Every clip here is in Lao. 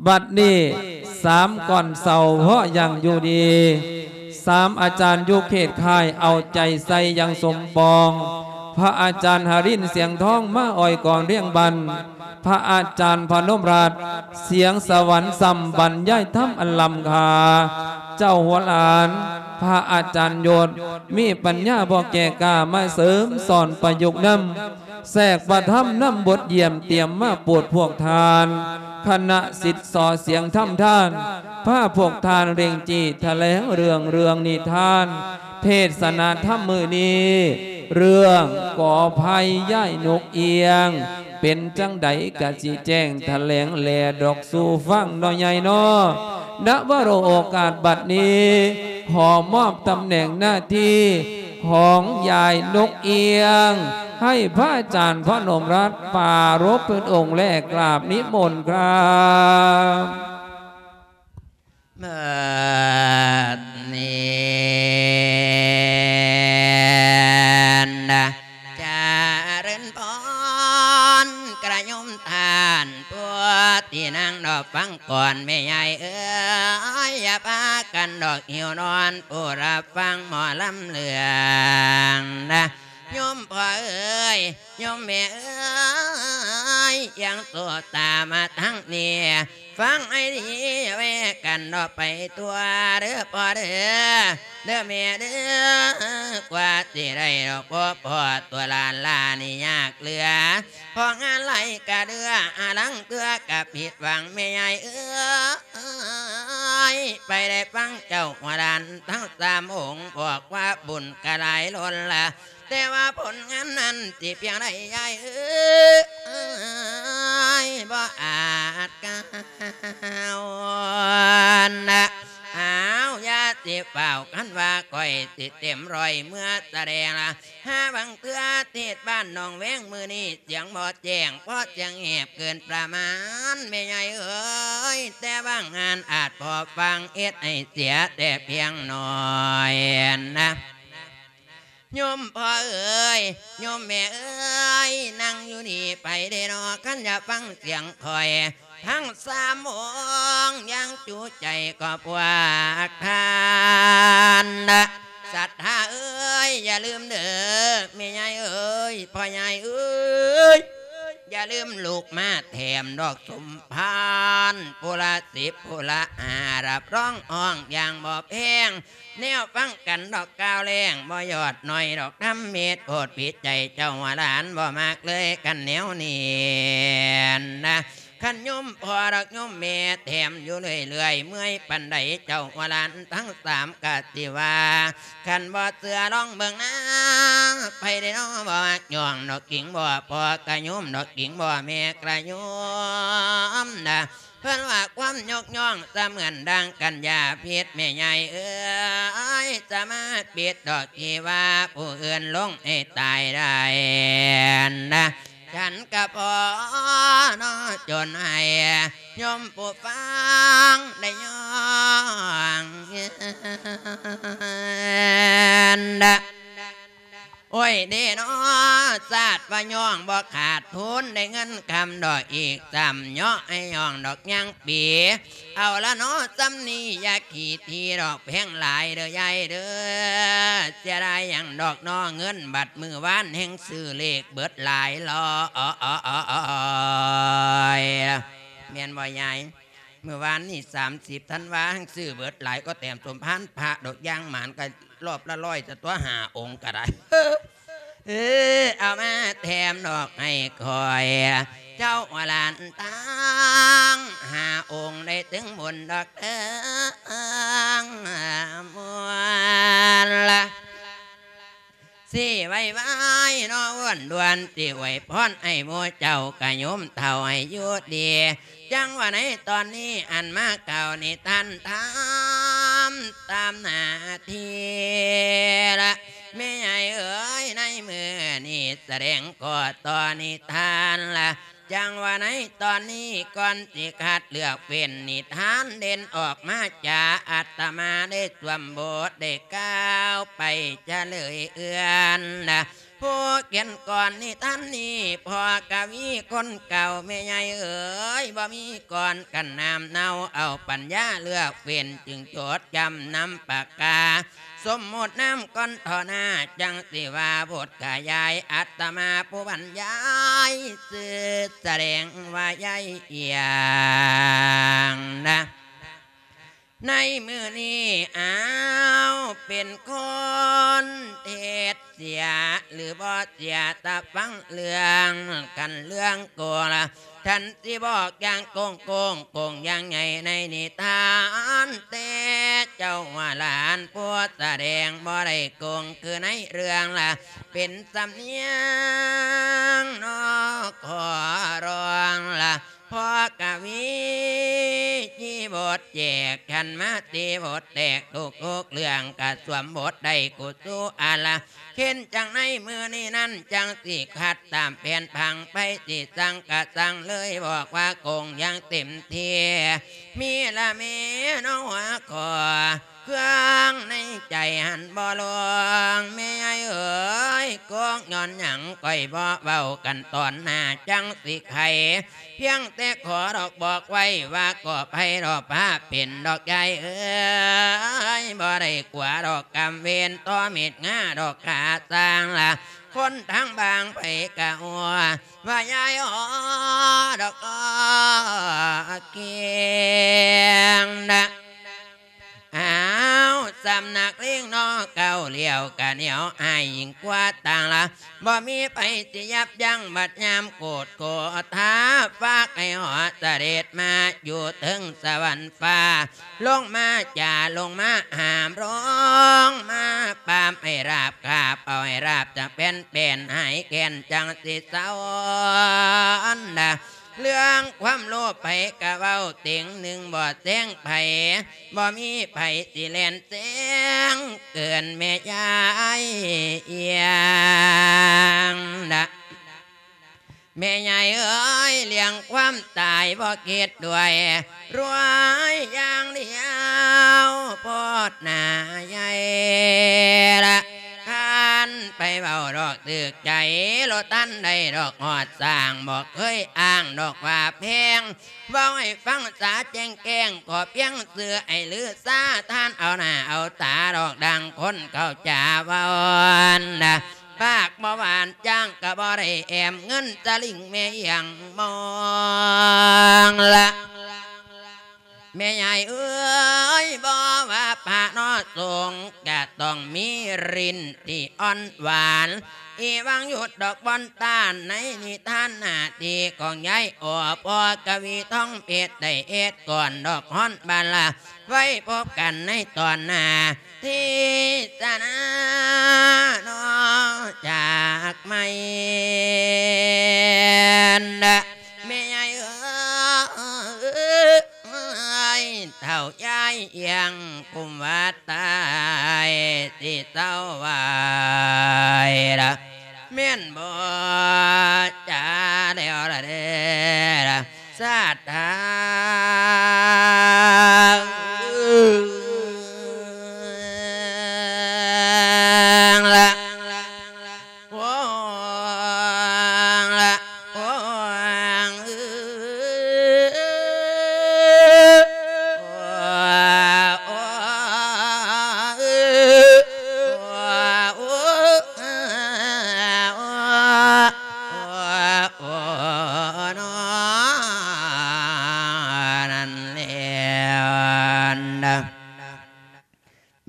ບັດນີ້ສາມກ່ອນເຊົາເພາະຢ່າງຢູ່ດີ ສາມອາຈານຢູ່ເຂດຄ້າຍເອົາໃຈໃສ່ຢ່າງສົມປອງ ພະອາຈານຫະລິນສຽງທອງມາອ້ອຍກອນລຽງບັນ ພະອາຈານພະນົມລັດສຽງສະຫວັນຊ່ຳບັນຍາຍທຳອັນລ້ຳຄ່າ ເຈົ້າຫົວຫຼານ ພະອາຈານຍົດ ມີປັນຍາບໍ່ແກ່ກ້າມາເສີມສອນປະຍຸກນຳ ແຊກພະທຳນຳບົດຢ້ຽມຕຽມມາໂປດພວກທ່ານ ຄະນະສິດສໍ່ສຽງທຳທານ ພາພວກທ່ານເລັ່ງຈີ້ຖະແຫຼງເລື່ອງເລື່ອງນິທານ ເທດສະນາທຳມື້ນີ້ ເລື່ອງກໍໄພຍາຍນົກອຽງ ເປັນຈັ່ງໃດກະຊິແຈ້ງຖະແຫຼງແລດອກສູ່ຟັງເນາະຍາຍເນາະ ນະວະໂລໂອກາດບັດນີ້ ຂໍມອບຕຳແໜ່ງໜ້າທີ່ ຂອງຍາຍນົກອຽງ ໃຫ້ພະອາຈານພະນົມລັດປາລົບເພິ່ນອົງແລກ ກາບນິມົນຄາບ ບັດນີ້ນະ ຈະເລີນພອນ ກະຍາດໂຍມທ່ານ ຜູ້ທີ່ນັ່ງດອກຟັງກ່ອນ ແມ່ຍາຍເອີຍ ຢ່າພາກັນດອກຫິວນອນ ຜູ້ຮັບຟັງໝໍລຳເລື່ອງນະ ໂຍມພໍ່ເອີຍ ໂຍມແມ່ເອີຍ ຢ່າງໂສດຕາມາທາງນີ້ ຟັງໃຫ້ດີ ແວ່ກັນດອກໄປທົ່ວເດີພໍ່ເດີ ເດີແມ່ເດີ ກວ່າຊິໄດ້ດອກພໍ້ ພໍ່ຕົວຫຼານຫຼານນີ້ຍາກເຫຼືອ ພໍງານຫຼາຍກະເດືອ ອາລັງເທື່ອກະຜິດຫວັງແມ່ຍາຍເອີຍ ໄປໄດ້ຟັງເຈົ້າຫົວຫຼານທັງສາມອົງ ບອກວ່າບຸນກະຫຼາຍລົ້ນລະ ແຕ່ວ່າຜົນງານນັ້ນຊິພຽງໃດຍາຍເອີຍ ບໍ່ອາດກ້າວນະ ອ້າວ ຢ່າຊິຟ້າວ ຄັນວ່າຂ້ອຍຊິເຕັມຮ້ອຍເມືອສະແດງລະ ຫາບາງເທື່ອເທດບ້ານໜອງແວງມື້ນີ້ສຽງບໍ່ແຈ້ງ ເພາະສຽງແຫບເກີນປະມານ ແມ່ຍາຍເອີຍ ແຕ່ບາງງານອາດພໍຟັງ ເຮັດໃຫ້ເສຍແຕ່ພຽງໜ້ອຍນະ ໂຍມພໍ່ເອີຍ ໂຍມແມ່ເອີຍ ນັ່ງຢູ່ນີ້ໄປເດ້ນໍ ຄັນຢາກຟັງສຽງຂ້ອຍ ທັງສາມອົງ ຢ່າງຈຸໃຈຂອບພວກທ່ານນະ ສັດທາເອີຍ ຢ່າລືມເດີ ແມ່ຍາຍເອີຍ ພໍ່ຍາຍເອີຍ ຢ່າລືມລູກມາແຖມດອກສົມພານ ຜູ້ລະສິບ ຜູ້ລະຫ້າ ຮັບຮອງຮ້ອງຢ່າງບໍ່ແພງ ແນວຟັງກັນດອກກ່າວແລງ ບໍ່ຍອດໜ້ອຍດອກທຳເມດ ໂພດຜິດໃຈເຈົ້າວ່າຫຼານ ບໍ່ມັກເລີຍກັນແນວນີ້ນະ ຄັນໂຍມພໍ່ດອກໂຍມແມ່ແຖມຢູ່ເລື້ອຍໆ ເມື່ອຍປານໃດເຈົ້າວ່າຫຼານທັງສາມກະຊິວ່າ ຄັນບໍ່ເຊື່ອລອງເບິ່ງນາ ໃຜເດ້ນໍ ບໍ່ມັກຍ້ອງດອກກິງບໍ່ ພໍ່ກະໂຍມດອກກິງບໍ່ ແມ່ກະໂຍມນະ ເພິ່ນວ່າຄວາມຍົກຍ້ອງສະເໝືອນດັ່ງກັນຢາພິດ ແມ່ຍາຍເອີຍ ສາມາດປິດດອກທີ່ວ່າຜູ້ອື່ນລົງໃຫ້ຕາຍໄດ້ນະ ສັນກະພໍເນາະ ຈົນໃຫ້ໂຍມຜູ້ຟັງໄດ້ຍ້ອງນະ ໂອ້ຍເດເນາະ ຊາດວ່າຍ້ອງບໍ່ຂາດທຶນ ໄດ້ເງິນຄຳດອກອີກຊ້ຳ ເຍາະໃຫ້ຍ້ອງດອກຍັງປີ ເອົາລະເນາະ ຊ່ຳນີ້ຢ່າຂີ້ຖີ່ດອກ ແພງຫຼາຍເດີຍາຍເດີ ເສຍດາຍຫຍັງດອກເນາະ ເງິນບັດມື້ວານແຮ່ງຊື້ເລກເບິດຫຼາຍລອຍ ແມ່ນບໍ່ຍາຍ? ມື້ວານນີ້ສາມສິບທັນວາ ຊື້ເບິດຫຼາຍ ກໍແຖມສົມພານພະດອກ ຢ່າງໝານກໍລອບລະຮ້ອຍ ສະຕົວະຫ້າອົງກໍໄດ້ ເອີ ເອົາມາແຖມດອກໃຫ້ຂ້ອຍ ເຈົ້າວ່າຫຼານທັງຫ້າອົງ ໄດ້ເຖິງບຸນດອກເຖິງມວນລະ ຊິໄວໆເນາະ ອ້ວນດ່ວນ ຊິອວຍພອນໃຫ້ໝູ່ເຈົ້າກະໂຍມເຖົ້າໃຫ້ຢູ່ດີ ຈັ່ງວ່າໃນຕອນນີ້ ອັນມາກ່າວນິທານທຳຕາມໜ້າທີ່ລະ ແມ່ໃຫຍ່ເອີຍ ໃນມື້ນີ້ສະແດງກໍຕໍ່ນິທານລະ ຈັ່ງວ່າໃນຕອນນີ້ ກ່ອນຊິຄັດເລືອກເປັນນິທານເດັ່ນອອກມາຈາ ອາດຕະມາໄດ້ສວມບົດໄດ້ກ່າວໄປຈະເລີຍເອື້ອນນະ ຜູ້ຂຽນກອນນິທານນີ້ ພໍ່ກະວີຄົນເກົ່າ ແມ່ໃຫຍ່ເອີຍ ບໍ່ມີກ່ອນກັນນ້ຳເນົາ ເອົາປັນຍາເລືອກເວັ້ນ ຈຶ່ງຈົດຈຳນຳປາກກາ ສົມມຸດນາມກ່ອນເທາະໜ້າ ຈັ່ງຊິວ່າບົດຂະຫຍາຍ ອາດຕະມາຜູ້ບັນຍາຍ ຊື່ສະແດງວ່າຍາຍອຽງນະ. ໃນມື້ນີ້ ອ້າວ ເປັນຄົນເຮັດເສຍ ຫຼືບໍ່ເສຍ ຕາຟັງເລື່ອງກັນເລື່ອງໂກລະ ທ່ານຊິບອກຢ່າງໂກງໆ ໂກງຢ່າງໃຫຍ່ໃນນິທານ ແຕ່ເຈົ້າວ່າຫຼານຜູ້ສະແດງບໍ່ໄດ້ໂກງ ຄືໃນເລື່ອງລະ ເປັນສຳນຽງນອກຂໍຮ້ອງລະ ພໍ່ກະວີ ທີ່ບົດແຈກ ຄັນມາຕີບົດແຕກ ທຸກໆເລື່ອງກະສວມບົດໄດ້ກຸສຸອາລະ ເຫັນຈັ່ງໃນມື້ນີ້ນັ້ນ ຈັ່ງຊິຂັດຕາມແຜນຜັງ ໃຜຊິສັ່ງກະສັ່ງເລີຍ ບອກວ່າໂກງຢ່າງເຕັມທີ່ ມີລະແມ່ນອງຫົວຂໍ້ ເຄື່ອງໃນໃຈຫັ້ນບໍ່ລວງ ແມ່ໃຫຍ່ເອີຍ ໂກງຍ້ອນຫຍັງ ຂ້ອຍບໍ່ເວົ້າກັນຕອນໜ້າ ຈັ່ງຊິໄຂ ພຽງແຕ່ຂໍດອກບອກໄວ້ວ່າ ກໍໃຜດອກພາເປັນດອກຍາຍເອີຍ ບໍ່ໄດ້ກົວດອກກຳເວນ ຕໍ່ເມັດງາດອກຂາສ້າງລະ ຄົນທາງບາງໃຜກະຫົວ ວ່າຍາຍອໍດອກກຽງນະ ອ້າວ ສຳນັກລິງນໍເກົ່າ ລ້ຽວກະແນວອ້າຍຍິ່ງກວ່າຕ່າງລະ ບໍ່ມີໃຜຊິຢັບຢັ້ງ ບັດຍາມໂກດໂກທາ ຝາກໃຫ້ເຮົາສະເດັດມາຢູ່ເທິງສະຫວັນຟ້າ ລົງມາຈາ ລົງມາຫາມ ລົງມາປາບໃຫ້ລາບ ຄາບເອົາໃຫ້ລາບຈາກແຜ່ນແປນ ຫາຍແຄ້ນຈັ່ງຊິເຊົານະ. ເລື່ອງຄວາມໂລບໃຜກະເວົ້າເຕັງໜຶ່ງ ບໍ່ແຊງໃຜ ບໍ່ມີໃຜຊິແລ່ນແຊງເກີນແມ່ຍາຍອຽງນະ. ແມ່ຍາຍເອີຍ ເລື່ອງຄວາມຕາຍບໍ່ຄິດດ້ວຍ ລວຍຢ່າງດຽວໂພດໜ້າໃຫຍ່ລະ ຄັນໄປເວົ້າດອກຖືກໃຈ ບໍ່ທັນໄດ້ດອກຮອດສ້າງ ບໍ່ເຄີຍອ້າງດອກວ່າແພງ ເວົ້າໃຫ້ຟັງສາແຈ້ງແກ້ງ ຂໍພຽງຊື່ໄອ້ລືຊາ ທ່ານເອົາໜ້າເອົາຕາດອກ ດັ່ງຄົນເຂົາຈາເວົ້ານະ ປາກບໍ່ຫວານ ຈ້າງກະບໍ່ໄດ້ແອມ ເງິນສະລິງແມ່ອຽງມອງລະ. ແມ່ຍາຍເອີຍ ບໍ່ວ່າພະເນາະສົງ ກະຕ້ອງມີລິ້ນທີ່ອ່ອນຫວານ ອີຫວັງຢຸດດອກບ່ອນຕ້ານ ໃນນິທານໜ້າທີ່ຂອງຍາຍອໍ ພໍ່ກະວີທອງເພັດ ໄດ້ເຮັດກ່ອນດອກຮອນບາລາ ໄວ້ພົບກັນໃນຕອນໜ້າ ທີ່ສະໜາເນາະຈາກໄມ້ນະ ແມ່ຍາຍເອີຍ ເຖົ້າຍາຍອຽງກຸມວ່າຕາຍ ຊິເຊົາໄວ້ລະ ແມ່ນບໍ່ຈາແລ້ວລະເດ້ລະ ສາດທາງລະ ໂອ້ງລະ ໂອ້ງ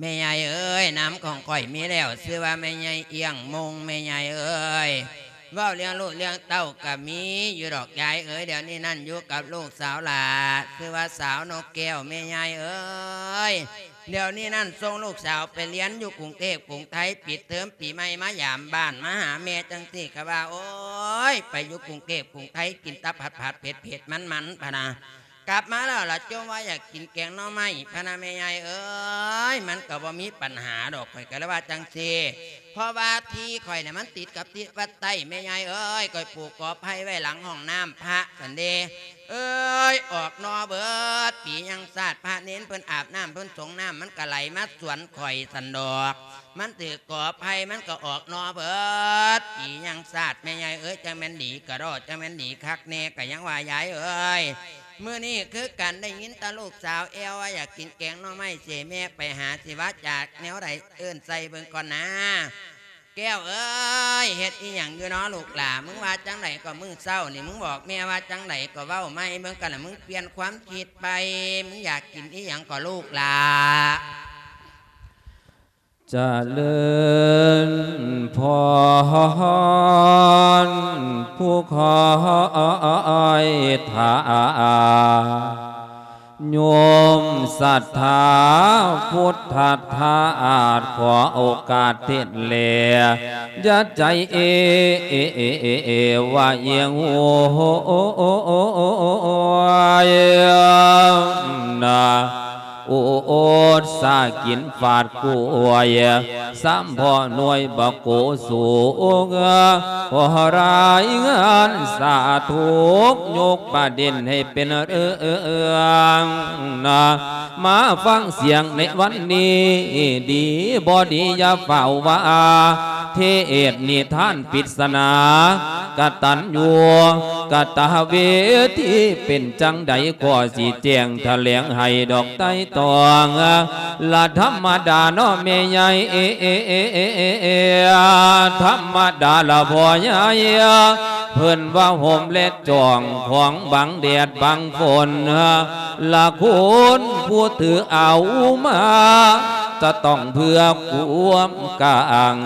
ແມ່ຍາຍເອີຍ ນາມຂອງຂ້ອຍມີແລ້ວ ຊື່ວ່າແມ່ຍາຍອຽງມຸງ ແມ່ຍາຍເອີຍ ເວົ້າເລື່ອງລູກເລື່ອງເຕົ້າກະມີຢູ່ດອກຍາຍເອີຍ ດຽວນີ້ນັ້ນຢູ່ກັບລູກສາວຫຼ້າ ຊື່ວ່າສາວນົກແກ້ວ ແມ່ຍາຍເອີຍ ດຽວນີ້ນັ້ນສົ່ງລູກສາວໄປຮຽນຢູ່ກຸງເທບກຸງໄທ ປິດເທີມປີໃໝ່ມາຢາມບ້ານມາຫາແມ່ຈັ່ງຊີ້ ກະວ່າ ໂອ້ຍ ໄປຢູ່ກຸງເທບກຸງໄທ ກິນແຕ່ຜັດໆ ເຜັດໆ ມັນໆ ພະນາ ກັບມາແລ້ວລະຈົ່ມວ່າຢາກກິນແກງໜໍ່ໄມ້ ພະນາແມ່ຍາຍເອີຍ ມັນກະບໍ່ມີປັນຫາດອກ ຂ້ອຍກະເລີຍວ່າຈັ່ງຊີ້ ເພາະວ່າທີ່ຂ້ອຍນະມັນຕິດກັບທິດວັດໃຕ້ ແມ່ຍາຍເອີຍ ຂ້ອຍປູກກໍໄຜ່ໄວ້ຫຼັງຫ້ອງນ້ຳພະຊັ້ນເດ ເອີຍ ອອກໜໍ່ເບີດ ປີຍັງຊາດ ພະເນນເພິ່ນອາບນ້ຳ ເພິ່ນສົງນ້ຳ ມັນກໍໄຫຼມາສວນຂ້ອຍຊັ້ນດອກ ມັນຖືກກໍໄຜ່ ມັນກໍອອກໜໍ່ເບີດ ປີຍັງຊາດ ແມ່ໃຫຍ່ເອີຍ ຈັ່ງແມ່ນດີກະດໍ້ ຈັ່ງແມ່ນດີຄັກແນ່ ກະຍັງວ່າຍາຍເອີຍ ມື້ນີ້ຄືກັນ ໄດ້ຍິນແຕ່ລູກສາວແອວວ່າຢາກກິນແກງໜໍ່ໄມ້ ຊິໃຫ້ແມ່ໄປຫາ ຊິວ່າຈາກແນວໃດ ເອີ້ນໃສ່ເບິ່ງກ່ອນນາ. ແກ້ວເອີຍ ເຮັດອີ່ຫຍັງຢູ່ນໍລູກຫຼ້າ? ມຶງວ່າຈັ່ງໃດກໍມື້ເຊົ້ານີ້ ມຶງບອກແມ່ວ່າຈັ່ງໃດກໍເວົ້າໃໝ່ເບິ່ງກັນລະ ມຶງປ່ຽນຄວາມຄິດໄປ ມຶງຢາກກິນອີ່ຫຍັງກໍລູກຫຼ້າ? ຈະເລີນພອນ ຜູ້ຄອຍຖ້າ ໂຍມສັດທາພຸດທະທາດ ຂໍໂອກາດເທດແລ ຢ່າໃຈເອວະເອງໂຫຍນາ ອຸດສາກິນຟາດກວຍ ສາມພໍ່ໜ່ວຍບັກໂກສູງ ຂໍລາຍງານສາທຸກ ຍົກປະເດັນໃຫ້ເປັນເລື່ອງນາ ມາຟັງສຽງໃນວັນນີ້ ດີບໍ່ດີຢ່າຟ້າວວ່າ ເທດນິທານປິດສະໜາ ກະຕັນຍູກະຕະເວທີ ເປັນຈັ່ງໃດກໍຊິແຈ້ງຖະແຫຼງໃຫ້ດອກໄຕ່ຕອງ ລະທຳມະດາເນາະແມ່ໃຫຍ່ ທຳມະດາລະພໍ່ໃຫຍ່ ເພິ່ນວ່າຮົ່ມແລະຈອງຂອງບັງແດດບັງຝົນ ລະຄຸນຜູ້ຖືເອົາມາ ຈະຕ້ອງເພື່ອຄວາມກາງ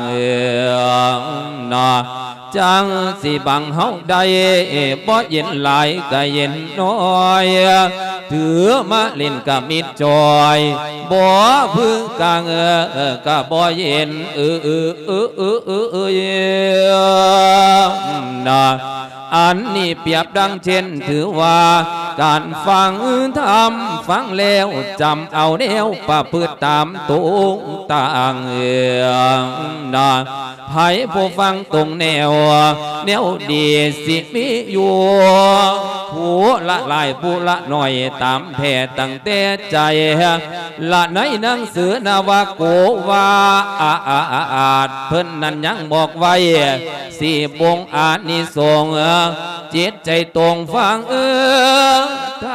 ເນາະ ຈັ່ງຊິບັງເຮົາໄດ້ ບໍ່ເຢັນຫຼາຍກະເຢັນໜ້ອຍ ຖືມາຫຼິ້ນກະມິດຈ່ອຍ ບໍ່ພື້ກາງກະບໍ່ເຢັນ ເອີ ເອີ ເອີ ເອີ ເອີ ເອີ ນະ ອັນນີ້ປຽບດັ່ງເຊັ່ນ ຖືວ່າການຟັງທຳ ຟັງແລ້ວຈຳເອົາແນວປະພຶດຕາມຕົງຕາງ ເອີ ນະ ໃຜຜູ້ຟັງຕົງແນວ ແນວດີຊິມີຢູ່ ຜູ້ລະຫຼາຍຜູ້ລະໜ້ອຍຕາມແທ້ຕັ້ງແຕ່ໃຈ ລະໃນໜັງສືນະວະໂກວາດ ເພິ່ນນັ້ນຍັງບອກໄວ້ ສີ່ວົງອານິສົງ ຈິດໃຈຕົງຟັງທ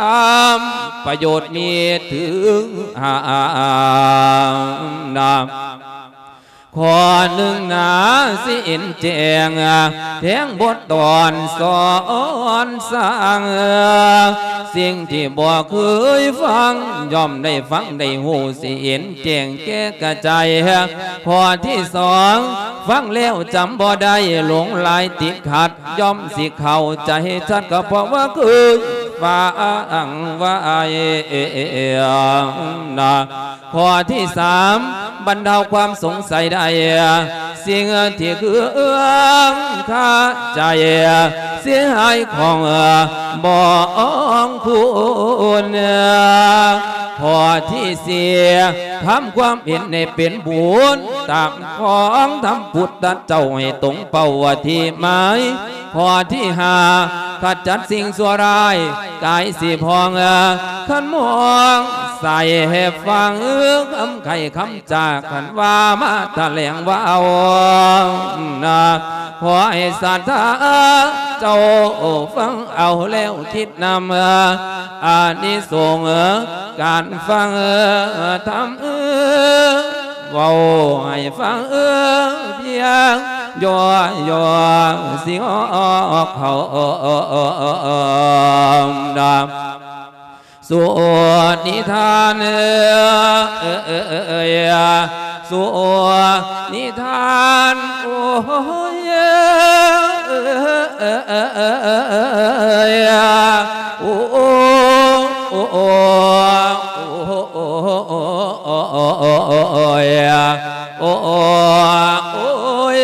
ຳ ປະໂຫຍດມີເຖິງຫ້ານະ ຂໍ້ໜຶ່ງນາ ຊິເຫັນແຈ້ງ ແທງບົດຕອນສອນສ້າງ ສິ່ງທີ່ບໍ່ເຄີຍຟັງ ຍ່ອມໄດ້ຟັງໄດ້ຮູ້ ຊິເຫັນແຈ້ງແກ່ກະຈ່າຍ ຂໍ້ທີສອງ ຟັງແລ້ວຈຳບໍ່ໄດ້ ຫຼົງຫຼາຍຕິດຂັດ ຍ່ອມຊິເຂົ້າໃຈຊັດ ກໍເພາະວ່າເຄີຍຟັງໄວ້ນະ ຂໍ້ທີສາມ ບັນເທົາຄວາມສົງໄສໄດ້ ສິ່ງທີ່ເຄືອງຄາໃຈ ເສຍຫາຍຂອງບອງຄຸນ ຂໍ້ທີສີ່ ທຳຄວາມເຫັນໃຫ້ເປັນບຸນ ຕາມຂອງທຳພຸດທະເຈົ້າໃຫ້ຕົງເປົ້າທີ່ໝາຍ ຂໍ້ທີຫ້າ ຂະຈັດສິ່ງຊົ່ວຮ້າຍ ກາຍສີພອງ ຄັນມອງໃສ່ໃຫ້ຟັງ ຄຳໄຂຄຳຈາ ຄັນວ່າມາຖະແຫຼງເວົ້ານະ ຂໍໃຫ້ສັດທາເຈົ້າຟັງເອົາແລ້ວຄິດນຳ ອານິສົງການຟັງທຳ ເວົ້າໃຫ້ຟັງພຽງ ຍໍໆ ຊິອອກເຂົ້ານຳ ສູ່ນິທານ ສູ່ນິທານ ໂອ້ຍ ໂອ້ ໂອ້ ໂອ້ ໂອ້ຍ ໂອ້ ໂອ້ຍ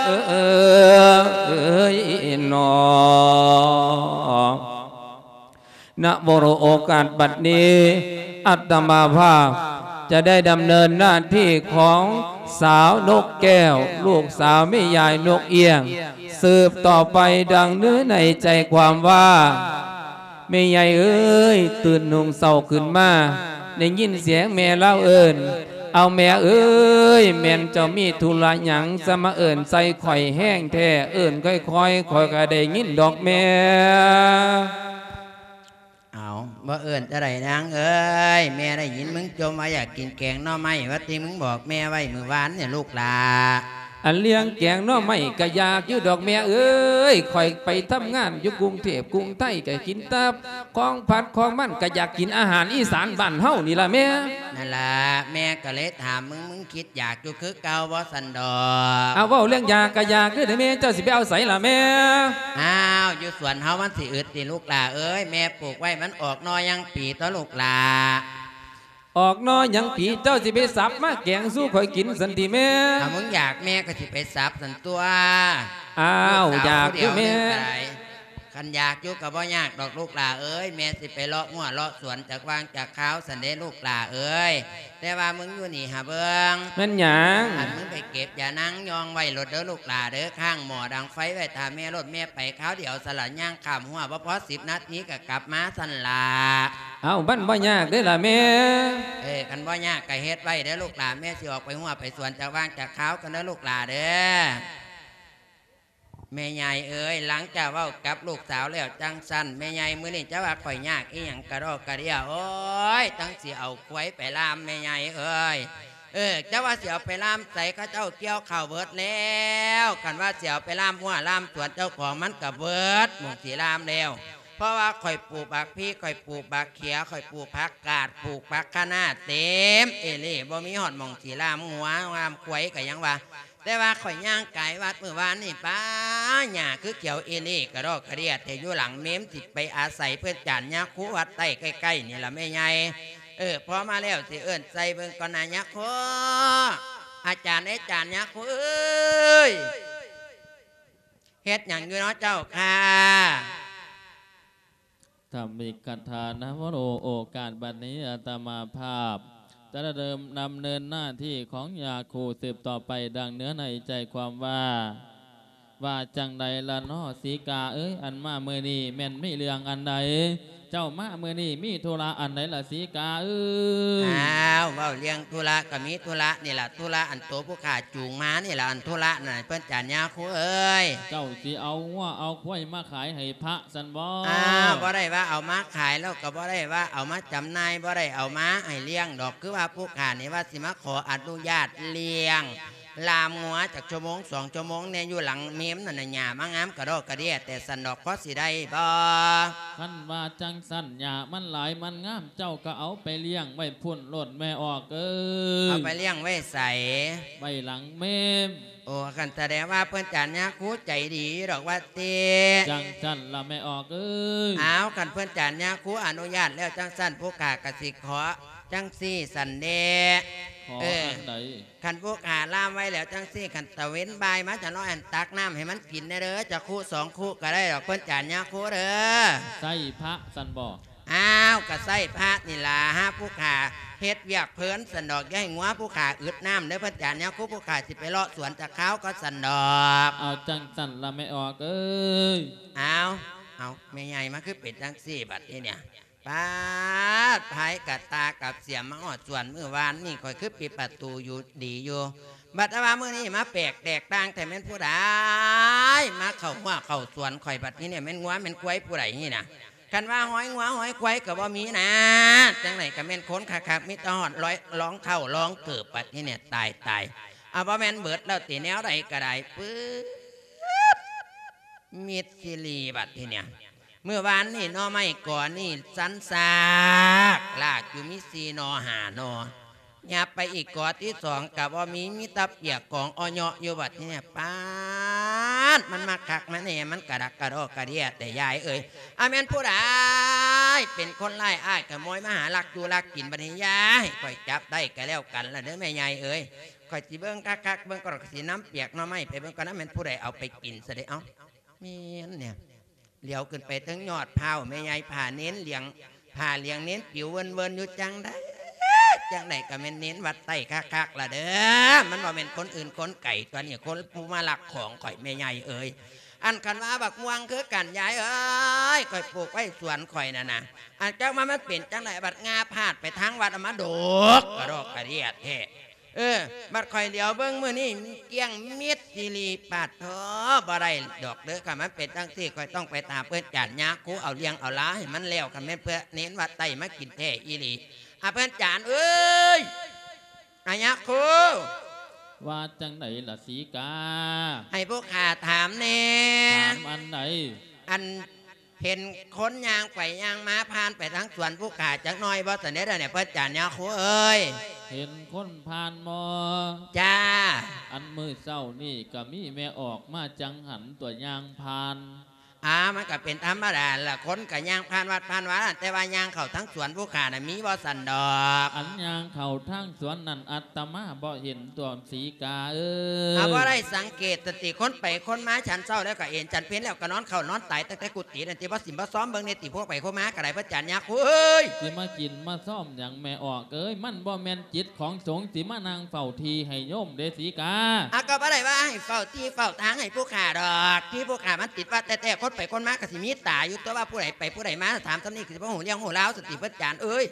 ເອີຍເນາະ. ນະ ໂອກາດບັດນີ້ ອາດຕະມາພາບຈະໄດ້ດຳເນີນໜ້າທີ່ຂອງສາວນົກແກ້ວ ລູກສາວແມ່ຍາຍນົກອຽງ ສືບຕໍ່ໄປ ດັ່ງເນື້ອໃນໃຈຄວາມວ່າ ແມ່ໃຫຍ່ເອີຍ, ຕື່ນຫຸ່ງເຊົ້າຂຶ້ນມາ ໄດ້ຍິນສຽງແມ່ລາວເອີ້ນ, ເອົາແມ່ເອີຍ, ແມ່ນເຈົ້າມີທຸລະຫຍັງ ຈະມາເອີ້ນໃສ່ຂ້ອຍແຮງແທ້? ເອີ້ນຄ່ອຍໆ ຂ້ອຍກໍໄດ້ຍິນດອກແມ່. ເອົາ ບໍ່ເອີ້ນຈັ່ງໃດນາງເອີຍ, ແມ່ໄດ້ຍິນມຶງຈົ່ມວ່າຢາກກິນແກງໜໍ່ໄມ້ ວ່າທີ່ມຶງບອກແມ່ໄວ້ມື້ວານນີ້ລູກຫຼ້າ. ອັນເລື່ອງແກງໜໍ່ໄມ້ກະຢາກຢູ່ດອກແມ່ເອີຍ, ຂ້ອຍໄປທຳງານຢູ່ກຸງເທບກຸງໄທກະກິນແຕ່ຂອງຜັດຂອງມັນ, ກະຢາກກິນອາຫານອີສານບ້ານເຮົານີ້ລະແມ່. ນັ້ນລະ ແມ່ກະເລີຍຖາມມຶງ, ມຶງຄິດຢາກຢູ່ຄືເກົ່າບໍ່ຊັ້ນດອກ? ອາ ເວົ້າເລື່ອງຢາກກະຢາກເດີແມ່, ເຈົ້າຊິໄປເອົາໃສລະແມ່? ອ້າວ ຢູ່ສວນເຮົາມັນຊິອຶດຕິລູກຫຼ້າເອີຍ, ແມ່ປູກໄວ້ມັນອອກໜໍ່ຍັງປີຕົວະລູກຫຼ້າ. ອອກໜໍ່ຍັງປີ ເຈົ້າຊິໄປສັບມາແກງສູ່ຂ້ອຍກິນຊັ້ນຕິແມ່? ຖ້າມຶງຢາກແມ່ກໍຊິໄປສັບຊັ້ນຕົວະ. ອ້າວ ລູກສາວ ຢາກຢູ່ແມ່. ຜູ້ດຽວໜຶ່ງກໍໄດ້. ຄັນຢາກຢູ່ກໍບໍ່ຍາກດອກລູກຫຼ້າເອີຍ, ແມ່ຊິໄປເລາະຮົ້ວເລາະສວນຈັກຫວ່າງຈັກຄາວຊັ້ນເດ້ລູກຫຼ້າເອີຍ. ແຕ່ວ່າມຶງຢູ່ນີ້ຫາເບິ່ງ. ແມ່ນຫຍັງ? ອັນ ມຶງໄປເກັບຢານາງຍອງໄວ້ໂລດເດີລູກຫຼ້າເດີ, ຄ້າງໝໍ້ດັງໄຟໄວ້ຖ້າແມ່ໂລດ, ແມ່ໄປຄາວດຽວຊັ້ນລະ, ຍ່າງຂ້າມຮົ້ວບໍ່ພໍສິບນາທີກໍກັບມາຊັ້ນລະ. ເອົ້າ ມັນບໍ່ຍາກເດ້ລະແມ່. ເອີ ຄັນບໍ່ຍາກກໍເຮັດໄວ້ເດີລູກຫຼ້າ, ແມ່ຊິອອກໄປຮົ້ວໄປສວນຈັກຫວ່າງຈັກຄາວກ່ອນເດີລູກຫຼ້າເດີ. ແມ່ໃຫຍ່ເອີຍ, ຫຼັງຈາກເວົ້າກັບລູກສາວແລ້ວຈັ່ງຊັ້ນ, ແມ່ໃຫຍ່ ມື້ນີ້ເຈົ້າວ່າຂ້ອຍຍາກອີ່ຫຍັງກະດອກກະເດຍ. ໂອ້ຍ ຈັ່ງຊິເອົາຄວາຍໄປລ່າມແມ່ໃຫຍ່ເອີຍ. ເອີ ເຈົ້າວ່າຊິເອົາໄປລ່າມໃສ? ເຂົາເຈົ້າກ່ຽວເຂົ້າເບິດແລ້ວ. ຄັນວ່າຊິເອົາໄປລ່າມຮົ້ວລ່າມສວນເຈົ້າຂອງ, ມັນກະເບິດໝ່ອງຊິລ່າມແລ້ວ. ເພາະວ່າຂ້ອຍປູກບັກພີ, ຂ້ອຍປູກບັກເຂຍ, ຂ້ອຍປູກຜັກກາດ, ປູກຜັກຄະນ້າເຕັມເອເລ່, ບໍ່ມີຮອດໝ່ອງຊິລ່າມງົວລ່າມຄວາຍກະຍັງວ່າ. ແຕ່ວ່າຂ້ອຍຍ່າງກາຍວັດມື້ວານນີ້ ປ້າ ຫຍ້າຄືຂຽວເອເລ່ກະດອກກະເດຍແທ້. ຢູ່ຫຼັງເມມຊິໄປອາໄສເພິ່ນຈານຍາຄູວັດໃຕ້ໃກ້ໆນີ້ລະແມ່ໃຫຍ່. ເອີ ພໍມາແລ້ວຊິເອີ້ນໃສ່ເບິ່ງກ່ອນນະຍາຄູ. ອາຈານເອີຍ ຈານຍາຄູເອີຍ, ເຮັດຫຍັງຢູ່ເນາະເຈົ້າຄ່າ? ທຳອິກຄະຖານະໂມ. ໂອກາດບັດນີ້ອາດຕະມາພາບຈະດຳເນີນ ດຳເນີນໜ້າທີ່ຂອງຍາຄູສືບຕໍ່ໄປ ດັ່ງເນື້ອໃນໃຈຄວາມວ່າ. ວ່າຈັ່ງໃດລະເນາະສີກາເອີຍ, ອັນມາມື້ນີ້ແມ່ນມີເລື່ອງອັນໃດ? ເຈົ້າມາມື້ນີ້ມີທຸລະອັນໃດລະສີກາເອີຍ? ອ້າວ ເວົ້າເລື່ອງທຸລະກໍມີທຸລະນີ້ລະ, ທຸລະອັນໂຕຜູ້ຂ້າຈູງມານີ້ລະ, ອັນທຸລະນັ້ນເພິ່ນຈານຍາຄູເອີຍ. ເຈົ້າຊິເອົາງົວເອົາຄວາຍມາຂາຍໃຫ້ພະ ຊັ້ນບໍ? ອ້າວ ບໍ່ໄດ້ວ່າເອົາມາຂາຍ ແລ້ວກໍບໍ່ໄດ້ວ່າເອົາມາຈຳໜ່າຍ, ບໍ່ໄດ້ເອົາມາໃຫ້ລ້ຽງດອກ. ຄືວ່າຜູ້ຂ້ານີ້ວ່າຊິມາຂໍອະນຸຍາດລ້ຽງລ່າມງົວຈັກຊົ່ວໂມງສອງຊົ່ວໂມງແດ່, ຢູ່ຫຼັງເມມນັ້ນນະ ຫຍ້າມາງາມກະດອກກະເດຍແຕ່ຊັ້ນດອກ, ພໍຊິໄດ້ບໍ່? ຄັນວ່າຈັ່ງຊັ້ນ ຫຍ້າມັນຫຼາຍມັນງາມ, ເຈົ້າກໍເອົາໄປລ້ຽງໄວ້ພຸ້ນໂລດແມ່ອອກເອີຍ. ເອົາໄປລ້ຽງໄວ້ໃສ? ໄວ້ຫຼັງເມມ. ໂອ້ ຄັນສະແດງວ່າເພິ່ນຈານຍາຄູໃຈດີດອກວ່າຕິ. ຈັ່ງຊັ້ນລະແມ່ອອກເອີຍ. ອ້າວ ຄັນເພິ່ນຈານຍາຄູອະນຸຍາດແລ້ວຈັ່ງຊັ້ນ ພວກຂ້າກະຊິຂໍຈັ່ງຊີ້ຊັ້ນເດ. ຂໍ ເອີ ອັນໃດ? ຄັນພວກຂ້າລ່າມໄວ້ແລ້ວຈັ່ງຊີ້ ຄັນຕາເວັນບ່າຍມາຈະນ້ອຍ ອັນ ຕັກນ້ຳໃຫ້ມັນກິນແດ່ເດີ ຈັກຄຸສອງຄຸກໍໄດ້ດອກ ເພິ່ນຈານຍາຄູເດີ. ໃສ່ພະຊັ້ນບໍ? ອ້າວ ກະໃຊ້ພະນີ້ລະ ຫາຜູ້ຂ້າເຮັດວຽກເພີນຊັ້ນດອກ ຢ່າໃຫ້ງົວຜູ້ຂ້າອຶດນ້ຳເດີ ເພິ່ນຈານຍາຄູ ຜູ້ຂ້າຊິໄປເລາະສວນຈັກຄາວກ່ອນຊັ້ນດອກ. ເອົາຈັ່ງຊັ້ນລະແມ່ອອກເອີຍ. ເອົາ ເອົາ ແມ່ໃຫຍ່ມາຄືເປັນຈັ່ງຊີ້ບັດນີ້ເນຍ ປາດ ພາຍກະຕ່າກັບສຽມມາຮອດສວນ ມື້ວານນີ້ຂ້ອຍຄືປິດປະຕູຢູ່ດີຢູ່ ບັດວ່າມື້ນີ້ມາແປກແຕກຕ່າງແທ້ ແມ່ນຜູ້ໃດມາເຂົ້າຮົ້ວເຂົ້າສວນຂ້ອຍ ບັດນີ້ເນຍ ແມ່ນງົວແມ່ນຄວາຍຜູ້ໃດນີ້ນະ? ຄັນວ່າຮອຍງົວຮອຍຄວາຍກໍບໍ່ມີນະ ຈັ່ງໃດກໍແມ່ນຄົນຄັກໆ ມີແຕ່ຮອດລອຍ ລອງເຂົ້າລອງເກີບ ບັດນີ້ເນຍ ຕາຍໆ ເອົາ ບໍ່ແມ່ນເບິດແລ້ວຕິ ແນວໃດກໍໄດ້ ປຶບ ມິດຊີຣີ ບັດທີ່ເນຍ ມື້ວານນີ້ໜໍ່ໄມ້ກໍນີ້ສັນຊາກລາກຢູ່ມີສີ່ໜໍ່ຫ້າໜໍ່ ຫຍັບໄປອີກກໍທີສອງກໍບໍ່ມີ ມີແຕ່ປຽກກອງເອາະເຍາະຢູ່ ບັດທີ່ເນຍ ປາດ ມັນມາຄັກມາແນ່ ມັນກະດັກກະດໍກະເດຍແຕ່ຍາຍເອີຍ ອາ ແມ່ນຜູ້ໃດເປັນຄົນຮ້າຍອ້າຍຂະໂມຍມາຫາລັກຢູ່ລັກກິນ ບັດນີ້ຢ່າໃຫ້ຂ້ອຍຈັບໄດ້ກໍແລ້ວກັນລະເດີແມ່ໃຫຍ່ເອີຍ ຂ້ອຍຊິເບິ່ງຄັກໆ ເບິ່ງກ່ອນ ຂ້ອຍຊິນຳປຽກໜໍ່ໄມ້ໄປເບິ່ງກ່ອນນະ ແມ່ນຜູ້ໃດເອົາໄປກິນຊະເດ ເອົ້າ ແມ່ນແນວ ຫຼຽວຂຶ້ນໄປເທິງຍອດພ້າວ ແມ່ໃຫຍ່ຜ້າເນນຫຼຽງ ຜ້າຫຼຽງເນນປິວເວີນໆຢູ່ ຈັ່ງໃດ ຈັ່ງໃດກໍແມ່ນເນນວັດໃຕ້ຄັກໆລະເດີ ມັນບໍ່ແມ່ນຄົນອື່ນຄົນໄກຕົວະນີ້ ຄົນຜູ້ມາລັກຂອງຂ້ອຍແມ່ໃຫຍ່ເອີຍ ອັນຄັນວ່າບັກມ່ວງຄືກັນ ຍາຍເອີຍ ຂ້ອຍປູກໄວ້ສວນຂ້ອຍນັ້ນນະ ອັນຈັກວ່າມັນເປັນຈັ່ງໃດ ບັດງາພາດໄປທາງວັດ ເອົາມາດົກກະດອກກະເດຍແທ້. ເອີ ບັດຂ້ອຍຫຼຽວເບິ່ງມື້ນີ້ ກ້ຽງມິດອີ່ຫຼີ ປາດໂທ້ ບໍ່ໄດ້ດອກເດີ. ຄັນມັນເປັນຈັ່ງຊີ້ ຂ້ອຍຕ້ອງໄປຕາມເພິ່ນຈານຍາຄູ ເອົາເລື່ອງເອົາລາວໃຫ້ມັນແລ້ວ ຄັນແມ່ນເພື່ອເນນວັດໃຕ້ມາກິນແທ້ອີ່ຫຼີ. ອາ ເພິ່ນຈານເອີຍ ອາ ຍາຄູ ວ່າຈັ່ງໃດລະສີກາ? ໃຫ້ຜູ້ຂ້າຖາມແດ່. ຖາມອັນໃດ? ອັນ ເຫັນຄົນຍ່າງໄປຍ່າງມາຜ່ານໄປທາງສວນຜູ້ຂ້າຈັກໜ້ອຍບໍ່ ຊັ້ນເດ ດຽວນີ້ ເພິ່ນຈານຍາຄູເອີຍ? ເຫັນຄົນຜ່ານບໍ່? ຈ້າ. ອັນມື້ເຊົ້ານີ້ກະມີແມ່ອອກມາຈັງຫັນຕົວະ ຍ່າງຜ່ານ. ອາ ມັນກະເປັນທຳມະດາລະ ຄົນກະຍ່າງຜ່ານວັດຜ່ານວາ ແຕ່ວ່າຍ່າງເຂົ້າທາງສວນຜູ້ຂ້ານະ ມີບໍ່ຊັ້ນດອກ? ອັນຍ່າງເຂົ້າທາງສວນນັ້ນ ອາດຕະມາບໍ່ເຫັນຕົວະ ສີກາເອີຍ. ອາ ບໍ່ໄດ້ສັງເກດສະຕິ ຄົນໄປຄົນມາ ສັນເຊົ້າແລ້ວກະເອນ ສັນເພັນແລ້ວກະນອນເຂົ້ານອນຕາຍຕັ້ງແຕ່ກຸຕິນັ້ນຕິ ບໍ່ສິມບໍ່ຊອມເບິ່ງແດ່ຕິ ພວກໄປພວກມາກະໄດ້ ເພິ່ນຈານຍາຄູເອີຍ. ຊິມາກິນມາຊອມຫຍັງແມ່ອອກເອີຍ? ມັນບໍ່ແມ່ນຈິດຂອງສົງ ຊິມານັ່ງເຝົ້າທີ່ໃຫ້ໂຍມເດສີກາ. ອາ ກະບໍ່ໄດ້ວ່າໃຫ້ເຝົ້າທີ່ເຝົ້າທາງໃຫ້ຜູ້ຂ້າດອກ ທີ່ຜູ້ຂ້າມັນຕິດວັດແທ້ໆ ຄົນໄປຄົນມາກະຊິມີຕາຢູ່ຕົວະ ວ່າຜູ້ໃດໄປຜູ້ໃດມາ ຖາມສ່ຳນີ້ກະຊິບໍ່ຮູ້ເລື່ອງຮູ້ລາວສະຕິ ເພິ່ນຈານເອີຍ.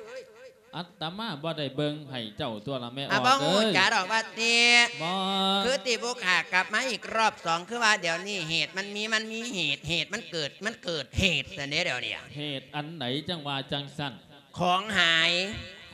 ອາດຕະມາບໍ່ໄດ້ເບິ່ງໃຫ້ເຈົ້າຕົວະລະແມ່ອອກເອີຍ. ອາ ບໍ່ຮູ້ຈັກດອກວ່າຕິ. ບໍ່. ຄືທີ່ຜູ້ຂ້າກັບມາອີກຮອບສອງ ຄືວ່າດຽວນີ້ເຫດມັນມີ ມັນມີເຫດ ເຫດມັນເກີດ ມັນເກີດເຫດຊັ້ນເດ ດຽວນີ້. ເຫດອັນໃດຈັ່ງວ່າຈັ່ງຊັ້ນ? ຂອງຫາຍ.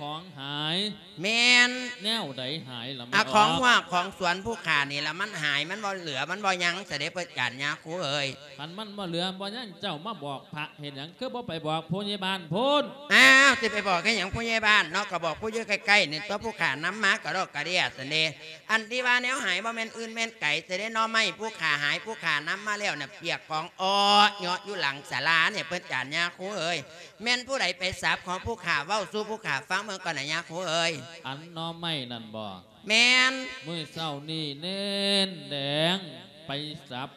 ຂອງຫາຍ? ແມ່ນ. ແນວໃດຫາຍລະແມ່ອອກ? ອາ ຂອງຮອກຂອງສວນຜູ້ຂ້ານີ້ລະ ມັນຫາຍ ມັນບໍ່ເຫຼືອ ມັນບໍ່ຍັງ ສະເດັດພະຈານຍາຄູເອີຍ. ຄັນມັນບໍ່ເຫຼືອບໍ່ຍັງ ເຈົ້າມາບອກພະເຮັດຫຍັງ? ຄືບໍ່ໄປບອກຜູ້ໃຫຍ່ບ້ານພຸ້ນ? ອ້າວ ຊິໄປບອກເຮັດຫຍັງຜູ້ໃຫຍ່ບ້ານເນາະ? ກະບອກຜູ້ຢູ່ໃກ້ໆນີ້ຕົວະ ຜູ້ຂ້ານຳມາກະດອກກະເດຍຊັ້ນເດ. ອັນທີ່ວ່າແນວຫາຍບໍ່ແມ່ນອື່ນແມ່ນໄກ ຊິໄດ້ໜໍ່ໄມ້ຜູ້ຂ້າຫາຍ ຜູ້ຂ້ານຳມາແລ້ວນະ ປຽກກອງເອາະເຍາະຢູ່ຫຼັງສາລານີ້ ເພິ່ນຈານຍາຄູເອີຍ. ແມ່ນຜູ້ໃດໄປສັບຂອງຜູ້ຂ້າ? ເວົ້າສູ່ຜູ້ຂ້າຟັງເບິ່ງກ່ອນນະຍາຄູເອີຍ. ອັນໜໍ່ໄມ້ນັ້ນບໍ? ແມ່ນ. ມື້ເຊົ້ານີ້ເນນແດງໄປສັບ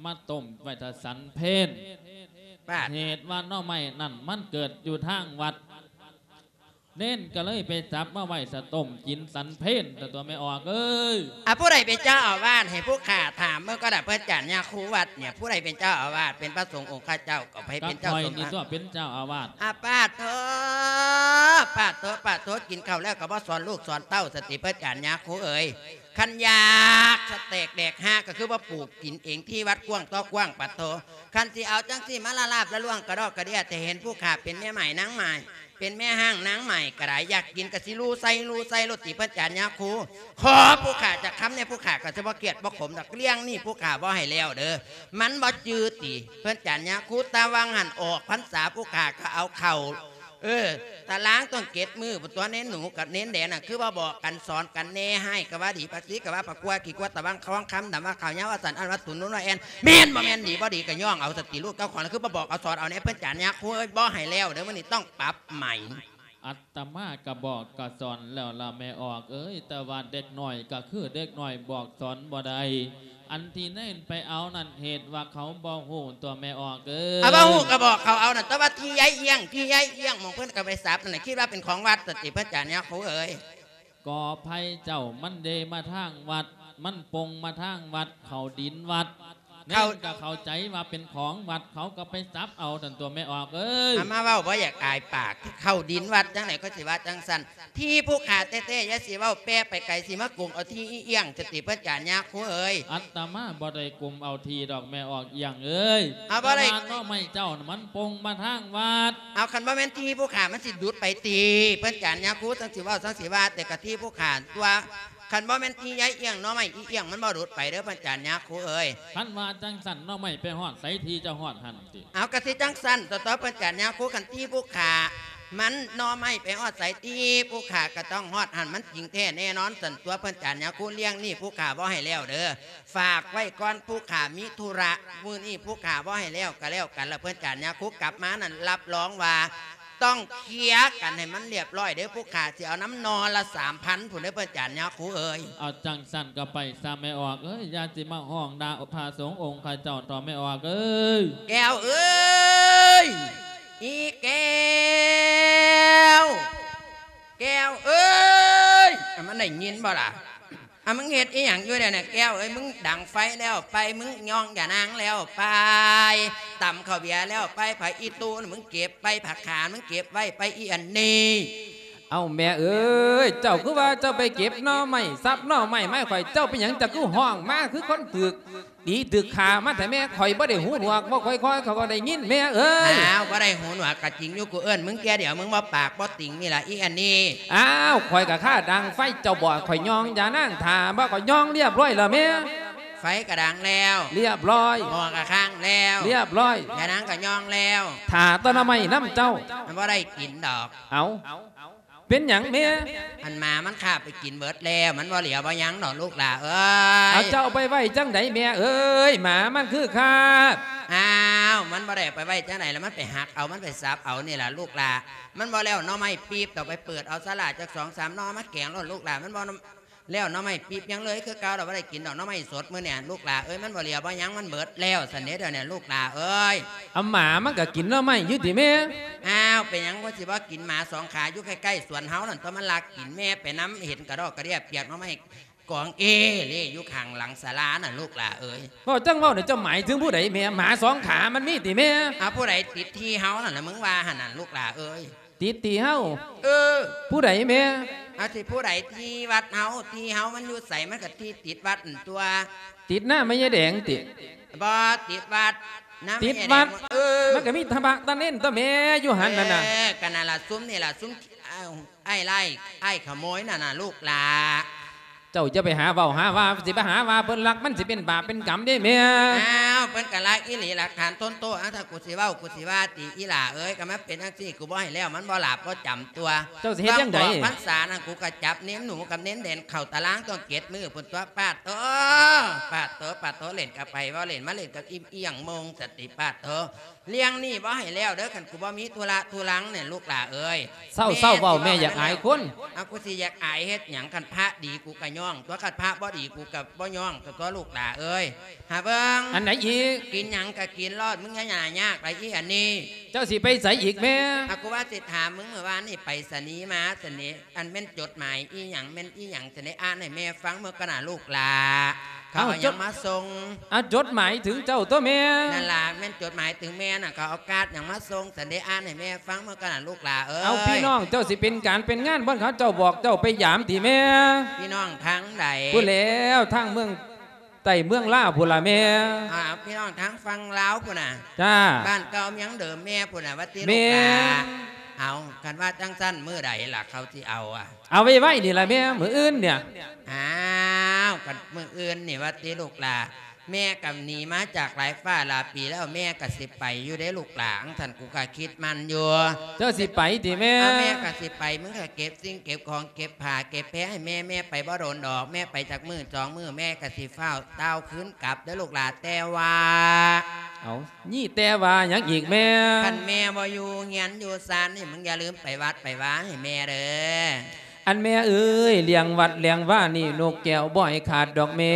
ມາຕົ້ມໄວ້ຖ້າສັນເພັນ. ປາດ. ເຫດວ່າໜໍ່ໄມ້ນັ້ນມັນເກີດຢູ່ທາງວັດ ເນນກະເລີຍໄປສັບມາໄວ້ຖ້າຕົ້ມກິນສັນເພັນ ຕາຕົວະແມ່ອອກເອີຍ. ອາ ຜູ້ໃດເປັນເຈົ້າອາວາດ? ໃຫ້ຜູ້ຂ້າຖາມເບິ່ງກ່ອນນະ ເພິ່ນຈານຍາຄູວັດນີ້ ຜູ້ໃດເປັນເຈົ້າອາວາດ? ເປັນພະສົງອົງຄະເຈົ້າ ກະໃຜເປັນເຈົ້າສົງຄະ? ຂ້ອຍນີ້ຕົວະເປັນເຈົ້າອາວາດ. ອາ ປາດໂທ ປາດໂທ ປາດໂທ ກິນເຂົ້າແລ້ວກະບໍ່ສອນລູກສອນເຕົ້າ ສະຕິ ເພິ່ນຈານຍາຄູເອີຍ. ຄັນຢາກສະແຕກແດກຮາກ ກະຄືວ່າປູກກິນເອງທີ່ວັດກວ້າງຕໍ່ກວ້າງ ປາດໂທ. ຄັນຊິເອົາຈັ່ງຊີ້ມາລະລາບລະລວງກະດອກກະເດຍ ແຕ່ເຫັນຜູ້ຂ້າເປັນແມ່ໝ້າຍນາງໝ້າຍ ເປັນແມ່ຮ້າງນາງໝ້າຍກະໄດ້ ຢາກກິນກະຊິລູໃສ່ລູໃສ່ໂລດຕິ ເພິ່ນຈານຍາຄູ. ຂໍຜູ້ຂ້າຈັກຄຳແດ່ ຜູ້ຂ້າກະຊິບໍ່ກຽດບໍ່ຂົມດອກ. ເລື່ອງນີ້ຜູ້ຂ້າບໍ່ໃຫ້ແລ້ວເດີ ມັນບໍ່ຈື່ຕິ ເພິ່ນຈານຍາຄູ. ຕາຫວ່າງຫັ້ນອອກພັນສາ ຜູ້ຂ້າກະເອົາເຂົ້າ ເອີ ຕາລາງຕ້ອງເຈັດມື້ພຸ້ນຕົວະ ເນນໜູກັບເນນແດງນະ ຄືວ່າບອກກັນສອນກັນແດ່ ຮ້າຍກະວ່າດີ ປາກສີກະວ່າປາກກົວ ຂີ້ກົວຕາຫວ່າງ ຄອງຄຳດຳວ່າຂາວ ຍາວວ່າສັ້ນ ອັນວ່າສູນ ນຸນວ່າແອ່ນ ແມ່ນບໍ່ແມ່ນ ດີບໍ່ດີກະຍ້ອງເອົາ ສະຕິລູກເຈົ້າຂອງ ຄືວ່າບອກເອົາສອນເອົາແດ່ ເພິ່ນຈານຍາຄູເອີຍ. ບໍ່ໃຫ້ແລ້ວເດີ ມື້ນີ້ຕ້ອງປັບໃໝ. ອາດຕະມາກະບອກກະສອນແລ້ວລະແມ່ອອກເອີຍ ແຕ່ວ່າເດັກນ້ອຍກະຄືເດັກນ້ອຍ ບອກສອນບໍ່ໄດ້. ອັນທີ່ເນນໄປເອົານັ້ນ ເຫດວ່າເຂົາບໍ່ຮູ້ຕົວະແມ່ອອກເອີຍ. ອາ ບໍ່ຮູ້ກະບອກເຂົາເອົານັ້ນ ແຕ່ວ່າທີ່ຍາຍອຽງ ທີ່ຍາຍອຽງໝ່ອງເພິ່ນກະໄປສັບນັ້ນນະ ຄິດວ່າເປັນຂອງວັດ ສະຕິ ເພິ່ນຈານຍາຄູເອີຍ. ຂໍອະໄພເຈົ້າ ມັນເດມາທາງວັດ ມັນປົງມາທາງວັດ ເຂົ້າດິນວັດ ເຂົ້າ ເນນກະເຂົ້າໃຈວ່າເປັນຂອງວັດ ເຂົາກະໄປສັບເອົານັ້ນຕົວະແມ່ອອກເອີຍ. ອາ ມາເວົ້າບໍ່ຢາກອາຍປາກ ເຂົ້າດິນວັດຈັ່ງໃດ ຂ້ອຍຊິວ່າຈັ່ງຊັ້ນ. ທີ່ຜູ້ຂ້າແທ້ໆ ຢ່າຊິເວົ້າແປໄປໄກ ຊິມາກຸມເອົາທີ່ອີ່ອຽງ ສະຕິ ເພິ່ນຈານຍາຄູເອີຍ. ອາດຕະມາບໍ່ໄດ້ກຸມເອົາທີ່ດອກແມ່ອອກອີ່ອຽງເອີຍ. ເອົາ ບໍ່ໄດ້ ແຕ່ວ່າໜໍ່ໄມ້ເຈົ້ານະ ມັນປົງມາທາງວັດ. ເອົາ ຄັນບໍ່ແມ່ນທີ່ຜູ້ຂ້າມັນຊິດຸດໄປຕິ ເພິ່ນຈານຍາຄູ. ຈັ່ງຊິເວົ້າ ຈັ່ງຊິວ່າ ແຕ່ກະທີ່ຜູ້ຂ້າຕົວະ. ຄັນບໍ່ແມ່ນທີ່ຍາຍອຽງ ໜໍ່ໄມ້ອີ່ອຽງມັນບໍ່ຫຼຸດໄປເດີ ເພິ່ນຈານຍາຄູເອີຍ. ຄັນວ່າຈັ່ງຊັ້ນ ໜໍ່ໄມ້ໄປຮອດໃສ ທີ່ເຈົ້າຮອດຫັ້ນຕິ. ເອົາ ກະຊິຈັ່ງຊັ້ນຕົວະ ເພິ່ນຈານຍາຄູ. ຄັນທີ່ຜູ້ຂ້າມັນ ໜໍ່ໄມ້ໄປຮອດໃສ ທີ່ຜູ້ຂ້າກະຕ້ອງຮອດຫັ້ນ ມັນຈິງແທ້ແນ່ນອນຊັ້ນຕົວະ ເພິ່ນຈານຍາຄູ. ເລື່ອງນີ້ຜູ້ຂ້າບໍ່ໃຫ້ແລ້ວເດີ ຝາກໄວ້ກ່ອນ ຜູ້ຂ້າມີທຸລະ ມື້ນີ້ຜູ້ຂ້າບໍ່ໃຫ້ແລ້ວກະແລ້ວກັນລະ ເພິ່ນຈານຍາຄູ. ກັບມານັ້ນ ຮັບຮອງວ່າ ຕ້ອງເຄຍກັນໃຫ້ມັນລຽບຮ້ອຍເດີ ຜູ້ຂ້າຊິເອົານຳໜໍ່ລະສາມພັນພຸ້ນເດີ ເພິ່ນຈານຍາຄູເອີຍ. ເອົາ ຈັ່ງຊັ້ນກະໄປຊະແມ່ອອກເອີຍ ຢ່າຊິມາຮ້ອງດ່າພະສົງອົງຄະເຈົ້າເຖາະແມ່ອອກເອີຍ. ແກ້ວເອີຍ ອີແກ້ວ ແກ້ວເອີຍ ມັນໄດ້ຍິນບໍ່ລະ? ອ່ະ ມຶງເຮັດອີ່ຫຍັງຢູ່ດຽວນີ້ ແກ້ວເອີຍ? ມຶງດັງໄຟແລ້ວໄປ? ມຶງຍ້ອງຢານາງແລ້ວໄປ? ຕຳເຂົ້າເບຍແລ້ວໄປ? ຜັກອີ່ຕູ່ນະ ມຶງເກັບໄປ? ຜັກຂາ ມຶງເກັບໄວ້ໄປ? ອີ່ອັນນີ້ ເອົ້າ ແມ່ເອີຍ ເຈົ້າຄືວ່າເຈົ້າໄປເກັບໜໍ່ໄມ້ ສັບໜໍ່ໄມ້ມາໃຫ້ຂ້ອຍ ເຈົ້າເປັນຫຍັງ ເຈົ້າຄືຮ້ອງມາຄືຄົນຖືກຕີຖືກຂ້າມາແທ້ແມ່? ຂ້ອຍບໍ່ໄດ້ຫູໜວກ ເວົ້າຄ່ອຍໆ ຂ້ອຍກໍໄດ້ຍິນແມ່ເອີຍ. ອ້າວ ບໍ່ໄດ້ຫູໜວກກໍຈິງຢູ່ ກູເອີ້ນມຶງເທື່ອດຽວ ມຶງບໍ່ປາກບໍ່ຕິງນີ້ລະ ອີ່ອັນນີ້. ອ້າວ ຂ້ອຍກໍຄາດັງໄຟ ເຈົ້າບອກຂ້ອຍຍ້ອງຢານາງຖ້າບໍ່ ຂ້ອຍຍ້ອງລຽບຮ້ອຍແລ້ວແມ່. ໄຟກໍດັງແລ້ວ ລຽບຮ້ອຍ. ໝໍ້ກໍຄ້າງແລ້ວ ລຽບຮ້ອຍ. ຢານາງກໍຍ້ອງແລ້ວ. ຖ້າແຕ່ໜໍ່ໄມ້ນຳເຈົ້າ ມັນບໍ່ໄດ້ກິນດອກ. ເອົ້າ ເປັນຫຍັງແມ່? ອັນໝາມັນຄາບໄປກິນເບິດແລ້ວ ມັນບໍ່ເຫຼືອບໍ່ຫຍັງດອກລູກຫຼ້າເອີຍ. ເອົາ ເຈົ້າເອົາໄປໄວ້ຈັ່ງໃດແມ່ເອີຍ? ໝາມັນຄືຄາບ. ອ້າວ ມັນບໍ່ໄດ້ເອົາໄປໄວ້ຈັ່ງໃດລະ ມັນໄປຫັກເອົາ ມັນໄປສັບເອົານີ້ລະລູກຫຼ້າ. ມັນບໍ່ແລ້ວໜໍ່ໄມ້ປີບດອກ ໄປເປີດເອົາສາລາຈັກສອງສາມໜໍ່ມາແກງໂລດລູກຫຼ້າ. ມັນບໍ່ແລ້ວໜໍ່ໄມ້ປີບຍັງເລີຍຄືເກົ່າດອກ ບໍ່ໄດ້ກິນດອກໜໍ່ໄມ້ສົດມື້ນີ້ລູກຫຼ້າເອີຍ. ມັນບໍ່ເຫຼືອບໍ່ຫຍັງ ມັນເບິດແລ້ວຊັ້ນເດ້ດຽວນີ້ລູກຫຼ້າເອີຍ. ເອົາ ໝາມັນກໍກິນໜໍ່ໄມ້ຢູ່ຕິແມ່? ອ້າວ ເປັນຫຍັງມັນຊິບໍ່ກິນ? ໝາສອງຂາຢູ່ໃກ້ໆສວນເຮົານັ້ນຕົວະ ມັນລັກກິນ. ແມ່ໄປນຳ ເຫັນກະດອກກະເດຍປຽກໜໍ່ໄມ້ກອງເອເລຢູ່ຂ້າງຫຼັງສາລານັ້ນລູກຫຼ້າເອີຍ. ເວົ້າຈັ່ງເວົ້ານີ້ ເຈົ້າໝາຍເຖິງຜູ້ໃດແມ່? ໝາສອງຂາມັນມີຕິແມ່? ເອົາ ຜູ້ໃດຕິດທີ່ເຮົານັ້ນລະ ມຶງວ່າຫັ້ນນະລູກຫຼ້າເອີຍ. ຕິດທີ່ເຮົາ? ເອີ. ຜູ້ໃດແມ່? ເອົາ ຊິຜູ້ໃດ? ທີ່ວັດເຮົາ ທີ່ເຮົາມັນຢູ່ໃສ? ມັນກໍທີ່ຕິດວັດຫັ້ນຕົວະ. ຕິດນາແມ່ຍາຍແດງຕິ? ບໍ່ ຕິດວັດ ນາແມ່ຍາຍແດງ. ຕິດວັດ? ເອີ ມັນກໍມີພະຕາເນນຕົວະແມ່ ຢູ່ຫັ້ນນັ້ນນະ. ເອີ ກໍນັ້ນລະ ຊຸມນີ້ລະ ຊຸມ ອ້າຍໄລ່ ອ້າຍຂະໂມຍນັ້ນນະລູກຫຼ້າ. ເຈົ້າຢ່າໄປຫາເວົ້າຫາວ່າ ຊິໄປຫາວ່າເພິ່ນລັກ ມັນຊິເປັນບາບເປັນກຳເດ້ແມ່. ອ້າວ ເພິ່ນກໍລັກອີ່ຫຼີ ຫຼັກຖານທົນໂທດ. ເອົາ ຖ້າກູຊິເວົ້າ ກູຊິວ່າຕິ ອີ່ຫຼ້າເອີຍ ກໍມັນເປັນຈັ່ງຊີ້ ກູບໍ່ໃຫ້ແລ້ວ ມັນບໍ່ຫຼາບບໍ່ຈຳຕົວະ. ເຈົ້າຊິເຮັດຈັ່ງໃດ? ຕອນອອກພັນສານັ້ນ ກູກໍຈັບເນນໜູກັບເນນແດງເຂົ້າຕາລາງ ຕ້ອງເຈັດມື້ພຸ້ນຕົວະ. ປາດໂທ້ ປາດໂທ້ ປາດໂທ້ ເຫຼັ້ນກັບໃຜ ເວົ້າເຫຼັ້ນມາເຫຼັ້ນກັບອີ່ມ ອີ່ຫຍັງໂມງສະຕິ ປາດໂທ້. ລ້ຽງໜີ້ບໍ່ໃຫ້ແລ້ວເດີ ຄັນກູບໍ່ມີທຸລະທຸລັງນີ້ລູກຫຼ້າເອີຍ. ເຊົາ ເຊົາເວົ້າແມ່ ຢ່າອາຍຄົນ. ເອົາ ກູຊິຢາກອາຍເຮັດຫຍັງ? ຄັນພະດີກູກໍຍ້ອງຕົວະ ຄັນພະບໍ່ດີກູກໍບໍ່ຍ້ອງຕົວະລູກຫຼ້າເອີຍ. ຫາເບິ່ງ ອັນໃດອີກ? ກິນຫຍັງກໍກິນໂລດ ມຶງຢ່າຍາກຫຼາຍອີ່ອັນນີ້. ເຈົ້າຊິໄປໃສອີກແມ່? ອາ ກູວ່າຊິຖາມມຶງ ມື້ວານນີ້ໄປສະນີມາ ສະນີ ອັນແມ່ນຈົດໝາຍອີ່ຫຍັງ ແມ່ນອີ່ຫຍັງ ສະນີ ອ່ານໃຫ້ແມ່ຟັງເບິ່ງກ່ອນນະລູກຫຼ້າ. ເຂົາເອົາຫຍັງມາສົ່ງ? ເອົາ ຈົດໝາຍເຖິງເຈົ້າຕົວະແມ່. ນັ້ນລະ ແມ່ນຈົດໝາຍເຖິງແມ່ນະ ເຂົາເອົາກາດຫຍັງມາສົ່ງ ສະນີ ອ່ານໃຫ້ແມ່ຟັງເບິ່ງກ່ອນນະລູກຫຼ້າເອີຍ. ເອົາ ພີ່ນ້ອງເຈົ້າຊິເປັນການເປັນງານບ່ອນເຂົາເຈົ້າບອກເຈົ້າໄປຢາມຕິແມ່? ພີ່ນ້ອງທາງໃດ? ພຸ້ນແລ້ວ ທາງເມືອງໃຕ້ເມືອງລາວພຸ້ນລະແມ່. ອ່າ ພີ່ນ້ອງທາງຝັ່ງລາວພຸ້ນນະ. ຈ້າ. ບ້ານເກົ່າເມືອງເດີມແມ່ພຸ້ນນະ ວ່າຕິລູກຫຼ້າ. ເອົາ ຄັນວ່າຈັ່ງຊັ້ນ ມື້ໃດລະເຂົາຊິເອົາອະ? ເອົາໄວໆນີ້ລະແມ່ ມື້ອື່ນນີ້. ອ້າວ ຄັນມື້ອື່ນນີ້ວ່າຕິລູກຫຼ້າ. ແມ່ກໍໜີມາຈາກຫຼາຍຟ້າຫຼາຍປີແລ້ວ ແມ່ກໍຊິໄປຢູ່ເດ້ລູກຫຼ້າ. ຈັ່ງຊັ້ນ ກູກໍຄິດໝັ້ນຢູ່. ເຈົ້າຊິໄປຕິແມ່? ອ່າ ແມ່ກໍຊິໄປ ມຶງກໍເກັບສິ່ງເກັບຂອງ ເກັບຜ້າເກັບແພໃຫ້ແມ່. ແມ່ໄປບໍ່ດົນດອກ ແມ່ໄປຈັກມື້ສອງມື້ ແມ່ກໍຊິຟ້າວຕ່າວຄືນກັບເດີລູກຫຼ້າ. ແຕ່ວ່າ ເອົາ ມີແຕ່ວ່າຫຍັງອີກແມ່? ຄັນແມ່ບໍ່ຢູ່ເຮືອນຢູ່ຊານນີ້ ມຶງຢ່າລືມໄປວັດໄປວາໃຫ້ແມ່ເດີ. ອັນແມ່ເອີຍ ລ້ຽງວັດລ້ຽງວານີ້ ນົກແກ້ວບໍ່ໃຫ້ຂາດດອກແມ່.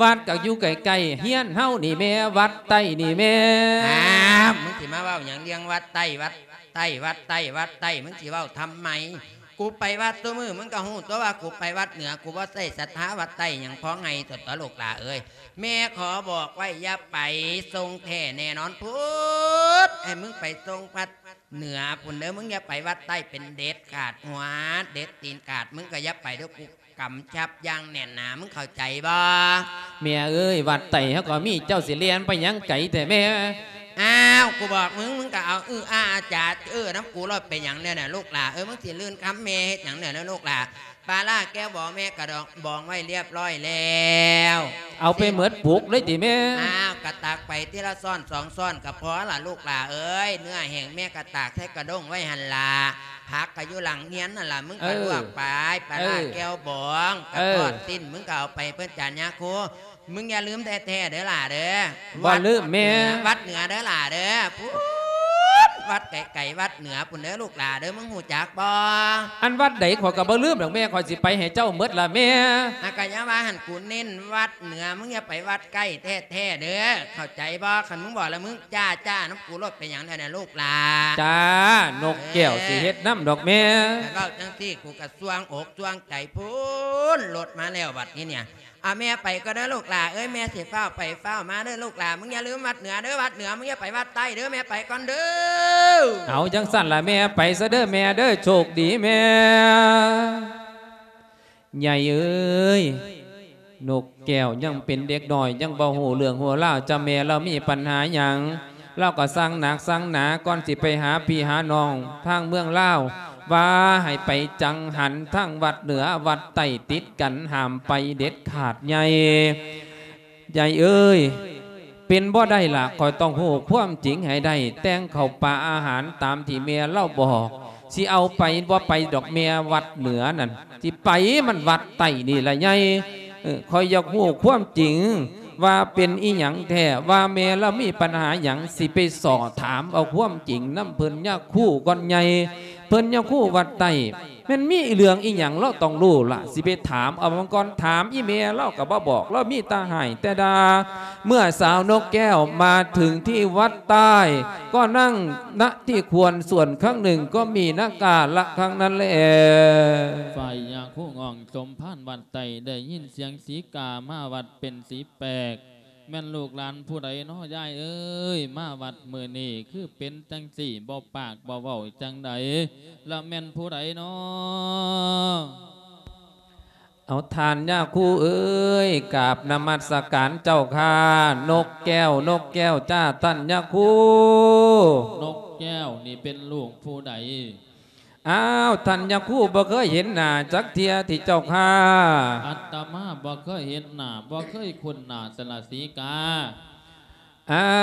ວັດກໍຢູ່ໃກ້ໆເຮືອນເຮົານີ້ແມ່ ວັດໃຕ້ນີ້ແມ່. ອ້າວ ມຶງຊິມາເວົ້າຫຍັງ ລ້ຽງວັດໃຕ້ ວັດໃຕ້ ວັດໃຕ້ ວັດໃຕ້ ມຶງຊິເວົ້າທຳໄມ? ກູໄປວັດຊຸມື້ ມຶງກໍຮູ້ຕົວະວ່າກູໄປວັດເໜືອ ກູບໍ່ໃສ່ສັດທາວັດໃຕ້ຫຍັງ. ພໍໄງຕົວະລູກຫຼ້າເອີຍ. ແມ່ຂໍບອກໄວ້ ຢ່າໄປຊົງແທ້ແນ່ນອນພຸ້ນ ໃຫ້ມຶງໄປຊົງວັດເໜືອພຸ້ນເດີ. ມຶງຢ່າໄປວັດໃຕ້ເປັນເດັດຂາດ ຫົວເດັດຕີນຂາດ ມຶງກໍຢ່າໄປເດີ. ກູກຳຊັບຢ່າງແໜ້ນໜາ ມຶງເຂົ້າໃຈບໍ່? ແມ່ເອີຍ ວັດໃຕ້ເຮົາກໍມີ ເຈົ້າຊິແລ່ນໄປຫຍັງໄກແທ້ແມ່? ອ້າວ ກູບອກມຶງ ມຶງກໍເອົາ ອື ອາ ອາ ຈາ ເອີ ນຳກູໂລດ. ເປັນຫຍັງແນວນັ້ນລູກຫຼ້າເອີຍ? ມຶງຊິລື່ນຄຳແມ່ເຮັດຫຍັງແນວນັ້ນລູກຫຼ້າ? ປາຫຼ້າແກ້ວບອງແມ່ກະດອງບອງໄວ້ລຽບຮ້ອຍແລ້ວ. ເອົາໄປໝົດປຸກເລີຍຕິແມ່? ອ້າວ ກະຕັກໄປທີລະຊ້ອນສອງຊ້ອນກະພໍລະລູກຫຼ້າເອີຍ. ເນື້ອແຫ້ງແມ່ກະຕາກໃສ່ກະດ້ງໄວ້ຫັ້ນລະ. ຜັກກະຢູ່ຫຼັງເຮືອນຫັ້ນລະ ມຶງກະລວກໄປ. ເອີ ປາຫຼ້າແກ້ວບອງ ເອີ ກະທອດຊີ້ນ ມຶງກະເອົາໄປເພິ່ນຈານຍາຄູ. ມຶງຢ່າລືມແທ້ໆເດີຫຼ້າເດີ. ບໍ່ລືມແມ່. ວັດເໜືອ ວັດເໜືອເດີຫຼ້າເດີ. ພຸ້ນ ວັດໄກໆ ວັດເໜືອພຸ້ນເດີລູກຫຼ້າເດີ ມຶງຮູ້ຈັກບໍ່? ອັນວັດໃດຂ້ອຍກໍບໍ່ລືມດອກແມ່ ຂ້ອຍຊິໄປໃຫ້ເຈົ້າໝົດລະແມ່. ອາ ກໍຢ່າວ່າຫັ້ນ ກູເນັ້ນວັດເໜືອ ມຶງຢ່າໄປວັດໃກ້ແທ້ໆເດີ ເຂົ້າໃຈບໍ່? ຄັນມຶງບອກແລ້ວ ມຶງຈ້າໆນຳກູໂລດ. ເປັນຫຍັງແລ້ວນະລູກຫຼ້າ? ຈ້າ ນົກແກ້ວ ເອີ ຊິເຮັດນຳດອກແມ່. ເອີ ຄັນເວົ້າຈັ່ງຊີ້ ກູກໍສ່ວງອົກສ່ວງໃຈພຸ້ນ ລົດມາແລ້ວບັດນີ້ເນຍ. ອາ ແມ່ໄປກ່ອນເດີລູກຫຼ້າເອີຍ ແມ່ຊິຟ້າວໄປຟ້າວມາເດີລູກຫຼ້າ. ມຶງຢ່າລືມວັດເໜືອເດີ ວັດເໜືອ ມຶງຢ່າໄປວັດໃຕ້ເດີ ແມ່ໄປກ່ອນເດີ. ເອົາ ຈັ່ງຊັ້ນລະແມ່ ໄປຊະເດີແມ່ເດີ ໂຊກດີແມ່. ໃຫຍ່ເອີຍ ນົກແກ້ວຍັງເປັນເດັກນ້ອຍ ຍັງບໍ່ຮູ້ເລື່ອງຮູ້ລາວ ຈະແມ່ລາວມີປັນຫາຫຍັງ ລາວກໍສັ່ງໜັກສັ່ງໜາ ກ່ອນຊິໄປຫາພີ່ຫານ້ອງທາງເມືອງລາວ ວ່າໃຫ້ໄປຈັງຫັນທາງວັດເໜືອວັດໃຕ້ຕິດກັນ ຫ້າມໄປເດັດຂາດໃຫຍ່. ໃຫຍ່ເອີຍ ເປັນບໍ່ໄດ້ລະ ຂ້ອຍຕ້ອງຮູ້ຄວາມຈິງໃຫ້ໄດ້ ແຕ່ງເຂົ້າປາອາຫານຕາມທີ່ແມ່ລາວບອກ. ຊິເອົາໄປບໍ່ໄປດອກແມ່ ວັດເໜືອນັ້ນ ຊິໄປມັນວັດໃຕ້ນີ້ລະໃຫຍ່. ເອີ ຂ້ອຍຢາກຮູ້ຄວາມຈິງ ວ່າເປັນອີ່ຫຍັງແທ້ ວ່າແມ່ລາວມີປັນຫາຫຍັງ ຊິໄປສໍ້ຖາມເອົາຄວາມຈິງນຳເພິ່ນຍາຄູກ່ອນໃຫຍ່. ເພິ່ນຍາຄູວັດໃຕ້ ແມ່ນມີເລື່ອງອີ່ຫຍັງລາວຕ້ອງຮູ້ລະ ຊິໄປຖາມເອົາມັນກ່ອນ. ຖາມອີ່ແມ່ລາວກໍບໍ່ບອກ ລາວມີແຕ່ຮ້າຍແຕ່ດ່າ. ເມື່ອສາວນົກແກ້ວມາເຖິງທີ່ວັດໃຕ້ ກໍນັ່ງນະທີ່ຄວນສ່ວນຂ້າງໜຶ່ງ ກໍມີນະກາລະຂ້າງນັ້ນແລ. ຝ່າຍຍາຄູງອງສົມພານວັດໃຕ້ ໄດ້ຍິນສຽງສີກາມາວັດເປັນສີແປກ ແມ່ນລູກຫຼານຜູ້ໃດນໍຍາຍເອີຍ ມາວັດມື້ນີ້ຄືເປັນຈັ່ງຊີ້ ບໍ່ປາກບໍ່ເວົ້າຈັ່ງໃດ ລະແມ່ນຜູ້ໃດນໍ? ເອົາ ທ່ານຍາຄູເອີຍ ກາບນະມັດສະການເຈົ້າຂ້າ. ນົກແກ້ວ ນົກແກ້ວຈ້າ ທ່ານຍາຄູ. ນົກແກ້ວນີ້ເປັນລູກຜູ້ໃດ? ອ້າວ ທ່ານຍາຄູບໍ່ເຄີຍເຫັນໜ້າຈັກເທື່ອຕິເຈົ້າຂ້າ? ອາດຕະມາບໍ່ເຄີຍເຫັນໜ້າ ບໍ່ເຄີຍຄຸ້ນໜ້າສະລະສີກາ. ອ້າ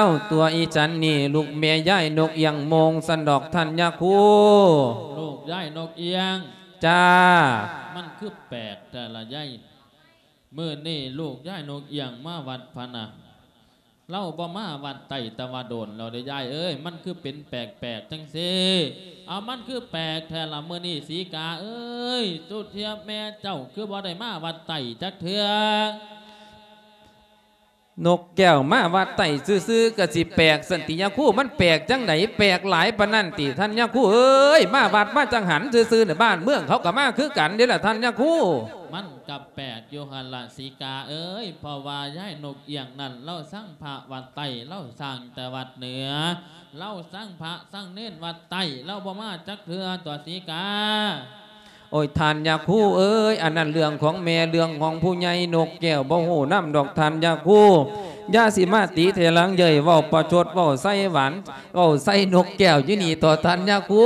ວ ຕົວອີ່ສັນນີ້ລູກແມ່ຍາຍນົກອຽງໂມງຊັ້ນດອກທ່ານຍາຄູ. ລູກຍາຍນົກອຽງ. ຈ້າ. ມັນຄືແປກແທ້ລະຍາຍ ມື້ນີ້ລູກຍາຍນົກອຽງມາວັດພະນະ. ລາວບໍ່ມາວັດໃຕ້ແຕ່ວ່າດົນແລ້ວເດ້ຍາຍເອີຍ ມັນຄືເປັນແປກໆຈັ່ງຊີ້? ເອົາ ມັນຄືແປກແທ້ລະມື້ນີ້ສີກາເອີຍ ສຸເທຍແມ່ເຈົ້າຄືບໍ່ໄດ້ມາວັດໃຕ້ຈັກເທື່ອ? ນົກແກ້ວມາວັດໃຕ້ຊື່ໆ ກະຊິແປກຊັ້ນຕິຍາຄູ? ມັນແປກຈັ່ງໃດ ແປກຫຼາຍປານນັ້ນຕິທ່ານຍາຄູເອີຍ? ມາວັດມາຈັງຫັນຊື່ໆ ໃນບ້ານເມືອງເຂົາກະມາຄືກັນເດ້ລະທ່ານຍາຄູ. ມັນກະແປກຢູ່ຫັ້ນລະສີກາເອີຍ ເພາະວ່າຍາຍນົກອຽງນັ້ນ ລາວສັງພະວັດໃຕ້ ລາວສ້າງແຕ່ວັດເໜືອ ລາວສັງພະສັງເນນວັດໃຕ້ ລາວບໍ່ມາຈັກເທື່ອຕົວະສີກາ. ໂອ້ຍ ທ່ານຍາຄູເອີຍ ອັນນັ້ນເລື່ອງຂອງແມ່ ເລື່ອງຂອງຜູ້ໃຫຍ່ ນົກແກ້ວບໍ່ຮູ້ນຳດອກທ່ານຍາຄູ. ຢ່າຊິມາຕິເຖລັງເຍີ້ຍ ເວົ້າປະຊົດ ເວົ້າໃສ່ຫວານ ເວົ້າໃສ່ນົກແກ້ວຢູ່ນີ້ເຖາະທ່ານຍາຄູ.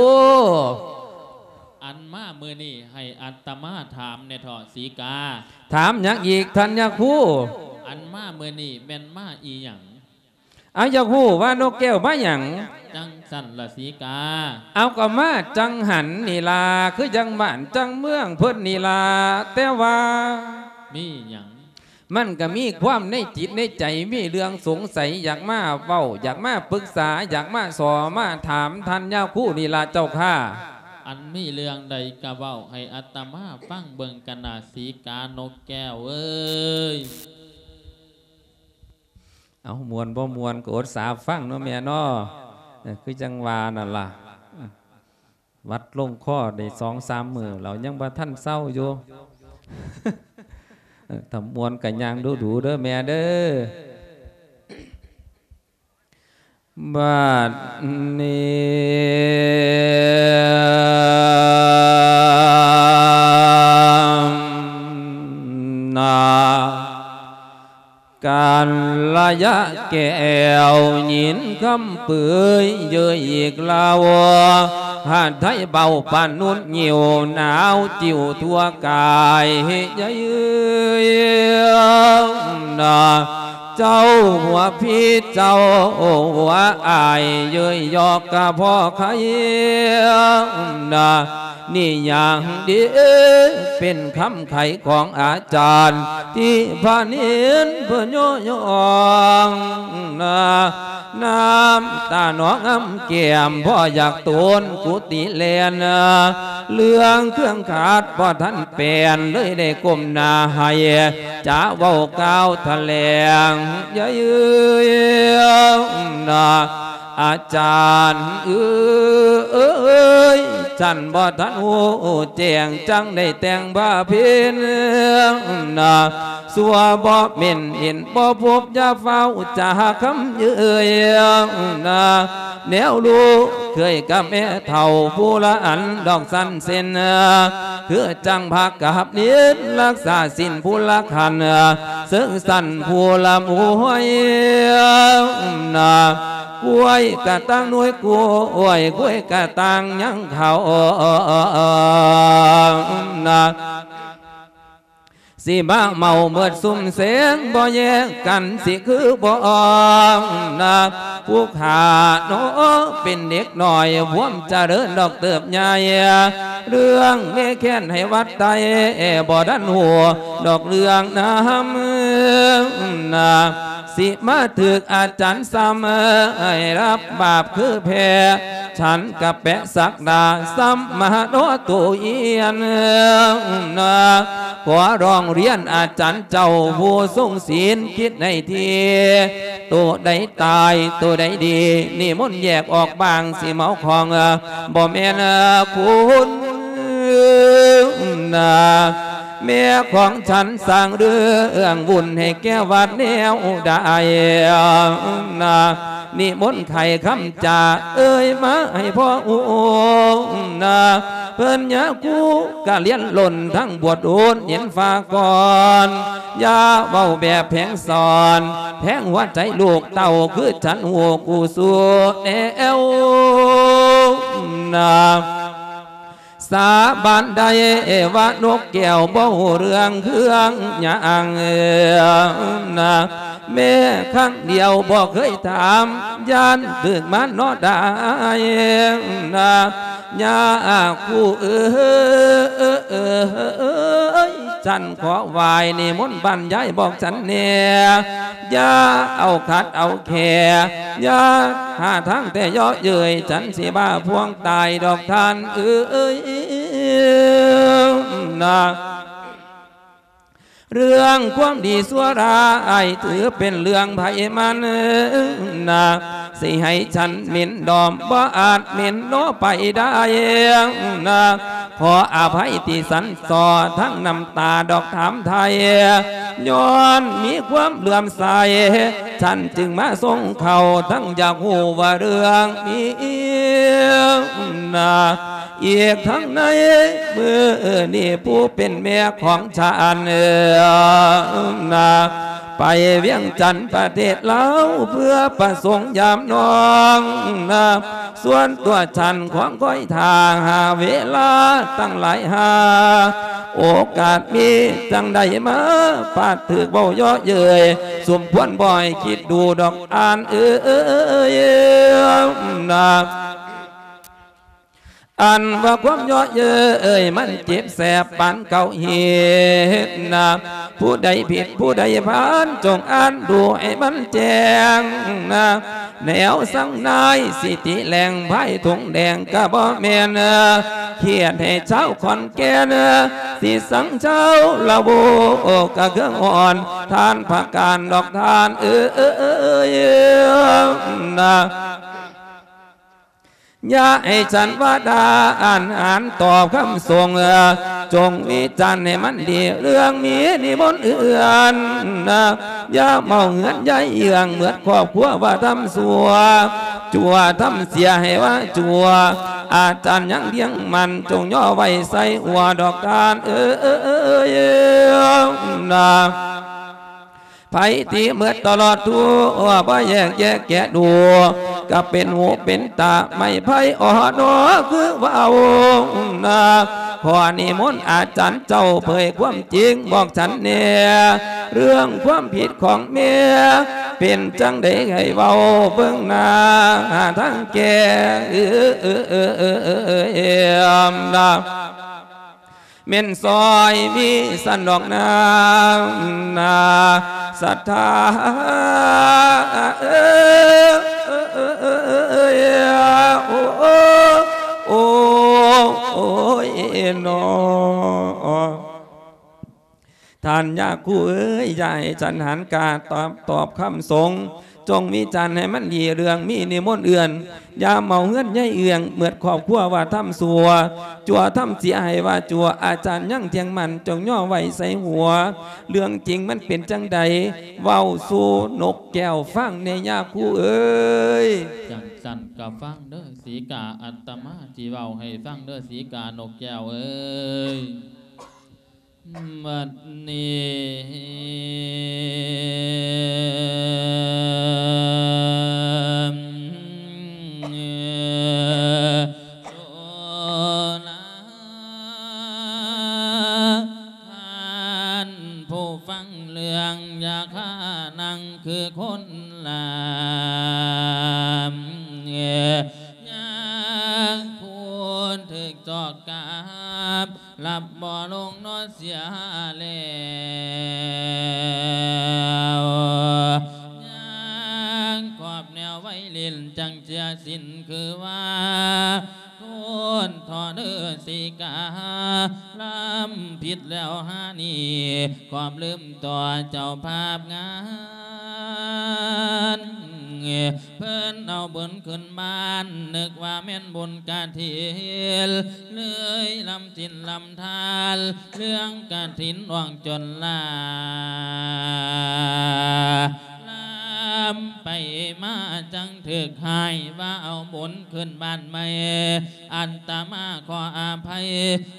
ອັນມາມື້ນີ້ໃຫ້ອາດຕະມາຖາມແດ່ເຖາະສີກາ. ຖາມຫຍັງອີກທ່ານຍາຄູ? ອັນມາມື້ນີ້ແມ່ນມາອີ່ຫຍັງ? ອາ ຢາກຮູ້ວ່ານົກແກ້ວມາຫຍັງ? ຈັ່ງຊັ້ນລະສີກາ. ເອົາ ກໍມາຈັງຫັນນີ້ລະ ຄືຈັ່ງບ້ານຈັ່ງເມືອງເພິ່ນນີ້ລະ ແຕ່ວ່າ ມີຫຍັງ? ມັນກະມີຄວາມໃນຈິດໃນໃຈ ມີເລື່ອງສົງໄສ ຢາກມາເວົ້າ ຢາກມາປຶກສາ ຢາກມາສໍ້ມາຖາມທ່ານຍາຄູນີ້ລະເຈົ້າຂ້າ. ອັນມີເລື່ອງໃດກະເວົ້າໃຫ້ອາດຕະມາຟັງເບິ່ງກັນນາ ສີການົກແກ້ວເອີຍ. ເອົາ ມ່ວນບໍ່ມ່ວນກໍອົດສາຟັງເນາະແມ່ເນາະ. ເອີ ຄືຈັ່ງວ່ານັ້ນລະ ຫວັດລົງຄໍໄດ້ສອງສາມມື້ແລ້ວ ຍັງບໍ່ທັນເຊົາຢູ່. ເອີ ຖ້າມ່ວນກໍຍ່າງດູໆເດີແມ່ເດີ. ບັດນີ້ນາ ກັນລະຍະແກ້ວຍິນຄຳເປີຍເຍີຍອີກລາວ ຫາດໄທເບົາປານຸດຍິວ ໜາວຈິ້ວທົ່ວກາຍເຮຍເອີຍນາ. ເຈົ້າຫົວພີເຈົ້າຫົວອາຍ ເຍີຍຢອກກະພໍໄຄນາ. ນີ້ຢ່າງດີ ເປັນຄຳໄຂຂອງອາຈານ ທີ່ພະເນນເພິ່ນຍໍຍ້ອງນາ ນ້ຳຕາໜອງອຳແກ້ມ ບໍ່ຢາກໂຕນກຸຕິແລ່ນ ເລື່ອງເຄື່ອງຂາດບໍ່ທັນແປນ ເລີຍໄດ້ກົ້ມໜ້າໃຫ້ ຈະເວົ້າກ່າວຖະແຫຼງ ຢ່າເອີຍນາ ອາຈານເອີຍ ສັນບໍ່ທັນຮູ້ແຈ້ງ ຈັ່ງໄດ້ແຕ່ງບຳເພັນນາ ຊົ່ວບໍ່ເໝັນເຫັນບໍ່ພົບ ຢ່າຟ້າວຈາຄຳເຍີ້ຍນາ ແນວລູກເຄີຍກັບແມ່ເຖົ້າຜູ້ລະອັນດອກສັນເຊັ່ນ ຄືຈັ່ງພາກັບເນນ ລັກສາສິນຜູ້ລະຂັນ ເຊິ່ງສັນຜູ້ລະມວຍນາ ກ້ວຍກະຕ່າງໜ່ວຍກ້ວຍ ກ້ວຍກະຕ່າງຍັງເຂົ້ານາ ຊິມາເມົາເໝິດຊຸມແສງ ບໍ່ແຍກກັນຊິຄືບໍ່ນາ ຜູ້ຂ້າເນາະ ເປັນເດັກນ້ອຍ ພວມຈະເລີນດອກເຕີບໃຫຍ່ ເລື່ອງແມ່ແຄ້ນໃຫ້ວັດໄຕ ບໍ່ທັນຮູ້ດອກເລື່ອງນຳນາ ຊິມາຖືກອາຈານຊ້ຳ ໃຫ້ຮັບບາບຄືແພ້ ສັນກະແປະສັກດາ ຊ້ຳມາເນາະໂຕຮຽນນາ ຂໍຮ້ອງຮຽນອາຈານເຈົ້າຜູ້ຊົງສິນ ຄິດໃຫ້ດີ ໂຕໃດຕາຍ ໂຕໃດດີ ນິມົນແຍກອອກບາງ ຊິເມົາຂອງ ບໍ່ແມ່ນຄຸນນາ ແມ່ຂອງສັນສ້າງເລື່ອງວຸ່ນໃຫ້ແກ່ວັດແນວໃດນາ ນິມົນໄຂຄຳຈາເອີຍມາໃຫ້ພໍ່ຮູ້ນາ ເພິ່ນຍາຄູກະລຽນລົ້ນທັງບວດໂອນເຫັນຟ້າກ່ອນ ຢ່າເວົ້າແບບແຜງສອນ ແທງຫົວໃຈລູກເຕົ້າ ຄືສັນຮູ້ກູສູ່ແນວນາ ສາບານໄດ້ວ່ານົກແກ້ວບໍ່ຮູ້ເລື່ອງເຄື່ອງຫຍັງນາ ແມ້ຄັ້ງດຽວບໍ່ເຄີຍຖາມ ຢ້ານຖືກມານເນາະໄດ້ນາ ຍາຄູເອີຍ ສັນຂໍໄຫວ້ນິມົນບັນຍາຍບອກສັນແດ່ ຢ່າເອົາຂັດເອົາແຂ້ ຢ່າຫາທາງແຕ່ເຍາະເຍີ້ຍ ສັນຊິບ້າພວງຕາຍດອກທ່ານເອີຍນາ ເລື່ອງຄວາມດີຊົ່ວຮ້າຍ ຖືເປັນເລື່ອງໃຜມັນນາ ຊິໃຫ້ສັນເໝັນດອມ ບໍ່ອາດເໝັນເນາະໄປໄດ້ນາ ຂໍອະໄພທີ່ສັນສໍ້ ທັງນ້ຳຕາດອກຖາມໄຖ່ ຍ້ອນມີຄວາມເຫຼື້ອມໃສ ສັນຈຶ່ງມາສົ່ງເຂົ້າ ທັງຢາກຮູ້ວ່າເລື່ອງມີນາ ອີກທັງໃນມື້ນີ້ ຜູ້ເປັນແມ່ຂອງສັນນາ ໄປວຽງຈັນປະເທດລາວ ເພື່ອປະສົງຢາມນ້ອງນາ ສ່ວນຕົວສັນຂວາງຄອຍຖ້າຫາເວລາຕັ້ງຫຼາຍຫາ ໂອກາດມີຈັ່ງໃດມາ ປາດຖືກເວົ້າເຍາະເຍີ້ຍ ສົມຄວນບໍ່ໃຫ້ຄິດດູດອກທ່ານເອີຍນາ ອັນວ່າຄວາມເຍາະເຍີ້ຍມັນເຈັບແສບປານເກົາເຫັດນາ ຜູ້ໃດຜິດຜູ້ໃດພານ ຈົ່ງອ່ານດູໃຫ້ມັນແຈ້ງນາ ແນວສັງນາຍສິຕິແຫຼງ ພາຍຖົງແດງກະບໍ່ແມ່ນ ຄຽດໃຫ້ຊາວຂອນແກ່ນ ສິສັງຊາວລາວກະເຄືອງອ່ອນ ທ່ານພະການດອກທ່ານເອີຍນາ ຢ່າໃຫ້ສັນວ່າດາອ່ານຫານຕອບຄຳຊົງ ຈົ່ງວິຈານໃຫ້ມັນດີ ເລື່ອງມີນິມົນເອື້ອນນາ ຢ່າເມົາເຮືອນຢາຍເຍືອງ ເໝິດຄອບຄົວວ່າທຳຊົ່ວ ຊົ່ວທຳເສຍໃຫ້ວ່າຊົ່ວ ອາຈານຍັງດຽງໝັ້ນ ຈົ່ງຍໍໄວ້ໃສ່ຫົວດອກທ່ານເອີຍນາ ໃຜທີ່ເໝິດຕະຫຼອດທົ່ວ ບໍ່ແຍກແຍະແກະດູ ກະເປັນຫູເປັນຕາ ໄມ້ໄຜ່ອໍນໍ ຄືວ່າເອົານາ ຂໍນິມົນອາຈານເຈົ້າເຜີຍຄວາມຈິງບອກສັນແດ່ ເລື່ອງຄວາມຜິດຂອງແມ່ ເປັນຈັ່ງໃດໃຫ້ເວົ້າເບິ່ງໜ້າທາງແກ້ນາ ແມ່ນຊອຍມີສັນດອກນາ ນາສັດທາເອີຍ ໂອ້ ໂອ້ ໂອ້ຍນໍ. ທ່ານຍາຄູເອີຍ ຢ່າໃຫ້ສັນຫານກາຕອບ ຕອບຄຳສົງ ຈົ່ງວິຈານໃຫ້ມັນດີເລື່ອງມີນິມົນເອື້ອນ ຢ່າເມົາເຮືອນໃຫຍ່ເອື້ອງ ເໝິດຄອບຄົວວ່າທຳຊົ່ວ ຊົ່ວທຳເສຍໃຫ້ວ່າຊົ່ວ ອາຈານຍັງທ່ຽງໝັ້ນ ຈົ່ງຍໍໄວ້ໃສ່ຫົວ ເລື່ອງຈິງມັນເປັນຈັ່ງໃດ ເວົ້າສູ່ນົກແກ້ວຟັງແດ່ຍາຄູເອີຍ. ຈັ່ງຊັ້ນກໍຟັງເດີສີກາ ອາດຕະມາຊິເວົ້າໃຫ້ຟັງເດີສີການົກແກ້ວເອີຍ. ບັດນີ້ສຸລາ ທ່ານຜູ້ຟັງເລື່ອງ ຢ່າຂ້ານັ່ງຄືຄົນລາມ ຍາຄູຖືກຈອກກັບ ຫຼັບບໍ່ລົງນອນເສຍແລ້ວ ຍັງຄອບແນວໄວຫຼິ້ນ ຈັ່ງເສຍສິ້ນຄືວ່າ ໂທດທໍເດີສີກາ ລຳຜິດແລ້ວຫານີ້ ຄວາມລືມຕໍ່ເຈົ້າພາບງານ ເພິ່ນເອົາບຸນຂຶ້ນບ້ານ ນຶກວ່າແມ່ນບຸນກະຖິນ ເລີຍລຳສິນລຳທານ ເລື່ອງກະຖິນອອກຈົນລາ ລຳໄປມາຈັ່ງຖືກໃຫ້ວ່າເອົາບຸນຂຶ້ນບ້ານໃໝ່ ອາດຕະມາຂໍອະໄພ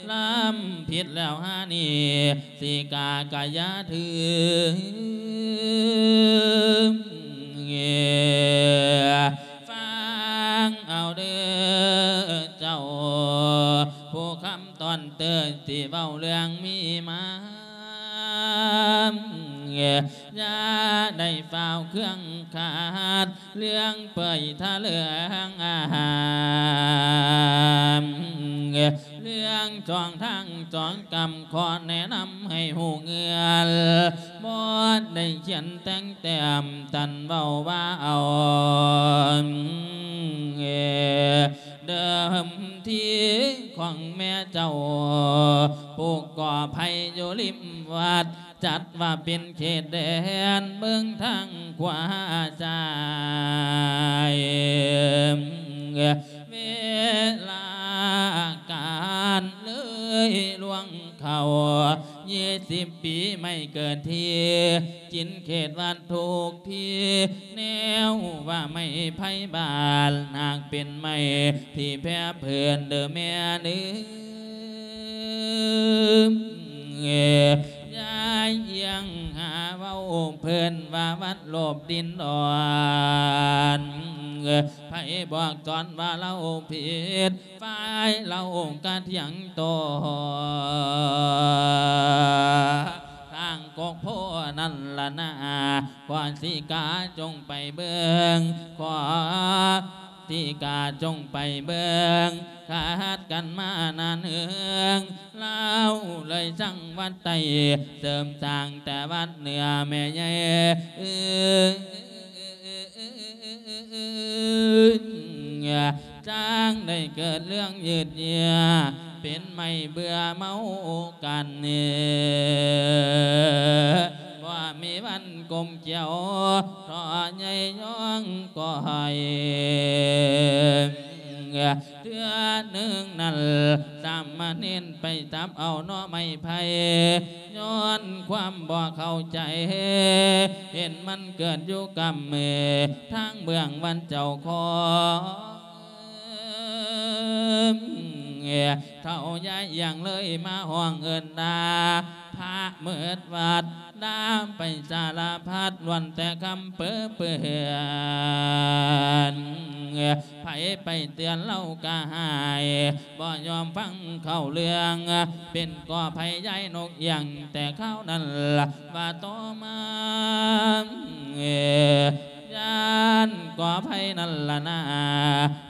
ລຳຜິດແລ້ວຫານີ້ ສີກາກະຢ່າຖື ຟັງເອົາເດີເຈົ້າ ຜູ້ຄຳຕອນເຕີ ທີ່ເວົ້າເລື່ອງມີມາ ຢ່າໄດ້ຟ້າວເຄື່ອງຂາດ ເລື່ອງເປີຍທະເລື່ອງອາຫານ ເລື່ອງຊ່ອງທາງຊ່ອງກຳ ຂໍແນະນຳໃຫ້ຮູ້ເງື່ອນ ບໍ່ໄດ້ຂຽນແຕ່ງແຕ້ມ ທ່ານເວົ້າວ່າເອົາ ເດີມທີຂອງແມ່ເຈົ້າ ປູກກໍໄຜ່ຢູ່ລິມວັດ ຈັດວ່າເປັນເຂດແດນເບິ່ງທາງຂວາຊ້າຍ ເວລາການເລີຍລ່ວງເຂົ້າ ຊາວປີໄມ້ເກີດທີ່ ກິນເຂດວັດທຸກທີ່ ແນວວ່າໄມ້ໄຜ່ບ້ານ ຫາກເປັນໄມ້ທີ່ແຜ່ເພີ້ນເດີແມ່ເດີ ຍາຍອຽງຫາເວົ້າເພິ່ນວ່າວັດໂລບດິນດອນ ໃຜບອກສອນວ່າລາວຜິດ ຝ່າຍລາວກະຖຽງໂຕ້ ທາງກົກໂພນັ້ນລະນາ ຂໍສີກາຈົ່ງໄປເບິ່ງ ຂໍສີກາຈົ່ງໄປເບິ່ງ ຂັດກັນມານານເຮືອງ ລາວເລີຍສ້າງວັດໃຕ້ ເສີມສ້າງແຕ່ວັດເໜືອແມ່ໃຫຍ່ ຈັ່ງໄດ້ເກີດເລື່ອງຍືດເຍື້ອ ເປັນໄມ້ເບື່ອເມົາກັນ ບໍ່ມີວັນກົມກ່ຽວ ເທາະໃຫຍ່ຍ້ອງກ້ອຍ ເທື່ອໜຶ່ງນັ້ນ ສາມະເນນໄປຈັບເອົາໜໍ່ໄມ້ໄຜ່ ຍ້ອນຄວາມບໍ່ເຂົ້າໃຈ ເຫັນມັນເກີດຢູ່ກຳມື ທາງເບື້ອງວັດເຈົ້າຂອງ ເຖົ້າຍາຍອຽງເລີຍມາຮ້ອງເອີ້ນດ່າ ພະເໝິດວັດ ດ່າໄປສາລະພັດ ລ້ວນແຕ່ຄຳເປິເປື້ອນ ໃຜໄປເຕືອນລາວກະຫາຍ ບໍ່ຍອມຟັງເຂົ້າເລື່ອງ ເປັນກໍໄພຍາຍນົກອຽງ ແຕ່ຄາວນັ້ນລະວ່າຕໍ່ມາ ຢ້ານກໍໄພນັ້ນລະນາ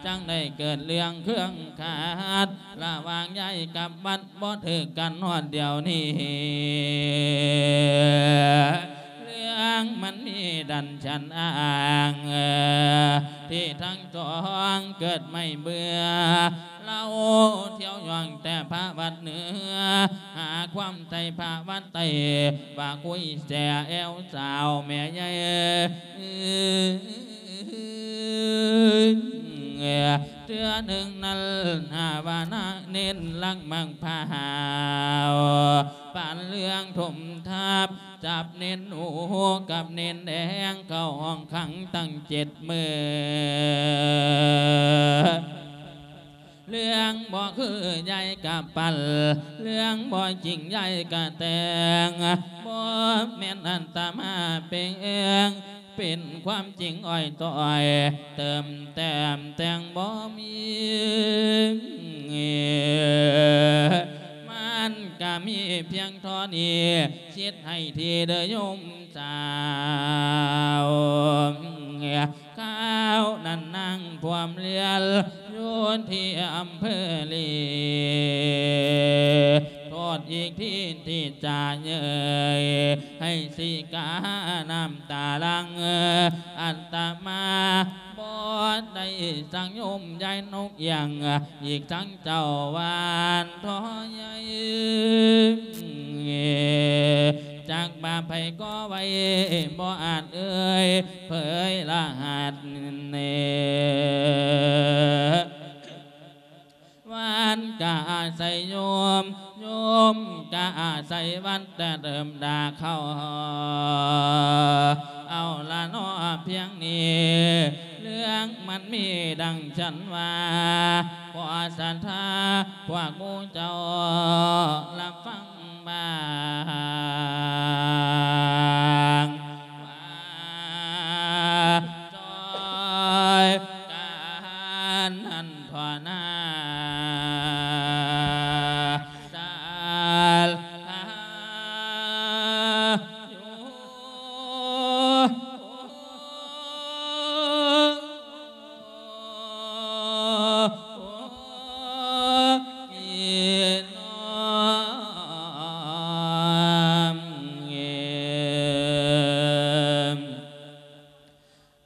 ຈັ່ງໄດ້ເກີດເລື່ອງເຄືອງຂັດ ລະຫວ່າງຍາຍກັບວັດ ບໍ່ຖືກກັນຮອດດຽວນີ້ ເລື່ອງມັນມີດັງຊັ້ນອ້າງ ທີ່ທັງສອງເກີດໄມ່ເບື່ອ ລາວທ່ຽວຍ່ອງແຕ່ພະວັດເໜືອ ຫາຄວາມໃສ່ພະວັດໃຕ້ ວ່າຄຸຍແສແອວສາວແມ່ໃຫຍ່ ເທື່ອໜຶ່ງນັ້ນຫາວ່ານາເນັ້ນລັກມັກພາວ ປານເລື່ອງຖົມທັບ ຈັບເນັ້ນໂອກັບເນັ້ນແດງ ເຂົ້າຫ້ອງຂັງຕັ້ງເຈັດມື້ ເລື່ອງບໍ່ຄືຍາຍກະປັນ ເລື່ອງບໍ່ຈິງຍາຍກະແຕ່ງ ບໍ່ແມ່ນອັດຕະມາແປງ ເປັນຄວາມຈິງອ້ອຍຕ້ອຍ ເຕີມແຕ້ມແຕ່ງບໍ່ມີ ມັນກະມີພຽງເທົ່ານີ້ ຊິດໃຫ້ທີເດີໂຍມສາວ ຄາວນັ້ນນາງພວມລຽນ ຢູ່ທີ່ອຳເພີລີ ໂທດອີກທີທີ່ຈະເຍີ້ຍ ໃຫ້ສີການ້ຳຕາຫຼັ່ງ ອັດຕະມາບໍ່ໄດ້ສັ່ງໂຍມຍາຍນົກອຽງ ອີກທັງເຈົ້າຫວານທໍ່ໃຫຍ່ ຈັກວ່າໃຜກໍໄວ້ ບໍ່ອາດເອີ່ຍເຜີຍລະຫັດ ວັນກະອາໄສໂຍມ ໂຍມກະອາໄສວັນ ແຕ່ເລີ່ມດາເຂົ້າ ເອົາລະເນາະພຽງນີ້ ເລື່ອງມັນມີດັ່ງຊັ້ນວ່າ ຂໍສັດທາພວກໝູ່ເຈົ້າ ລະຟັງ ບາງວ່າ ຊ່ອຍກັນຫັ້ນທໍ່ນາ ສາລະຢູ່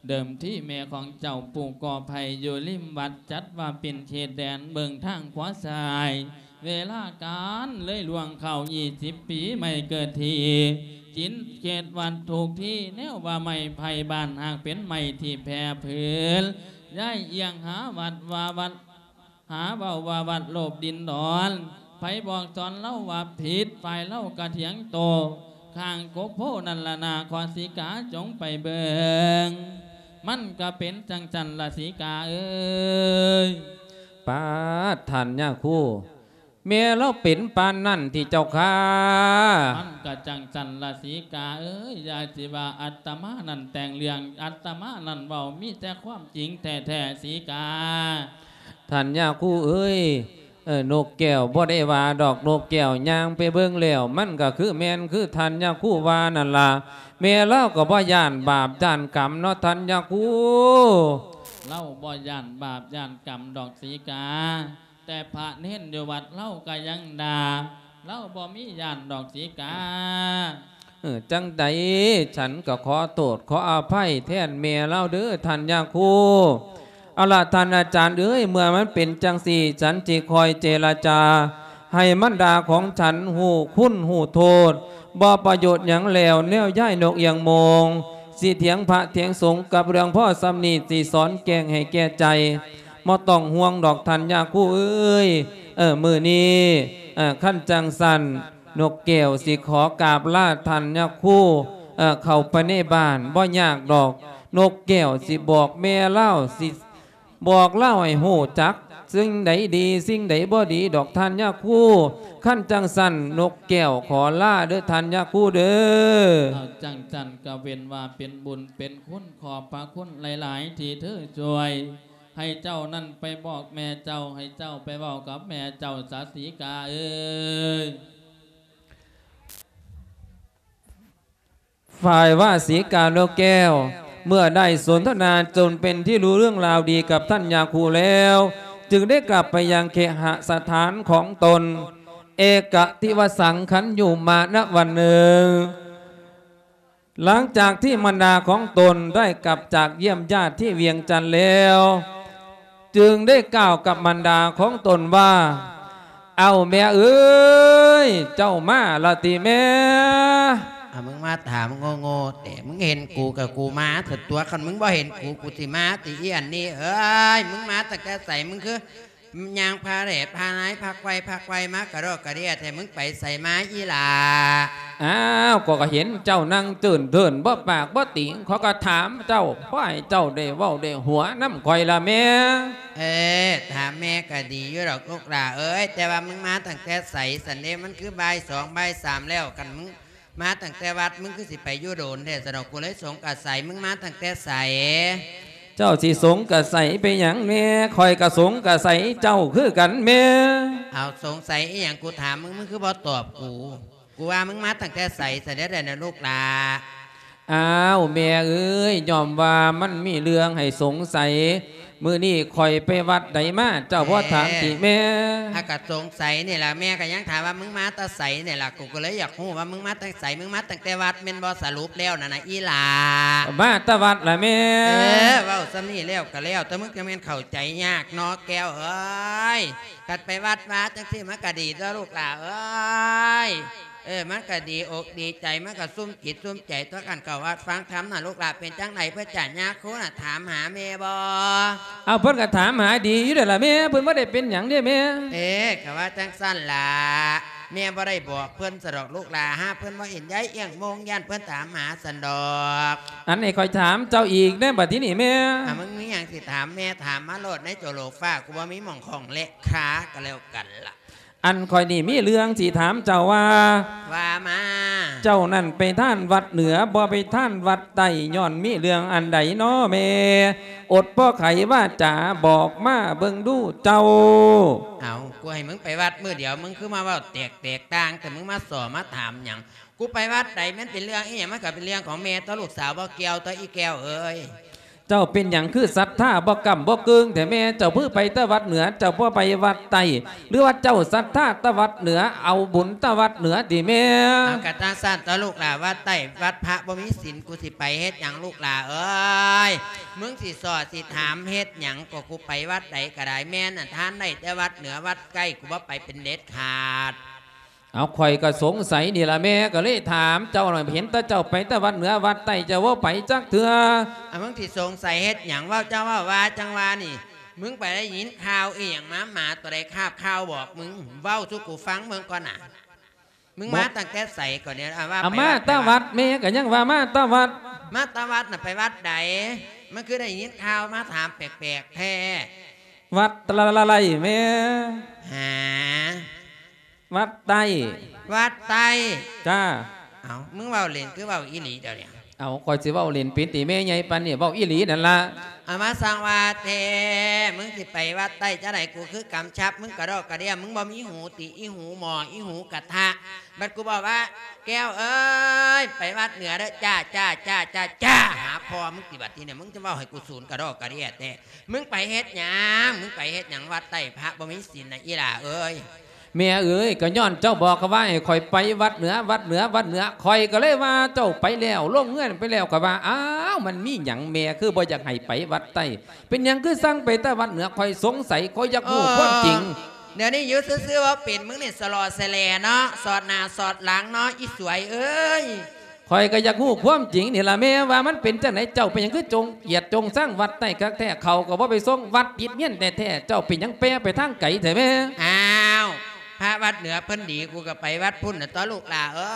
ເດີມທີແມ່ຂອງເຈົ້າປູ່ກໍໄຜ່ຢູ່ລິມວັດ ຈັດວ່າເປັນເຂດແດນເບິ່ງທາງຂວາຊ້າຍ ເວລາການເລີຍລ່ວງເຂົ້າ ຊາວປີ ໄມ້ເກີດທີ່ ຈິນເຂດວັດທຸກທີ່ ແນວວ່າໄມ້ໄຜ່ບ້ານຫາກເປັນໄມ້ທີ່ແຜ່ຜືນ ຍ້າຍອຽງຫາວັດວ່າວັດ ຫາເວົ້າວ່າວັດໂລບດິນດອນ ໃຜບອກສອນລາວວ່າຜິດ ຝ່າຍລາວກະຖຽງໂຕ້ ຂ້າງກົກໂພນັ້ນລະນາ ຂໍສີກາຈົ່ງໄປເບິ່ງ ມັນກະເປັນຈັ່ງຊັ້ນລະສີກາເອີຍ. ປາດ ທ່ານຍາຄູ ແມ່ລາວເປັນປານນັ້ນຕິເຈົ້າຂ້າ? ມັນກະຈັ່ງຊັ້ນລະສີກາເອີຍ ຢ່າຊິວ່າອັດຕະມານັ້ນແຕ່ງເລື່ອງ ອັດຕະມານັ້ນເວົ້າມີແຕ່ຄວາມຈິງແທ້ໆ ສີກາ. ທ່ານຍາຄູເອີຍ ເອີ ນົກແກ້ວບໍ່ໄດ້ວ່າດອກ ນົກແກ້ວຍ່າງໄປເບິ່ງແລ້ວ ມັນກະຄືແມ່ນຄືທ່ານຍາຄູວ່ານັ້ນລະ ແມ່ລາວກໍບໍ່ຢ້ານບາບຢ້ານກຳເນາະທ່ານຍາຄູ. ລາວບໍ່ຢ້ານບາບຢ້ານກຳດອກສີກາ ແຕ່ພະເນນຢູ່ວັດລາວກະຍັງດ່າ ລາວບໍ່ມີຢ້ານດອກສີກາ. ເອີ ຈັ່ງໃດ ສັນກໍຂໍໂທດຂໍອະໄພແທນແມ່ລາວເດີທ່ານຍາຄູ. ເອົາລະທ່ານອາຈານເອີຍ ເມື່ອມັນເປັນຈັ່ງຊີ້ ສັນຊິຄອຍເຈລະຈາໃຫ້ມັນດາຂອງສັນຮູ້ຄຸນຮູ້ໂທດ ບໍ່ປະໂຫຍດຫຍັງແລ້ວ ແນວຍາຍນົກອຽງໂມງ ຊິຖຽງພະຖຽງສົງກັບເລື່ອງພໍສ່ຳນີ້ ຊິສອນແກ້ງໃຫ້ແກ່ໃຈ ບໍ່ຕ້ອງຫ່ວງດອກທ່ານຍາຄູເອີຍ. ເອີ ມື້ນີ້ ເອີ ຄັນຈັ່ງຊັ້ນ ນົກແກ້ວຊິຂໍກາບລາທ່ານຍາຄູ ເອີ ເຂົ້າໄປໃນບ້ານ ບໍ່ຍາກດອກ ນົກແກ້ວຊິບອກແມ່ລາວ ຊິບອກລາວໃຫ້ຮູ້ຈັກ ສິ່ງໃດດີ ສິ່ງໃດບໍ່ດີດອກທ່ານຍາຄູ. ຄັນຈັ່ງຊັ້ນ ນົກແກ້ວຂໍລາເດີທ່ານຍາຄູເດີ. ເອົາ ຈັ່ງຊັ້ນກະເວັ້ນວ່າເປັນບຸນເປັນຄຸນ ຂອບພະຄຸນຫຼາຍໆ ທີ່ເທີຊ່ວຍ ໃຫ້ເຈົ້ານັ້ນໄປບອກແມ່ເຈົ້າ ໃຫ້ເຈົ້າໄປເວົ້າກັບແມ່ເຈົ້າສາສີກາເອີຍ. ຝ່າຍວ່າສີການົກແກ້ວ ເມື່ອໄດ້ສົນທະນາຈົນເປັນທີ່ຮູ້ເລື່ອງລາວດີກັບທ່ານຍາຄູແລ້ວ ຈຶ່ງໄດ້ກັບໄປຍັງເຄຫະສະຖານຂອງຕົນ ເອກະຕິວະສັງຄັນຢູ່ມານະວັນເນີ ຫຼັງຈາກທີ່ມານດາຂອງຕົນໄດ້ກັບຈາກຢ້ຽມຍາດທີ່ວຽງຈັນແລ້ວ ຈຶ່ງໄດ້ກ່າວກັບມານດາຂອງຕົນວ່າ ເອົ້າແມ່ເອີຍ ເຈົ້າມາລະຕິແມ່? ອາ ມຶງມາຖາມໂງ່ໆແຕ່ ມຶງເຫັນກູກະກູມາເຖິງຕົວ ຄັນມຶງບໍ່ເຫັນກູ ກູຊິມາຕິ ອີອັນນີ້ເອີຍ ມຶງມາຕັ້ງແຕ່ໃສ? ມຶງຄື ຍ່າງພາແຫຼພານາຍ ພາໄກວພາໄກວມາກະດອກກະເດຍແທ້ ມຶງໄປໃສມາອີ່ຫຼ້າ? ອ້າວ ຂ້ອຍກະເຫັນເຈົ້ານັ່ງເຈີນເທີນ ບໍ່ປາກບໍ່ຕີງ ຂ້ອຍກະຖາມເຈົ້າ ຂໍໃຫ້ເຈົ້າໄດ້ເວົ້າໄດ້ຫົວນຳຂ້ອຍລະແມ່. ເອີ ຖາມແມ່ກະດີຢູ່ດອກລູກຫຼ້າເອີຍ ແຕ່ວ່າມຶງມາຕັ້ງແຕ່ໃສຊັ້ນເດ? ມັນຄືບ່າຍສອງບ່າຍສາມແລ້ວ ຄັນມຶງ ມາຕັ້ງແຕ່ວັດ ມຶງຄືຊິໄປຢູ່ໂດນແທ້ຊັ້ນດອກ ກູເລີຍສົງກະໄສ ມຶງມາຕັ້ງແຕ່ໃສ? ເຈົ້າຊິສົງກະໄສໄປຫຍັງແມ່? ຂ້ອຍກະສົງກະໄສເຈົ້າຄືກັນແມ່. ເອົາ ສົງໄສອີ່ຫຍັງ ກູຖາມມຶງ ມຶງຄືບໍ່ຕອບກູ? ກູວ່າມຶງມາຕັ້ງແຕ່ໃສຊັ້ນເດ ນະລູກຫຼ້າ? ອ້າວ ແມ່ເອີຍ ຍ້ອນວ່າມັນມີເລື່ອງໃຫ້ສົງໄສ ມື້ນີ້ຂ້ອຍໄປວັດໃດມາ ເຈົ້າບໍ່ຖາມຕິແມ່? ອາ ກະສົງໄສນີ້ລະ ແມ່ກະຍັງຖາມວ່າມຶງມາແຕ່ໃສນີ້ລະ ກູກະເລີຍຢາກຮູ້ວ່າມຶງມາແຕ່ໃສ ມຶງມາຕັ້ງແຕ່ວັດແມ່ນບໍ່ ສະຫຼຸບແລ້ວນັ້ນນະອີ່ຫຼ້າ? ມາແຕ່ວັດລະແມ່. ເອີ ເວົ້າສ່ຳນີ້ແລ້ວກະແລ້ວ ແຕ່ມຶງກະແມ່ນເຂົ້າໃຈຍາກເນາະແກ້ວເອີຍ ຄັນໄປວັດມາຈັ່ງຊີ້ມັນກະດີຕົວະລູກຫຼ້າເອີຍ. ເອີ ມັນກະດີອົກດີໃຈ ມັນກະຊຸ່ມຈິດຊຸ່ມໃຈຕົວະ ຄັນເຂົ້າວັດຟັງທຳນະລູກຫຼ້າ. ເປັນຈັ່ງໃດເພິ່ນຈະຍາຄູນະ ຖາມຫາແມ່ບໍ່? ເອົາ ເພິ່ນກະຖາມຫາດີຢູ່ແລ້ວລະແມ່ ເພິ່ນບໍ່ໄດ້ເປັນຫຍັງເດ້ແມ່. ເອີ ກະວ່າຈັ່ງຊັ້ນລະ ແມ່ບໍ່ໄດ້ບອກເພິ່ນຊັ້ນດອກລູກຫຼ້າ ຫາເພິ່ນບໍ່ເຫັນຍາຍອຽງໂມງ ຢ້ານເພິ່ນຖາມຫາຊັ້ນດອກ. ອັນນີ້ຂ້ອຍຖາມເຈົ້າອີກແດ່ ບັດທີນີ້ແມ່. ອາ ມຶງມີຫຍັງຊິຖາມແມ່ ຖາມມາໂລດໃນໂຈໂລຟ້າ ກູບໍ່ມີໝ່ອງຂ້ອງແລະຄາ ກະແລ້ວກັນລະ. ອັນຂ້ອຍນີ້ມີເລື່ອງຊິຖາມເຈົ້າວ່າ. ວ່າມາ. ເຈົ້ານັ້ນໄປທານວັດເໜືອ ບໍ່ໄປທານວັດໃຕ້ ຍ້ອນມີເລື່ອງອັນໃດນໍແມ່? ອົດບໍ່ໄຂວາຈາ ບອກມາເບິ່ງດູເຈົ້າ. ເອົາ ກູໃຫ້ມຶງໄປວັດມື້ດຽວ ມຶງຄືມາເວົ້າແຕກແຕກຕ່າງ ແຕ່ມຶງມາສໍ່ມາຖາມຫຍັງ? ກູໄປວັດໃດ ມັນເປັນເລື່ອງອີ່ຫຍັງ ມັນກະເປັນເລື່ອງຂອງແມ່ຕົວະ ລູກສາວບໍ່ກ່ຽວຕົວະ ອີ່ແກ້ວເອີຍ. ເຈົ້າເປັນຫຍັງຄືສັດທາບໍ່ກ້ຳບໍ່ເກີງແທ້ແມ່? ເຈົ້າຄືໄປແຕ່ວັດເໜືອ ເຈົ້າບໍ່ໄປວັດໃຕ້ ຫຼືວ່າເຈົ້າສັດທາແຕ່ວັດເໜືອ ເອົາບຸນແຕ່ວັດເໜືອຕິແມ່? ເອົາ ກະຈັ່ງຊັ້ນຕົວະລູກຫຼ້າ ວັດໃຕ້ວັດພະບໍ່ມີສິນ ກູຊິໄປເຮັດຫຍັງລູກຫຼ້າເອີຍ? ມຶງຊິສໍ່ຊິຖາມເຮັດຫຍັງ ກະກູໄປວັດໃດກະໄດ້ ແມ່ນັ້ນທານໄດ້ແຕ່ວັດເໜືອ ວັດໃກ້ ກູບໍ່ໄປເປັນເດັດຂາດ. ເອົາ ຂ້ອຍກະສົງໄສນີ້ລະແມ່ ກະເລີຍຖາມເຈົ້າ ເຫັນແຕ່ເຈົ້າໄປແຕ່ວັດເໜືອວັດໃຕ້ ເຈົ້າບໍ່ໄປຈັກເທື່ອ. ອາ ມຶງຊິສົງໄສເຮັດຫຍັງ? ເວົ້າເຈົ້າເວົ້າວ່າຈັ່ງວ່ານີ້ ມຶງໄປໄດ້ຍິນຂ່າວອີ່ຫຍັງມາ? ໝາຕົວໃດຄາບຂ່າວບອກມຶງ? ເວົ້າສູ່ກູຟັງເບິ່ງກ່ອນນະ ມຶງມາຕັ້ງແຕ່ໃສກ່ອນນີ້? ອາ ວ່າ ອາ ໄປ ມາ ວັດ ແຕ່ວັດ ແມ່ກະຍັງວ່າມາແຕ່ວັດ. ມາແຕ່ວັດນະ ໄປວັດໃດ? ມັນຄືໄດ້ຍິນຂ່າວມາຖາມແປກໆແທ້. ວັດຕະລະໄລແມ່. ຫາ ວັດໃຕ້. ວັດໃຕ້. ຈ້າ. ເອົ້າ ມຶງເວົ້າຫຼິ້ນຄືເວົ້າອີ່ຫຼີດຽວນີ້? ເອົ້າ ຂ້ອຍຊິເວົ້າຫຼິ້ນເປັນຕິແມ່ໃຫຍ່ປານນີ້? ເວົ້າອີ່ຫຼີນັ້ນລະ. ເອົາ ມາສ້າງວ່າແທ້ ມຶງຊິໄປວັດໃຕ້ຈັ່ງໃດ? ກູຄືກຳຊັບມຶງກະດອກກະເດຍ ມຶງບໍ່ມີຫູຕິ ອີຫູໝໍ້ ອີຫູກະທະ. ບັດກູບອກວ່າ ແກ້ວເອີຍ ໄປວັດເໜືອເດີ ຈ້າ ຈ້າ ຈ້າ ຈ້າ ຈ້າ ຫາພໍ່ມຶງຕິ ບັດທີນີ້ ມຶງຈະເວົ້າໃຫ້ກູສູນກະດອກກະເດຍແທ້. ມຶງໄປເຮັດຫຍັງ? ມຶງໄປເຮັດຫຍັງວັດໃຕ້? ພະບໍ່ມີສິນນະ ອີ່ຫຼ້າເອີຍ. ແມ່ເອີຍ ກະຍ້ອນເຈົ້າບອກຂ້ອຍວ່າໃຫ້ຂ້ອຍໄປວັດເໜືອ ວັດເໜືອ ວັດເໜືອ ຂ້ອຍກະເລີຍວ່າເຈົ້າໄປແລ້ວ ລົງເຮືອນໄປແລ້ວ ຂ້ອຍວ່າ ອ້າວ ມັນມີຫຍັງແມ່ຄືບໍ່ຢາກໃຫ້ໄປວັດໃຕ້? ເປັນຫຍັງຄືສັ່ງໄປແຕ່ວັດເໜືອ? ຂ້ອຍສົງໄສ ຂ້ອຍຢາກຮູ້ຄວາມຈິງ. ດຽວນີ້ຢູ່ຊື່ໆບໍ່ເປັນ ມຶງນີ້ສະຫຼໍ່ສະແຫຼເນາະ ສອດໜ້າສອດຫຼັງເນາະ ອີສວຍເອີຍ. ຂ້ອຍກະຢາກຮູ້ຄວາມຈິງນີ້ລະແມ່ ວ່າມັນເປັນຈັ່ງໃດ? ເຈົ້າເປັນຫຍັງຄືຈົງກຽດຈົງຊັງວັດໃຕ້ຄັກແທ້? ເຂົ້າກະບໍ່ໄປສົ່ງ ວັດຕິດເຮືອນແທ້ໆ ເຈົ້າເປັນຫຍັງແປໄປທາງໄກແທ້ແມ່? ອ້າວ ພະວັດເໜືອເພິ່ນດີ ກູກະໄປວັດພຸ້ນນະຕົວະລູກຫຼ້າເອີ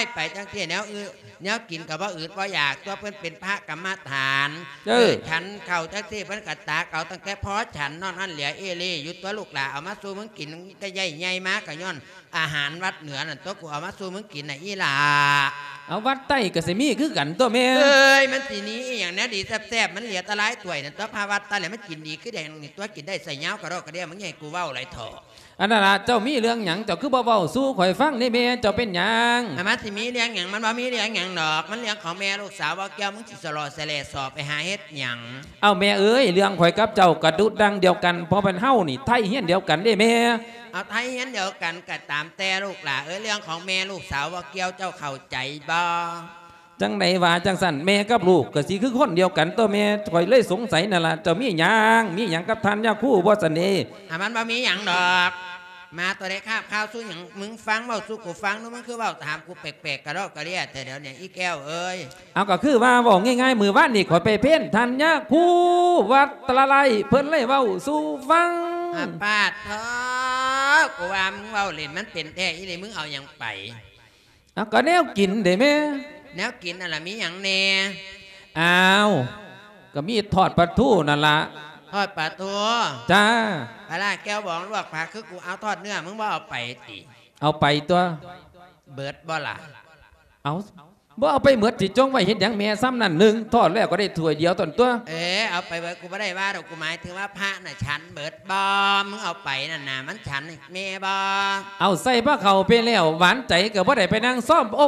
ຍ. ໄປຈັ່ງຊີ້ແນວອືດ ແນວກິນກະບໍ່ອືດບໍ່ຢາກ ຕົວະເພິ່ນເປັນພະກຳມະຖານ. ເອີ ເອີ ສັນເຂົ້າຈັ່ງຊີ້ ເພິ່ນກະຕັກເອົາຕັ້ງແຕ່ພໍສັນ ນອກນັ້ນເຫຼືອເອເລຢູ່ຕົວະລູກຫຼ້າ. ເອົາມາສູ່ມຶງກິນ ກະໃຫຍ່ໃຫຍ່ມາກະຍ້ອນ ອາຫານວັດເໜືອນັ້ນຕົວະ ກູເອົາມາສູ່ມຶງກິນນະ ອີ່ຫຼ້າ. ເອົາ ວັດໃຕ້ກະຊິມີຄືກັນຕົວະແມ່. ເອີຍ ມັນຊິມີອີ່ຫຍັງແນວດີແຊບໆ ມັນເຫຼືອແຕ່ລາຍຖ້ວຍນັ້ນຕົວະ. ພະວັດໃຕ້ລະມັນກິນດີຄືແດງນີ້ຕົວະ ກິນໄດ້ໃສ່ຍາວກະດອກກະເດຍ. ມຶງຢ່າໃຫ້ກູເວົ້າຫຼາຍເຖາະ. ອັນນັ້ນລະ ເຈົ້າມີເລື່ອງຫຍັງ ເຈົ້າຄືບໍ່ເວົ້າສູ່ຂ້ອຍຟັງເດແມ່ ເຈົ້າເປັນຫຍັງ? ມັນຊິມີເລື່ອງຫຍັງ? ມັນບໍ່ມີເລື່ອງຫຍັງດອກ ມັນເລື່ອງຂອງແມ່ລູກສາວບໍ່ກ່ຽວ ມຶງຊິສະຫຼໍ່ສະແຫຼສອກໄປຫາເຮັດຫຍັງ? ເອົ້າ ແມ່ເອີຍ ເລື່ອງຂ້ອຍກັບເຈົ້າກະດຸດດັ່ງດຽວກັນ ເພາະແມ່ນເຮົານີ້ໄທຮຽນດຽວກັນເດ້ແມ່. ເອົາ ໄທຮຽນດຽວກັນກະຕາມແຕ່ລູກຫຼ້າເອີຍ ເລື່ອງຂອງແມ່ລູກສາວບໍ່ກ່ຽວ ເຈົ້າເຂົ້າໃຈບໍ່? ຈັ່ງໃດວ່າຈັ່ງຊັ້ນ ແມ່ກັບລູກກະຊິຄືຄົນດຽວກັນຕົວະແມ່ ຂ້ອຍເລີຍສົງໄສນັ້ນລະ ເຈົ້າມີຫຍັງ ມີຫຍັງກັບທ່ານຍາຄູບໍ່ຊັ້ນເດ? ອາ ມັນບໍ່ມີຫຍັງດອກ ມາຕົວະໄດ້ຄາບຄາວສູ່ຫຍັງ ມຶງຟັງເວົ້າສູ່ກູຟັງດູ ມຶງຄືເວົ້າຖາມກູແປກໆ ກະດອກກະເດຍແທ້ດຽວນີ້ ອີແກ້ວເອີຍ. ເອົາ ກະຄືວ່າເວົ້າງ່າຍໆ ມື້ວານນີ້ຂ້ອຍໄປເພນທ່ານຍາຄູວັດຕະລະໄລ ເພິ່ນເລີຍເວົ້າສູ່ຟັງ. ອາ ປາດໂທ ກູວ່າມຶງເວົ້າຫຼິ້ນ ມັນເປັນແທ້ອີ່ຫຼີ ມຶງເອົາຫຍັງໄປ? ເອົາ ກະແນວກິນເດແມ່. ແນວກິນນັ້ນລະມີຫຍັງແດ່? ອ້າວ ກະມີທອດປາທູນັ້ນລະ. ທອດປາທູ? ຈ້າ. ປາຫຼ້າແກ້ວບອງລວກຜັກຄືກູ ເອົາທອດເນື້ອ ມຶງບໍ່ເອົາໄປຕິ? ເອົາໄປຕົວະ. ເບິດບໍ່ລະ? ເອົາ ບໍ່ເອົາໄປໝົດ ຊິຈົ່ງໄວ້ເຮັດຫຍັງແມ່ ຊ່ຳນັ້ນໜຶ່ງ ທອດແລ້ວກະໄດ້ຖ້ວຍດຽວຕົນຕົວະ. ເອີ ເອົາໄປເບິດ ກູບໍ່ໄດ້ວ່າດອກ ກູໝາຍເຖິງວ່າພະນະ ນະ ສັນເບິດບໍ່? ມຶງເອົາໄປນັ້ນນະ ມັນສັນໃຫ້ແມ່ບໍ່? ເອົາໃສ່ພະເຂົ້າໄປແລ້ວ ຫວານໃຈກະບໍ່ໄດ້ໄປນັ່ງຊ້ອມ ໂອ້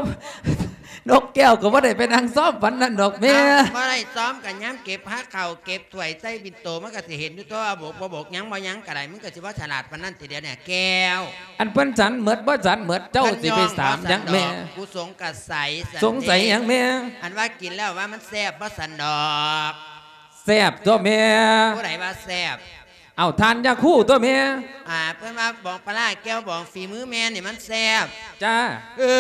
ນົກແກ້ວກະບໍ່ໄດ້ໄປນັ່ງຊ້ອມປານນັ້ນດອກແມ່. ເອົ້າ ບໍ່ໄດ້ຊ້ອມກະຍາມເກັບພະເຂົ້າເກັບຖ້ວຍໃສ່ບິນໂຕ ມັນກະຊິເຫັນຢູ່ຕົວະ ບົກບໍ່ບົກ ຍັງບໍ່ຍັງກະໄດ້ ມຶງກະຊິບໍ່ສະຫຼາດປານນັ້ນຕິດຽວນີ້ແກ້ວ. ອັນເພິ່ນສັນໝົດບໍ່ສັນໝົດ ເຈົ້າຊິໄປຖາມຫຍັງແມ່? ກູສົງກະໄສ ສົງໄສຫຍັງແມ່? ອັນວ່າກິນແລ້ວວ່າມັນແຊບບໍ່ສັນດອກ? ແຊບຕົວະແມ່. ຜູ້ໃດວ່າແຊບ? ເອົາ ທ່ານຍາຄູຕົວະແມ່. ອາ ເພິ່ນວ່າບອງປາຫຼ້າແກ້ວບອງ ຝີມືແມ່ນີ້ມັນແຊບ. ຈ້າ. ເອີ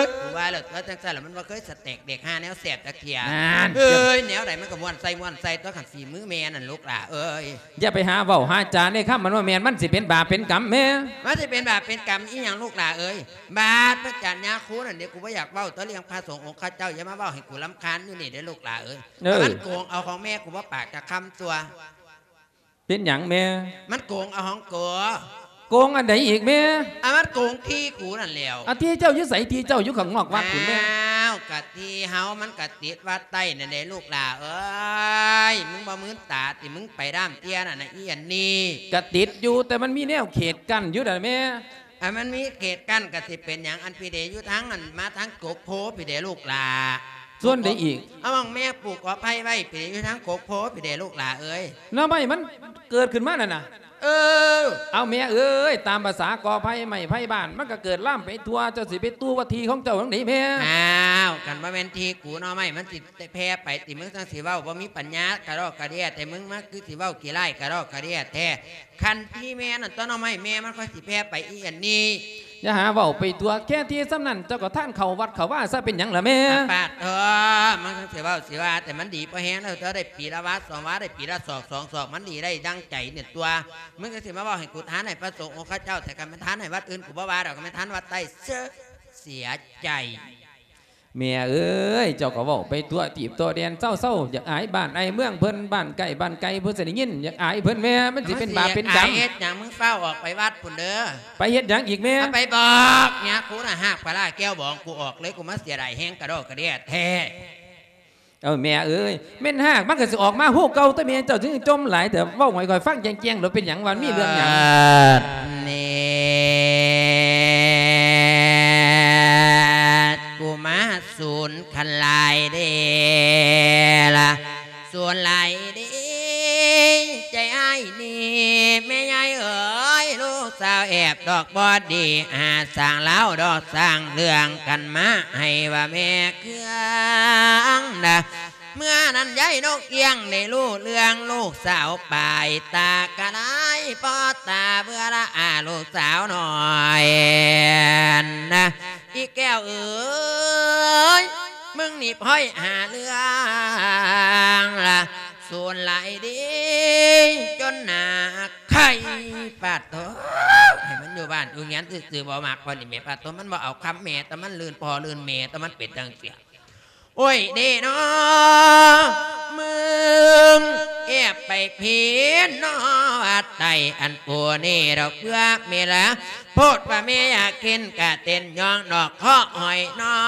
ຍ ກູວ່າແລ້ວຕົວະ ຈັ່ງຊັ້ນລະ ມັນບໍ່ເຄີຍສະແຕັກແດກຫາແນວແຊບຈັກເທື່ອ. ນັ້ນ ເອີຍ ແນວໃດມັນກະມ່ວນໃສ່ມ່ວນໃສ່ຕົວະ ຄັນຝີມືແມ່ນັ້ນລູກຫຼ້າເອີຍ. ຢ່າໄປຫາເວົ້າຫາຈາໃນຄຳມັນວ່າແມ່ນ ມັນຊິເປັນບາບເປັນກຳແມ່. ມັນຊິເປັນບາບເປັນກຳອີ່ຫຍັງລູກຫຼ້າເອີຍ? ບາດພະອາຈານຍາຄູນັ້ນເດ ກູບໍ່ຢາກເວົ້າຕໍ່ເລື່ອງພະສົງອົງຄະເຈົ້າ ຢ່າມາເວົ້າໃຫ້ກູລຳຄານຢູ່ນີ້ເດີລູກຫຼ້າເອີຍ. ເອີ ມັນໂກງເອົາຂອງແມ່ ກູບໍ່ປາກຈັກຄຳຕົວະ. ເປັນຫຍັງແມ່? ມັນໂກງເອົາຂອງກູ. ໂກງອັນໃດອີກແມ່? ອາ ມັນໂກງທີ່ກູນັ້ນແຫຼ້ວ. ອາ ທີ່ເຈົ້າຢູ່ໃສ? ທີ່ເຈົ້າຢູ່ຂ້າງນອກວັດພຸ້ນແມ່. ອ້າວ ກະທີ່ເຮົາມັນກະຕິດວັດໃຕ້ນັ້ນເດລູກຫຼ້າເອີຍ. ມຶງບໍ່ມືນຕາຕິ ມຶງໄປດ້າມເຕ້ຍນັ້ນນະ ອີອັນນີ້. ກະຕິດຢູ່ ແຕ່ມັນມີແນວເຂດກັ້ນຢູ່ດອກແມ່. ອັນມັນມີເຂດກັ້ນກະຊິເປັນຫຍັງ? ອັນພີເດຢູ່ທາງນັ້ນ ມາທາງກົກໂພພີເດລູກຫຼ້າ. ສ່ວນໃດອີກ? ເອົາໝ່ອງແມ່ປູກກໍໄຜ່ໄວ້ພີເດ ຢູ່ທາງກົກໂພພີເດລູກຫຼ້າເອີຍ. ໜໍ່ໄມ້ມັນເກີດຂຶ້ນມານັ້ນນະ. ເອີ. ເອົາແມ່ເອີຍ ຕາມພາສາກໍໄຜ່ໄມ້ໄຜ່ບ້ານ ມັນກະເກີດລາມໄປທົ່ວ ເຈົ້າຊິໄປຕູ້ວ່າທີ່ຂອງເຈົ້າຈັ່ງໃດແມ່? ອ້າວ ຄັນບໍ່ແມ່ນທີ່ກູ ໜໍ່ໄມ້ມັນຊິແຜ່ໄປຕິ ມຶງຈັ່ງຊິເວົ້າ ບໍ່ມີປັນຍາກະດອກກະເດຍແທ້ ມຶງມາຄືຊິເວົ້າຂີ້ຮ້າຍກະດອກກະເດຍແທ້. ຄັນທີ່ແມ່ນັ້ນ ຕົ້ນໜໍ່ໄມ້ແມ່ມັນຄ່ອຍຊິແຜ່ໄປອີອັນນີ້. ຢ່າຫາເວົ້າໄປທົ່ວ ແຄ່ທີ່ສ່ຳນັ້ນ ເຈົ້າກະທານເຂົ້າວັດເຂົ້າວາຊະ ເປັນຫຍັງລະແມ່? ປາດເທີ ມັນຊິເວົ້າຊິວ່າ ແຕ່ມັນດີພໍແຮງແລ້ວ ເຈົ້າໄດ້ປີລະວາສອງວາ ໄດ້ປີລະສອກສອງສອກ ມັນດີໄດ້ດັ່ງໃຈນີ້ຕົວະ. ມຶງກະຊິມາເວົ້າໃຫ້ກູທານໃຫ້ພະສົງອົງຄະເຈົ້າ ແຕ່ຄັນແມ່ນທານໃຫ້ວັດອື່ນ ກູບໍ່ວ່າດອກ ຄັນແມ່ນທານວັດໃຕ້ ເຊີ ເສຍໃຈ. ແມ່ເອີຍ ເຈົ້າກະເວົ້າໄປຕົວະ ຕີບຕົວະແດນ ເຊົາໆ ຢາກອາຍບ້ານອາຍເມືອງເພິ່ນ ບ້ານໃກ້ບ້ານໄກເພິ່ນຊິໄດ້ຍິນ ຢາກອາຍເພິ່ນແມ່ ມັນຊິເປັນບາບເປັນກຳ. ມັນຊິຢາກອາຍເຮັດຫຍັງ? ມຶງຟ້າວອອກໄປວັດພຸ້ນເດີ. ໄປເຮັດຫຍັງອີກແມ່? ເອົາໄປບອກຍາຄູນະ ຫາກປາຫຼ້າແກ້ວບອງກູອອກເລີຍ ກູມາເສຍດາຍແຮງກະດອກກະເດຍແທ້. ເອີ ແມ່ເອີຍ ແມ່ນຫາກມັນກະຊິອອກມາຮູເກົ່າຕົວະແມ່ ເຈົ້າຈຶ່ງຈົ່ມຫຼາຍແທ້ ເວົ້າໃຫ້ຂ້ອຍຟັງແຈ້ງໆ ໂລດ ເປັນຫຍັງ ວ່າມີເລື່ອງຫຍັງ? ເອີ ນີ້ ກູມາສູນຄັນຫຼາຍເດລະ ສູນຫຼາຍເດ ໃຈອ້າຍນີ້ ແມ່ຍາຍເອີຍ ລູກສາວແອບດອກບໍ່ດີ ຫາສ້າງລາວດອກສ້າງເລື່ອງກັນມາ ໃຫ້ວ່າແມ່ເຄືອງນະ. ເມື່ອນັ້ນຍາຍນົກອຽງໄດ້ຮູ້ເລື່ອງ ລູກສາວປາຍຕາກະລາຍ ພໍຕາເບື່ອລະອາ ລູກສາວນ້ອຍນະ. ອີແກ້ວເອີຍ ມຶງນີ້ພ້ອຍຫາເລື່ອງລະ ສູນຫຼາຍເດ ຈົນໜ້າໄຂ້. ປາດໂທ ໃຫ້ມັນຢູ່ບ້ານຢູ່ເຮືອນຊື່ໆ ບໍ່ມັກ ພໍນີ້ແມ່ ປາດໂທ ມັນບໍ່ເອົາຄຳແມ່ ແຕ່ມັນລື່ນພໍ່ລື່ນແມ່ ແຕ່ມັນເປັນຈັ່ງຊີ້. ໂອ້ຍເດເນາະ ມຶງແອບໄປພີ້ເນາະ ວັດໃຕ້ອັນກູນີ້ດອກເບື່ອເມລະ ໂພດວ່າແມ່ຢາກເຫັນກະເຕັ້ນຍ້ອງດອກເຄາະຫອຍນ້ອ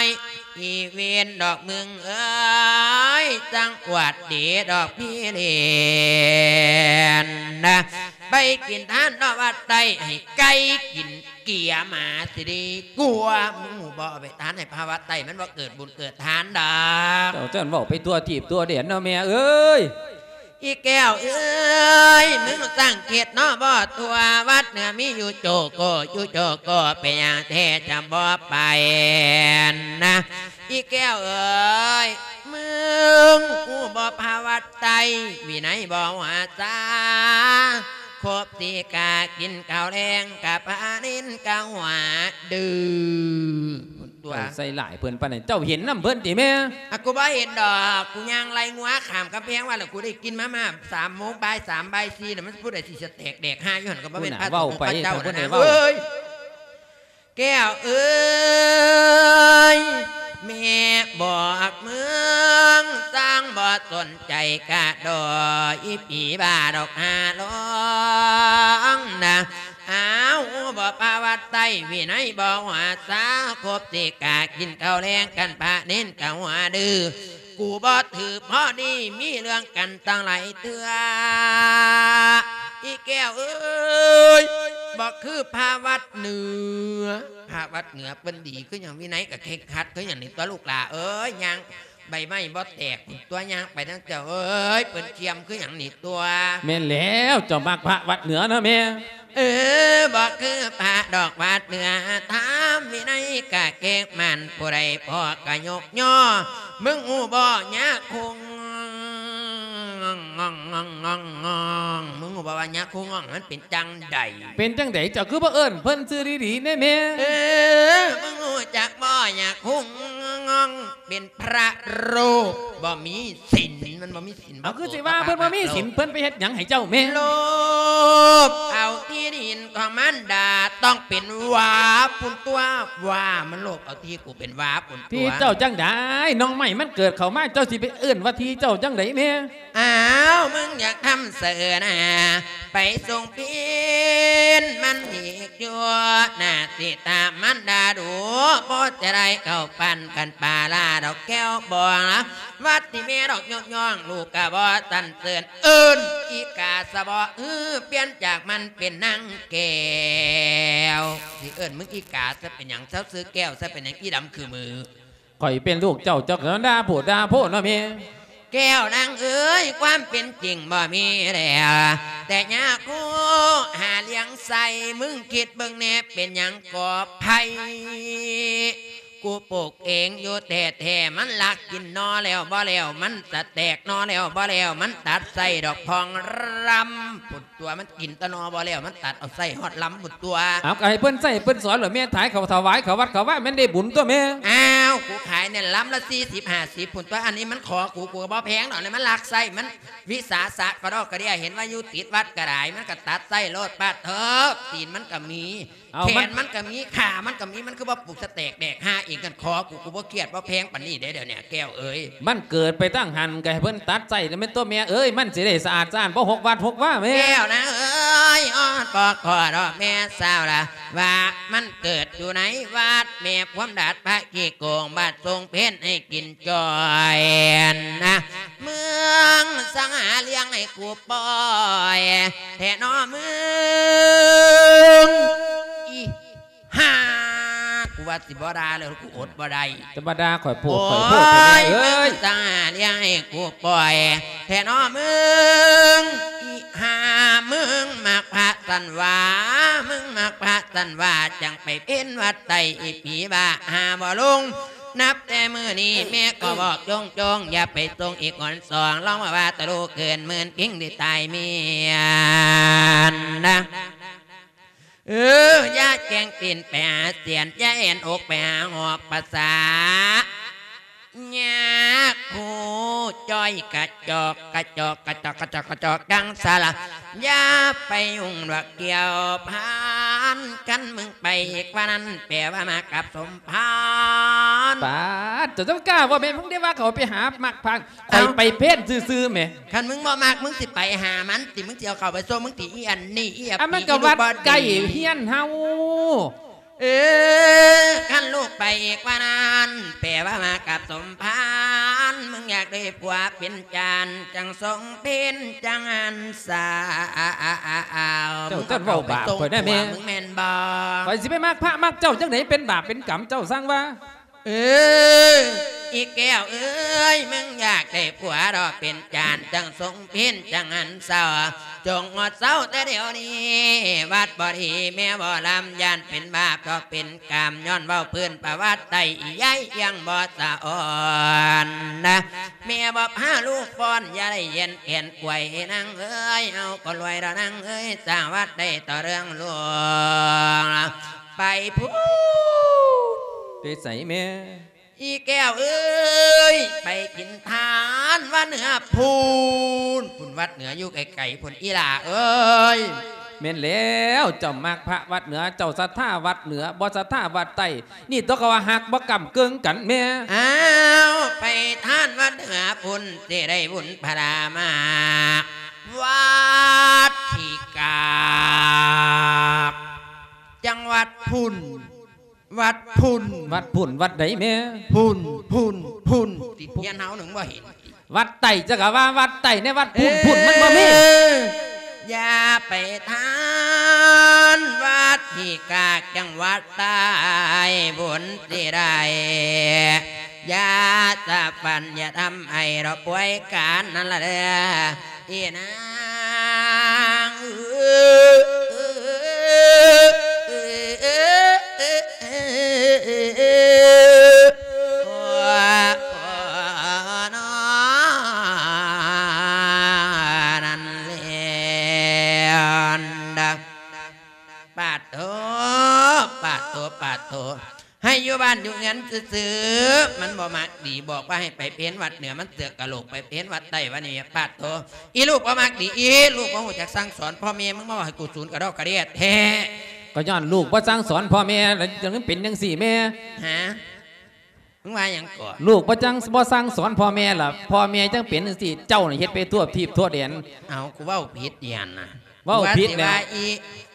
ຍ ອີເວນດອກມຶງເອີຍ ຈັ່ງອວດດີດອກພີ້ເລນນະ. ໄປກິນທານເນາະວັດໃຕ້ ໃຫ້ໄກ່ກິນເກຍໝາຊິດີກວ່າ. ມຶງຮູ້ບໍ່ ເອົາໄປທານໃຫ້ພະວັດໃຕ້ ມັນບໍ່ເກີດບຸນເກີດທານດອກ. ເຈົ້າຈັ່ງເວົ້າໄປທົ່ວທີບທົ່ວແດນເນາະແມ່ເອີຍ. ອີແກ້ວເອີຍ ມຶງສັງເກດເນາະບໍ່ທົ່ວ ວັດເໜືອມີຢູ່ໂຈໂກ ຢູ່ໂຈໂກ ເປັນຫຍັງແທ້ຈະບໍ່ໄປນະ? ອີແກ້ວເອີຍ ມຶງຮູ້ບໍ່ພະວັດໃຕ້ ວິໄນບໍ່ຫົວຊາ ຄົບສິກາກິນເຂົ້າແລງ ກະພະນິນກະຫົວດື້. ຕົວະ ເຈົ້າໃສ່ຮ້າຍເພິ່ນປານນັ້ນ ເຈົ້າເຫັນນຳເພິ່ນຕິແມ່? ອະ ກູບໍ່ເຫັນດອກ ກູຍ່າງໄລ່ງົວຂ້າມກຳແພງມາ ແລ້ວກູໄດ້ກິ່ນມາມ່າສາມໂມງ ບ່າຍສາມ ບ່າຍສີ່ ແລ້ວມັນຜູ້ໃດຊິສະແຕກແດກຫາຢູ່ຫັ້ນ ກໍບໍ່ແມ່ນພະສົງພະເຈົ້ານະເອີຍ. ແກ້ວເອີຍ ແມ່ບອກມຶງ ຊ່າງບໍ່ສົນໃຈກະດໍ ອີຜີບ້າດອກຫາລອງນະ. ອ້າວ ບໍ່ພະວັດໃຕ້ ວິໄນບໍ່ຫົວຊາ ຄົບສິກາກິນເຂົ້າແລງກັນ ພະເນນກະຫົວດື້. ກູບໍ່ຖືກພໍດີ ມີເລື່ອງກັນຕັ້ງຫຼາຍເທື່ອ. ອີແກ້ວເອີຍ ບໍ່ຄືພະວັດເໜືອ ພະວັດເໜືອເພິ່ນດີຄືຫຍັງ ວິໄນກະເຄັ່ງຄັດຄືຫຍັງນີ້ຕົວະລູກຫຼ້າເອີຍ. ຍ່າງໃບໄມ້ບໍ່ແຕກຕົວະ ຍ່າງໄປນຳເຈົ້າເອີຍ ເພິ່ນຈຽມຄືຫຍັງນີ້ຕົວະ. ແມ່ນແລ້ວ ເຈົ້າມັກພະວັດເໜືອເນາະແມ່. ເອີ ບໍ່ຄືພະດອກວັດເໜືອ ຖາມວິໄນກະເກັ່ງໝັ້ນ ຜູ້ໃດພໍກະຍົກຍໍ. ມຶງຮູ້ບໍ່ຍາຄູງອງ ງອງ ງອງ ງອງ ງອງ ມຶງຮູ້ບໍ່ວ່າຍາຄູງອງມັນເປັນຈັ່ງໃດ? ເປັນຈັ່ງໃດ ເຈົ້າຄືບໍ່ເອີ້ນເພິ່ນຊື່ດີໆແດ່ແມ່? ເອີ ມຶງຮູ້ຈັກບໍ່ ຍາຄູງອງ ເປັນພະໂລບບໍ່ມີສິນ ມັນບໍ່ມີສິນ. ເອົາ ຄືຊິວ່າເພິ່ນບໍ່ມີສິນ ເພິ່ນໄປເຮັດຫຍັງໃຫ້ເຈົ້າແມ່? ໂລບເອົາທີ່ດິນຂອງມານດາ ຕ້ອງເປັນຫວ້າພຸ້ນຕົວະ ຫວ້າ ມັນໂລບເອົາທີ່ກູເປັນຫວ້າພຸ້ນຕົວະ. ທີ່ເຈົ້າຈັ່ງໃດ ໜໍ່ໄມ້ມັນເກີດເຂົ້າມາ ເຈົ້າຊິໄປເອີ້ນວ່າທີ່ເຈົ້າຈັ່ງໃດແມ່? ອ້າວ ມຶງຢາກທຳເສີນາ ໄປສົ່ງປິ່ນມັນອີກຢູ່ ໜ້າຊິຖາມມານດາດູ ພໍຈະໄດ້ເຂົ້າປັນກັນປາລາດອກແກ້ວບໍ່ລະ ວັດທີ່ແມ່ດອກຍົກຍ້ອງ ລູກກະບໍ່ສັນເສີນ ເອີ້ນອີກາຊະບໍ່ ເອີ ປ່ຽນຈາກມັນເປັນນາງແກ້ວ. ຊິເອີ້ນມຶງອີກາຊະເປັນຫຍັງ ເຊົາຊື່ແກ້ວຊະເປັນຫຍັງ ອີດຳຄືມື. ຂ້ອຍເປັນລູກເຈົ້າ ເຈົ້າກໍດ່າໂພດດ່າໂພເນາະແມ່. ແກ້ວນາງເອີຍ ຄວາມເປັນຈິງບໍ່ມີແລ້ວ ແຕ່ຍາຄູຫາລ້ຽງໃສ່ ມຶງຄິດເບິ່ງແດ່ ເປັນຫຍັງກໍໄພ ກູປູກເອງຢູ່ແທ້ໆ ມັນລັກກິນໜໍ່ແລ້ວບໍ່ແລ້ວ ມັນສະແຕກໜໍ່ແລ້ວບໍ່ແລ້ວ ມັນຕັດໄສ້ດອກພອງລຳພຸ້ນຕົວະ ມັນກິນແຕ່ໜໍ່ບໍ່ແລ້ວ ມັນຕັດເອົາໄສ້ຮອດລຳພຸ້ນຕົວະ. ເອົາ ກໍໃຫ້ເພິ່ນໃຊ້ເພິ່ນສອນແຫຼະແມ່ ຂາຍເຂົ້າຖວາຍເຂົ້າວັດເຂົ້າວາ ແມ່ນໄດ້ບຸນຕົວະແມ່. ອ້າວ ກູຂາຍແນ່ນລຳລະສີ່ສິບຫ້າສິບພຸ້ນຕົວະ ອັນນີ້ມັນຂໍກູ ກູກໍບໍ່ແພງດອກ ອັນນີ້ມັນລັກໄສ້ ມັນວິສາສະກະດອກກະເດຍ ເຫັນວ່າຢູ່ຕິດວັດກໍໄດ້ ມັນກໍຕັດໄສ້ໂລດ ປາດເທີ ຕີນມັນກໍມີ ເອົາ ແຂນມັນ ມັນກໍມີ ຂາມັນກໍມີ ມັນຄືບໍ່ປູກສະແຕກແດກຫາເອງກັນ ຂໍກູ ກູບໍ່ຄຽດບໍ່ແພງປານນີ້ເດ້ ດຽວນີ້ແກ້ວເອີຍ. ມັນເກີດໄປຕັ້ງຫັ້ນ ກໍໃຫ້ເພິ່ນຕັດໄສ້ແລ້ວແມ່ນຕົວະແມ່ເອີຍ ມັນຊິໄດ້ສະອາດສະອ້ານ ບໍ່ຫົກວັດຫົກວາແມ່. ແກ້ວນາງເອີຍ ອອດບໍ່ຂໍດອກແມ່ສາວລະ ວ່າມັນເກີດຢູ່ໃນວັດແມ່ພວມດາດພະຂີ້ໂກງ ບາດຊົງເພັດໃຫ້ກິນຈ່ອຍນະ ມຶງສັງຫາລ້ຽງໃຫ້ກູປ່ອຍແທ້ນໍມຶງ ອີ ຫາ ກູວ່າຊິບໍ່ດ່າແລ້ວ ກູອົດບໍ່ໄດ້ ຈະມາດ່າຂ້ອຍໂພດ ໂອ້ຍ ຂ້ອຍໂພດແທ້ເອີຍ ມຶງສັງຫາລ້ຽງໃຫ້ກູປ່ອຍແທ້ນໍມຶງ ອີຫາ ມຶງມັກພະສັນຫວາ ມຶງມັກພະສັນຫວາ ຈັ່ງໄປເປັນວັດໃຕ້ ອີຜີບ້າຫາບໍ່ລົງ ນັບແຕ່ມື້ນີ້ແມ່ຂໍບອກໂຈ້ງໆ ຢ່າໄປສົ່ງອີກຄົນສອງ ລອງມາວ່າຕະລຸເກີນໝື່ນ ພິງໄດ້ຕາຍເມຍນນະ. ເອີ ຢ່າແກ່ງຕີນໄປຫາສຽນ ຢ່າແອ່ນອົກໄປຫາຫອກປາສາ ຍາກຮູ້ຈ້ອຍກະຈອກ ກະຈອກ ກະຈອກ ກະຈອກ ກະຈອກ ກັງສາລະ ຢ່າໄປຫຍຸ້ງດອກກ່ຽວພັນ ຄັນມຶງໄປອີກວ່ານັ້ນ ແປວ່າມາກັບສົມພານ. ປາດ ເຈົ້າເຈົ້າກ້າບໍ່ແມ່ນ ມຶງໄດ້ວ່າເຂົາໄປຫາມັກພັກ ຂ້ອຍໄປເພນຊື່ໆແໝ. ຄັນມຶງບໍ່ມັກ ມຶງຊິໄປຫາມັນຕິ ມຶງຊິເອົາເຂົ້າໄປສົ່ງ ມຶງຕິອີອັນນີ້ ອີອັບ ອັນມັນກໍວັດໃກ້ເຮືອນເຮົາ. ເອີ ຄັນລູກໄປອີກວ່ານັ້ນ ແປວ່າມາກັບສົມພານ ມຶງຢາກ ເປັນຜົວເປັນຈານ ຈັ່ງຊົງເພັນຈັ່ງຫັນສາວ. ເຈົ້າຈັ່ງເວົ້າບາບຂ້ອຍໄດ້ແມ່ ມຶງເອົາໄປສົ່ງຜົວ ມຶງແມ່ນບໍ່? ຂ້ອຍຊິໄປມັກພະມັກເຈົ້າຈັ່ງໃດ ເປັນບາບເປັນກຳ ເຈົ້າສັ່ງວ່າ. ເອີ ອີແກ້ວເອີຍ ມຶງຢາກໄດ້ຜົວດອກເປັນຈານ ຈັ່ງຊົງເພັນຈັ່ງຫັນສາວ. ຈົ່ງງົດເຊົາແຕ່ດຽວນີ້ ວັດບໍ່ດີແມ່ບໍ່ລຳ ຢ້ານເປັນບາບດອກເປັນກຳ ຍ້ອນເວົ້າພື້ນປະຫວັດໄຕ້ ອີໃຫຍ່ຍັງບໍ່ສະອອນນະ. ແມ່ບໍ່ພາລູກຟ້ອນ ຢ່າໄດ້ຢຽນແຂນກວຍນາງເອີຍ ເຮົາກໍລວຍດອກນາງເອີຍ ສ້າງວັດໄດ້ຕໍ່ເລື່ອງຫຼວງ ໄປພຸ້ນ. ໄປໃສແມ່? ອີແກ້ວເອີຍ ໄປກິນທານວັດເໜືອພຸ້ນ ພຸ້ນວັດເໜືອຢູ່ໄກໆ ພຸ້ນອີຫຼ້າເອີຍ. ແມ່ນແລ້ວ ເຈົ້າມັກພະວັດເໜືອ ເຈົ້າສັດທາວັດເໜືອ ບໍ່ສັດທາວັດໃຕ້ ນີ້ຕົວກໍວ່າຮັກບໍ່ກ້ຳເກິ່ງກັນແມ່. ອ້າວ ໄປທານວັດເໜືອພຸ້ນ ຊິໄດ້ບຸນພະລາມາກ ວັດທີ່ກາກ ຈັງຫວັດພຸ້ນ ວັດພຸ້ນ ວັດພຸ້ນ ວັດໃດແມ່? ພຸ້ນ ພຸ້ນ ພຸ້ນ ຕິດຮຽນເຮົາໜຶ່ງບໍ່ເຫັນ ວັດໃຕ້ ເຈົ້າກໍວ່າວັດໃຕ້ ໃນວັດພຸ້ນ ເອີ ພຸ້ນມັນບໍ່ມີ. ຢ່າໄປທານວັດທີ່ກາກ ຈັງຫວັດໃຕ້ບຸນຊິໄດ້ ຢ່າສະຝັນ ຢ່າທຳໃຫ້ດອກປ່ວຍການນັ້ນລະເດີ ອີນາງເອີຍ. ນັ້ນແຫຼະ ປາດໂທ ປາດໂທ ປາດໂທ ໃຫ້ຢູ່ບ້ານຢູ່ເຮືອນຊື່ໆ ມັນບໍ່ມັກດີ ບອກວ່າໃຫ້ໄປເພນວັດເໜືອ ມັນເສືອກກະໂຫຼກໄປເພນວັດໃຕ້ ວ່ານີ້ ປາດໂທ ອີລູກບໍ່ມັກດີ ອີລູກບໍ່ຮູ້ຈັກສັ່ງສອນພໍ່ແມ່ ມຶງມາເວົ້າໃຫ້ກູສູນກະດອກກະເດຍແທ້. ກໍຍ້ອນລູກບໍ່ສັ່ງສອນພໍ່ແມ່ ແລ້ວຈຶ່ງເປັນຈັ່ງຊີ້ແມ່. ຫາ ມຶງວ່າຫຍັງເກາະ? ລູກບໍ່ຈັ່ງ ບໍ່ສັ່ງສອນພໍ່ແມ່ລະ ພໍ່ແມ່ຈັ່ງເປັນຈັ່ງຊີ້ ເຈົ້ານີ້ເຮັດໄປທົ່ວທີບທົ່ວແດນ. ເອົ້າ ກູເວົ້າຜິດອີ່ຫຍັງນະ? ເວົ້າຜິດແລ້ວ ອີ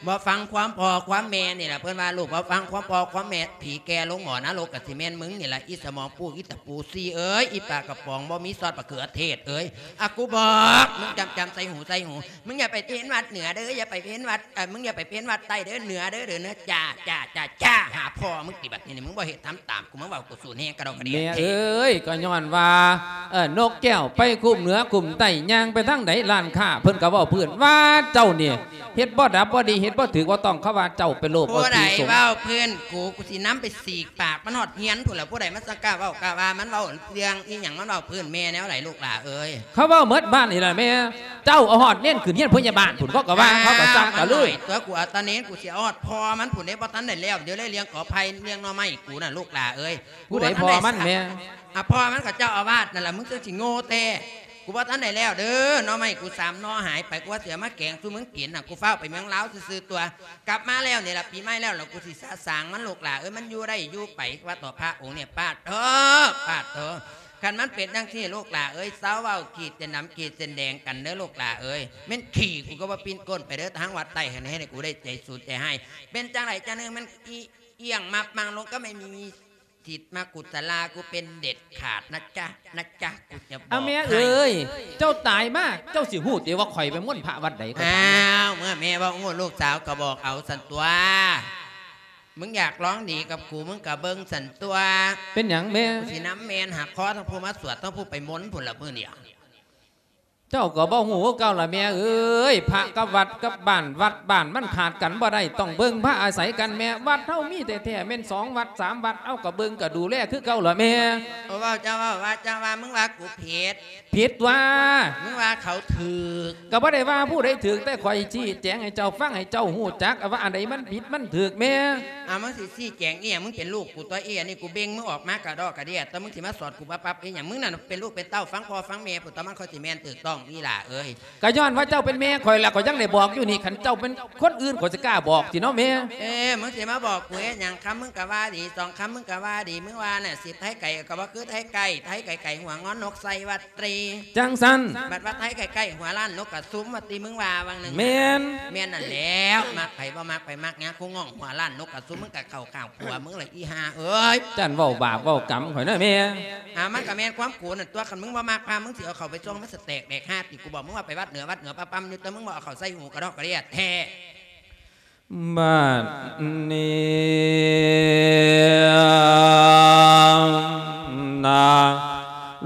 ບໍ່ຟັງຄວາມພໍ່ຄວາມແມ່ນີ້ລະ ເພິ່ນວ່າລູກບໍ່ຟັງຄວາມພໍ່ຄວາມແມ່ ຜີແກ່ລົງໝໍນະລົກກະຊິແມ່ນມຶງນີ້ລະ ອີສະໝອງປູກ ອີຕະປູຊີ້ເອີຍ ອີປາກະປ໋ອງບໍ່ມີຊອດມະເຂືອເທດເອີຍ. ອາ ກູບອກ ມຶງຈຳ ຈຳໃສ່ຫູໃສ່ຫູ ມຶງຢ່າໄປເພນວັດເໜືອເດີ ຢ່າໄປເພນວັດ ເອີ ມຶງຢ່າໄປເພນວັດໃຕ້ເດີ ເໜືອເດີ ເດີເໜືອ ຈ້າ ຈ້າ ຈ້າ ຈ້າ ຫາພໍ່ມຶງຕິ ບັດນີ້ ນີ້ ມຶງບໍ່ເຮັດທຳຕາມ ກູມາເວົ້າກູສູນແຮງກະດອກກະເດຍ ແມ່ເອີຍ ກໍຍ້ອນວ່າ ເອີ ນົກແກ້ວໄປຄຸ້ມເໜືອຄຸ້ມໃຕ້ ຍ່າງໄປທາງໃດ ຮ້ານຄ້າເພິ່ນກໍເວົ້າພື້ນວ່າ ເຈົ້ານີ້ເຮັດບໍ່ດັບບໍ່ດີ ເຮັດບໍ່ຖືກບໍ່ຕ້ອງ ເຂົາວ່າເຈົ້າໄປໂລບເອົາ ຜູ້ໃດ ທີ່ສົງ ເວົ້າພື້ນກູ ກູຊິນຳໄປສີກປາກມັນຮອດເຮືອນພຸ້ນລະ. ຜູ້ໃດມາສັກກ້າເວົ້າກ້າວ່າ ມັນເວົ້າເລື່ອງອີ່ຫຍັງ ມັນເວົ້າພື້ນແມ່ແນວໃດ ລູກຫຼ້າເອີຍ? ເຂົາເວົ້າໝົດບ້ານນີ້ລະແມ່ ເຈົ້າເອົາຮອດເນນຂຶ້ນຮຽນພະຍາບານພຸ້ນ ເຂົາກໍວ່າ ເຂົາກໍສັ່ງກະເລີຍ ມາໜ້ອຍຕົວະ ກູເອົາແຕ່ເນນ ກູຊິເອົາຮອດພໍ່ມັນພຸ້ນເດ້ ບໍ່ທັນໄດ້ແລ້ວ ດຽວເລີຍລ້ຽງກໍໄຜ່ ລ້ຽງໜໍ່ໄມ້ ກູນະ ລູກຫຼ້າເອີຍ. ຜູ້ໃດພໍ່ມັນແມ່? ອາ ພໍ່ມັນກໍເຈົ້າອາວາດນັ້ນລະ ມຶງຈັ່ງຊິໂງ່ແທ້. ກູບໍ່ທັນໄດ້ແລ້ວເດີ ໜໍ່ໄມ້ກູສາມໜໍ່ຫາຍໄປ ກູວ່າຊິເອົາມາແກງສູ່ມຶງກິນນະ ກູຟ້າວໄປເມືອງລາວຊື່ໆຕົວະ ກັບມາແລ້ວນີ້ລະ ປີໃໝ່ແລ້ວລະ ກູຊິສະສາງມັນ ລູກຫຼ້າເອີຍ. ມັນຢູ່ໄດ້ຢູ່ໄປ ວ່າຕໍ່ພະອົງນີ້ ປາດໂທ ປາດໂທ. ຄັນມັນເປັນຈັ່ງຊີ້ ລູກຫຼ້າເອີຍ ເຊົາເວົ້າຂີດເສັ້ນດຳຂີດເສັ້ນແດງກັນເດີ ລູກຫຼ້າເອີຍ. ແມ່ນຂີ້ ກູກໍບໍ່ປິ່ນກົ້ນໄປເດີ ທາງວັດໃຕ້ຫັ້ນ ເຮັດໃຫ້ກູໄດ້ໃຈສູນໃຈຮ້າຍ. ເປັນຈັ່ງໃດຈັ່ງໜຶ່ງ ມັນອີ ອຽງມາບມາງລົງ ກໍໄມ່ມີສິດມາກຸດສະລາກູເປັນເດັດຂາດນະຈ໊ະ ນະຈ໊ະ ກູຈະບອກໃຫ້. ເອົາແມ່ເອີຍ ເຈົ້າຕາຍມາ ເຈົ້າຊິຮູ້ຕິວ່າຂ້ອຍໄປມົນພະວັດໃດ? ຂ້ອຍຖາມແດ່. ອ້າວ ເມື່ອແມ່ເວົ້າຮູ້ ລູກສາວກໍບອກເອົາຊັ້ນຕົວະ. ມຶງຢາກລອງດີກັບກູ ມຶງກໍເບິ່ງຊັ້ນຕົວະ. ເປັນຫຍັງແມ່? ກູຊິນຳແມ່ນຫັກຄໍທັງຜູ້ມາສວດ ທັງຜູ້ໄປມົນພຸ້ນລະມື້ນີ້. ເຈົ້າກໍບໍ່ຮູ້ຄືເກົ່າລະແມ່ເອີຍ ພະກັບວັດກັບບ້ານ ວັດບ້ານມັນຂາດກັນບໍ່ໄດ້ ຕ້ອງເບິ່ງພາອາໄສກັນແມ່. ວັດເຮົາມີແທ້ໆແມ່ນສອງວັດສາມວັດ ເຮົາກໍເບິ່ງກໍດູແລຄືເກົ່າລະແມ່. ເວົ້າ ເຈົ້າເວົ້າວ່າ ເຈົ້າວ່າ ມຶງວ່າກູຜິດ ຜິດຕົວະ ມຶງວ່າເຂົາຖືກ. ກໍບໍ່ໄດ້ວ່າຜູ້ໃດຖືກ ແຕ່ຂ້ອຍຊີ້ແຈງໃຫ້ເຈົ້າຟັງ ໃຫ້ເຈົ້າຮູ້ຈັກວ່າອັນໃດມັນຜິດມັນຖືກແມ່. ອາ ມຶງຊິຊີ້ແຈງອີ່ຫຍັງ? ມຶງເປັນລູກກູຕົວະ ອີອັນນີ້ກູເບັ່ງມຶງອອກມາກະດອກກະເດຍ ແຕ່ມຶງຊິມາສອນກູປັບໆອີ່ຫຍັງ? ມຶງນັ້ນເປັນລູກເປັນເຕົ້າ ຟັງພໍ່ຟັງແມ່ພຸ້ນ ຕອນມັນຄ່ອຍຊິແມ່ນຖືກຕ້ອງ. ອີ່ຫຼ້າເອີຍ. ກໍຍ້ອນວ່າເຈົ້າເປັນແມ່ຂ້ອຍ ແລ້ວຂ້ອຍຍັງໄດ້ບອກຢູ່ນີ້ ຄັນເຈົ້າເປັນຄົນອື່ນ ຂ້ອຍຊິກ້າບອກຕິເນາະແມ່. ເອີ ມຶງຊິມາບອກກູເຮັດຫຍັງ? ຄຳມຶງກໍວ່າດີ ສອງຄຳມຶງກໍວ່າດີ ມຶງວ່ານະ ສິດໄທໄກກໍບໍ່ຄືໄທໃກ້ ໄທໄກໆຫົວງອນນົກໃສ່ວ່າຕິ. ຈັ່ງຊັ້ນ ບັດວ່າໄທໃກ້ໆຫົວລ້ານນົກກະຊຸມວ່າຕິ ມຶງວ່າຫວ່າງໜຶ່ງ. ແມ່ນ ແມ່ນນັ້ນແຫຼ້ວ. ມັກໃຜບໍ່ມັກໃຜມັກຫຍັງ ຄູງອງຫົວລ້ານນົກກະຊຸມ ມຶງກະເຂົ້າຂ້າງຜົວມຶງລະ ອີ່ຫ່າເອີຍ. ຈັ່ນເວົ້າບາບເວົ້າກຳຂ້ອຍນະແມ່. ອາ ມັນກະແມ່ນຄວາມກູນັ້ນຕົວະ ຄັນມຶງບໍ່ມັກພາ ມຶງຊິເອົາເຂົ້າໄປຊ່ວງມັນສະແຕກແດກຫາຕິ. ກູບອກມຶງວ່າໄປວັດເໜືອ ວັດເໜືອປະປຳຢູ່ ແຕ່ມຶງບໍ່ເອົາເຂົ້າໃສ່ຫູກະດອກກະເດຍແທ້. ບາດນີ້ນາ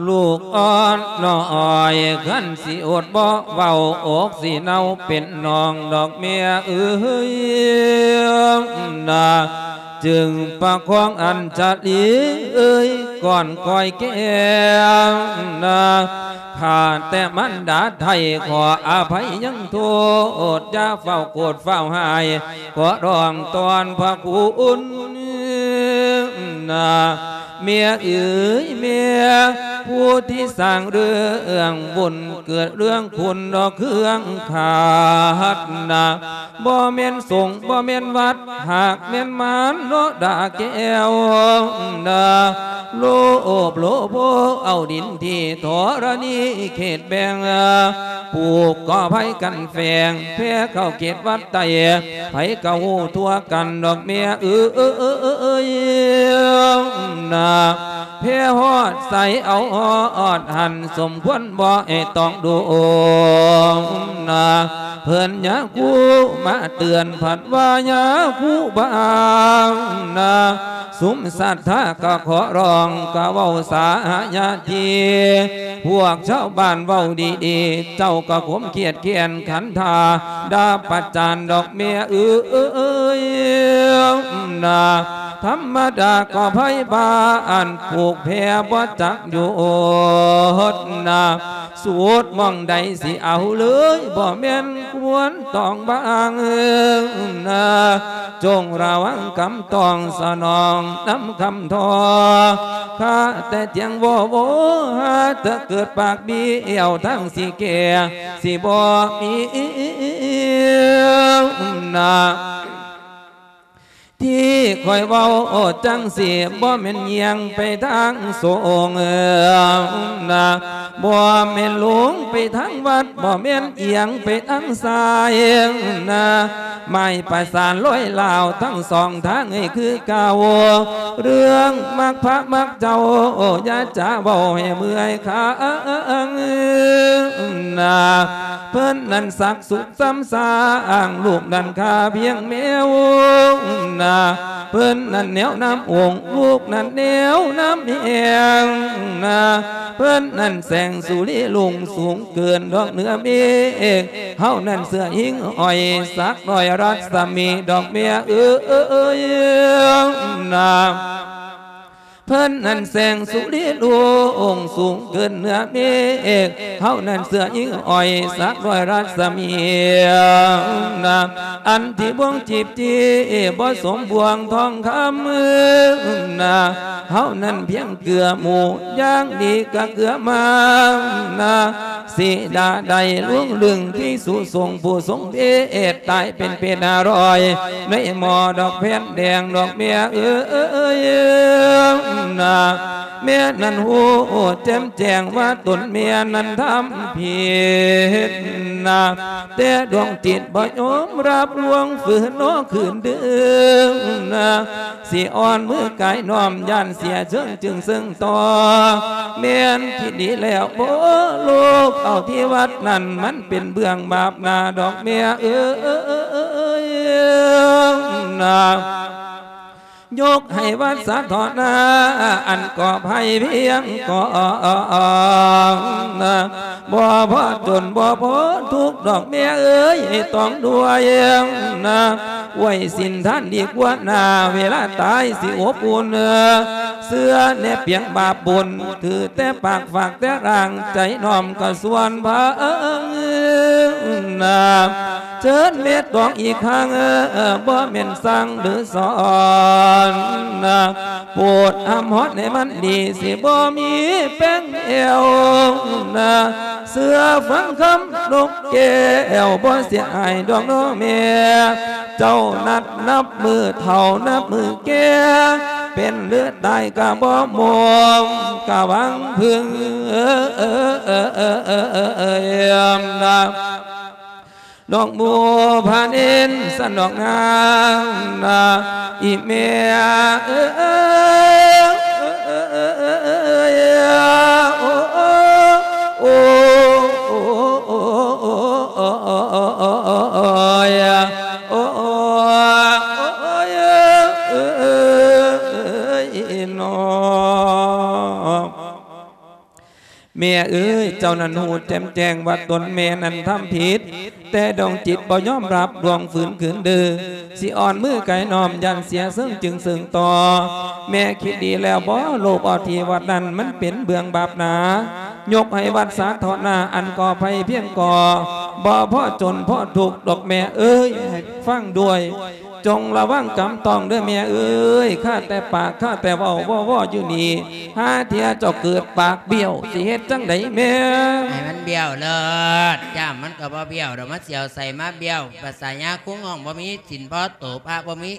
ລູກອ່ອນນ້ອຍ ຄັນຊິອົດບໍ່ເວົ້າ ອົກຊິເນົ່າເປັນໜອງດອກແມ່ເອີຍນາ. ຈຶ່ງປະຄອງອັນຈະລີເອີຍ ກ່ອນກ້ອຍແກ້ວນາ. ຂ້າແຕ່ມານດາໄທ ຂໍອະໄພຍັງໂທດ ຢ່າຟ້າວໂກດຟ້າວຮ້າຍ ຂໍຮ້ອງຕອນພະຄຸນນາ. ແມ່ເອີຍແມ່ ຜູ້ທີ່ສ້າງເລື່ອງບຸນ ເກີດເລື່ອງຄຸນດອກເຄື່ອງຂາດນາ. ບໍ່ແມ່ນສົງ ບໍ່ແມ່ນວັດ ຫາກແມ່ນມານໂນດາແກ້ວນາ. ໂລບໂລໂພເອົາດິນທີ່ທໍລະນີເຂດແບ່ງ ປູກກໍໄຜ່ກັນແຝງ ແຜ່ເຂົ້າເຂດວັດໃຕ້ ໃຜກໍຮູ້ທົ່ວກັນດອກແມ່ເອີຍນາ. ແຜ່ຮອດໃສເອົາຮອດຫັ້ນ ສົມຄວນບໍ່ໃຫ້ຕ້ອງໂດນນາ. ເພິ່ນຍາຄູມາເຕືອນ ພັດວ່າຍາຄູບາງນາ. ຊຸມສັດທາກໍຂໍຮ້ອງ ກໍເວົ້າສາຍາທີ ພວກຊາວບ້ານເວົ້າດີໆ ເຈົ້າກໍຂົມຄຽດແຄ້ນຂັນທາ ດ່າປະຈານດອກແມ່ເອີຍນາ. ທຳມະດາກໍໄພບ້ານ ຜູກແພບໍ່ຈັກຢຸດນາ. ສູດໝ່ອງໃດຊິເອົາເລີຍ ບໍ່ແມ່ນຄວນຕ້ອງບາງນາ. ຈົ່ງລະວັງຄຳຕ້ອງສະໜອງນຳຄຳທໍ ຂ້າແຕ່ທຽງວໍວໍ ຫາແຕ່ເກີດປາກບີ່ແອວທາງຊິແກ່ ຊິບໍ່ມີນາ. ທີ່ຂ້ອຍເວົ້າຈັ່ງຊີ້ ບໍ່ແມ່ນຍ່ຽງໄປທາງສົງນາ ບໍ່ແມ່ນຫຼົງໄປທາງວັດ ບໍ່ແມ່ນອຽງໄປທາງຊ້າຍນາ. ໝາຍປະສານລອຍລາວທັງສອງທາງໃຫ້ຄືເກົ່າ ເລື່ອງມັກພະມັກເຈົ້າ ຢ່າຈະເວົ້າໃຫ້ເມື່ອຍຄາງນາ. ເພິ່ນນັ້ນສັກສຸກ ຊ້ຳສ້າງ ລູກນັ້ນຂ້າພຽງແມວນາ. ເພິ່ນນັ້ນແນວນຳອົງ ລູກນັ້ນແນວນຳແຮງນາ. ເພິ່ນນັ້ນແສງສຸລິລຸ່ງສູງເກີນດອກເໜືອເມກ ເຮົານັ້ນເສື້ອຫິງຫ້ອຍ ສັກນ້ອຍລັດສະໝີດອກແມ່ເອີຍນາ. ເພິ່ນນັ້ນແສງສຸລິລຸ່ງສູງເກີນເໜືອເມກ ເຮົານັ້ນເສື້ອຫິງຫ້ອຍ ສັກນ້ອຍລັດສະໝີນາ. ອັນທີ່ບ່ວງຈີບຈີ່ ບໍ່ສົມບ່ວງທອງຄຳນາ ເຮົານັ້ນພຽງເກືອໝູ່ ຢ່າງດີກະເກືອມານາ. ສີດາໄດ້ລວງລຶງ ພິກສຸສົງຜູ້ຊົງເພດ ຕາຍເປັນເປດຫ້າຮ້ອຍ ໃນໝໍ້ດອກແຜ່ນແດງດອກແມ່ເອີຍນາ. ແມ່ນັ້ນຮູ້ແຈ່ມແຈ້ງວ່າຕົນແມ່ນັ້ນທຳຜິດນາ ແຕ່ດວງຈິດບໍ່ຍອມຮັບລວງ ຝືນໜໍຄືນດຶງນາ. ຊິອ່ອນມືກາຍນ້ອມ ຢ້ານເສຍເຊີງຈຶ່ງເຊິ່ງຕໍ່ ແມ່ນທີ່ດີແລ້ວບໍ່ລູກ ເອົາທີ່ວັດນັ້ນມັນເປັນເບື້ອງບາບໜ້າດອກແມ່ເອີຍນາ. ຍົກໃຫ້ວັດສາທອນາ ອັນກອບໃຫ້ພຽງກ່ອນນາ. ບໍ່ພໍຈົນບໍ່ພໍທຸກດອກແມ່ເອີຍ ຕ້ອງດ້ວຍນາ ໄວ້ສິນທານດີກວ່າໜ້າ ເວລາຕາຍຊິອົບອຸ່ນ ເຊື່ອແນບປຽງບາບບຸນ ຖືແຕ່ປາກຝາກແຕ່ຮ່າງ ໃຈນ້ອມກະຊວນພານາ. ເຊີນເມດດອງອີກຄັ້ງ ບໍ່ແມ່ນສັ່ງຫຼືສອນນາ ໂປດຫ້າມຮອດໃຫ້ມັນດີ ຊິບໍ່ມີແປ້ງແອວນາ. ເຊື່ອຟັງຄຳນົກແກ້ວ ບໍ່ເສຍຫາຍດອກນ້ອງແມ່. ເຈົ້ານັດນັບມື້ເຖົ້ານັບມື້ແກ່ ເປັນຫຼືຕາຍກະບໍ່ໝົດ ກະຫວັງເພິ່ງ ນ້ອງໝູ່ພານິນ ຊັ້ນດອກນາງນາ ອີແມ່ເອີຍ ໂອ້ ໂອ້ ໂອ້ຍ ໂອ້ ໂອ້ຍ ເອີຍ ນ້ອງ. ແມ່ເອີຍ ເຈົ້ານັ້ນຮູ້ແຈ່ມແຈ້ງວ່າຕົນແມ່ນັ້ນທຳຜິດ, ແຕ່ດວງຈິດບໍ່ຍອມຮັບ ດວງຝືນຂືນດື້, ຊິອ່ອນມືໄກນ້ອມ ຢ້ານເສຍເຊິ່ງຈຶ່ງເຊິ່ງຕໍ່. ແມ່ຄິດດີແລ້ວບໍ່? ໂລບເອົາທີ່ວັດນັ້ນ ມັນເປັນເບື້ອງບາບໜາ, ຍົກໃຫ້ວັດສາທາລະນະ ອັນກໍໄພພຽງກໍ ບໍ່ພໍຈົນພໍທຸກດອກແມ່ເອີຍ ໃຫ້ຟັງດ້ວຍ. ຈົ່ງລະວັງກຳຕ້ອງເດີແມ່ເອີຍ, ຄາແຕ່ປາກຄາແຕ່ເວົ້າ ວໍໆຢູ່ນີ້, ຫາເທື່ອເຈົ້າເກີດປາກບ້ຽວ ຊິເຮັດຈັ່ງໃດແມ່? ໃຫ້ມັນບ້ຽວເລີດ, ຈ້າມມັນກໍບໍ່ບ້ຽວດອກ, ມັນຊິເອົາໃສມາບ້ຽວ? ພາສາຍາຄູງອງ ບໍ່ມີສິນພໍໂຕ, ພະບໍ່ມີ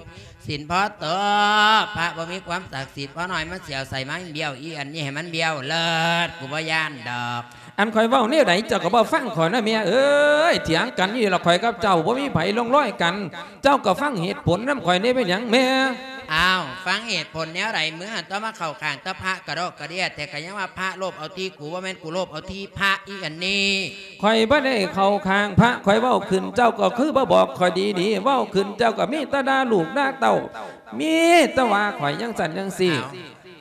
ສິນພໍໂຕ, ພະບໍ່ມີຄວາມສັກສິດພໍໜ້ອຍ, ມັນຊິເອົາໃສມາບ້ຽວ? ອີອັນນີ້ໃຫ້ມັນບ້ຽວເລີດ, ກູບໍ່ຢ້ານດອກ. ອັນຂ້ອຍເວົ້າແນວໃດເຈົ້າກໍບໍ່ຟັງຂ້ອຍນະແມ່ເອີຍ, ຖຽງກັນຢູ່ລະ ຂ້ອຍກັບເຈົ້າບໍ່ມີໃຜລົງລອຍກັນ, ເຈົ້າກໍຟັງເຫດຜົນນຳຂ້ອຍແດ່ ເປັນຫຍັງແມ່? ອ້າວ ຟັງເຫດຜົນແນວໃດ? ມຶງຫັ້ນຕົວະມາເຂົ້າຂ້າງແຕ່ພະກະດອກກະເດຍ, ແຕ່ກໍຍັງວ່າພະໂລບເອົາທີ່ກູ, ບໍ່ແມ່ນກູໂລບເອົາທີ່ພະ ອີອັນນີ້. ຂ້ອຍບໍ່ໄດ້ເຂົ້າຂ້າງພະ, ຂ້ອຍເວົ້າຂຶ້ນເຈົ້າກໍຄືບໍ່ບອກຂ້ອຍດີໆ, ເວົ້າຂຶ້ນເຈົ້າກໍມີແຕ່ດ່າລູກດ່າເຕົ້າ, ມີແຕ່ວ່າຂ້ອຍຈັ່ງຊັ້ນຈັ່ງຊີ້. ອ້າວ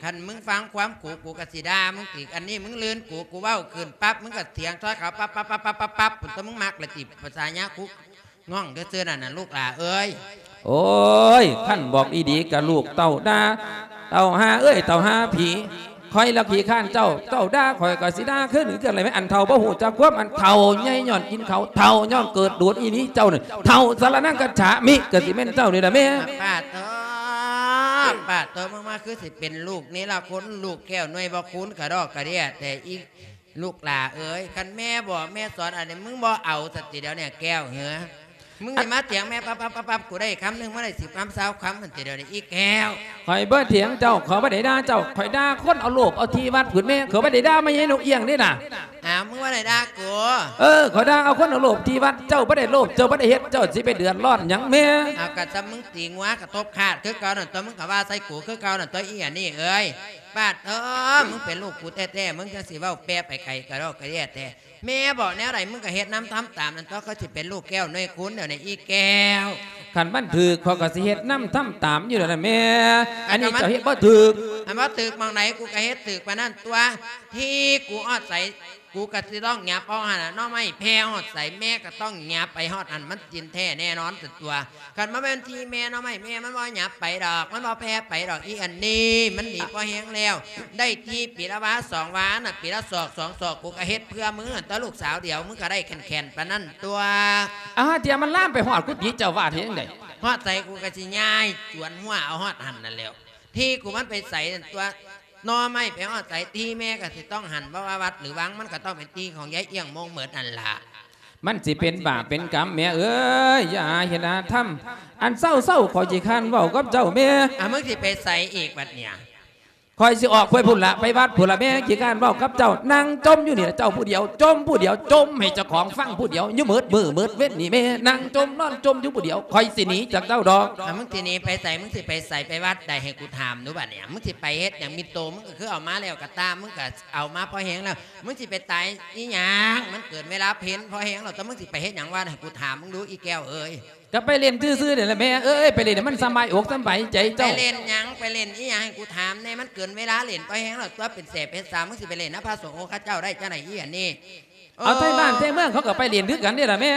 ຄັນມຶງຟັງຄວາມກູ ກູກໍຊິດ່າມຶງອີກ, ອັນນີ້ມຶງລື່ນກູ, ກູເວົ້າຂຶ້ນປັບ ມຶງກໍຖຽງຊ່ອຍເຂົາປັບໆໆໆໆ ພຸ້ນຕົວະ, ມຶງມັກລະຕິ ພາສາຍາຄູງອງຊື່ໆນັ້ນນະ ລູກຫຼ້າເອີຍ. ໂອ້ຍ ຄັນບອກອີ່ດີກະລູກເຕົ້າດ່າ, ເຕົ້າຫ່າເອີຍ ເຕົ້າຫ່າຜີ, ຂ້ອຍລະຂີ້ຄ້ານເຈົ້າ, ເຈົ້າດ່າຂ້ອຍກໍຊິດ່າຄືນຄືກັນແຫຼະແມ່. ອັນເຖົ້າບໍ່ຮູ້ຈັກຄວາມ, ອັນເຖົ້າໃຫຍ່ຍ້ອນກິນເຂົ້າ, ເຖົ້າຍ້ອນເກີດດູດອີ່ຫຼີເຈົ້ານີ້, ເຖົ້າສະລະນັງຄັດສາມິ ກໍຊິແມ່ນເຈົ້ານີ້ລະແມ່. ປາດໂທ້ ປາດໂທ້ ມຶງມາຄືຊິເປັນລູກເນລະຄຸນ ລູກແກ້ວໜ່ວຍບໍ່ຄູນກະດອກກະເດຍແທ້ ອີ່ລູກຫຼ້າເອີຍ. ຄັນແມ່ບອກແມ່ສອນອັນນີ້ ມຶງບໍ່ເອົາຊັ້ນຕິດຽວນີ້ແກ້ວເອີຍ. ມຶງຊິມາຖຽງແມ່ປັບໆໆໆ ກູໄດ້ຄຳໜຶ່ງ ມາໄດ້ສິບຄຳຊາວຄຳຫັ້ນຕິດຽວນີ້ອີ່ແກ້ວ. ຂ້ອຍບໍ່ຖຽງເຈົ້າ, ຂ້ອຍບໍ່ໄດ້ດ່າເຈົ້າ, ຂ້ອຍດ່າຄົນເອົາໂລບເອົາທີ່ວັດພຸ້ນແມ່, ຂ້ອຍບໍ່ໄດ້ດ່າແມ່ໃຫຍ່ນົກອຽງເດ້ນະ. ອ້າວ ມຶງບໍ່ໄດ້ດ່າກູ? ເອີ ຂ້ອຍດ່າເອົາຄົນເອົາໂລບທີ່ວັດ, ເຈົ້າບໍ່ໄດ້ໂລບ ເຈົ້າບໍ່ໄດ້ເຮັດ, ເຈົ້າຊິໄປເດືອດຮ້ອນຫຍັງແມ່? ເອົາ ກະຊຳມຶງຕີງົວກະທົບຄາດຄືເກົ່ານັ້ນຕົວະ, ມຶງກະວ່າໃສ່ກູຄືເກົ່ານັ້ນຕົວະ ອີ່ອັນນີ້ເອີຍ. ປາດເອີຍ ມຶງເປັນລູກກູແທ້ໆ ມຶງຈັ່ງຊິເວົ້າແປໄປໄກກະດອກກະເດຍແທ້. ແມ່ບອກແນວໃດ ມຶງກໍເຮັດນຳທຳຕາມນັ້ນຕົວະ, ກໍຊິເປັນລູກແກ້ວໜ່ວຍຄູນແນວໃດ ອີ່ແກ້ວ. ຄັນມັນຖືກ ຂ້ອຍກໍຊິເຮັດນຳທຳຕາມຢູ່ແລ້ວນະແມ່. ອັນນີ້ເຈົ້າເຮັດບໍ່ຖືກ. ອັນບໍ່ຖືກໝ່ອງໃດ ກູກໍເຮັດຖືກປານນັ້ນຕົວະ. ທີ່ກູຮອດໃສ ກູກໍຊິຕ້ອງຫຍັບເອົາຫັ້ນນະ, ໜໍ່ໄມ້ແຜ່ຮອດໃສ ແມ່ກໍຕ້ອງຫຍັບໄປຮອດຫັ້ນ, ມັນຈິນແທ້ແນ່ນອນຕົວະ. ຄັນບໍ່ແມ່ນທີ່ແມ່ໜໍ່ໄມ້ແມ່ ມັນບໍ່ຫຍັບໄປດອກ, ມັນບໍ່ແຜ່ໄປດອກ. ອີ່ອັນນີ້ມັນດີພໍແຮງແລ້ວ, ໄດ້ທີ່ປີລະວາສອງວານະ, ປີລະສອກສອງສອກ, ກູກໍເຮັດເພື່ອມຶງຫັ້ນຕົວະ ລູກສາວດຽວ, ມຶງກໍໄດ້ແຂນໆປານນັ້ນຕົວະ. ອາ ຫາເທື່ອມັນລາມໄປຮອດກຸຕິເຈົ້າວາດເຮັດຈັ່ງໃດ? ຮອດໃສ ກູກໍຊິຍ້າຍຈວນຫົວເອົາຮອດຫັ້ນນັ້ນແຫຼ້ວ. ທີ່ກູມັນໄປໃສນັ້ນຕົວະ, ໜໍ່ໄມ້ໄປຮອດໃສ ທີ່ແມ່ກໍຊິຕ້ອງຫັ້ນ, ບໍ່ວ່າວັດຫຼືວັງ ມັນກໍຕ້ອງເປັນທີ່ຂອງຍາຍອຽງມົງໝົດຫັ້ນລະ. ມັນຊິເປັນບາບເປັນກຳແມ່ເອີຍ, ຢ່າຫາເຮັດຫາທຳ. ອັນເຊົາໆ ຂ້ອຍຂີ້ຄ້ານເວົ້າກັບເຈົ້າແມ່. ອາ ມຶງຊິໄປໃສອີກບັດເນີ້ຍ? ຂ້ອຍຊິອອກໄປພຸ້ນລະ, ໄປວັດພຸ້ນລະແມ່, ຂີ້ຄ້ານເວົ້າກັບເຈົ້າ. ນັ່ງຈົ່ມຢູ່ນີ້ລະເຈົ້າຜູ້ດຽວ, ຈົ່ມຜູ້ດຽວ, ຈົ່ມໃຫ້ເຈົ້າຂອງຟັງຜູ້ດຽວ ຢູ່ໝົດມື້ໝົດເວັນນີ້ແມ່. ນັ່ງຈົ່ມນອນຈົ່ມຢູ່ຜູ້ດຽວ, ຂ້ອຍຊິໜີຈາກເຈົ້າດອກ. ອາ ມຶງຊິໜີໄປໃສ? ມຶງຊິໄປໃສ? ໄປວັດໃດ ໃຫ້ກູຖາມດູບັດນີ້. ມຶງຊິໄປເຮັດຫຍັງ? ມີໂຕມຶງກໍຄືເອົາມາແລ້ວກໍຕາມ, ມຶງກໍເອົາມາພໍແຮງແລ້ວ. ມຶງຊິໄປຕາຍອີ່ຫຍັງ? ມັນເກີນເວລາເພັນພໍແຮງແລ້ວ, ແຕ່ມຶງຊິໄປເຮັດຫຍັງວະ ໃຫ້ກູຖາມມຶງດູ ອີ່ແກ້ວເອີຍ. ກໍໄປຫຼິ້ນຊື່ໆນີ້ແຫຼະແມ່ເອີຍ, ໄປຫຼິ້ນໃຫ້ມັນສະບາຍອົກສະບາຍໃຈເຈົ້າ. ໄປຫຼິ້ນຫຍັງ? ໄປຫຼິ້ນອີ່ຫຍັງ? ໃຫ້ກູຖາມແດ່. ມັນເກີນເວລາຫຼິ້ນພໍແຮງແລ້ວຕົວະ, ເປັນແສບເປັນສາວ. ມຶງຊິໄປຫຼິ້ນນຳພະສົງອົງຄະເຈົ້າໄດ້ຈັ່ງໃດ ອີ່ອັນນີ້? ເອົາ ເອີ ໄທບ້ານໄທເມືອງເຂົາກໍໄປຫຼິ້ນຄືກັນນີ້ລະແມ່.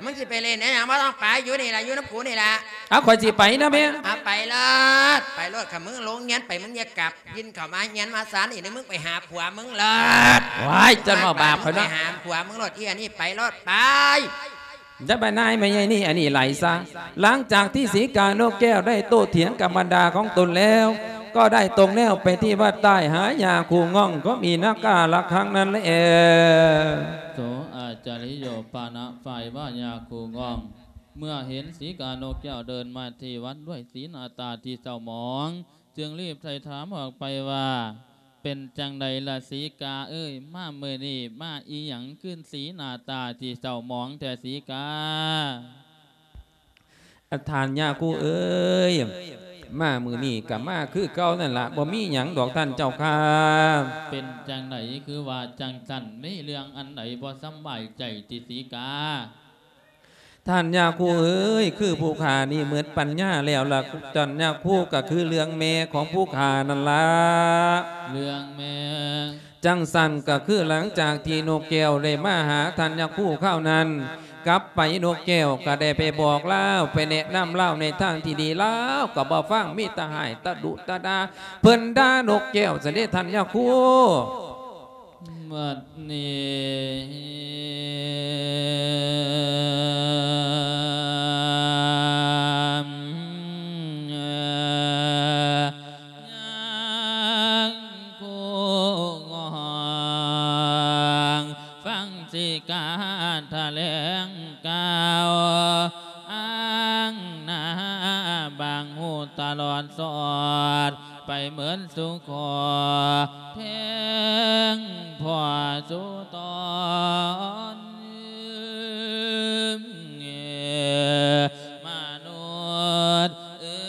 ມຶງຊິໄປຫຼິ້ນອີ່ຫຍັງ? ບໍ່ຕ້ອງໄປ, ຢູ່ນີ້ລະ, ຢູ່ນຳກູນີ້ລະ. ເອົາ ຂ້ອຍຊິໄປນະແມ່. ເອົາ ໄປໂລດ, ໄປໂລດ. ຄັນມຶງລົງຮຽນໄປ ມຶງຢ່າກັບ ປິ່ນເຂົ້າມາເຮືອນມາຊານອີກເດີ, ມຶງໄປຫາຜົວມຶງໂລດ. ວ້າຍ ເຈົ້າມາບາບຂ້ອຍເນາະ. ໄປຫາຜົວມຶງໂລດ ອີ່ອັນນີ້, ໄປໂລດ ໄປ. ຢ່າມານາຍແມ່ໃຫຍ່ນີ້, ອັນນີ້ໄຫຼຊະ. ຫຼັງຈາກທີ່ສີການົກແກ້ວໄດ້ໂຕ້ຖຽງກັບບັນດາຂອງຕົນແລ້ວ, ກໍໄດ້ຕົງແນວໄປທີ່ວັດໃຕ້ຫາຍາຄູງ່ອງ ກໍມີນາກາລະຄັງນັ້ນແລ. ໂສອາຈາລິໂຍປານະ ຝ່າຍວ່າຍາຄູງ່ອງ ເມື່ອເຫັນສີການົກແກ້ວເດີນມາທີ່ວັດດ້ວຍສີໜ້າຕາທີ່ເສົ້າໝອງ ຈຶ່ງລີບໄຖ່ຖາມອອກໄປວ່າ ເປັນຈັ່ງໃດລະສີກາເອີຍ ມາມື້ນີ້ມາອີ່ຫຍັງຄືສີໜ້າຕາທີ່ເສົ້າໝອງແທ້ສີກາ? ທ່ານຍາຄູເອີຍ ມາມື້ນີ້ກໍມາຄືເກົ່ານັ້ນລະ ບໍ່ມີຫຍັງດອກທ່ານເຈົ້າຂ້າ. ເປັນຈັ່ງໃດຄືວ່າຈັ່ງຊັ້ນ? ມີເລື່ອງອັນໃດບໍ່ສຳບາຍໃຈຕິສີກາ? ທ່ານຍາຄູເອີຍ ຄືຜູ້ຂ້ານີ້ໝົດປັນຍາແລ້ວລະ ທ່ານຍາຄູ ກໍຄືເລື່ອງແມ່ຂອງຜູ້ຂ້ານັ້ນລະ. ເລື່ອງແມ່? ຈັ່ງຊັ້ນກໍຄືຫຼັງຈາກທີ່ນົກແກ້ວໄດ້ມາຫາທ່ານຍາຄູຄາວນັ້ນ ກັບໄປນົກແກ້ວກໍໄດ້ໄປບອກລາວ ໄປແນະນຳລາວໃນທາງທີ່ດີ ລາວກໍບໍ່ຟັງ ມີແຕ່ຮ້າຍຕະດຸຕະດາ ເພິ່ນດ່ານົກແກ້ວຊັ້ນເດທ່ານຍາຄູ. ບັດນີ້ ຍາຄູງ່ອງ ຟັງສີກາຖະແຫຼງກ່າວ ອ້າງໜ້າບາງຫູຕະຫຼອດສອດ ໄປເໝິດສູ່ຂໍແທງພໍ່ສູ່ຕອນ ມະນຸດເອີ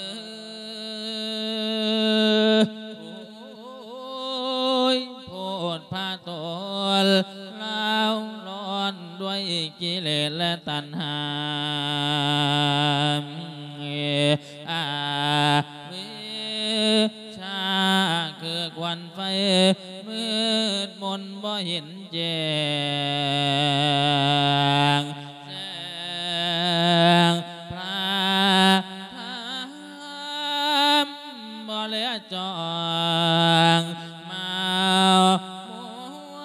ຍ ໂອ້ຍ ໂພດພະໂຕນ ລາວຮ້ອນດ້ວຍກິເລດ ແລະ ຕັນຫາ ອາວິຊຊາຄືຄວັນໄຟ ມືດມົນບໍ່ເຫັນແຈ້ງແສງພະທຳ ບໍ່ເຫຼືອຈອງມາວມົວ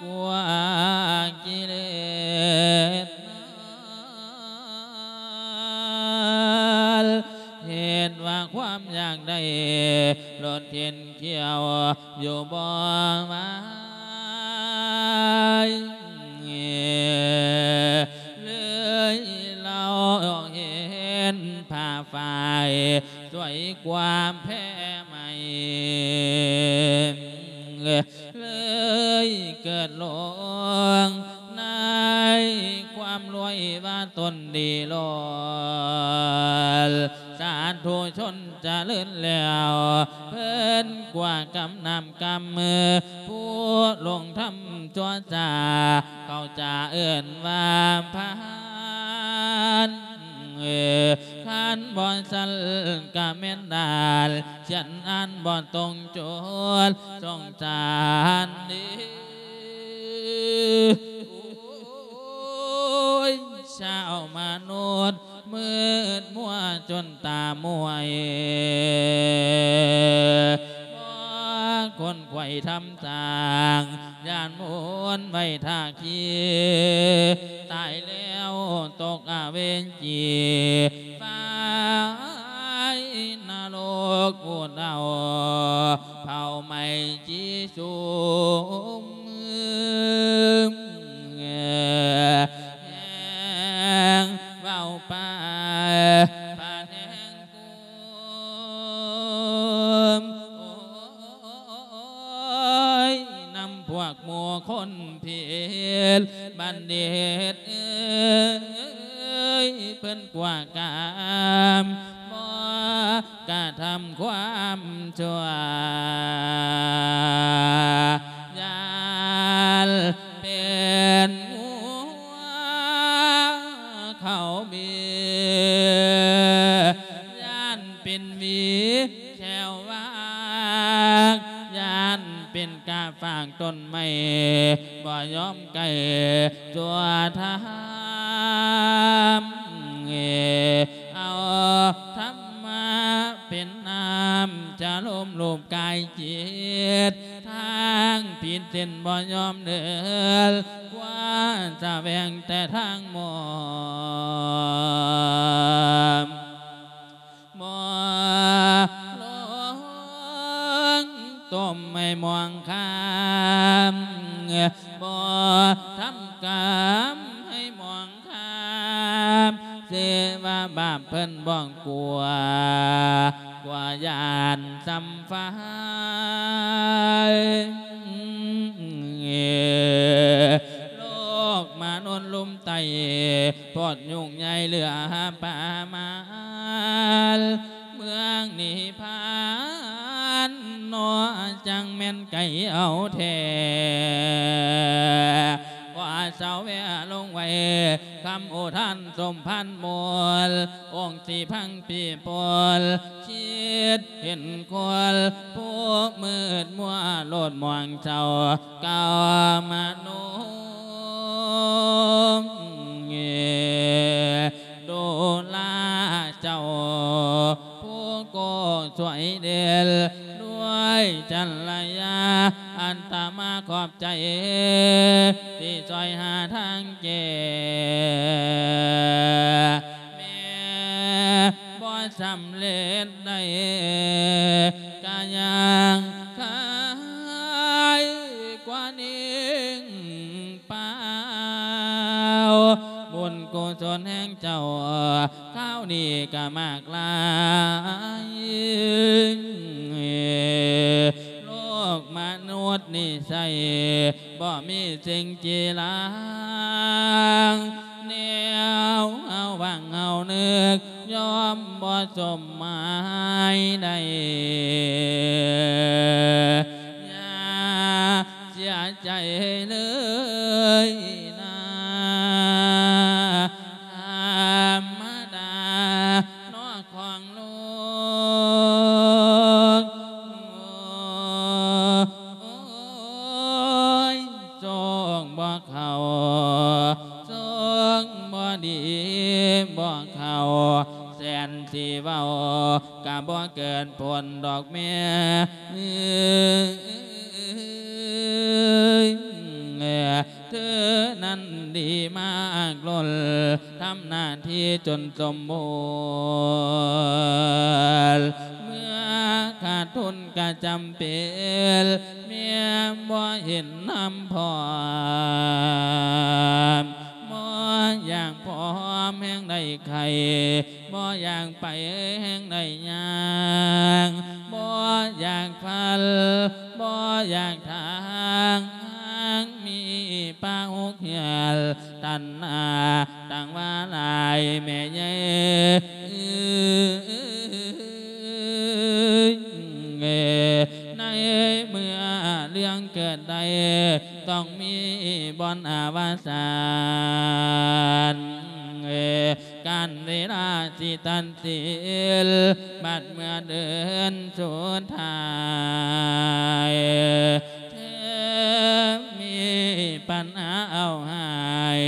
ກົວກິເລດມານ ເຮັດວ່າຄວາມຢາກໄດ້ລົດເຂັນຂຽວຢູ່ບໍ່ໄຫວ ເລີຍລາວເຫັນຜ້າຝ້າຍ ສວຍກວ່າແພໄໝ ເລີຍເກີດຫຼົງໃນຄວາມລວຍວ່າຕົນດີລ້ນ ສາທຸຊົນຈະເລີນແລ້ວ ເພິ່ນກວ່າກຳນ້ຳກຳມື ຜູ້ລົງທຳຊົ່ວຊາ ເຂົາຈະເອີ້ນວ່າພານ ຄັນບໍ່ຊັ້ນກະແມ່ນດານ ຂຽນອ່ານບໍ່ຕົງຈຸດ ສົງສານເດີ. ໂອ້ຍ ຊາວມະນຸດມືດມົວຈົນຕາມວຍ ບໍ່ຄົນຂວາຍທຳ ສ້າງຢ້ານໝູນໄວ້ທ່າຂີ່ ຕາຍແລ້ວຕົກອະເວຈີ ໄຟນະລົກອຸດເອົາ ເຜົາໄໝ້ຈີສຸມ ແຮງເວົ້າໄປ ພະແທງ ກຸມ ໂອ້ຍ ນຳພວກໝູ່ຄົນຜິດບັນດິດເອີຍ ເພິ່ນກວ່າກາມບໍ່ກະທຳຄວາມຊົ່ວ ຢ້ານເປັນງົວເຂົ້າບີ ຢ້ານ ເປັນຫວີແຂ້ວຫວາກ ຢ້ານເປັນກາຝາກຕົ້ນໄມ້ ບໍ່ຍອມໃກ້ຊົ່ວທາມ ເອົາທຳມະເປັນນ້ຳ ຈະລົມລູບກາຍຈິດ ທາງຜິດເສັ້ນບໍ່ຍອມເດີນ ຄວ້າສະແຫວງແຕ່ທາງໝອບ ໝໍ ມໃຫ້ໝອງຄາມ ບໍ່ທຳກຳໃຫ້ໝອງຄາມ ເສຍວ່າບາບເພິ່ນບໍ່ກົວ ກວ່າຢ້ານຊ້ຳໄຟ ໂລກມະນຸດລຸ່ມໃຕ້ ໂພດຫຍຸ້ງໃຫຍ່ເຫຼືອປະມານ ເມືອງນິບພານເນາະ ຈັ່ງແມ່ນໄກເອົາແທ້ ຂໍເຊົາແວະລົງໄວ້ ຄຳອຸທານສົມພານມູນ ອົງສີພັງປີປົນ ຄິດເຫັນຄົນຜູ້ມືດມົວໂລດໝອງເຈົ້າ ກາມະນຸງ ດູລາເຈົ້າ ຜູ້ກໍຊ່ວຍເດນດ້ວຍຈັນລະຍາ ອັດຕະມາຂອບໃຈ ທີ່ຊ່ວຍຫາທາງແກ້ ແມ່ບໍ່ສຳເລັດໄດ້ ກະຍັງຄາຍກວ່າໜິງ ປາວ ບຸນກຸສົນແຫ່ງເຈົ້າ ຄາວນີ້ກະມາກຫຼາຍ ໂລກມະນຸດນິໄສ ບໍ່ມີສິ່ງຈີລາງ ແນວເຮົາຫວັງເຮົານຶກ ຍ່ອມບໍ່ສົມໝາຍໄດ້ ຢ່າ ເສຍໃຈເລີຍນາ ທຳມະດາເນາະຂອງໂລກ ໂອ້ຍ ໂຊກບໍ່ເຂົ້າ ໂຊກບໍ່ດີບໍ່ເຂົ້າ ແສນຊິເວົ້າ ກະບໍ່ເກີດຜົນດອກແມ່ ເອີຍ ເທີນັ້ນດີມາກລົ້ນ ທຳໜ້າທີ່ຈົນສົມບູນ ເມື່ອຂາດທຶນກະຈຳເປັນ ແມ່ນບໍ່ເຫັນນຳພ້ອມ ບໍ່ຢາກພ້ອມແຮງໄດ້ໄຂ້ ບໍ່ຢາກໄປແຮງໄດ້ຍ່າງ ບໍ່ຢາກພັນ ບໍ່ຢາກທາງ ມີປາຫົກເຮືອນ ຕັນຫາຕັ້ງວ່າຫຼາຍແມ່ໃຫຍ່ ໃນເມື່ອເລື່ອງເກີດໄດ້ ຕ້ອງມີບ່ອນອະວະສານ ການເວລາຊິຕັດສິນ ບັດເມື່ອເດີນສຸດທ້າຍ ແທ້ມີປັນຫາເອົາຮ້າຍ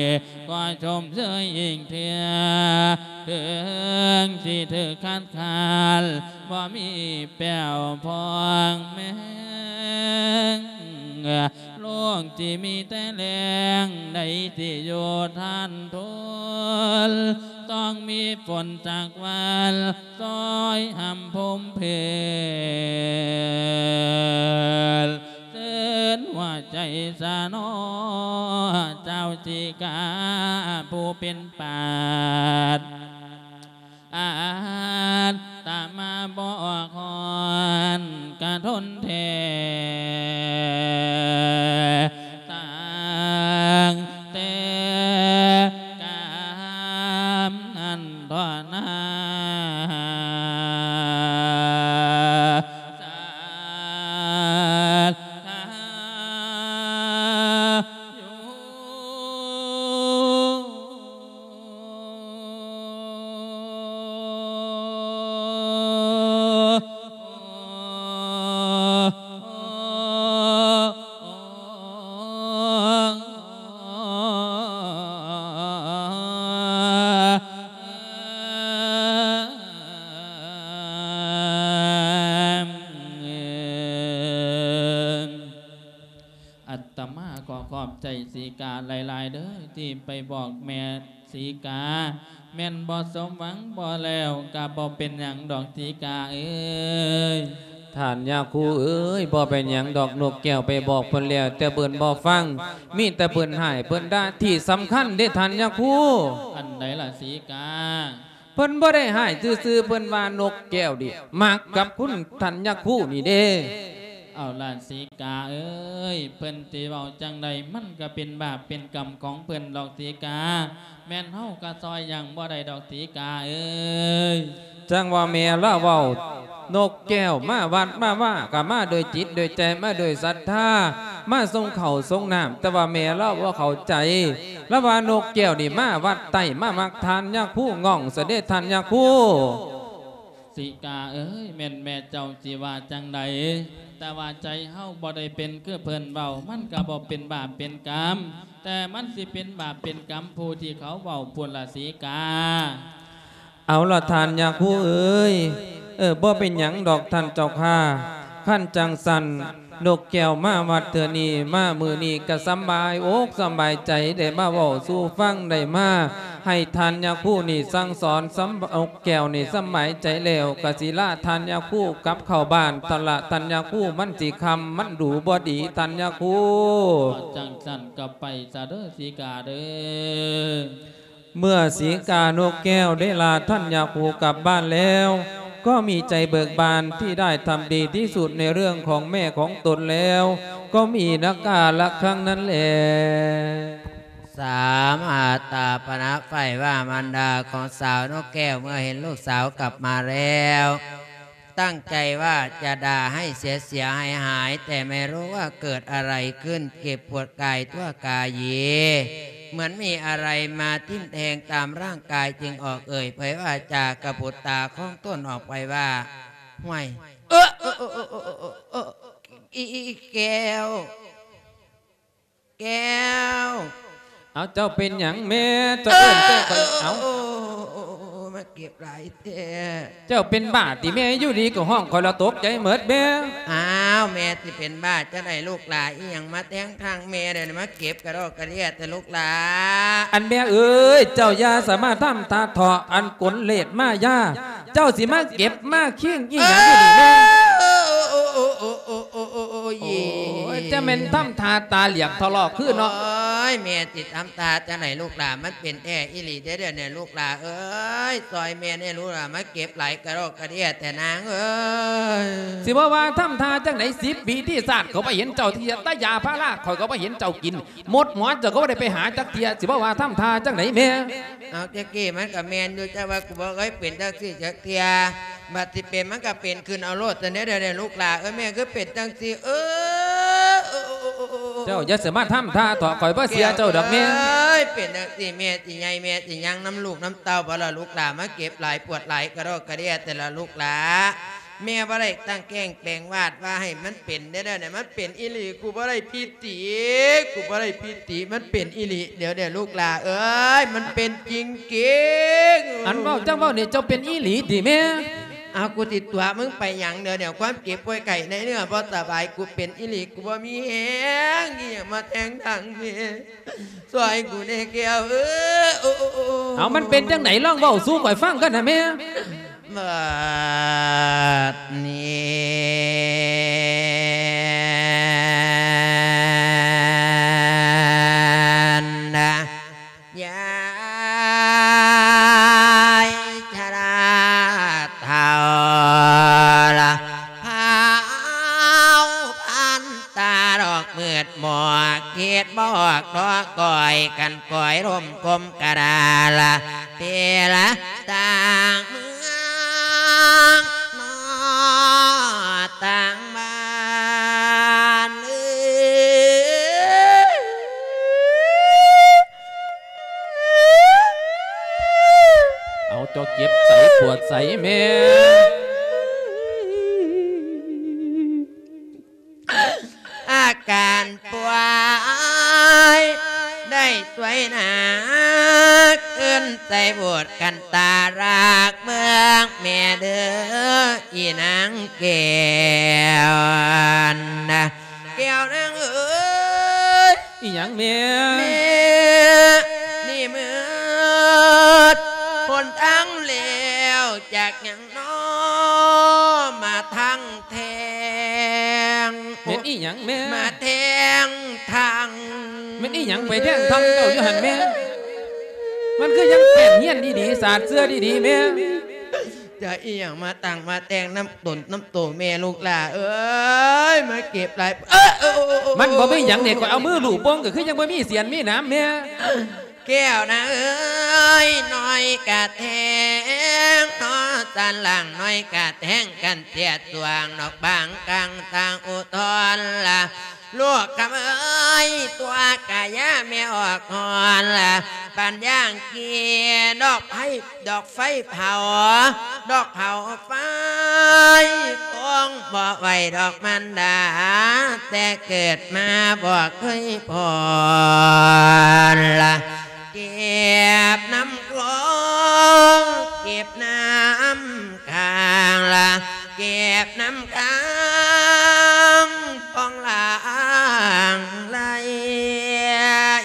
ກໍຊົມເຊີຍອີກເທື່ອ ເຖິງຊິຖືກຄັດຄ້ານ ບໍ່ມີແປ້ວພອງແມງ ໂລກທີ່ມີແຕ່ແລ້ງ ໃດທີ່ຢູ່ທານທົນ ຕ້ອງມີຝົນຈາກວັນ ຊ່ອຍຫຳພົມເພນ ເຕີນຫົວໃຈຊະເນາະ ເຈົ້າສີກາຜູ້ເປັນປາດ ອາດຕະມາບໍ່ອອກຮ້ອນກະທົນແທ້. ຕັ້ງແຕ່ກາມນັ້ນເທາະນາ ສາທາ ອັດຕະມາກໍຂອບໃຈສີກາຫຼາຍໆເດີ້ ທີ່ໄປບອກແມ່ສີກາ ແມ່ນບໍ່ສົມຫວັງບໍ່ແລ້ວ ກະບໍ່ເປັນຫຍັງດອກສີກາເອີຍ. ທ່ານຍາຄູເອີຍ, ບໍ່ເປັນຫຍັງດອກ, ນົກແກ້ວໄປບອກເພິ່ນແລ້ວ ແຕ່ເພິ່ນບໍ່ຟັງ, ມີແຕ່ເພິ່ນຮ້າຍເພິ່ນດ່າ. ທີ່ສຳຄັນເດ້ທ່ານຍາຄູ. ອັນໃດລະສີກາ? ເພິ່ນບໍ່ໄດ້ຮ້າຍຊື່ໆ, ເພິ່ນວ່ານົກແກ້ວນີ້ມັກກັບຄຸນທ່ານຍາຄູນີ້ເດ້. ເອົາລະສີກາເອີຍ, ເພິ່ນຊິເວົ້າຈັ່ງໃດ ມັນກະເປັນບາບເປັນກຳຂອງເພິ່ນດອກສີກາ. ແມ່ນເຮົາກະຊ່ອຍຫຍັງບໍ່ໄດ້ດອກສີກາເອີຍ. ຈັ່ງວ່າແມ່ລາວເວົ້າ, ນົກແກ້ວມາວັດມາວາ ກະມາດ້ວຍຈິດດ້ວຍໃຈ, ມາດ້ວຍສັດທາ, ມາສົ່ງເຂົ້າສົ່ງນ້ຳ, ແຕ່ວ່າແມ່ລາວບໍ່ເຂົ້າໃຈ. ລາວວ່ານົກແກ້ວນີ້ມາວັດໃຕ້ ມາມັກທ່ານຍາຄູ ງອງຊະເດທ່ານຍາຄູ. ສີກາເອີຍ, ແມ່ນແມ່ເຈົ້າຊິວ່າຈັ່ງໃດ, ແຕ່ວ່າໃຈເຮົາບໍ່ໄດ້ເປັນຄືເພິ່ນເວົ້າ, ມັນກະບໍ່ເປັນບາບເປັນກຳ, ແຕ່ມັນຊິເປັນບາບເປັນກຳຜູ້ທີ່ເຂົາເວົ້າພຸ້ນລະສີກາ. ເອົາລະທ່ານຍາຄູເອີຍ, ເອີ ບໍ່ເປັນຫຍັງດອກທ່ານເຈົ້າຂ້າ. ຄັນຈັ່ງຊັ້ນ ນົກແກ້ວມາວັດເທື່ອນີ້ ມາມື້ນີ້ກະສຳບາຍອົກສຳບາຍໃຈ, ໄດ້ມາເວົ້າສູ່ຟັງ, ໄດ້ມາໃຫ້ທ່ານຍາຄູນີ້ສັ່ງສອນ, ສຳ ນົກແກ້ວນີ້ສຳບາຍໃຈແລ້ວ ກະຊິລາທ່ານຍາຄູກັບເຂົ້າບ້ານ. ຕະລະທ່ານຍາຄູ, ມັນຊິຄ່ຳ, ມັນດູບໍ່ດີທ່ານຍາຄູ. ຈັ່ງຊັ້ນກະໄປຊະເດີສີກາເດີ. ເມື່ອສີການົກແກ້ວໄດ້ລາທ່ານຍາຄູກັບບ້ານແລ້ວ ກໍມີໃຈເບີກບານທີ່ໄດ້ທຳດີທີ່ສຸດໃນເລື່ອງຂອງແມ່ຂອງຕົນແລ້ວ ກໍມີນະກາລະຄັ້ງນັ້ນແລ. ສາມ ອາຕາປະນະໄຟວ່າມານດາຂອງສາວນົກແກ້ວ ເມື່ອເຫັນລູກສາວກັບມາແລ້ວ ຕັ້ງใจว่าจะด่าให้เสียๆ หายๆ แต่ไม่รู้ว่าเกิดอะไรขึ้น เจ็บปวดกายทั่วกาย เหมือนมีอะไรมาทิ่มแทงตามร่างกาย จึงออกเอ่ยเผยวาจากะปุตตาของตนออกไปว่า ห้วย เออ เออ เออ เออ เออ เออ อี อี แก้ว แก้ว เอ้า เจ้าเป็นหยังแม่ เจ้าเอิ้นแต่ข้อย เอ้า โอ้ โอ้ โอ้ โอ้ มาเก็บหลายแท้ เจ้าเป็นบ้าติแม่ อยู่ดีก็ฮ้องข้อยละตกใจหมดแม่ อ้าว แม่สิเป็นบ้าจั่งใด๋ลูกหล่า อีหยังมาแทงทางแม่ เดี๋ยวนี้มาเก็บกะดอกกะเดี้ยแท้ลูกหล่า อันแม่เอ้ย เจ้าอย่าสามารถทำท่าเถาะ อันกลเลสมายา เจ้าสิมาเก็บมาคิงอีหยังอยู่นี่แม่ โอ้ย จะแม่นทำท่าตาเหลียกทะเลาะคือเนาะ โอ้ย แม่สิทำท่าจั่งใด๋ลูกหล่า มันเป็นแท้อีหลีเด้อเดี๋ยวนี้ลูกหล่าเอ้ย ซอยแม่แน่ลูกหล่า มาเก็บหลายกะดอกกะเดี้ยแท้นางเอ้ย สิบ่ว่าทำท่าจั่งใด๋ สิบปีที่ชาติก็บ่เห็นเจ้าเที่ย แต่ยาพาราข้อยก็บ่เห็นเจ้ากิน หมดหมอนเจ้าก็บ่ได้ไปหาจักเที่ย สิบ่ว่าทำท่าจั่งใด๋แม่ เอา แจ๊กกี้ มันก็แม่นอยู่ แต่ว่ากูบ่เคยเป็นจั่งซี้จักเทื่อ บัดสิเป็นมันก็เป็นขึ้นเอาโลด แต่เดี๋ยวๆ ลูกหล่าเอ้ย แม่คือเป็นจั่งซี้ เออ เออ เออ เออ เออ เจ้าอย่าสิมาทำท่าเถาะ ข้อยบ่เชื่อเจ้าดอกแม่ เอ้ย เป็นจั่งซี้ แม่สิใหญ่ แม่สิยังนำลูกนำเต้าบ่ล่ะ ลูกหล่ามาเก็บหลายปวดหลายกะดอกกะเดี้ยแท้ละลูกหล่า แม่บ่ได้ตั้งแกล้งแปลงวาดว่าให้มันเป็นเด้อ เดี๋ยวนี้มันเป็นอีหลี กูบ่ได้ผิดติ กูบ่ได้ผิดติ มันเป็นอีหลี เดี๋ยวๆ ลูกหล่าเอ้ย มันเป็นจริงๆ อันเว้าจั่งเว้านี่ เจ้าเป็นอีหลีติแม่ เอา กูสิตั๋วมึงไปหยัง เดี๋ยวนี้ความเจ็บป่วยไข้ในเนื้อบ่สบาย กูเป็นอีหลี กูบ่มีแฮง อีหยังมาแทงทางแม่ ซอยกูแน่แก้วเอ้ย โอ้ โอ้ โอ้ โอ้ เอา มันเป็นจั่งใด๋ ลองเว้าสู่ข้อยฟังกันนะแม่ บัดนี้นะ ยายชราเฒ่าละ พาวพันตาดอกมืดหมอก คิดบ่ออกดอกก้อย กันก้อยร่มกลมกะดาละ เปละต่างเมืองนอต่างบ้านเอ้ย เอา เจ้าเจ็บใสปวดใสแม่ อาการป่วยได้สวยหนา ขึ้นใส่โบสถ์กันตารักเมืองแม่เด้อ อีนางแก้วนะ แก้วนางเอ้ย อีหยังแม่ แม่ นี่มืดหนทางแล้ว จากหยังน้อมาทางแท้ ຫຍັງແມ່? ມາແທງທັງ. ແມ່ນອີຫຍັງໄປແທງທັງເຈົ້າຢູ່ຫັ້ນແມ່? ມັນຄືຍັງແປ້ນຮຽນດີໆ ສາດເຊື່ອດີໆແມ່. ຈະອີຫຍັງມາຕັ້ງມາແຕ່ງນຳຕົນນຳໂຕແມ່ລູກຫຼ້າເອີຍ ມາເຈັບຫຼາຍ ເອີ ເອີ ເອີ ເອີ ມັນບໍ່ມີຫຍັງເດ້ ຂ້ອຍເອົາມືລູບເບິ່ງ ກໍຄືຍັງບໍ່ມີສຽນມີໜາມແມ່. ແກ້ວນາເອີຍ ນ້ອຍກະແທງເນາະ ສັນຫຼັງນ້ອຍກະແທງກັນເສຍສວງ ນອກບາງກາງທາງອຸທອນລະ ລູກຄຳເອີຍ ຕົວກະຢ່າແມ່ອອກຮອນລະ ປັນຢ່າງກີ ດອກໄຟ ດອກໄຟເຜົາ ດອກເຜົາໄຟ ຄົງບໍ່ໄຫວດອກມານດາ ແຕ່ເກີດມາບໍ່ເຄີຍພໍນລະ ເກັບນ້ຳຄອງ ເກັບນ້ຳ ຂ້າງລະ ເກັບນ້ຳຄ້າງປ່ອງລາງໄຫຼ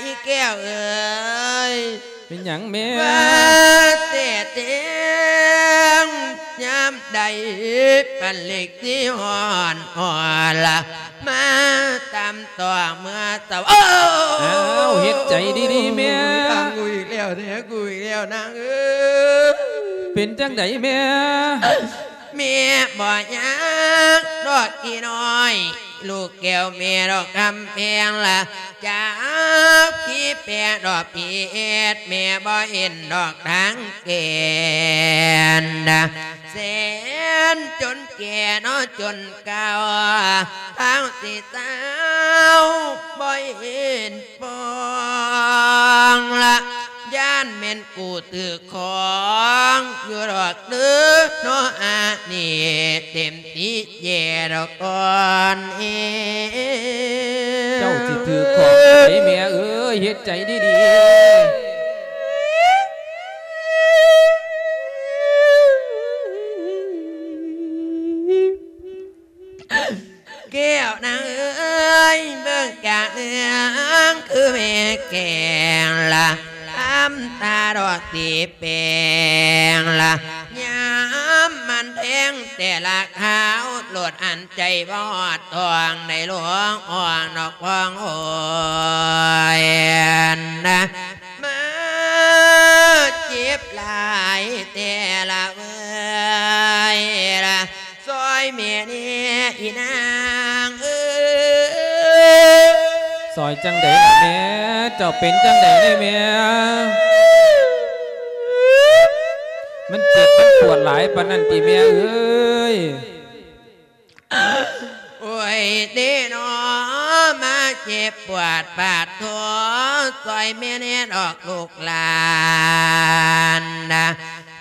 ອີແກ້ວເອີຍ ເປັນຫຍັງແມ່? ວ່າແຕ່ແຕ່ງຍາມໃດ ປັນເລັກຊິຮ້ອນອ່ອນລະ ມາຕຳຕໍ່ເມື່ອເຊົ້າ. ອ້າວ ເຮັດໃຈດີໆແມ່. ກູອີກແລ້ວເດ້ ກູອີກແລ້ວນາງເອີຍ. ເປັນຈັ່ງໃດແມ່? ແມ່ບໍ່ຍາກດອກອີນ້ອຍ ລູກແກ້ວແມ່ດອກຄຳແພງລະ ຈາກພີແປດອກພີເອັດ ແມ່ບໍ່ເຫັນດອກທາງແກ່ນ ແສນຈົນແກ່ເນາະຈົນເກົ່າ ທາງຊິເຊົາບໍ່ເຫັນ ປອງລະ ຢ້ານແມ່ນກູຖືກຂອງຢູ່ດອກເດີເນາະ ອານີ້ເຕັມທີ່ແຍ່ດອກກ່ອນເອ. ເຈົ້າຊິຖືກຂອງໃດແມ່ເອີຍ ເຮັດໃຈດີໆ. ແກ້ວນາງເອີຍ ເບິ່ງກະເລື່ອງຄືແມ່ແກງລະ ທຳຕາດອກສີແປງລະ ຍາມມັນແທງແຕ່ລະຄາວ ໂລດອັນໃຈບໍ່ຮອດທ້ອງ ໄດ້ຫຼວງອ່ອງນອກພອງໂອຍນະ ມາເຈັບຫຼາຍແຕ່ລະເວີຍລະ ຊ່ອຍແມ່ແດ່ອີນາງເອີຍ. ຊ່ອຍຈັ່ງໃດລະແມ່? ເຈົ້າເປັນຈັ່ງໃດແດ່ແມ່? ມັນເຈັບມັນປວດຫຼາຍປານນັ້ນຕິແມ່ເອີຍ? ໂອ້ຍເດເນາະ ມາເຈັບປວດປາດໂທ ຊ່ອຍແມ່ແດ່ດອກລູກຫຼານນະ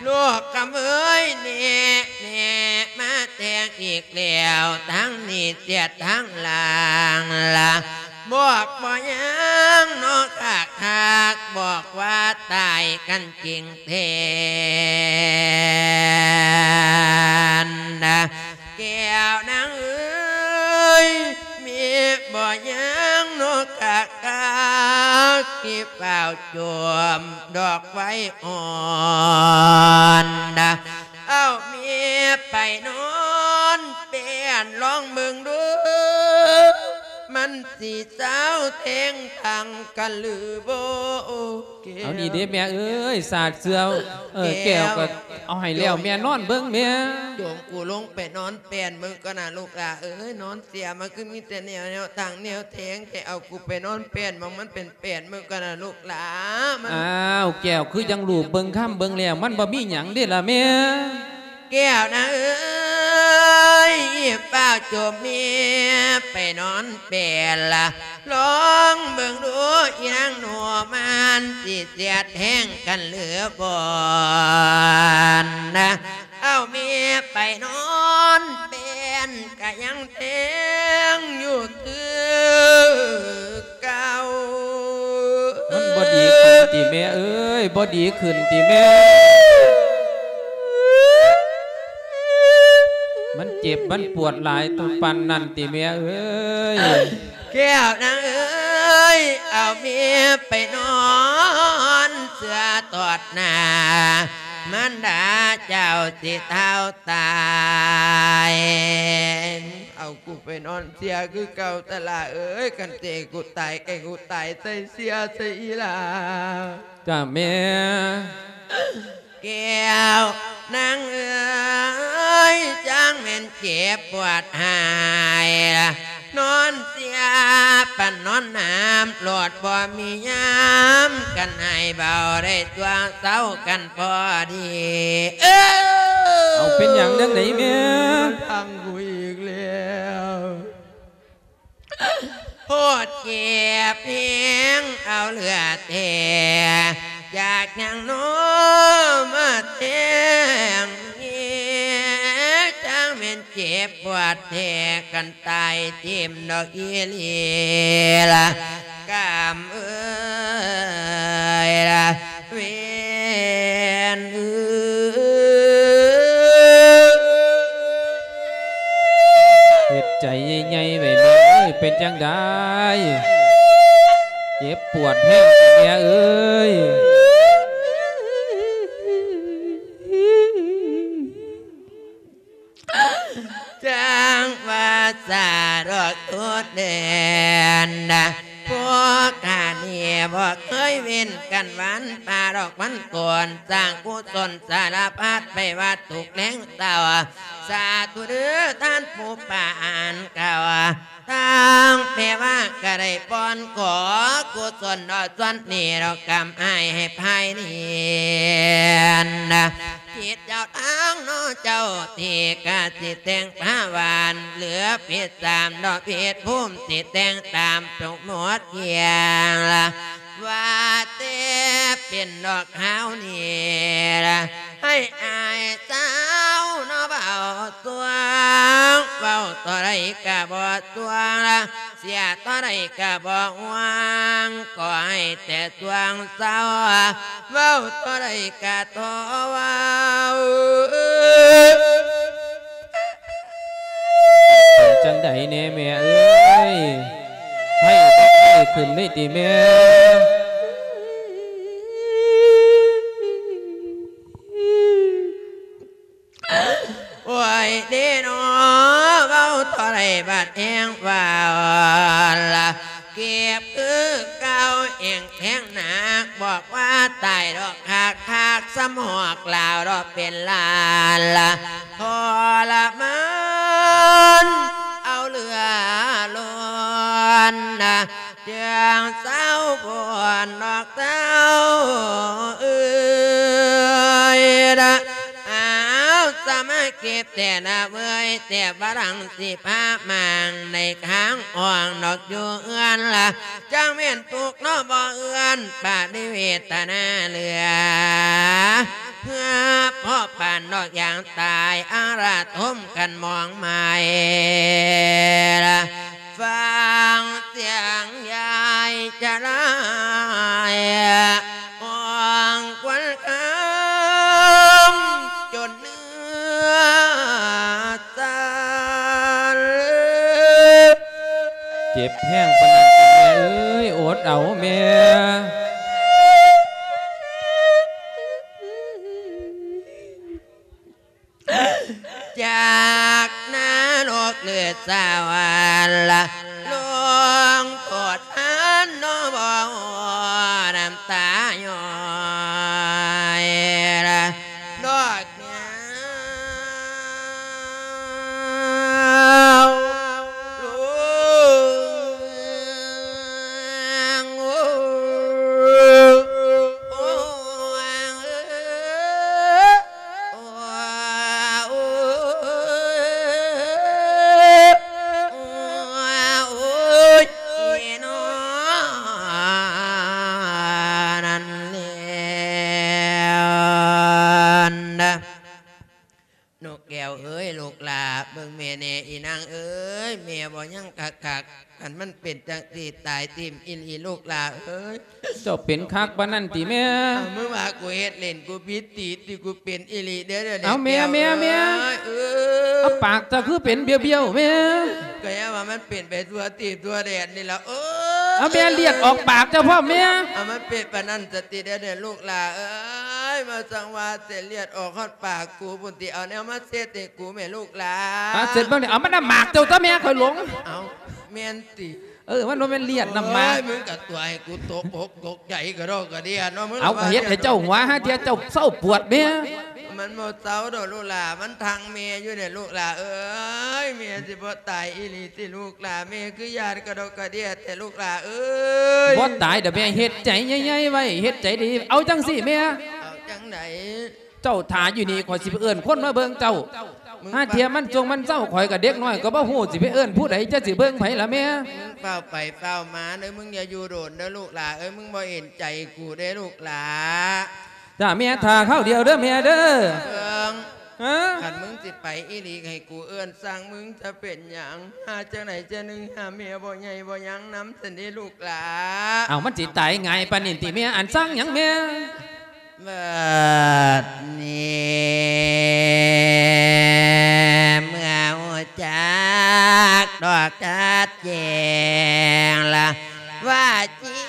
ລູກຄຳເອີຍ ແນ່ໆ ມາແຕ່ງອີກແລ້ວ ທັງໜີເສຍທັງລາງລະ ບອກບໍ່ຍັງເນາະຄັກໆ ບອກວ່າຕາຍກັນຈິງແທ້ນະ ແກ້ວນາງເອີຍ ແມ່ບໍ່ຍັງເນາະກະກາກ ທີ່ຟ້າວໂຈມດອກໄຟອ່ອນນະ ເອົາແມ່ໄປນອນແປ້ນລອງເບິ່ງດູ ມັນຊິເຊົາແທງທັງກັນຫຼືບໍ່? ເອົານີ້ເດ້ແມ່ເອີຍ ສາດເຊື່ອ ເອີ ແກ້ວ ແກ້ວກໍເອົາໃຫ້ແລ້ວ ແມ່ນອນເບິ່ງແມ່. ໂຈມກູລົງໄປນອນແປ້ນເບິ່ງກ່ອນນະລູກຫຼ້າເອີຍ ນອນເສຍມາຄືມີແຕ່ແນວ ແນວທັງແນວແທງແທ້ ເອົາກູໄປນອນແປ້ນໝ່ອງມັນເປັນແປ້ນເບິ່ງກ່ອນນະລູກຫຼ້າ ມັນ ອ້າວ ແກ້ວ ຄືຈັ່ງລູບເບິ່ງຄຳເບິ່ງແລ້ວ ມັນບໍ່ມີຫຍັງເດ້ລະແມ່. ແກ້ວນາເອີຍ ຟ້າວໂຈມແມ່ໄປນອນແປ້ນລະ ລອງເບິ່ງດູອີນາງໜູ ມັນຊິເສຍແທງກັນຫຼືບໍ່ນະ ເອົາແມ່ໄປນອນແປ້ນກະຍັງແທງຢູ່ຄືເກົ່າ. ມັນບໍ່ດີຂຶ້ນຕິແມ່ເອີຍ ບໍ່ດີຂຶ້ນຕິແມ່? ມັນເຈັບມັນປວດຫຼາຍປານນັ້ນຕິແມ່ເອີຍ? ແກ້ວນາງເອີຍ ເອົາແມ່ໄປນອນເຊື່ອຕອດໜ້າ ມານດາເຈົ້າຊິທ້າວຕາຍ ເອົາກູໄປ ນອນເຊຍຄືເກົ່າຕະຫຼາເອີຍ ຄັນເຕະກູຕາຍ ໃກ້ກູຕາຍໃສ່ເຊຍໃສ່ອີ່ຫຼາ. ຈ້າແມ່. ແກ້ວນາງເອີຍ ຈັ່ງແມ່ນເຈັບປວດຫາຍ ນອນເຊຍປານນອນນ້ຳ ໂລດບໍ່ມີຍາມ ຄັນໃຫ້ເບົາໄດ້ຕົວເຊົາກັນພໍດີ. ເອີ ເອົາ ເປັນຫຍັງຈັ່ງໃດແມ່? ທາງກູອີກແລ້ວ. ໂພດເຈັບແຮງເອົາເຫຼືອແທ້ ຢາກຫຍັງນໍມາແທງແມ່ ຈັ່ງແມ່ນເຈັບປວດແທ້ ຄັນຕາຍຖິ້ມດອກອີ່ຫຼີລະ ກຳເອີຍລະ ເວນເອີຍ. ເຮັດໃຈໃຫຍ່ໆໄວ້ແມ່ເອີຍ ເປັນຈັ່ງໃດ? ເຈັບປວດແຮງແມ່ເອີຍ. ຈັ່ງວ່າສາດອກໂຕແດນ ພວກຂ້ານີ້ບໍ່ເຄີຍເວັ້ນກັນວັນ ປາດອກວັນໂກນ ສ້າງກຸສົນສາລະພັດ ໄປວັດທຸກແລງເຊົ້າ ສາທຸເດີທ່ານຜູ້ປານເກົ່າ. ທາງແມ່ວ່າກະໄດ້ປ່ອນຂໍກຸສົນເນາະ ສ່ວນນີ້ເນາະ ກຳອ້າຍໃຫ້ພາຍເນນ ຄິດເຈົ້າທາງເນາະເຈົ້າທີ່ກະຊິແຕ່ງພາວານ ເຫຼືອເປັດສາມເນາະເປັດພູມ ຊິແຕ່ງຕາມສົມມຸດຢ່າງລະ ວ່າແຕ່ເປັນດອກຄາວນີ້ລະ ໃຫ້ອ້າຍສາວເນາະເວົ້າ ສວງ ເວົ້າເທົ່າໃດກະບໍ່ສວງລະ ເສຍເທົ່າໃດກະບໍ່ຫວງ ຂໍໃຫ້ແຕ່ສວງເຊົາ ເວົ້າເທົ່າໃດກະທໍ່ເວົ້າ. ເປັນຈັ່ງໃດແດ່ແມ່ເອີຍ ໄຂ້ບໍ່ໄຂ້ຂຶ້ນເລີຍຕິແມ່? ໂອ້ຍເດເນາະ ເວົ້າເທົ່າໃດບັດແຮງວ່າອ່ອນລະ ເຈັບຄືເກົ່າແຮງແທງໜັກ ບອກວ່າຕາຍດອກຄັກໆ ສ່ຳຫອກລາວດອກເປັນລ້ານລະ ທໍລະມານເອົາເຫຼືອລ້ນນະ ຈັ່ງເຊົາບ່ອນດອກເຕົ້າເອີຍນະ. ອ້າວ ສະມາເກັບແຕ່ນະເວີຍ ແຕ່ບາດຫຼັງຊິພາມາງໃນຄ້າງອ່ອງດອກຢູ່ເຮືອນລະ ຈັ່ງແມ່ນທຸກເນາະບໍ່ເອື້ອນ ປະລິເວທະນາເຫຼືອ ເພື່ອພໍປານດອກຢ່າງຕາຍ ອາລະທົມກັນມອງໄມ້ລະ ຟັງສຽງຍາຍຈະລາຍ ຫ້ອງຄວັນຄຳຈົນເນື້ອສັ່ນ. ເຈັບແຮງປານນັ້ນຕິແມ່ເອີຍ ອົດເອົາແມ່. ຈາກນະລົກຫຼືສະຫວັນລະ ລົງໂທດທັນເນາະບໍ່ນ້ຳຕາຍ້ອຍລະ ດອກຍາວ. ນະ ນົກແກ້ວເອີຍ ລູກຫຼ້າ ເບິ່ງແມ່ແດ່ ອີນາງເອີຍ ແມ່ບໍ່ຍັງຄັກໆ ຄັນມັນເປັນຈັ່ງຊີ້ ຕາຍຖິ້ມອີ່ຫຼີ ລູກຫຼ້າເອີຍ. ເຈົ້າເປັນຄັກປານນັ້ນຕິແມ່? ເອົາ ມຶງວ່າກູເຮັດຫຼິ້ນ ກູຜິດຕີຕິ ກູເປັນອີ່ຫຼີເດີ້ ດຽວນີ້. ເອົາແມ່ ແມ່ ແມ່ ເອີຍ ເອົາ ປາກເຈົ້າຄືເປັນບ້ຽວໆແມ່? ກະຍັງວ່າມັນເປັນໄປທົ່ວທີບທົ່ວແດນນີ້ລະ. ເອີຍ ເອົາແມ່ ເລືອດອອກປາກເຈົ້າພ້ອມແມ່. ເອົາ ມັນເປັນປານນັ້ນສະຕິ ດຽວນີ້ ລູກຫຼ້າເອີຍ. ຍ ມາສັງວ່າເສັ້ນເລືອດອອກຮອດປາກກູພຸ້ນຕິ ເອົາແນວມາເຊັດໃຫ້ກູແມ່ລູກຫຼາ. ອາ ເຊັດເບິ່ງນີ້ ເອົາ ມັນນ້ຳໝາກເຈົ້າຕົວະແມ່ ຂ້ອຍຫຼົງ. ເອົ້າ ແມ່ນຕິ? ເອີ ມັນບໍ່ແມ່ນເລືອດ ນ້ຳໝາກ. ໂອ້ຍ ມຶງກະຕົວະໃຫ້ກູຕົກອົກຕົກໃຈກະດອກກະເດຍເນາະ ມຶງ. ເອົາ ກະເຮັດໃຫ້ເຈົ້າຫົວ ຫາເທື່ອເຈົ້າເຊົາປວດແມ່. ມັນບໍ່ເຊົາດອກລູກຫຼາ ມັນທັງແມ່ຢູ່ເດລູກຫຼາເອີຍ. ແມ່ຊິບໍ່ຕາຍອີ່ຫຼີຕິລູກຫຼາ ແມ່ຄືຢ້ານກະດອກກະເດຍແທ້ລູກຫຼາເອີຍ. ບໍ່ຕາຍດອກແມ່ ເຮັດໃຈໃຫຍ່ໆໄວ້ ເຮັດໃຈດີ. ເອົາຈັ່ງຊີ້ແມ່ ເອົາຈັ່ງໃດ? ເຈົ້າຖ້າຢູ່ນີ້ ຂ້ອຍຊິໄປເອີ້ນຄົນມາເບິ່ງເຈົ້າ. ຫາເທື່ອມັນຈົງມັນເຊົາ ຂ້ອຍກະເດັກນ້ອຍກະບໍ່ຮູ້ ຊິໄປເອີ້ນຜູ້ໃດ ຈະຊິເບິ່ງໃຜລະແມ່? ມຶງຟ້າວໄປຟ້າວມາເດີ ມຶງຢ່າຢູ່ດົນເດີລູກຫຼາເອີຍ ມຶງບໍ່ເຫັນໃຈກູເດ້ລູກຫຼາ. ຈ້າແມ່ ຖ້າຄາວດຽວເດີແມ່ເດີ. ເບິ່ງ ຮະ? ຄັນມຶງຊິໄປອີ່ຫຼີ ໃຫ້ກູເອີ້ນຊ່າງມຶງຈະເປັນຫຍັງ? ຫາຈັ່ງໃດຈັ່ງໜຶ່ງ ຫາແມ່ບໍ່ໃຫຍ່ບໍ່ຍັງນຳຊັ້ນເດລູກຫຼາ. ເອົ້າ ມັນຊິຕາຍງ່າຍປານນີ້ຕິແມ່? ອັນຊ່າງຫຍັງແມ່? ບັດນີ້ເມື່ອຮູ້ຈັກດອກຊັດແຈ້ງລະວ່າຈິ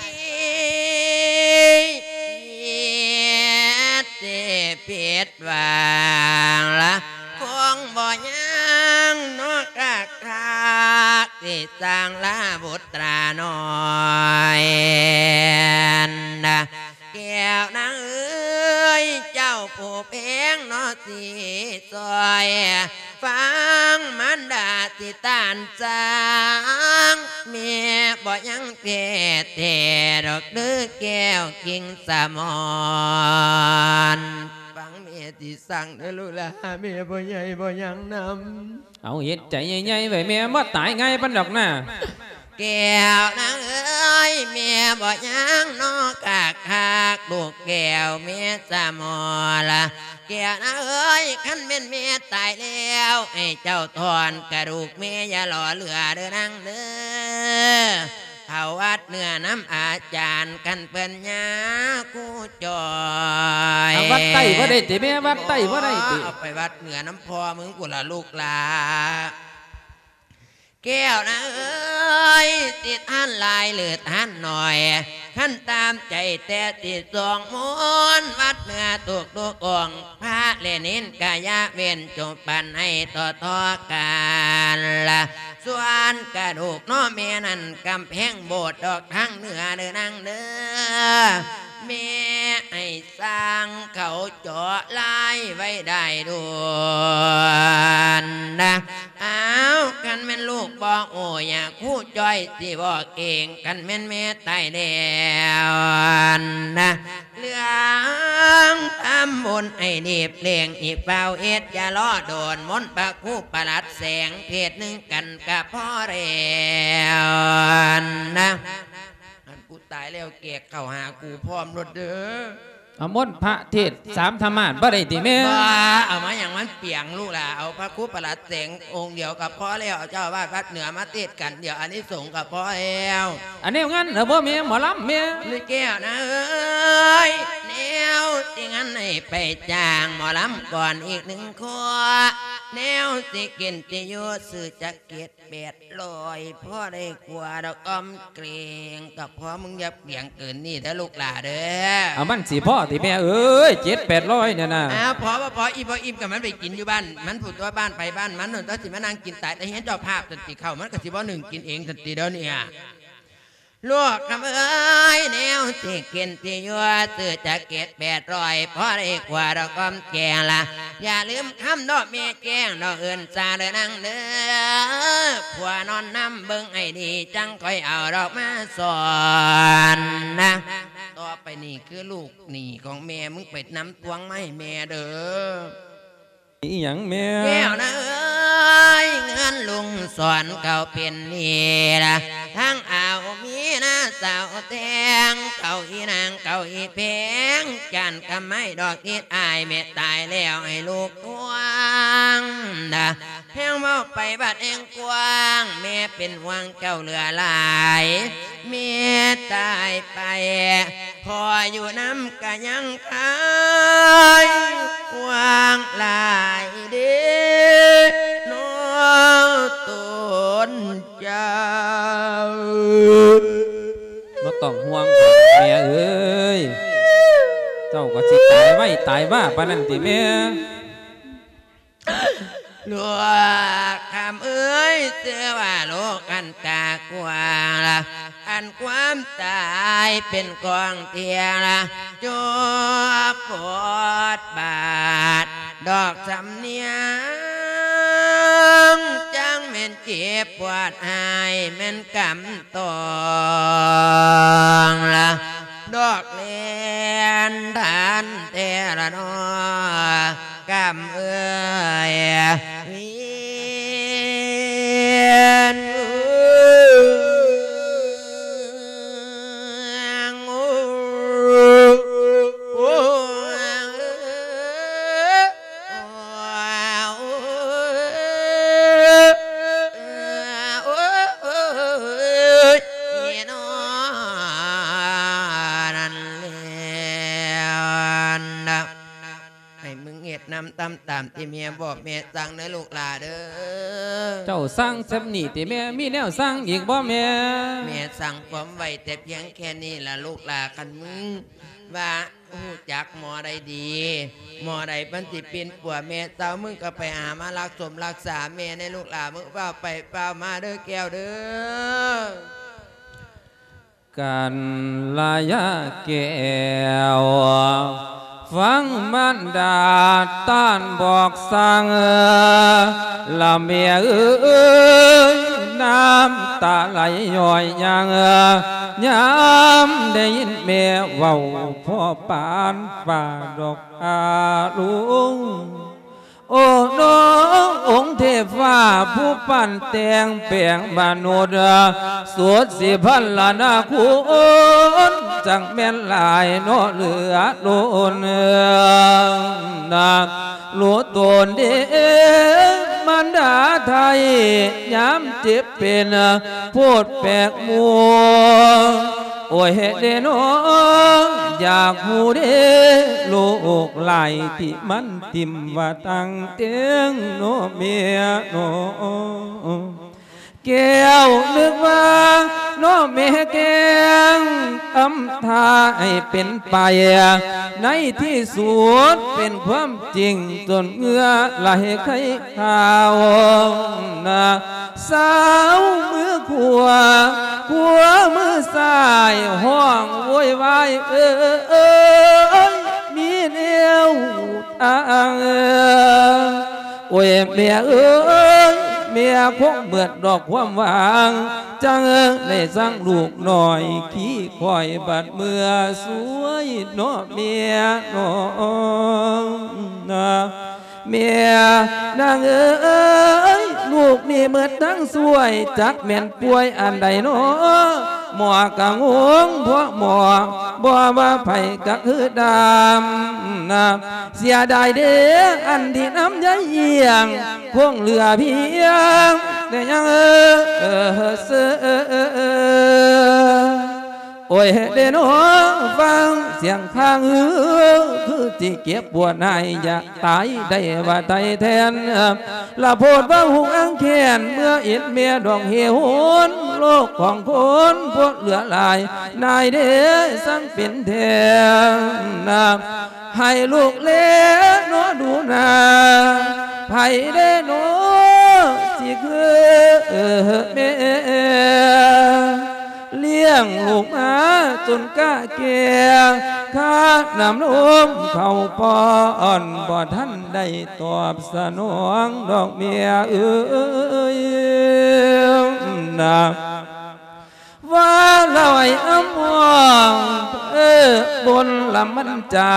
ດ ທີ່ຜິດຫວັງລະຄົງບໍ່ຍັງເນາະ ຄັກໆ ທີ່ສ້າງລາບຸດຕານ້ອຍນະ ແກ້ວນາງເອີຍ ເຈົ້າຜູ້ແພງເນາະ ຊິຊ່ອຍຟັງມານດາຊິຕ້ານສາງ ແມ່ບໍ່ຍັງແພ້ແທ້ດອກເດີ ແກ້ວກິ່ງສະໝອນ. ຟັງແມ່ຊິສັ່ງເດີລູກຫຼາ ແມ່ບໍ່ໃຫຍ່ບໍ່ຍັງນຳ. ເອົາ ເຮັດໃຈໃຫຍ່ໆໄວ້ແມ່ ບໍ່ຕາຍງ່າຍປານດອກນາ. ແກ້ວນາງເອີຍ ແມ່ບໍ່ຍັງເນາະ ຄັກໆ ລູກແກ້ວແມ່ສະໝໍລະ. ແກ້ວນາງເອີຍ ຄັນແມ່ນແມ່ຕາຍແລ້ວ ໃຫ້ເຈົ້າຖອນກະດູກແມ່ ຢ່າຫຼໍເຫຼືອເດີນາງເດີ. ເຂົ້າວັດເໜືອນຳອາຈານ ຄັນເພິ່ນຍາຄູຈ່ອຍ. ເອົາ ວັດໃຕ້ບໍ່ໄດ້ຕິແມ່? ວັດໃຕ້ບໍ່ໄດ້ຕິ? ເອົາໄປວັດເໜືອນຳພໍ່ມຶງພຸ້ນລະລູກຫຼາ. ແກ້ວນາເອີຍ ຊິທານຫຼາຍຫຼືທານໜ້ອຍ ຄັນຕາມໃຈແຕ່ຊິສວດມົນ ວັດເໜືອທຸກໆອົງ ພະແລະເນນກະຢ່າເວັ້ນ ຈົ່ງປັນໃຫ້ຕໍ່ໆກັນລະ. ສ່ວນກະດູກເນາະແມ່ນັ້ນ ກຳແພງໂບດດອກທາງເໜືອເດີນາງເດີ ແມ່ໃຫ້ຊ່າງເຂົາເຈາະລາຍໄວ້ໄດ້ດ່ວນນະ. ອ້າວ ຄັນແມ່ນລູກບໍ່ຮູ້ ຍາຄູຈ່ອຍຊິບອກເອງ ຄັນແມ່ນແມ່ຕາຍແລ້ວນະ ເລື່ອງທຳບຸນໃຫ້ຮີບເລັ່ງ ອີກຟ້າວເຮັດ ຢ່າລໍດົນ ມົນພະຄູປະຫຼັດແສງ ເພດໜຶ່ງກັນກະພໍແລ້ວນະ. ອັນກູຕາຍແລ້ວ ແກກເຂົ້າຫາກູພ້ອມໂລດເດີ. ເອົາມົນພະເທດສາມທຳມາດບໍ່ໄດ້ຕິແມ່? ບໍ່ ເອົາມາຫຍັງມັນປຽງລູກຫຼາ. ເອົາພະຄູປະຫຼັດແສງອົງດຽວກໍພໍແລ້ວ ເຈົ້າອາວາດວັດເໜືອມາເທດກັນ ດຽວອານິສົງກໍພໍແລ້ວ. ອັນແນວງານລະບໍ່ແມ່? ໝໍລຳແມ່? ແກ້ວນາເອີຍ ແນວຊິງານໃຫ້ໄປຈ້າງໝໍລຳກ່ອນອີກໜຶ່ງຄົນ ແນວຊິກິນຊິຢູ່ ຊື້ຈັກເກັດ ແປດຮ້ອຍ ພໍໄດ້ກົວດອກອອມເກງ ກໍພໍ ມຶງຢ່າປຽງເກີນນີ້ເດີລູກຫຼາເດີ. ເອົາ ມັນຊິພໍຕິແມ່ເອີຍ ເຈັດແປດຮ້ອຍນີ້ນະ? ອ້າວ ພໍບໍ່ພໍ ອີ່ມບໍ່ອີ່ມກໍມັນໄປກິນຢູ່ບ້ານມັນພຸ້ນຕົວະ ບ້ານໃຜບ້ານມັນພຸ້ນຕົວະ ຊິມານັ່ງກິນຕາຍແຕ່ເຮືອນເຈົ້າພາບຊັ້ນຕິ ເຂົ້າມັນກໍຊິບໍ່ໜຶ້ງກິນເອງຊັ້ນຕິດຽວນີ້. ລູກຄຳເອີຍ ແນວຊິກິນຊິຢູ່ ຊື້ຈັກເກັດແປດຮ້ອຍ ພໍໄດ້ກົວດອກອອມແກງລະ. ຢ່າລືມຄຳເນາະແມ່ແຈ້ງ ດອກເອີ້ນສາເດີນາງເດີ ຜົວນອນນຳເບິ່ງໃຫ້ດີ ຈັ່ງຄ່ອຍເອົາດອກມາສອນນະ. ຕໍ່ໄປນີ້ຄືລູກໜີ້ຂອງແມ່ ມຶງໄປນຳພວງມາໃຫ້ແມ່ເດີ. ອີຫຍັງແມ່? ແກ້ວນາເອີຍ ເງິນລຸງສອນເຂົາເປັນໜີ້ລະ ທັງອາວມີນາສາວແທງ ເຂົາອີນາງເຂົາອີແພງ ຈານກຳໄມ້ດອກອີດອາຍ ແມ່ຕາຍແລ້ວໃຫ້ລູກທວງນະ. ແຮງເວົ້າໄປບັດແຮງກວ້າງ ແມ່ເປັນຫ່ວງເຈົ້າເຫຼືອຫຼາຍ ແມ່ຕາຍໄປ ພໍ່ຢູ່ນຳກະຍັງຄາຍຫວັງຫຼາຍເດເນາະຕົນເຈົ້າ. ບໍ່ຕ້ອງຫ່ວງດອກແມ່ເອີຍ ເຈົ້າກໍຊິຕາຍໄວ ອ້າຍວ່າປານນັ້ນຕິແມ່? ລູກຄຳເອີຍ ຊື່ວ່າລູກອັນຕາກວ້າງລະ ອັນຄວາມຕາຍເປັນຂອງເທລະ ຈົບບົດບາດ ດອກສຳນຽງ ຈັ່ງແມ່ນເຈັບປວດຮ້າຍ ແມ່ນກຳຕອງລະ ດອກແລ່ນທັນແຕ່ລະນໍ ກຳເອີຍ ວຽນ ໃຫ້ມຶງເຮັດນຳຕາມ ຕາມທີ່ແມ່ບອກແມ່ສັ່ງເດີລູກຫຼ້າເດີ. ເຈົ້າສັ່ງສ່ຳນີ້ຕິແມ່? ມີແນວສັ່ງອີກບໍ່ແມ່? ແມ່ສັ່ງຄວາມໄວ້ແຕ່ພຽງແຄ່ນີ້ລະລູກຫຼ້າ. ຄັນມຶງວ່າຮູ້ຈັກໝໍໃດດີ ໝໍໃດມັນຊິປິ່ນປົວແມ່ເຈົ້າ ມຶງກໍໄປຫາມາລັກສົມລັກສາແມ່ແດ່ລູກຫຼ້າ. ມຶງຟ້າວໄປຟ້າວມາເດີແກ້ວເດີ. ກັນລະຍາແກ້ວ ຟັງມານດາຕ້ານບອກສັ່ງ ລະແມ່ເອີຍ ນ້ຳຕາໄຫຼຍ້ອຍຍັງ ຍາມໄດ້ຍິນແມ່ເວົ້າ ພໍປານຟ້າດອກອາລຸງ. ໂອ້ ນ້ອງອົງເທບຟ້າ ຜູ້ປັ້ນແຕ່ງແປງມະນຸດ ສຸດສິພັນລະນາຄຸນ ຈັ່ງແມ່ນຫຼາຍເນາະເຫຼືອລົ້ນ ນາກຮູ້ຕົນເດ ມານດາໄທ ຍາມເຈັບເປັນ ໂພດແປກໝູ່ ໂອ້ຍເດນ້ອ ຢາກຮູ້ເດ ລູກຫຼາຍທີ່ມັນ ຖິ້ມວ່າຕັ້ງເຕີງເນາະແມ່ເນາະ ແກ້ວນຶກວ່າເນາະແມ່ແກ້ງ ອຳທ່າໃຫ້ເປັນໄປ ໃນທີ່ສຸດເປັນຄວາມຈິງ ຈົນເຫື່ອໄຫຼໄຄ ຂ້າວນະ ສາວມືຂວາ ຂວາມືຊ້າຍ ຮ້ອງໂວຍວາຍ ເອີຍ ມີແນວທາງ ໂອ້ຍ ແມ່ເອີຍ ແມ່ຄົງເໝືອດດອກຄວາມຫວັງ ຈັ່ງໄດ້ສັ່ງລູກນ້ອຍ ຂີ່ຄວາຍບາດເມືອຊ່ວຍເນາະແມ່ເນາະ. ແມ່ນາງເອີຍ ລູກນີ້ເໝິດທັງຊ່ວຍ ຈັກແມ່ນປ່ວຍອັນໃດນໍ ໝໍກະງົງ ເພາະໝໍບໍ່ວ່າໃຜກະຄືດຳນະ ເສຍດາຍເດ ອັນທີ່ນຳໃຍອຽງ ຄົງເຫຼືອພຽງແຕ່ຍັງເອີ ເອີ ເອີ ເອີ ເອີ ໂອ້ຍເດນ້ອ ຟັງສຽງຄາງຮື ຄືຊິເຈັບປວດນາຍ ຢາກຕາຍໄດ້ວ່າໄຕແທນ ລະໂພດວ່າຫຸງອັງແຄນ ເມື່ອເອັດແມ່ດອກເຫໂຫນ ໂລກຂອງຄົນພວກເຫຼືອຫຼາຍ ນາຍເດ ສັງເປັນແທນນະ ໃຫ້ລູກແລເນາະດູໜ້າ ໃຜເດເນາະຊິຄືແມ່ ລ້ຽງລູກມາຈົນກະແກ່ ຄ່ານ້ຳນົມເຂົ້າປ້ອນ ບໍ່ທັນໄດ້ຕອບສະໜອງດອກແມ່ເອີຍນະ. ວ່າລະໄວອຳມອງ ເອີ ບົນລະມັນຈາ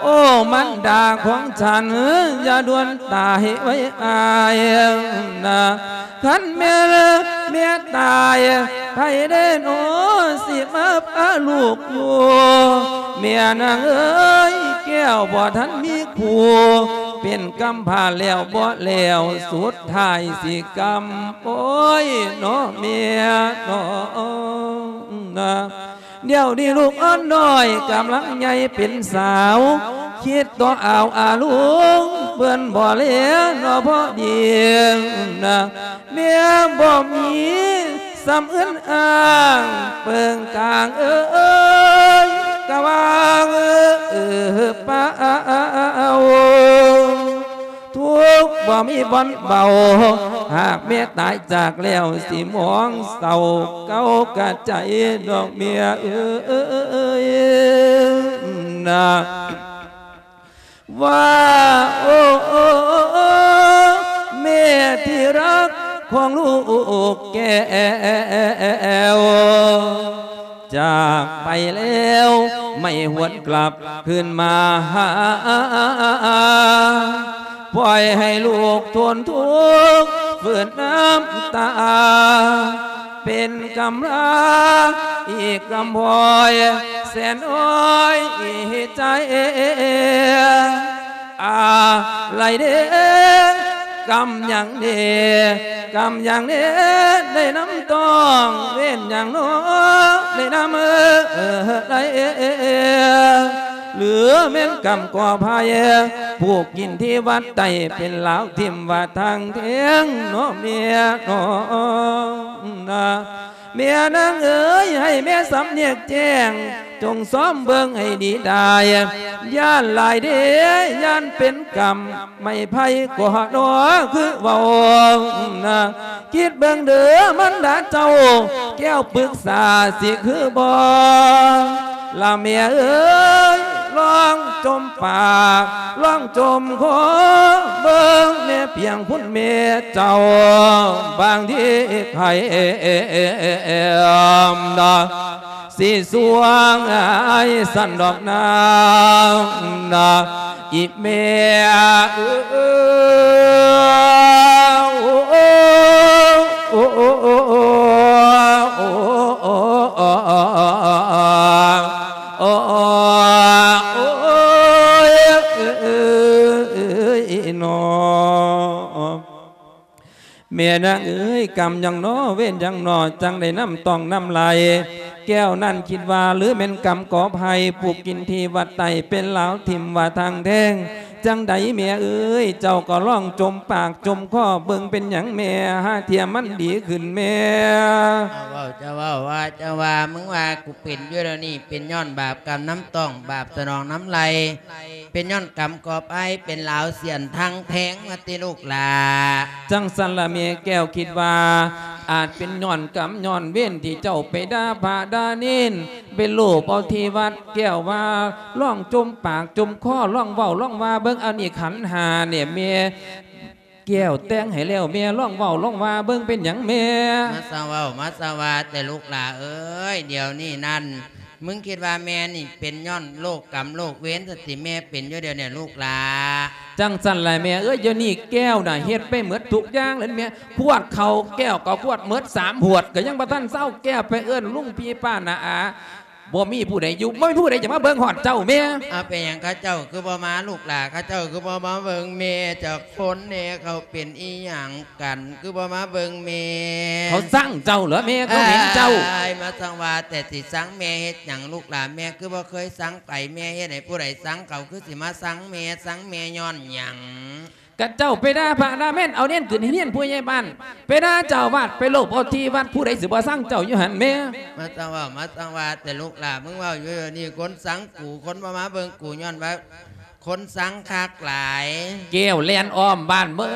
ໂອ້ ມັນດາຂອງສັນ ຢ່າດ່ວນຕາຍໄວອ້າຍນະ ຄັນແມ່ນແມ່ຕາຍ ໃຜເດເນາະຊິມາພາລູກຢູ່ ແມ່ນາງເອີຍ ແກ້ວບໍ່ທັນມີຄູ່ ເປັນກຳພ້າແລ້ວບໍ່ແລ້ວ ສຸດທ້າຍຊິກຳ ໂອ້ຍ ເນາະແມ່ເນາະ ດຽວນີ້ລູກອ່ອນນ້ອຍກຳລັງໃຫຍ່ເປັນສາວ ຄິດຕໍ່ອາວອາລຸງ ເພິ່ນບໍ່ແລເນາະພໍດີນະ ແມ່ບໍ່ມີສ່ຳອື່ນອ້າງ ເບິ່ງກາງເອີຍ ກະວ່າງເອີປາວ ທຸກບໍ່ມີບ່ອນເບົາ ຫາກແມ່ຕາຍຈາກແລ້ວ ຊິມອງເສົ້າເກົ້າກະໃຈດອກເມຍເອີຍນະ. ວ່າ ໂອ້ ແມ່ທີ່ຮັກຂອງລູກແກ້ວ ຈາກໄປແລ້ວໄມ່ຫວນກັບຄືນມາຫາ ປ່ອຍໃຫ້ລູກທົນທຸກຝືນນ້ຳຕາ ເປັນກຳພາອີກກຳພອຍ ແສນອ້ອຍໃຈ ອາໄລເດ ກຳຫຍັງເດ ກຳຫຍັງເດ ໄດ້ນຳຕ້ອງ ເວນຫຍັງນໍ ໄດ້ນຳເອີ ໄດ້ ຫຼືແມ່ນກຳກໍໄພ ຜູກກິນທີ່ວັດໃຕ້ ເປັນລາວຖິ້ມວ່າທາງແທງ ເນາະແມ່ເນາະ ນະ. ແມ່ນາງເອີຍ ໃຫ້ແມ່ສຳເນກແຈ້ງ ຈົ່ງຊອມເບິ່ງໃຫ້ດີດາຍ ຢ້ານຫຼາຍເດ ຢ້ານເປັນກຳໄມ້ໄຜ່ກໍໜໍຄືເວົ້ານະ ຄິດເບິ່ງເດີມັນດາເຈົ້າ ແກ້ວປຶກສາຊິຄືບໍ່ ລະແມ່ເອີຍ ລອງຈົ່ມປາກ ລອງຈົ່ມຄໍເບິ່ງແນ່ພຽງຄຸນແມ່ເຈົ້າ ບາງທີໃຜນະ ຊິສວງອ້າຍຊັ້ນດອກນາງນະ ອີແມ່ເອີຍ ໂອ້ ໂອ້ ໂອ້ ໂອ້ ໂອ້ ໂອ້ ໂອ້ ໂອ້ຍ ເອີຍ ເອີຍ ເອີຍ ເອີຍ ເອີຍ ເອີຍ ເນາະ. ແມ່ນາງເອີຍ ກຳຫຍັງນໍ ເວນຫຍັງນໍ ຈັ່ງໄດ້ນຳຕ້ອງນຳໄລ່ ແກ້ວນັ້ນຄິດວ່າ ຫຼືແມ່ນກຳກໍໄພ ຜູກກິນທີ່ວັດໃຕ້ ເປັນລາວຖິ້ມວ່າທາງແທງ ຈັ່ງໃດແມ່ເອີຍ ເຈົ້າກໍລອງຈົ່ມປາກຈົ່ມຄໍເບິ່ງ ເປັນຫຍັງແມ່ ຫາເທື່ອມັນດີຂຶ້ນແມ່. ເຈົ້າເວົ້າ ເຈົ້າເວົ້າ ວ່າເຈົ້າວ່າ ມຶງວ່າກູເປັນຢູ່ດຽວນີ້ ເປັນຍ້ອນບາບກຳນຳຕ້ອງ ບາບສະໜອງນຳໄລ່ ເປັນຍ້ອນກຳກໍໄພ ເປັນລາວສ່ຽນທາງແທງວ່າຕິລູກຫຼ້າ. ຈັ່ງຊັ້ນລະແມ່ແກ້ວຄິດວ່າ ອາດເປັນຍ້ອນກຳຍ້ອນເວນທີ່ເຈົ້າໄປດ່າພະດ່າເນນ ໄປໂລບເອົາທີ່ວັດ ແກ້ວວ່າລອງຈົ່ມປາກຈົ່ມຄໍ ລອງເວົ້າລອງວ່າເບິ່ງ ອັນນີ້ຂັນຫ້ານີ້ແມ່ແກ້ວແຕ່ງໃຫ້ແລ້ວ ແມ່ລອງເວົ້າລອງວ່າເບິ່ງ ເປັນຫຍັງແມ່? ມາສະເວົ້າ ມາສະວ່າແຕ່ລູກຫຼ້າເອີຍ ດຽວນີ້ນັ້ນ ມຶງຄິດວ່າແມ່ນີ້ເປັນຍ້ອນໂລກກຳໂລກເວນຊັ້ນຕິ ແມ່ເປັນຢູ່ດຽວນີ້ລູກຫຼ້າ. ຈັ່ງຊັ້ນລະແມ່ເອີຍ ດຽວນີ້ແກ້ວນະເຮັດໄປໝົດທຸກຢ່າງແລ້ວແມ່ ຄວດເຂົ້າແກ້ວກໍຄວດໝົດສາມຫວດ ກໍຍັງບໍ່ທັນເຊົາ ແກ້ວໄປເອີ້ນລຸງພີ່ປ້ານ້າອາ ບໍ່ມີຜູ້ໃດຢູ່ ບໍ່ມີຜູ້ໃດຈະມາເບິ່ງຮອດເຈົ້າແມ່. ເອົາ ເປັນຫຍັງເຂົາເຈົ້າຄືບໍ່ມາລູກຫຼ້າ ເຂົາເຈົ້າຄືບໍ່ມາເບິ່ງແມ່ຈັກຄົນແດ່ ເຂົາເປັນອີ່ຫຍັງ ກັນ ຄືບໍ່ມາເບິ່ງແມ່? ເຂົາຊັງເຈົ້າເຫຼືແມ່ ເຂົາເຫັນເຈົ້າ. ອ້າຍ ມາສັງວ່າແຕ່ ຊິຊັງແມ່ເຮັດຫຍັງລູກຫຼ້າ ແມ່ຄືບໍ່ເຄີຍຊັງໃຜ ແມ່ເຮັດໃຫ້ຜູ້ໃດຊັງ ເຂົາຄືຊິມາຊັງແມ່ ຊັງແມ່ຍ້ອນຫຍັງ? ກະເຈົ້າໄປດ່າພະດ່າແມ່ນ ເອົາເນນຂຶ້ນຮຽນຜູ້ໃຫຍ່ບ້ານ ໄປດ່າເຈົ້າອາວາດ ໄປໂລບເອົາທີ່ວັດ ຜູ້ໃດຊິບໍ່ຊັງເຈົ້າຢູ່ຫັ້ນແມ່? ມາສັງວ່າ ມາສັງວ່າແຕ່ລູກຫຼ້າ ມຶງເວົ້າຢູ່ດຽວນີ້ ຄົນຊັງກູ ຄົນບໍ່ມາເບິ່ງກູ ຍ້ອນວ່າ ຄົນຊັງຄັກຫຼາຍ. ແກ້ວແລ່ນອ້ອມບ້ານເໝິ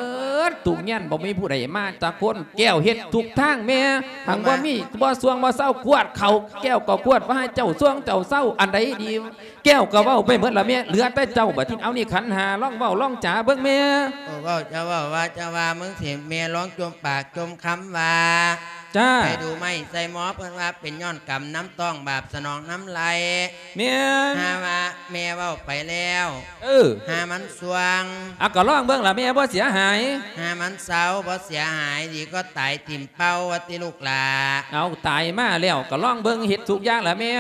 ດທຸກເຮືອນ ບໍ່ມີຜູ້ໃດມາຈັກຄົນ ແກ້ວເຮັດທຸກທາງແມ່ ຫັ້ນ ບໍ່ມີ ບໍ່ຊ່ວງບໍ່ເຊົາ ຄວດເຂົ້າແກ້ວກໍຄວດວ່າໃຫ້ເຈົ້າຊ່ວງເຈົ້າເຊົາ ອັນໃດດີແກ້ວກໍເວົ້າໄປເໝິດລະແມ່ ເຫຼືອແຕ່ເຈົ້າບາດນີ້ ເອົານີ້ຂັນຫ້າ ລອງເວົ້າລອງຈາເບິ່ງແມ່. ເອີ ເວົ້າ ເຈົ້າເວົ້າ ວ່າເຈົ້າວ່າ ມຶງຊິ ແມ່ລອງຈົ່ມປາກຈົ່ມຄຳວ່າ ຈ້າ ໃຫ້ດູໄມ້ໃສ່ໝໍ ເພິ່ນວ່າເປັນຍ້ອນກຳນຳຕ້ອງ ບາບສະໜອງນຳໄລ່. ແມ່ນ ຫາວ່າແມ່ເວົ້າໄປແລ້ວ ເອີ ຫາມັນຊ່ວງ. ອາ ກໍລອງເບິ່ງລະແມ່ ບໍ່ເສຍຫາຍ ຫາມັນເຊົາ ບໍ່ເສຍຫາຍ ດີກວ່າຕາຍຖິ້ມເປົ່າວ່າຕິລູກຫຼ້າ. ເອົາ ຕາຍມາແລ້ວ ກໍລອງເບິ່ງ ເຮັດທຸກຢ່າງລະແມ່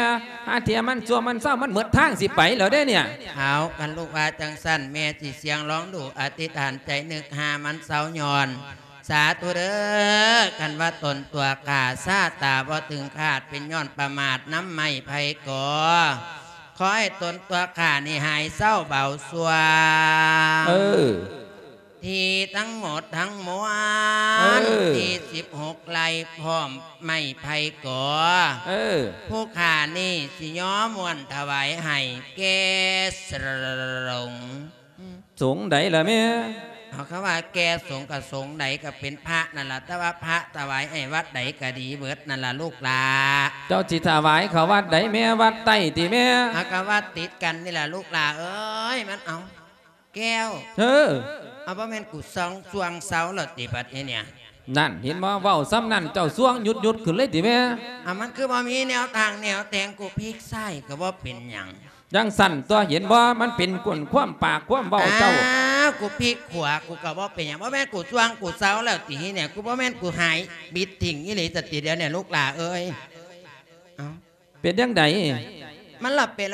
ຫາເທື່ອມັນຊ່ວງມັນເຊົາ ມັນໝົດທາງຊິໄປແລ້ວເດ້ເນຍ. ເອົາ ຄັນລູກວ່າຈັ່ງຊັ້ນ ແມ່ຊິສ່ຽງລອງດູ ອະທິຖານໃຈນຶກ ຫາມັນເຊົາຍ້ອນ ສາທຸເດີ ຄັນວ່າຕົນຕົວຂ້າຊາຕາບໍ່ເຖິງຄາດ ເປັນຍ້ອນປະໝາດນຳໄມ້ໄຜ່ກໍ ຂໍໃຫ້ຕົນຕົວຂ້ານີ້ຫາຍເຊົາເບົາສ່ວງ. ເອີ ທີ່ທັງໝົດທັງມວນ ເອີ ທີ່ສິບຫົກໄລ່ພ້ອມໄມ້ໄຜ່ກໍ ເອີ ຜູ້ຂ້ານີ້ຊິຍໍມ້ວນຖວາຍໃຫ້ແກ່ສົງ. ສົງໃດລະແມ່? ເອົາ ຄຳວ່າແກ່ສົງກໍສົງໃດກໍເປັນພະນັ້ນລະ ແຕ່ວ່າພະຖວາຍໃຫ້ວັດໃດກໍດີເບິດນັ້ນລະລູກຫຼ້າ. ເຈົ້າຊິຖວາຍເຂົ້າວັດໃດແມ່? ວັດໃຕ້ຕິແມ່? ເອົາ ກໍວັດຕິດກັນນີ້ລະລູກຫຼ້າເອີຍ. ມັນ ເອົາ ແກ້ວ ເອີ ເອົາ ບໍ່ແມ່ນກູສ່ວງ ສ່ວງເຊົາແລ້ວຕິບັດນີ້ເນຍ? ນັ້ນ ເຫັນບໍ່ ເວົ້າສ່ຳນັ້ນເຈົ້າສ່ວງຫຍຸດໆຂຶ້ນເລີຍຕິແມ່? ເອົາ ມັນຄືບໍ່ມີແນວທາງແນວແທງ ກູພິກຊ້າຍກໍບໍ່ເປັນຫຍັງ. ຈັ່ງຊັ້ນຕົວະ ເຫັນບໍ່ ມັນເປັນກວນຄວາມປາກຄວາມເວົ້າເຈົ້າ. ອ້າວ ກູພິກຂວາ ກູກໍບໍ່ເປັນຫຍັງ. ບໍ່ແມ່ນກູສ່ວງ ກູເຊົາແລ້ວຕິນີ້ເນຍ? ກູບໍ່ແມ່ນກູຫາຍບິດຖິ້ມອີ່ຫຼີສະຕິດຽວນີ້ລູກຫຼ້າເອີຍ. ເອົ້າ ເປັນຈັ່ງໃດ? ມັນລະເປັນ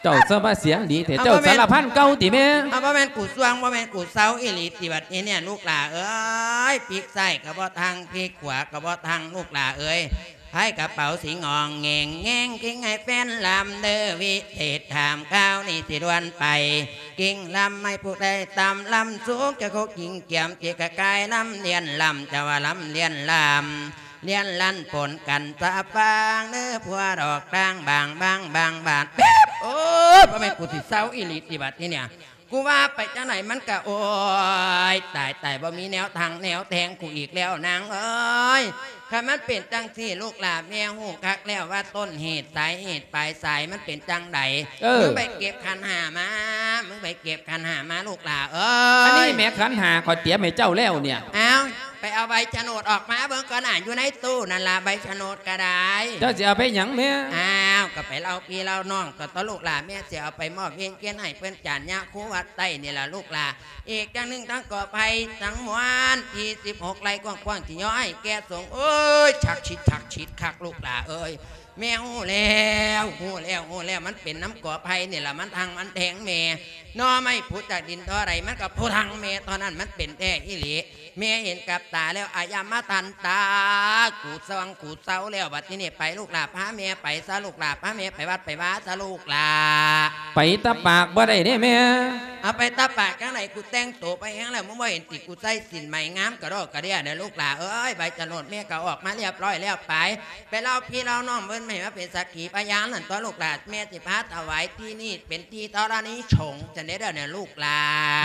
ເຈົ້າສະມາສຽງດີແທ້ ເຈົ້າສາລະພັນເກົ່າຕິແມ່? ເອົາ ບໍ່ແມ່ນກູສ່ວງ ບໍ່ແມ່ນກູເຊົາອີ່ຫຼີຕິບັດນີ້ເນຍລູກຫຼ້າເອີຍ. ພິກຊ້າຍກໍບໍ່ທັງ ພິກຂວາກໍບໍ່ທັງລູກຫຼ້າເອີຍ. ພາຍກະເປົາສິງອອງແງງແງງ ກິງໃຫ້ແຟນລຳເດີ ວິເສດຖາມຄາວນີ້ຊິດ່ວນໄປ ກິງລຳໃຫ້ຜູ້ໃດຕາມລຳສູງ ຈະໂຄກິງກຽມ ຈິກະກາຍລຳລຽນລຳ ຈະວ່າລຳລຽນລຳ ລຽນລັນປົນກັນສະຟາງເດີ ຜົວດອກຕ່າງບາງບາງບາງບາດ ໂອ້ຍ ບໍ່ແມ່ນກູຊິເຊົາອີ່ຫຼີຕິບັດນີ້ເນຍ? ກູວ່າໄປຈັ່ງໃດມັນກະ ໂອ້ຍ ຕາຍ ຕາຍ ບໍ່ມີແນວທາງແນວແທງກູອີກແລ້ວນາງເອີຍ. ຄັນມັນເປັນຈັ່ງຊີ້ລູກຫຼ້າ ແມ່ຮູ້ຄັກແລ້ວວ່າຕົ້ນເຫດສາຍເຫດປາຍສາຍມັນເປັນຈັ່ງໃດ. ເອີ ມຶງໄປເກັບຂັນຫ້າມາ ມຶງໄປເກັບຂັນຫ້າມາລູກຫຼ້າເອີຍ. ອັນນີ້ແມ່ຂັນຫ້າຂ້ອຍຕຽມໃຫ້ເຈົ້າແລ້ວເນຍ. ອ້າວ ໄປເອົາໃບສະໂໜດອອກມາເບິ່ງກ່ອນນະ ຢູ່ໃນຕູ້ນັ້ນລະ ໃບສະໂໜດກະໄດ້. ເຈົ້າຊິເອົາໄປຫຍັງແມ່? ອ້າວ ກໍໄປເລົ່າພີ່ເລົ່ານ້ອງ ກໍຕໍ່ລູກຫຼ້າ ແມ່ຊິເອົາໄປມອບວຽນກຽນໃຫ້ເພິ່ນຈານຍາຄູວັດໃຕ້ນີ້ລະລູກຫຼ້າ. ອີກຢ່າງໜຶ່ງ ທັງກໍໄຜ່ທັງມວນທີ່ສິບຫົກໄລ່ກວ້າງໆ ທີ່ຍ້ອຍແກ່ສົງ ໂອ້ຍ ສັກສິດສັກສິດຄັກລູກຫຼ້າເອີຍ. ແມ່ຮູ້ແລ້ວ ຮູ້ແລ້ວ ຮູ້ແລ້ວ ມັນເປັນນຳກໍໄຜ່ນີ້ລະ ມັນທັງມັນແທງແມ່. ໜໍ່ໄມ້ຜຸດຈາກດິນທໍ່ໃດ ມັນກໍໂພທັງແມ່ເທົ່ານັ້ນ ມັນເປັນແທ້ອີ່ຫຼີ. ແມ່ເຫັນກັບຕາແລ້ວ ອາຍາມາທັນຕາ ກູສ່ວງກູເຊົາແລ້ວ. ບັດທີນີ້ໄປລູກຫຼ້າ ພາແມ່ໄປຊະລູກຫຼ້າ ພາແມ່ໄປວັດໄປວາຊະລູກຫຼ້າ. ໄປຕາປາກບໍ່ໄດ້ເດ້ແມ່. ເອົາ ໄປຕາປາກຈັ່ງໃດ? ກູແຕ່ງໂຕໄປແຮງແລ້ວ ມຶງບໍ່ເຫັນຕິ ກູໃສ່ສິ້ນໄໝງາມກະດອກກະເດຍເດີລູກຫຼ້າເອີຍ. ໃບສະໂໜດແມ່ກໍອອກມາລຽບຮ້ອຍແລ້ວ ໄປ ໄປເລົ່າພີ່ເລົ່ານ້ອງເພິ່ນ ໃຫ້ມາເປັນສັກຂີພະຍານນັ້ນຕົວະລູກຫຼ້າ. ແມ່ຊິພາຖວາຍທີ່ນີ້ເປັນທີ່ທໍລະນີສົງ ຈັ່ງໃດເດີນີ້ລູກຫຼ້າ.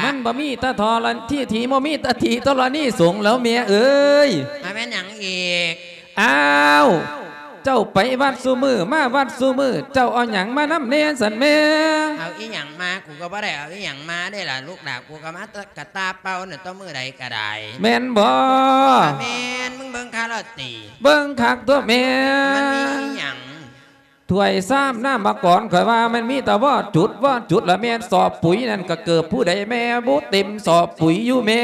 ມັນບໍ່ມີຕາທໍລະ ທີ່ ທີ່ບໍ່ມີຕາທີ່ທໍລະນີສົງແລ້ວແມ່ເອີຍ. ອາ ແມ່ນຫຍັງອີກ? ອ້າວ ເຈົ້າໄປວັດຊຸມື້ ມາວັດຊຸມື້ ເຈົ້າເອົາຫຍັງມານຳແດ່ຊັ້ນແມ່? ເອົາອີ່ຫຍັງມາ? ກູກໍບໍ່ໄດ້ເອົາອີ່ຫຍັງມາເດ້ລະລູກຫຼ້າ ກູກໍມາແຕ່ກະຕາເປົ່ານັ້ນຕົວະ ມື້ໃດກໍໄດ້. ແມ່ນບໍ່? ອາ ແມ່ນ. ມຶງເບິ່ງຄັກລະຕິ? ເບິ່ງຄັກຕົວະແມ່. ມັນມີອີ່ຫຍັງ? ຖ້ວຍຊາມ ນ້ຳມະກອນ ຂ້ອຍວ່າມັນມີແຕ່ວໍຈຸດ ວໍຈຸດລະແມ່ນ. ສອບປຸຍນັ້ນກະເກີບຜູ້ໃດແມ່? ບໍ່ເຕັມສອບປຸຍຢູ່ແມ່.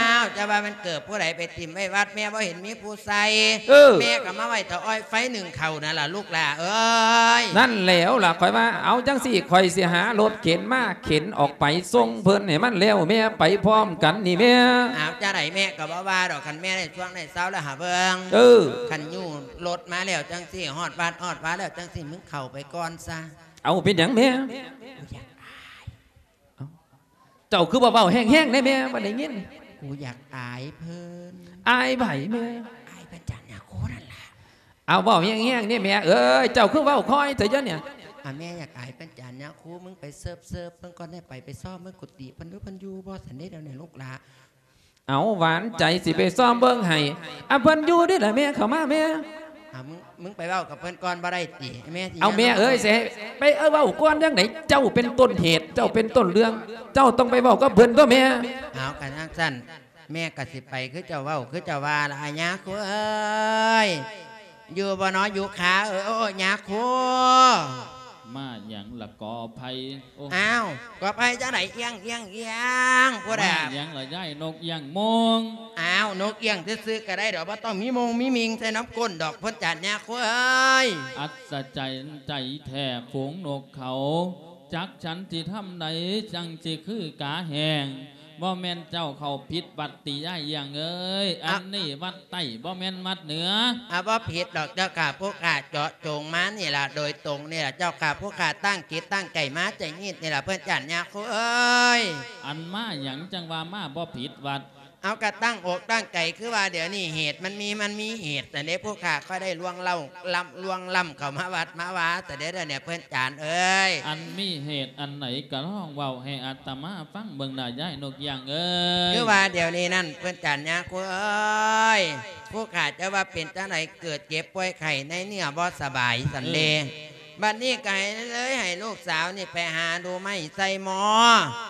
ອ້າວ ຈະວ່າມັນເກີບຜູ້ໃດໄປຖິ້ມໄວ້ວັດ ແມ່ບໍ່ເຫັນມີຜູ້ໃສ່. ເອີ ແມ່ກໍມາໄວ້ເຕົາອ້ອຍໄຟໜຶ້ງເຂົ້ານັ້ນລະລູກຫຼ້າເອີຍ. ນັ້ນແຫຼະລະ ຂ້ອຍວ່າ ເອົາຈັ່ງຊີ້ ຂ້ອຍຊິຫາລົດເຂັນມາເຂັນອອກໄປສົ່ງເພິ່ນໃຫ້ມັນແລ້ວແມ່ ໄປພ້ອມກັນນີ້ແມ່. ອ້າວ ຈັ່ງໃດແມ່ກໍບໍ່ວ່າດອກ ຄັນແມ່ໄດ້ຊ່ວງໄດ້ເຊົາແລ້ວຫາເບິ່ງ. ເອີ ຄັນຍູ້ລົດມາແລ້ວຈັ່ງຊີ້ ຮອດວັດຮອດວາແລ້ວຈັ່ງຊີ້ ມຶງເຂົ້າໄປກ່ອນຊະ. ເອົາ ເປັນຫຍັງແມ່? ກູຢາກອາຍ. ເອົ້າ ເຈົ້າຄືບໍ່ເວົ້າແຮງໆແດ່ແມ່ ບໍ່ໄດ້ຍິນ. ກູຢາກອາຍເພິ່ນ. ອາຍໃຜແມ່? ອາຍພະຈານຍາຄູນັ້ນລະ. ເອົາ ເວົ້າແຮງໆແດ່ແມ່ເອີຍ ເຈົ້າຄືເວົ້າຄ່ອຍແທ້ຍະນີ້? ອາ ແມ່ຢາກອາຍພະຈານຍາຄູ ມຶງໄປເສີບໆເບິ່ງກ່ອນແດ່ ໄປ ໄປຊອມເບິ່ງກຸຕິເພິ່ນດູ ເພິ່ນຢູ່ບໍ່ຊັ້ນເດ ດຽວນີ້ລູກຫຼ້າ. ເອົາ ຫວານໃຈ ຊິໄປຊອມເບິ່ງໃຫ້. ອາ ເພິ່ນຢູ່ເດ້ລະແມ່ ເຂົ້າມາແມ່. ເອົາ ມຶງ ມຶງໄປເວົ້າກັບເພິ່ນກ່ອນບໍ່ໄດ້ຕິແມ່? ເອົາ ແມ່ເອີຍ ຊິໃຫ້ໄປເວົ້າກ່ອນຈັ່ງໃດ? ເຈົ້າເປັນຕົ້ນເຫດ ເຈົ້າເປັນຕົ້ນເລື່ອງ ເຈົ້າຕ້ອງໄປເວົ້າກັບເພິ່ນຕົວະແມ່. ເອົາ ຄັນຈັ່ງຊັ້ນ ແມ່ກໍຊິໄປຄືເຈົ້າເວົ້າ ຄືເຈົ້າວ່າລະ ອາຍາຄູເອີຍ. ຢູ່ບໍ່ນໍຢູ່ຄາເອີຍ ໂອ້ ຍາຄູ. ມາຫຍັງລະກໍໄຜ່? ໂອ້ ອ້າວ ກໍໄຜ່ຈັ່ງໃດ? ອຽງ ອຽງ ອຽງ ຜູ້ໃດ? ມາຫຍັງລະຍາຍນົກອຽງໂມງ? ອ້າວ ນົກອຽງຊື່ໆກໍໄດ້ດອກ ບໍ່ຕ້ອງມີໂມງມີມິງໃສ່ນຳກົ້ນດອກ ເພິ່ນຈານຍາຄູເອີຍ. ອັດສະຈັນໃຈແທ້ຝູງນົກເຂົາ ຈັກສັນຊິທຳໃດ ຈັ່ງຊິຄືກາແຫ້ງ ບໍ່ແມ່ນເຈົ້າເຂົ້າຜິດວັດຕິຍາຍອີ່ຫຍັງເອີຍ, ອ່ະ ອັນນີ້ວັດໃຕ້ ບໍ່ແມ່ນວັດເໜືອ. ອ່າ ບໍ່ຜິດດອກເຈົ້າຂ້າ, ຜູ້ຂ້າເຈາະຈົງມານີ້ລະ ໂດຍຕົງນີ້ລະເຈົ້າຂ້າ, ຜູ້ຂ້າຕັ້ງຈິດຕັ້ງໃຈມາໃຈຍິດນີ້ລະ ເພິ່ນຈານຍາຄູເອີຍ. ອັນມາຫຍັງຈັ່ງວ່າມາບໍ່ຜິດວັດ? ເອົາ ກະຕັ້ງອົກຕັ້ງໃຈ ຄືວ່າດຽວນີ້ເຫດມັນມີ ມັນມີເຫດ ຊັ້ນເດ້ ຜູ້ຂ້າກໍໄດ້ລ່ວງເລົ້າ ລ້ຳ ລ່ວງລ້ຳເຂົ້າມາວັດມາວາ ຊັ້ນເດ້ ດຽວນີ້ເພິ່ນຈານເອີຍ. ອັນມີເຫດອັນໃດກໍລອງເວົ້າໃຫ້ອາດຕະມາຟັງເບິ່ງນະ ຍາຍນົກຢາງເອີຍ. ຄືວ່າດຽວນີ້ນັ້ນ ເພິ່ນຈານຍາຄູເອີຍ, ຜູ້ຂ້າຈະວ່າເປັນຈັ່ງໃດ ເກີດເຈັບປ່ວຍໄຂ້ໃນເນື້ອບໍ່ສະບາຍ ຊັ້ນເດ້. ເອີ ບັດນີ້ກໍໃຫ້ ເລີຍໃຫ້ລູກສາວນີ້ໄປຫາດູໄມ້ໃສ່ໝໍ.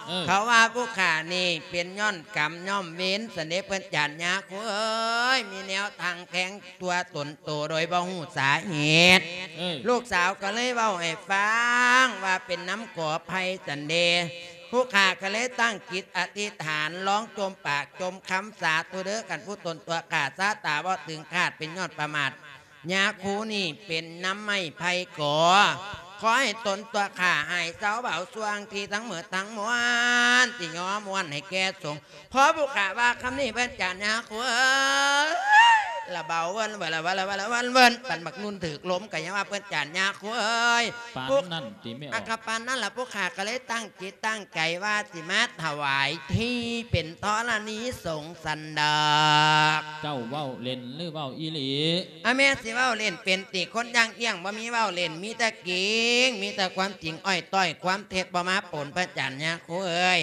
ເອີ ເຂົາວ່າຜູ້ຂ້ານີ້ເປັນຍ້ອນກຳຍ້ອນເວນ ຊັ້ນເດ້ ເພິ່ນຈານຍາຄູເອີຍ, ມີແນວທາງແທງຕົວຕົນໂຕໂດຍບໍ່ຮູ້ສາເຫດ. ເອີ ລູກສາວກໍເລີຍເວົ້າໃຫ້ຟັງວ່າເປັນນຳຂໍໄພ ຊັ້ນເດ້. ຜູ້ຂ້າກໍເລີຍຕັ້ງຈິດອະທິຖານ ລອງຈົ່ມປາກຈົ່ມຄຳ ສາທຸເດີ້ ຄັນຜູ້ຕົນຕົວຂ້າຊາຕາບໍ່ເຖິງຄາດ ເປັນຍ້ອນປະໝາດ ຍາຄູນີ້ເປັນນຳໄມ້ໄຜ່ກໍ ຂໍໃຫ້ຕົນຕົວຂ້າຫາຍເຊົາເບົາຊ່ວງທີ່ທັງໝົດທັງມວນ ທີ່ຍໍມ່ວນໃຫ້ແກ່ສົງ. ພໍຜູ້ຂ້າວ່າຄຳນີ້ ເພິ່ນຈານຍາຄູເອີຍ ລະເບົາເວີນ ເວີນ ເວີນ ເວີນ ເວີນ ປານບັກນຸ່ນຖືກລົມ ກໍຍັງວ່າເພິ່ນຈານຍາຄູເອີຍ. ປານນັ້ນຕິແມ່ອອກ? ອັກກະປານນັ້ນລະ ຜູ້ຂ້າກໍເລີຍຕັ້ງຈິດຕັ້ງໃຈວ່າຊິມາຖວາຍທີ່ເປັນທໍລະນີສົງ ຊັ້ນດອກ. ເຈົ້າເວົ້າເລ່ນຫຼືເວົ້າອີ່ຫຼີ? ອາ ແມ່ນຊິເວົ້າເລ່ນເປັນຕິ, ຄົນຢ່າງອີ່ຫຍັງບໍ່ມີເວົ້າເລ່ນ, ມີແຕ່ຈິງ ມີແຕ່ຄວາມຈິງ ອ້ອຍຕ້ອຍຄວາມເທັດບໍ່ມາປົນ ເພິ່ນຈານຍາຄູເອີຍ.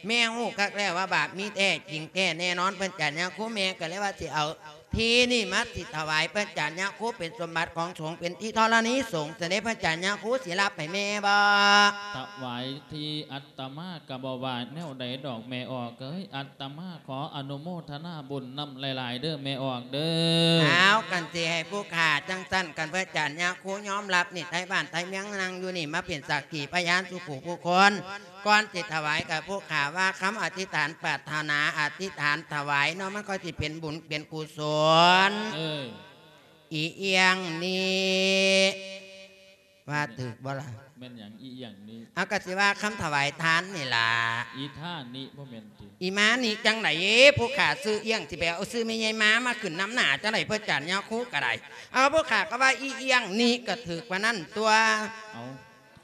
ແມ່ຮູ້ຄັກແລ້ວວ່າບາບມີແທ້ຈິງແທ້ແນ່ນອນ ເພິ່ນຈານຍາຄູ. ແມ່ກໍເລີຍວ່າຊິເອົາທີ່ນີ້ມາຊິຖວາຍ ເພິ່ນຈານຍາຄູ ເປັນສົມບັດຂອງສົງ ເປັນທີ່ທໍລະນີສົງ ຊັ້ນເດ້ ເພິ່ນຈານຍາຄູ ຊິຮັບໃຫ້ແມ່ບໍ່? ຖວາຍທີ່ ອາດຕະມາກໍບໍ່ວ່າແນວໃດດອກແມ່ອອກເອີຍ, ອາດຕະມາຂໍອະນຸໂມທະນາບຸນນຳຫຼາຍໆເດີ້ແມ່ອອກເດີ້. ອ້າວ ຄັນຊິໃຫ້ຜູ້ຂ້າຈັ່ງຊັ້ນ ຄັນເພິ່ນຈານຍາຄູຍອມຮັບນີ້ ໄທບ້ານໄທເມືອງນັ່ງຢູ່ນີ້ມາເປັນສັກຂີພະຍານສູ່ຜູ້ຄົນ. ກ່ອນຊິຖວາຍ ກໍຜູ້ຂ້າວ່າຄຳອະທິຖານປາດຖະໜາ ອະທິຖານຖວາຍເນາະ, ມັນກໍຊິເປັນບຸນເປັນກຸສົນ. ເອີ ອີ່ຫຍັງນີ້ ວ່າຖືກບໍ່ລະ? ແມ່ນຫຍັງອີ່ຫຍັງນີ້? ເອົາ ກໍຊິວ່າຄຳຖວາຍທານນີ້ລະ. ອີທານິບໍ່ແມ່ນຕິ? ອີມານິຈັ່ງໃດ? ຜູ້ຂ້າຊື່ອີ່ຫຍັງ ຊິໄປເອົາຊື່ແມ່ໃຫຍ່ມາ ມາຂຶ້ນນຳໜ້າຈັ່ງໃດ? ເພິ່ນຈານຍາຄູກໍໄດ້. ເອົາ ຜູ້ຂ້າກໍວ່າອີ່ຫຍັງນີ້ ກໍຖືກປານນັ້ນຕົວະ. ເອົາ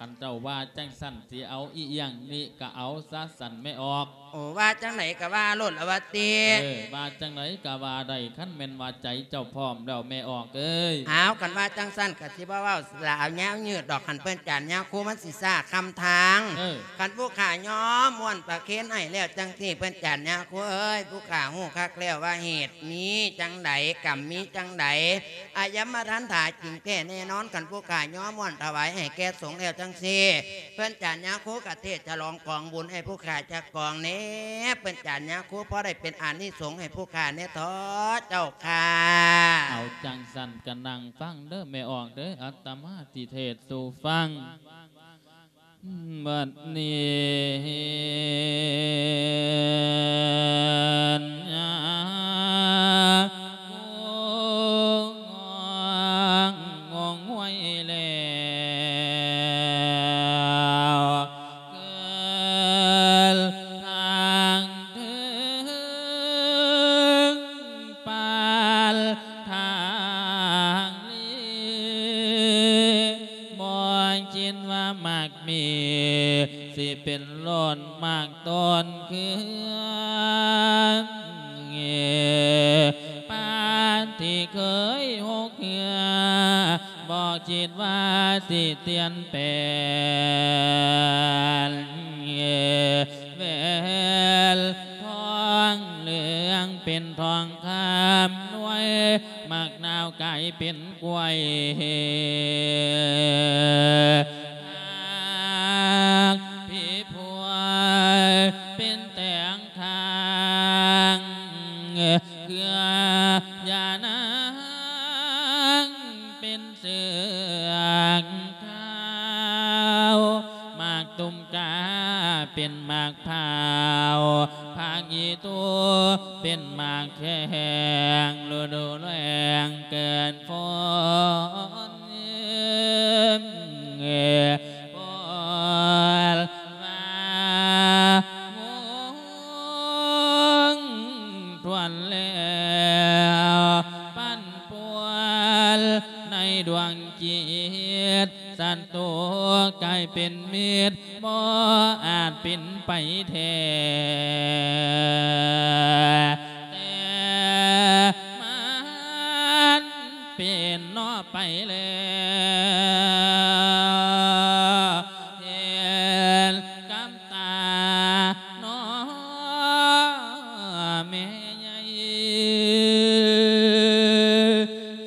ຄັນເຈົ້າວ່າຈັ່ງຊັ້ນ ຊິເອົາອີ່ຫຍັງນີ້ ກໍເອົາຊະຊັ້ນແມ່ອອກ. ໂອ້ ວ່າຈັ່ງໃດກໍວ່າໂລດລະວ່າຕິ. ເອີ ວ່າຈັ່ງໃດກໍວ່າໄດ້ ຄັນແມ່ນວ່າໃຈເຈົ້າພ້ອມແລ້ວແມ່ອອກເອີຍ. ອ້າວ ຄັນວ່າຈັ່ງຊັ້ນກໍຊິບໍ່ເວົ້າລາວຍາວຍືດດອກ, ຄັນເພິ່ນຈານຍາຄູມັນຊິຊ້າຄຳທາງ. ເອີ ຄັນຜູ້ຂ້າຍອມມ້ວນປະເຄນໃຫ້ແລ້ວຈັ່ງຊີ້ ເພິ່ນຈານຍາຄູເອີຍ, ຜູ້ຂ້າຮູ້ຄັກແລ້ວວ່າເຫດມີຈັ່ງໃດ ກຳມີຈັ່ງໃດ ອາຍັມມະທັນຖາຈິງແທ້ແນ່ນອນ. ຄັນຜູ້ຂ້າຍອມມ້ວນຖວາຍໃຫ້ແກ່ສົງແລ້ວຈັ່ງຊີ້ ເພິ່ນຈານຍາຄູກະເທດສະຫຼອງກອງບຸນໃຫ້ຜູ້ຂ້າຈັກກອງແດ່ ເພິ່ນຈານຍາຄູ ພໍໄດ້ເປັນອານິສົງໃຫ້ຜູ້ຂ້າແດ່ເທາະເຈົ້າຂ້າ. ເອົາ ຈັ່ງຊັ້ນກະນັ່ງຟັງເດີ້ແມ່ອອກເດີ້, ອາດຕະມາຊິເທດສູ່ຟັງ. ບັດນີ້ຍາຄູງອງງວຍແລ້ວ ເກີດທາງເທິງປານທາງລີ ບໍ່ຄິດວ່າມັກມີ ຊິເປັນໂລດໝາກຕົ້ນເຄືອ ປານທີ່ເຄີຍຫົກເຮືອ ບໍ່ຄິດວ່າຊິປ່ຽນແປງ ແຫວນທອງເຫຼືອງເປັນທອງຄຳ ໜ່ວຍໝາກນາວກາຍເປັນ ກວຍ ຫາກຜີພວຍເປັນແຕງທາງ ເຄືອຢານາງເປັນເຊືອກຂາວ ໝາກຕຸ່ມກາເປັນໝາກພ້າວ ຜັກອີຕູເປັນໝາກແຂ້ງ ລະດູແລ້ງເກີດຝົນ ເອີ ຝົນມາ ສັດຕູກາຍເປັນມິດ ບໍ່ອາດເປັນໄປແທ້ ແຕ່ມັນເປັນເນາະໄປແລ້ວ ເຫັນກັບຕາເນາະແມ່ໃຫຍ່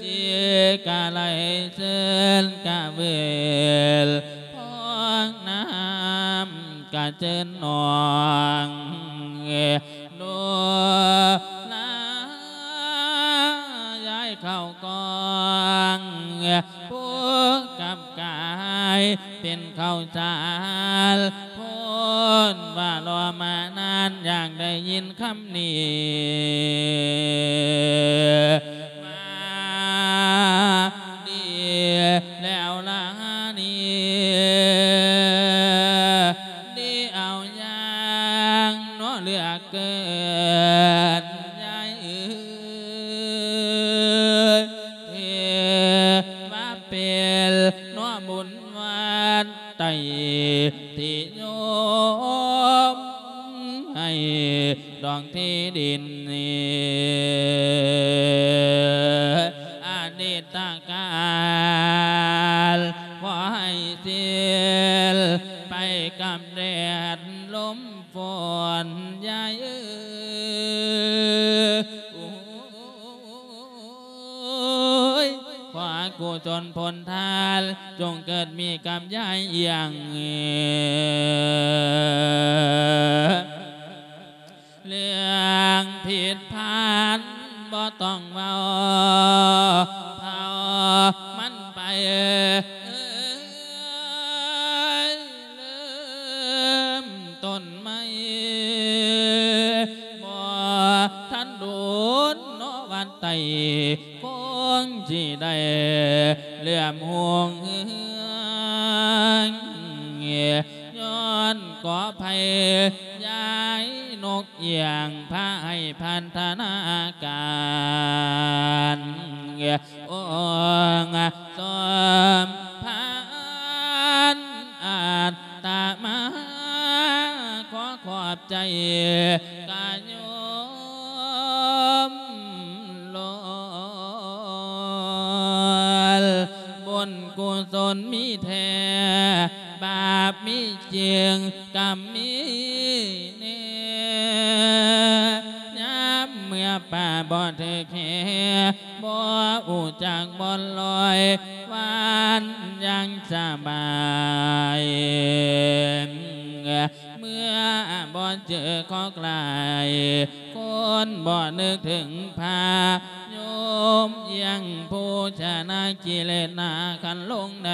ຊິກະໄຫຼເຊີນກະເວີນ ພອງນ້ຳກະເຈີນໜອງ ໂນລາຍາຍເຂົ້າກອງ ຜູ້ກັບກາຍເປັນເຂົ້າສານ ໂພນວ່າລໍມານານ ຢາກໄດ້ຍິນຄຳນີ້ ມາດີແລ້ວລະນີ້ ດີເອົາຢ່າງເນາະເຫຼືອເກີນ ຍາຍເອີຍ ຖືວ່າເປັນເນາະບຸນວັດໄຕ ທີ່ໂຍມໃຫ້ດອງທີ່ດິນນີ້ ອະດີດຕະການ ຂໍໃຫ້ສິ້ນໄປກັບແດດລົມຝົນ ຍາຍເອີຍ ໂອ້ຍ ຂໍກຸສົນຜົນທານ ຈົ່ງເກີດມີກັບຍາຍອຽງ ເລື່ອງຜິດພານບໍ່ຕ້ອງເວົ້າ ເຜົາມັນໄປ ເອີຍ ເລີ່ມຕົ້ນໃໝ່ ບໍ່ທັນດົນເນາະວັດໄຕ ຄົງຊິໄດ້ເຫຼື້ອມຮຸ່ງເຮືອງ ຍ້ອນກໍໄພຍາຍນົກອຽງ ພາໃຫ້ພັນທະນາການ ອົງສົມພານ ອາດຕະມາ ຂໍຂອບໃຈກະໂຍມຫຼອນ ບຸນກຸສົນມີແທ້ ບາບມີຈິງກະມີແນ່ ຍາມເມື່ອປ່າບໍ່ຖືກແຮ່ ບໍ່ຮູ້ຈັກບ່ອນລອຍ ວານຢ່າງສະບາຍ ເມື່ອບໍ່ເຈີຄອກຫຼາຍ ຄົນບໍ່ນຶກເຖິງພະໂຍມ ອຽງຜູ້ຊະນະກິເລດໜ້າຄັນລົງໃນ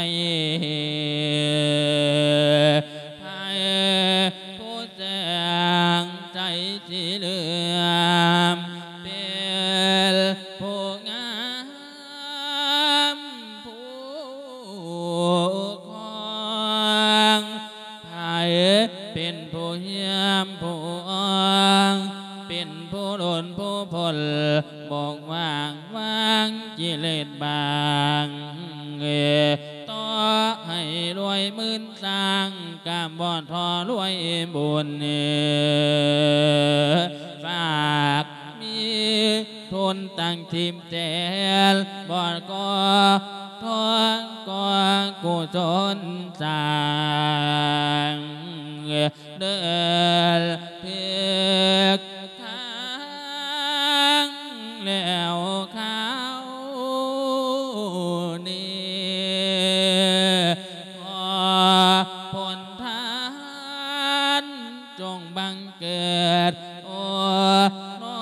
ໃຜຜູ້ແສງໃສສີເຫຼືອມ ເປັນຜູ້ງາມຜູ້ຄອງ ໃຜເປັນຜູ້ຮຽມຜູ້ອອງ ເປັນຜູ້ຫຼຸນຜູ້ພົ້ນ ບົກຫວ່າງວາງກິເລດບາງ ຕໍ່ໃຫ້ລວຍໝື່ນຊ້າງ ກະບໍ່ທໍ່ລວຍບຸນ ຝາກມີ ທຶນຕັ້ງສິບແສນ ບໍ່ກໍທອງກໍກຸສົນສ້າງ ເດີນຖືກທາງແລ້ວຄາວນີ້ ຂໍຜົນທານ ຈົ່ງບັງເກີດ ໂອ້ ໜໍ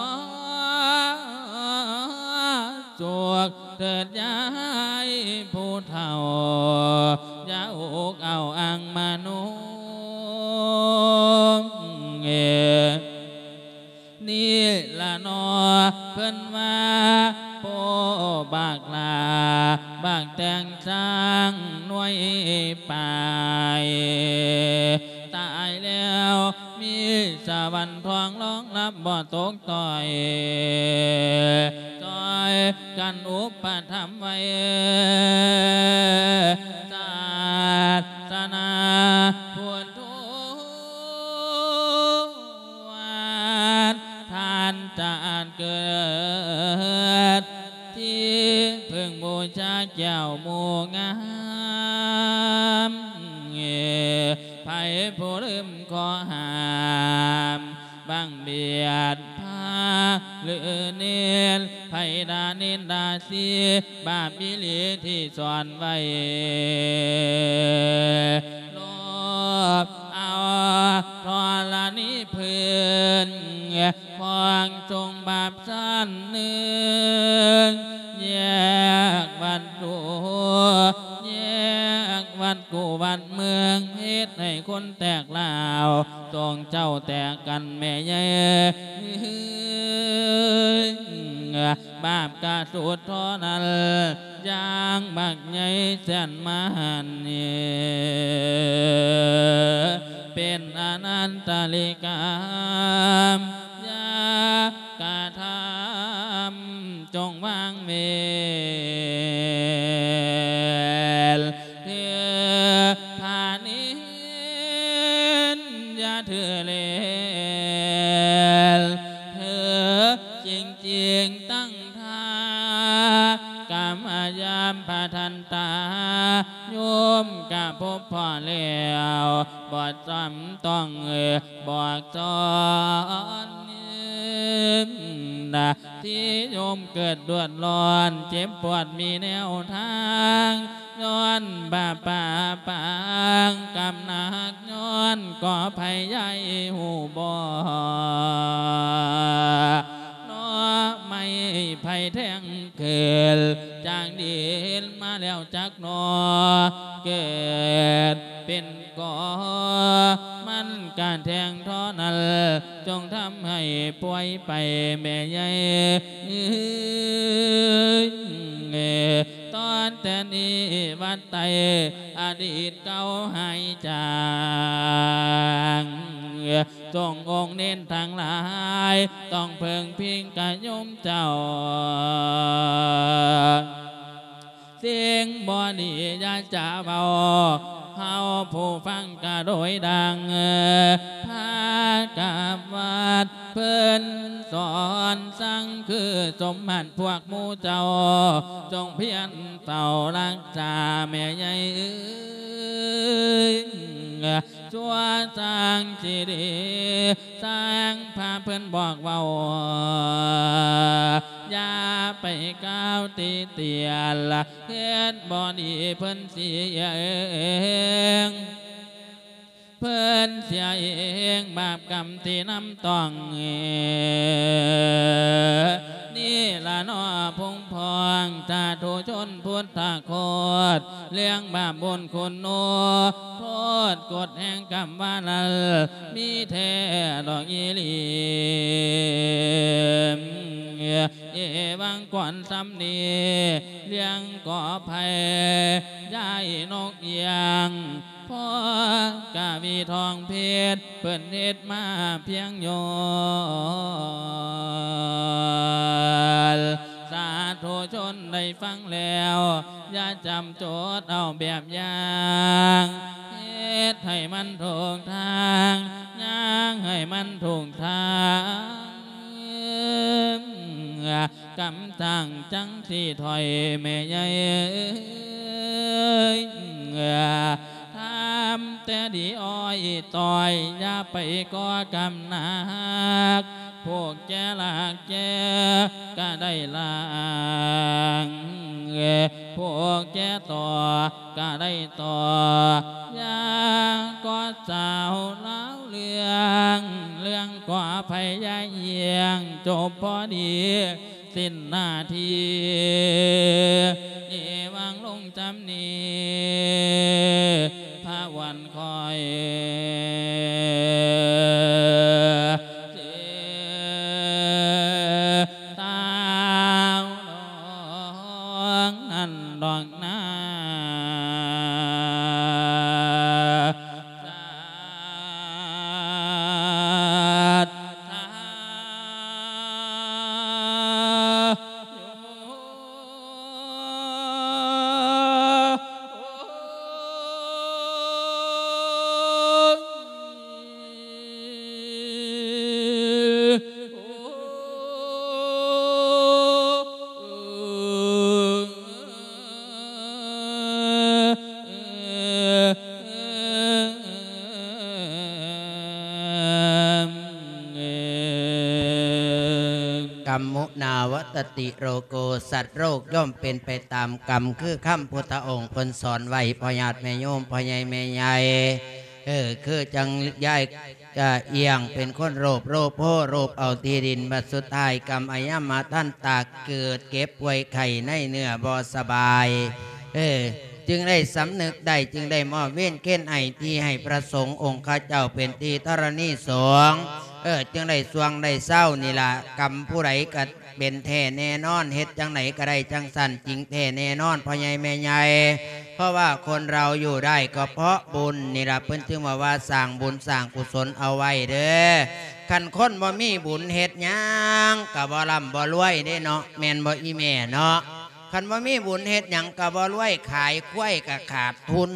ສຸກເທີດຍາຍຜູ້ເຖົ້າ ຢ່າອົກເອົາອັ່ງມະໂນ ເອີ ນີ້ລະໜໍ ເພິ່ນວ່າ ໂອ້ ບັກຫຼ້າ ບັກແຕງຊ້າງໜ່ວຍປາຍ ຕາຍແລ້ວມີສະຫວັນທອງລອງຮັບບໍ່ຕົກຕ່ອຍ ຊ່ອຍກັນອຸປະຖຳໄວ້ ສາ ແກ້ວໝູ່ງາມ ໃຜຜູ້ລືມຂໍຫ້າມ ບັງບຽດພາຫຼືເນນ ໃຜດ່ານິນດາສີ ບາບອີ່ຫຼີທີ່ສອນໄວ້ ໂລບເອົາທໍລະນີພື້ນ ຂອງສົງບາບຊັ້ນໜຶ່ງ ແຍກວັດຕູ ແຍກວັດກູ່ວັດເມືອງ ເຮັດໃຫ້ຄົນແຕກລາວ ສົງເຈົ້າແຕກກັນແມ່ໃຫຍ່ ບາບກະສຸດທໍ່ນັ້ນ ຢ່າງບັກໃຫຍ່ແສນມະຫັນ ເປັນອະນັນຕະລິກຳ ຢ່າກະທຳ ຈົ່ງວາງເວນ ຖືພານິນ ຢ່າຖືເລນ ຖືຈິງຈິງຕັ້ງ ຖ້າກຳມະຍາມພະທັນຕາ ໂຍມກະພົບພໍ້ແລ້ວ ບໍ່ຈຳຕ້ອງບອກສອນ ທີ່ໂຍມເກີດເດືອດຮ້ອນ ເຈັບປວດມີແນວທາງ ຍ້ອນບາບປາປາງກຳໜັກ ຍ້ອນກໍໄພຍາຍຮູ້ບໍ່ ໜໍ່ໄມ້ໄຜ່ແທງຂຶ້ນຈາກດິນມາແລ້ວຈັກໜໍ່ ເກີດເປັນກໍ ມັນກະແທງທໍ່ນັ້ນ ຈົ່ງທຳໃຫ້ປ່ວຍໄປແມ່ໃຫຍ່ ຕອນແຕ່ນີ້ວັດໄຕອະດີດເກົ່າຫາຍຈາງ ສົງອົງເນນທັງຫຼາຍ ຕ້ອງເພິ່ງພິງກະໂຍມເຈົ້າ ສິ່ງບໍ່ດີຢ່າຈະເວົ້າ ເຮົາຜູ້ຟັງກະໂດຍດັງ ພາກັບວັດເພິ່ນສອນສັ່ງ ຄືສົມບັດພວກໝູ່ເຈົ້າ ຈົ່ງພຽນເຝົ້າຮັກສາແມ່ໃຫຍ່ເອີຍ ຊົ່ວຊ່າງຊິດີ ຊ່າງພາເພິ່ນບອກເວົ້າ ຢ່າໄປກ່າວຕິຕຽນ ເຮັດບໍ່ດີເພິ່ນຊິເອງ ເພິ່ນເສຍເອງ ບາບກຳທີ່ນຳຕ້ອງ ນີ້ລະເນາະ ພວງພ້ອງສາທຸຊົນພຸດທະໂຄດ ເລື່ອງບາບບຸນຄຸນໂນ ໂທດກົດແຫ່ງກຳວ່ານັ້ນ ມີແທ້ດອກອີ່ຫຼີ ເອວັງກ່ອນສ່ຳນີ້ ເລື່ອງກໍໄພ ຍາຍນົກອຽງ ພໍ່ກະວີທອງເພັດ ເພິ່ນເຮັດມາພຽງຍ້ອນ ສາທຸຊົນໄດ້ຟັງແລ້ວ ຢ່າຈຳຈົດເອົາແບບຢ່າງ ເຮັດໃຫ້ມັນຖືກທາງ ຍ່າງໃຫ້ມັນຖືກທາງ ກຳຈັ່ງຈັ່ງຊິຖອຍແມ່ໃຫຍ່ເອີຍ ທຳແຕ່ດີອ້ອຍຕ້ອຍ ຢ່າໄປກໍ່ກຳໜັກ ພວກແກ່ລາກແກ່ກະໄດ້ລ້າງ ພວກແກ່ຕໍ່ກະໄດ້ຕໍ່ ຢ່າກໍ່ສາວລາວເລື່ອງ ເລື່ອງກໍພະຍາຍຽງ ຈົບພໍດີ ສິ້ນໜ້າທີ່ ເອວັງລົງຈຳນີ້ ພະວັນຄອຍ ເສ ຕາວດອງນັ້ນດອກນາ ສາດສາ ກຳມຸນາວັດຕະຕິໂລໂກ ສັດໂລກຍ່ອມເປັນໄປຕາມກຳ ຄືຄຳພຸດທະອົງເພິ່ນສອນໄວ້ ພໍ່ຍາດແມ່ໂຍມ ພໍ່ໃຫຍ່ແມ່ໃຫຍ່ ເອີ ຄືຈັ່ງຍາຍ ຈະອຽງເປັນຄົນໂລບ ໂລໂພ ໂລບເອົາທີ່ດິນ ບັດສຸດທ້າຍກຳອະຍາມມາທັນຕາເກີດເຈັບປ່ວຍໄຂ້ໃນເນື້ອບໍ່ສະບາຍ ເອີ ຈຶ່ງໄດ້ສຳນຶກໄດ້ ຈຶ່ງໄດ້ມອບເວນເຄນໄອທີ່ໃຫ້ພະສົງອົງຄະເຈົ້າເປັນທີ່ທໍລະນີສົງ ເອີ ຈຶ່ງໄດ້ຊ່ວງໄດ້ເຊົານີ້ລະ ກຳຜູ້ໃດກະ ເປັນແທ້ແນ່ນອນ ເຮັດຈັ່ງໃດກະໄດ້ຈັ່ງຊັ້ນ ຈິງແທ້ແນ່ນອນ ພໍ່ໃຫຍ່ແມ່ໃຫຍ່ ເພາະວ່າຄົນເຮົາຢູ່ໄດ້ກໍເພາະບຸນນີ້ລະ ເພິ່ນຈຶ່ງວ່າ ວ່າສ້າງບຸນສ້າງກຸສົນເອົາໄວ້ເດີ້ ຄັນຄົນບໍ່ມີບຸນເຮັດຫຍັງກະບໍ່ລ່ຳບໍ່ລວຍເດ້ເນາະ ແມ່ນບໍ່ອີ່ແມ່ເນາະ ຄັນບໍ່ມີບຸນເຮັດຫຍັງກະບໍ່ລວຍ ຂາຍຄວາຍກະຂາດທຶນ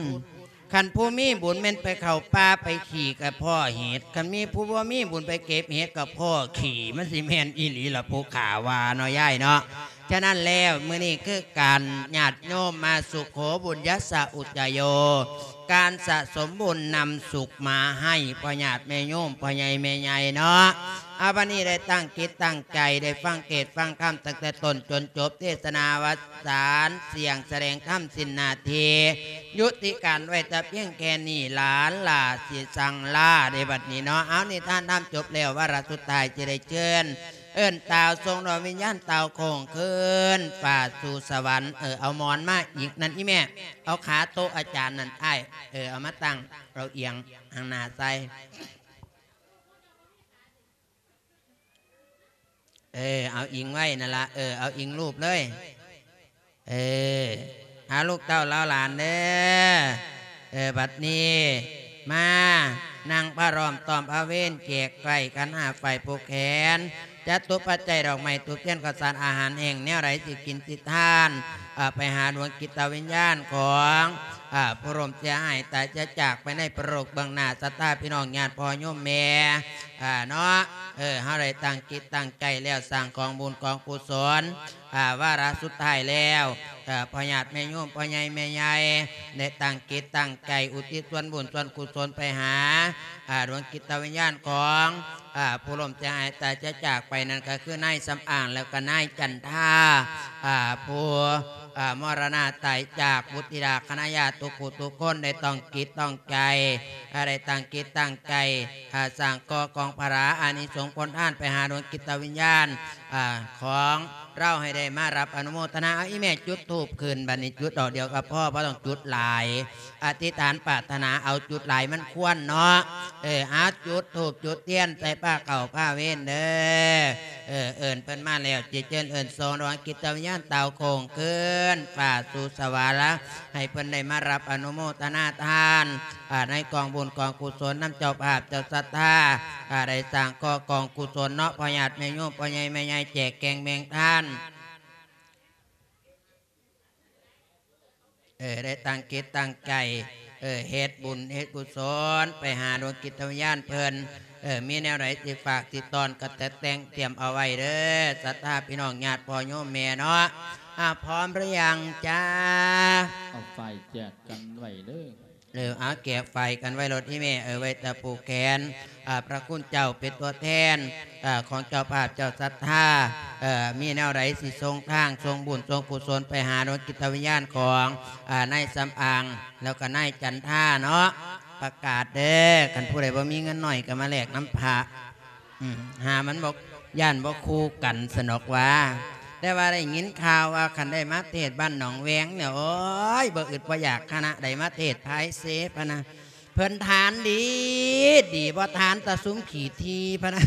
ຄັນຜູ້ມີບຸນແມ່ນໄປເຂົ້າປ່າໄປຂີ້ກະພໍ້ເຫັດ ຄັນມີຜູ້ບໍ່ມີບຸນໄປເກັບເຫັດກະພໍ້ຂີ້ ມັນຊິແມ່ນອີ່ຫຼີລະຜູ້ຂ້າວ່າເນາະຍາຍເນາະ ສະນັ້ນແລ້ວ ມື້ນີ້ຄືການຍາດໂຍມມາສຸໂຂບຸນຍັດສະອຸດຈະໂຍ ການສະສົມບຸນນຳສຸກມາໃຫ້ພໍ່ຍາດແມ່ໂຍມ ພໍ່ໃຫຍ່ແມ່ໃຫຍ່ເນາະ ເອົາ ບັດນີ້ໄດ້ຕັ້ງຈິດຕັ້ງໃຈ ໄດ້ຟັງເທດຟັງທຳຕັ້ງແຕ່ຕົ້ນຈົນຈົບ ເທດສະໜາວັດ ສານສ່ຽງສະແດງທຳສິ້ນໜ້າທີ່ ຍຸຕິການໄວ້ແຕ່ພຽງແຄ່ນີ້ ຫຼານຫຼ້າຊິສັ່ງລາເດ້ບັດນີ້ເນາະ ເອົາ ນິທານທຳຈົບແລ້ວ ວາລະສຸດທ້າຍຊິໄດ້ເຊີນ ເອີ້ນຕ່າວສົ່ງດວງວິນຍານຕ່າວໂຄ້ງຄືນຟ້າສູ່ສະຫວັນ ເອີ ເອົາໝອນມາອີກນັ້ນອີ່ແມ່ ເອົາຂາໂຕະອາຈານນັ້ນອ້າຍ ເອີ ເອົາມາຕັ້ງ ເອົາອຽງທາງໜ້າໃສ່ ເອີ ເອົາອີງໄວ້ນັ້ນລະ ເອີ ເອົາອີງລູບເລີຍ ເອີ ຫາລູກເຕົ້າເຫຼົ່າຫຼານເດີ ເອີ ບັດນີ້ມານັ່ງພະລ້ອມຕ້ອມພະເວນ ແຈກໄຂຂັນຫ້າໄຟຜູ້ແຂນ ຈະຕຸປັດໄຈດອກໄມ້ທູບທຽນ ເຂົ້າສານອາຫານແຫ້ງ ແນວໃດຊິກິນຊິທານ ເອີ ໄປຫາດວງຈິດຕະວິນຍານຂອງ ເອີ ຜູ້ລົ້ມເສຍຫາຍຕາຍຈະຈາກໄປໃນປະໂລກເບື້ອງໜ້າ ສັດທາພີ່ນ້ອງຍາດພໍ່ໂຍມແມ່ ອ່າ ເນາະ ເອີ ເຮົາໄດ້ຕັ້ງຈິດຕັ້ງໃຈແລ້ວ ສ້າງກອງບຸນກອງກຸສົນ ອ່າ ວາລະສຸດທ້າຍແລ້ວ ເອີ ພໍ່ຍາດແມ່ໂຍມ ພໍ່ໃຫຍ່ແມ່ໃຫຍ່ ໄດ້ຕັ້ງຈິດຕັ້ງໃຈອຸທິດສ່ວນບຸນສ່ວນກຸສົນໄປຫາ ອ່າ ດວງຈິດຕະວິນຍານຂອງ ອ່າ ຜູ້ລົ້ມເສຍຫາຍຕາຍຈະຈາກໄປນັ້ນ ກໍຄືນາຍສຳອາງ ແລ້ວກໍນາຍຈັນທາ ອ່າ ຜູ້ ອ່າ ມໍລະນະຕາຍຈາກ ບຸດທິດາຄະນະຍາດທຸກຜູ້ທຸກຄົນ ໄດ້ຕ້ອງຈິດຕ້ອງໃຈ ອ່າ ໄດ້ຕັ້ງຈິດຕັ້ງໃຈ ອ່າ ສ້າງກໍ່ກອງພະລາອານິສົງຜົນທານໄປຫາດວງຈິດຕະວິນຍານ ອ່າ ຂອງລາວໃຫ້ໄດ້ມາຮັບອະນຸໂມທະນາ. ເອົາ ອີ່ແມ່ຈຸດທູບຂຶ້ນ ບັດນີ້ຈຸດດອກດຽວກໍພໍ ບໍ່ຕ້ອງຈຸດຫຼາຍ ອະທິຖານປາດຖະໜາເອົາ ຈຸດຫຼາຍມັນຄວັນເນາະ ເອີ ເອົາ ຈຸດທູບຈຸດທຽນໃສ່ພາເຂົ້າພາເວັນເດີ ເອີ ເອີ້ນເພິ່ນມາແລ້ວ ຈິດເຊີນເອີ້ນສົ່ງດວງຈິດຕະວິນຍານເຕົາໂຄ້ງຄືນຟ້າສູ່ສະຫວັນລະ ໃຫ້ເພິ່ນໄດ້ມາຮັບອະນຸໂມທະນາທານ ອ່າ ໃນກອງບຸນກອງກຸສົນນຳເຈົ້າພາບເຈົ້າສັດທາ ອ່າ ໄດ້ສ້າງກໍ່ກອງກຸສົນເນາະ ພໍ່ຍາດແມ່ໂຍມ ພໍ່ໃຫຍ່ແມ່ໃຫຍ່ ແຈກແກງແບ່ງທານ ເອີ ໄດ້ຕັ້ງຈິດຕັ້ງໃຈ ເອີ ເຮັດບຸນເຮັດກຸສົນໄປຫາດວງຈິດຕະວິນຍານເພິ່ນ ເອີ ມີແນວໃດຊິຝາກຊິຕ້ອນກໍແຕ່ແຕ່ງຕຽມເອົາໄວ້ເດີ ສັດທາພີ່ນ້ອງຍາດພໍ່ໂຍມແມ່ເນາະ ອ່າ ພ້ອມຫຼືຍັງຈ້າ? ເອົາໄຟແຈກກັນໄວ້ເດີ ເອີ ເອົາແຈກໄຟກັນໄວ້ໂລດອີ່ແມ່ ເອີ ໄວ້ແຕ່ຜູກແຂນ ອ່າ ພະຄຸນເຈົ້າເປັນຕົວແທນ ເອີ ຂອງເຈົ້າພາບເຈົ້າສັດທາ ເອີ ມີແນວໃດຊິສົ່ງທາງ ສົ່ງບຸນ ສົ່ງກຸສົນໄປຫາດວງຈິດຕະວິນຍານຂອງ ອ່າ ນາຍສຳອາງ ແລ້ວກໍນາຍຈັນທາເນາະ ປະກາດເດີ ຄັນຜູ້ໃດບໍ່ມີເງິນໜ້ອຍກໍມາແລກນຳພະ ອືມ ຫາມັນບໍ່ ຢ້ານບໍ່ຄູ່ກັນຊັ້ນດອກຫວາ ແຕ່ວ່າໄດ້ຍິນຂ່າວວ່າ ຄັນໄດ້ມາເທດບ້ານໜອງແວງນີ້ ໂອ້ຍ ບໍ່ອຶດບໍ່ຢາກ ຄະນະໃດມາເທດພາຍເຊພະນະ ເພິ່ນທານດີ ດີບໍ່ທານແຕ່ຊຸມຂີ້ຖີ່ພະນະ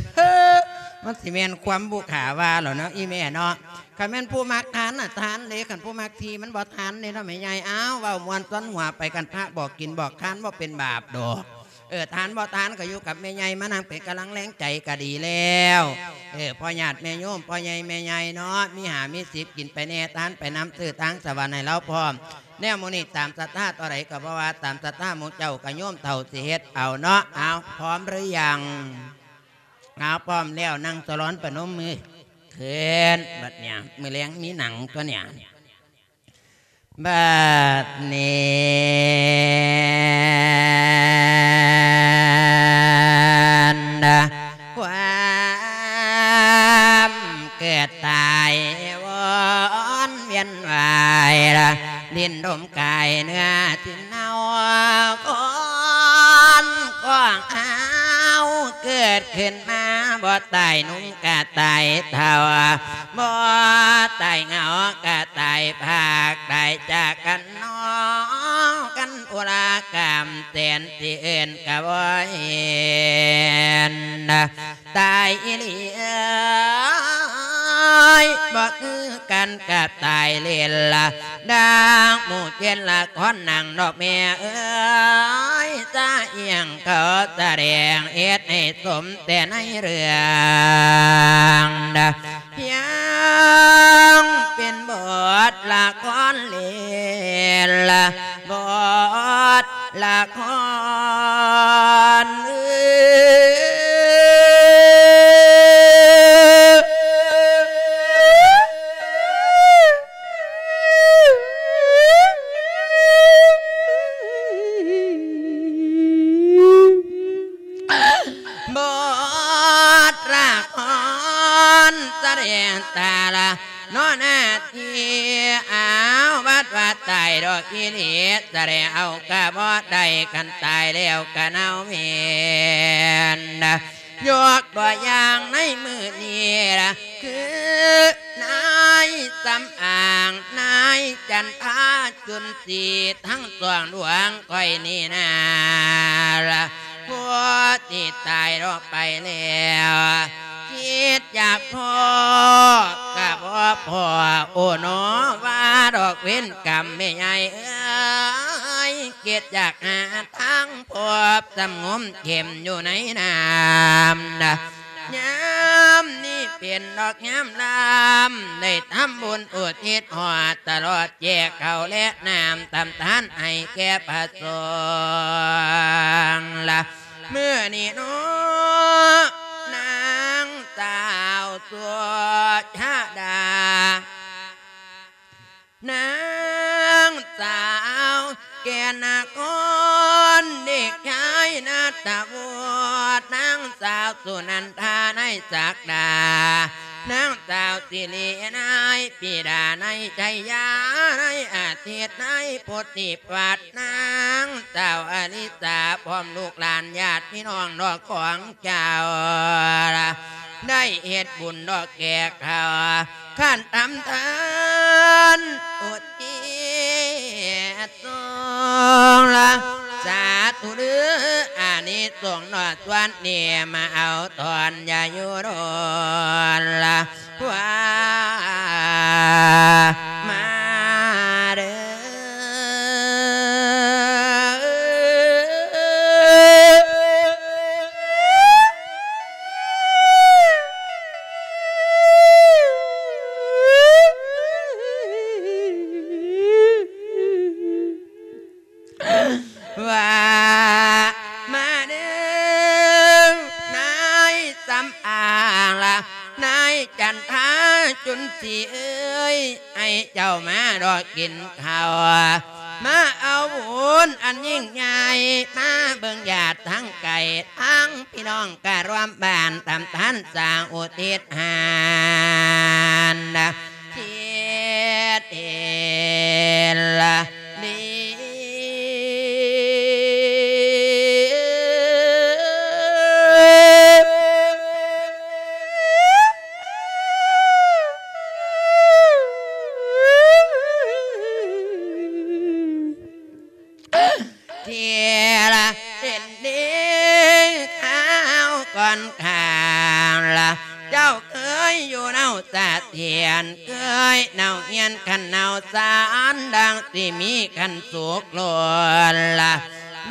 ມັນຊິແມ່ນຄວາມບຸຄາວ່າແລ້ວເນາະ ອີ່ແມ່ເນາະ ຄັນແມ່ນຜູ້ມັກທານນະທານເດ້ ຄັນຜູ້ມັກຖີ່ມັນບໍ່ທານເດ້ເນາະ ແມ່ໃຫຍ່ ອ້າວ ເວົ້າມ່ວນຊວນຫົວໄປ ຄັນພະບອກກິນບອກທານບໍ່ເປັນບາບດອກ ເອີ ທານບໍ່ທານກໍຢູ່ກັບແມ່ໃຫຍ່ ມານັ່ງເປັນກຳລັງແຮງໃຈກໍດີແລ້ວ ເອີ ພໍ່ຍາດແມ່ໂຍມ ພໍ່ໃຫຍ່ແມ່ໃຫຍ່ເນາະ ມີຫ້າມີສິບ ກິນໄປແດ່ ທານໄປນຳ ຊື້ທາງສະຫວັນໃຫ້ລາວພ້ອມ ແນວໝູ່ນີ້ຕາມສັດທາ ເທົ່າໃດກໍບໍ່ວ່າ ຕາມສັດທາໝູ່ເຈົ້າ ກໍໂຍມເຖົ້າຊິເຮັດເອົາເນາະ ເອົາ ພ້ອມຫຼືຍັງ? ເອົາ ພ້ອມແລ້ວ ນັ່ງສະຫຼອນປະນົມມືຂຶ້ນ ບັດນີ້ ມື້ແລງມີໜັງຕົວນີ້ ບັດນີ້ ຄວາມ ເກີດຕາຍວອນວຽນວາຍ ດິນດົມກາຍເນື້ອ ເນາ ຄອນຂອງເຮົາເກີດຂຶ້ນມາ ບໍ່ຕາຍໜຸ່ມກະຕາຍເຖົ້າ ບໍ່ຕາຍເຫງົາກະຕາຍພາກ ຕາຍຈາກກັນໜໍ ກັນອຸລາກຳແສນ ທີ່ເອີ້ນກະບໍ່ເຫັນ ຕາຍອີ່ຫຼີເອີຍ ບໍ່ຄືກັນກັບຕາຍຫຼິ້ນລະ ດັ່ງໝູ່ເຈັດລະຄອນໜັງດອກແມ່ເອີຍ ສະອຽງເຂົາສະແດງເຮັດໃຫ້ສົມແຕ່ໃນເລື່ອງ ພຽງເປັນບົດລະຄອນເລ່ນລະ ບົດລະຄອນ ບົດລະຄອນສະແດງຕາລະ ເນາະໜ້າທີ່ ອ້າວ ບັດວ່າຕາຍດອກອີ່ຫຼີ ສະແດງເອົາກະບໍ່ໄດ້ ຄັນຕາຍແລ້ວກະເນົ່າເໝັນ ຍົກຕົວຢ່າງໃນມື້ນີ້ລະ ຄືນາຍສຳອາງ ນາຍຈັນທາ ຈຸນສີ ທັງສອງດວງຂ້ອຍນີ້ນາລະ ຜູ້ທີ່ຕາຍອອກໄປແລ້ວ ຄິດຢາກພໍ້ກະບໍ່ພໍ້ ໂອ້ໜໍ ວ່າດອກເວນກຳແມ່ໃຫຍ່ເອີຍ ຄິດຢາກຫາທາງພົບ ສຳງົມເຂັມຢູ່ໃນນ້ຳນະ ຍາມນີ້ເປັນດອກຍາມລຳ ໄດ້ທຳບຸນອຸທິດຮອດຕະຫຼອດ ແຈກເຂົ້າແລະນ້ຳ ທຳທານໃຫ້ແກ່ພະສົງລະ ມື້ນີ້ເນາະ ນາງສາວສຸຊາດາ ນາງສາວແກ່ນນະຄອນ ເດັກຊາຍນັດຕະວຸດ ນາງສາວສຸນັນທາ ນາຍສັກດາ ນາງສາວສິລິ ນາຍປີດາ ນາຍໄຊຍາ ນາຍອາທິດ ນາຍໂພທິພັດ ນາງສາວອະລິສາ ພ້ອມລູກຫຼານຍາດພີ່ນ້ອງດອກຂອງເຈົ້າ ໄດ້ເຮັດບຸນດອກແກ່ເຂົາ ຄັນທຳທານອຸທິດສົງລະ ສາທຸເດີ້ ອານິສົງນອກສ່ວນນີ້ ມາເອົາຕອນຢ່າຢູ່ດົນລະ ວ່າມາເດີ້ ວ່າມາເດີ້ ນາຍສຳອາງລະ ນາຍຈັນທາຈຸນສີເອີຍ ໃຫ້ເຈົ້າມາດອກກິນເຂົ້າ ມາເອົາບຸນອັນຍິ່ງໃຫຍ່ ມາເບິ່ງຍາດທັງໄກທັງພີ່ນ້ອງກະລວມບ້ານ ຕາມທ່ານສາງອຸທິດຫານນະ ເຮັດເອນລະດີ ທີ່ລະເປັນດີຂ່າວກ່ອນຂ້າງລະ ເຈົ້າເຄີຍຢູ່ເນົາສະຖຽນ ເຄີຍເນົາຮຽນຂັນເນົາສານ ດັ່ງທີ່ມີຂັນສຸກລົ້ນລະ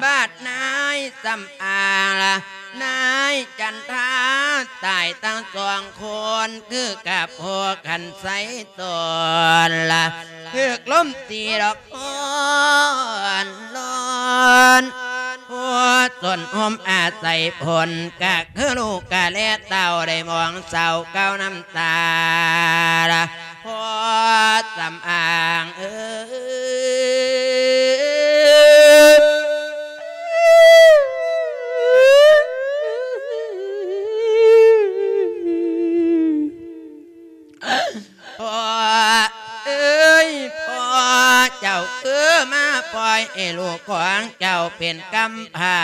ບາດນາຍສຳອາງລະ ນາຍຈັນທາຕາຍທັງສອງຄົນ ຄືກັບພໍ່ຂັນໄຊ ຕອນລະ ຖືກລົມຕີດອກໂອນໂລນ ຜູ້ສົນຮົ່ມອາໄສພົນ ກະຄືລູກກະແລເຕົ້າ ໄດ້ມອງເສົ້າເກົ້ານ້ຳຕາລະ ພໍ່ສຳອາງເອີຍ. ປັນກຳພ້າ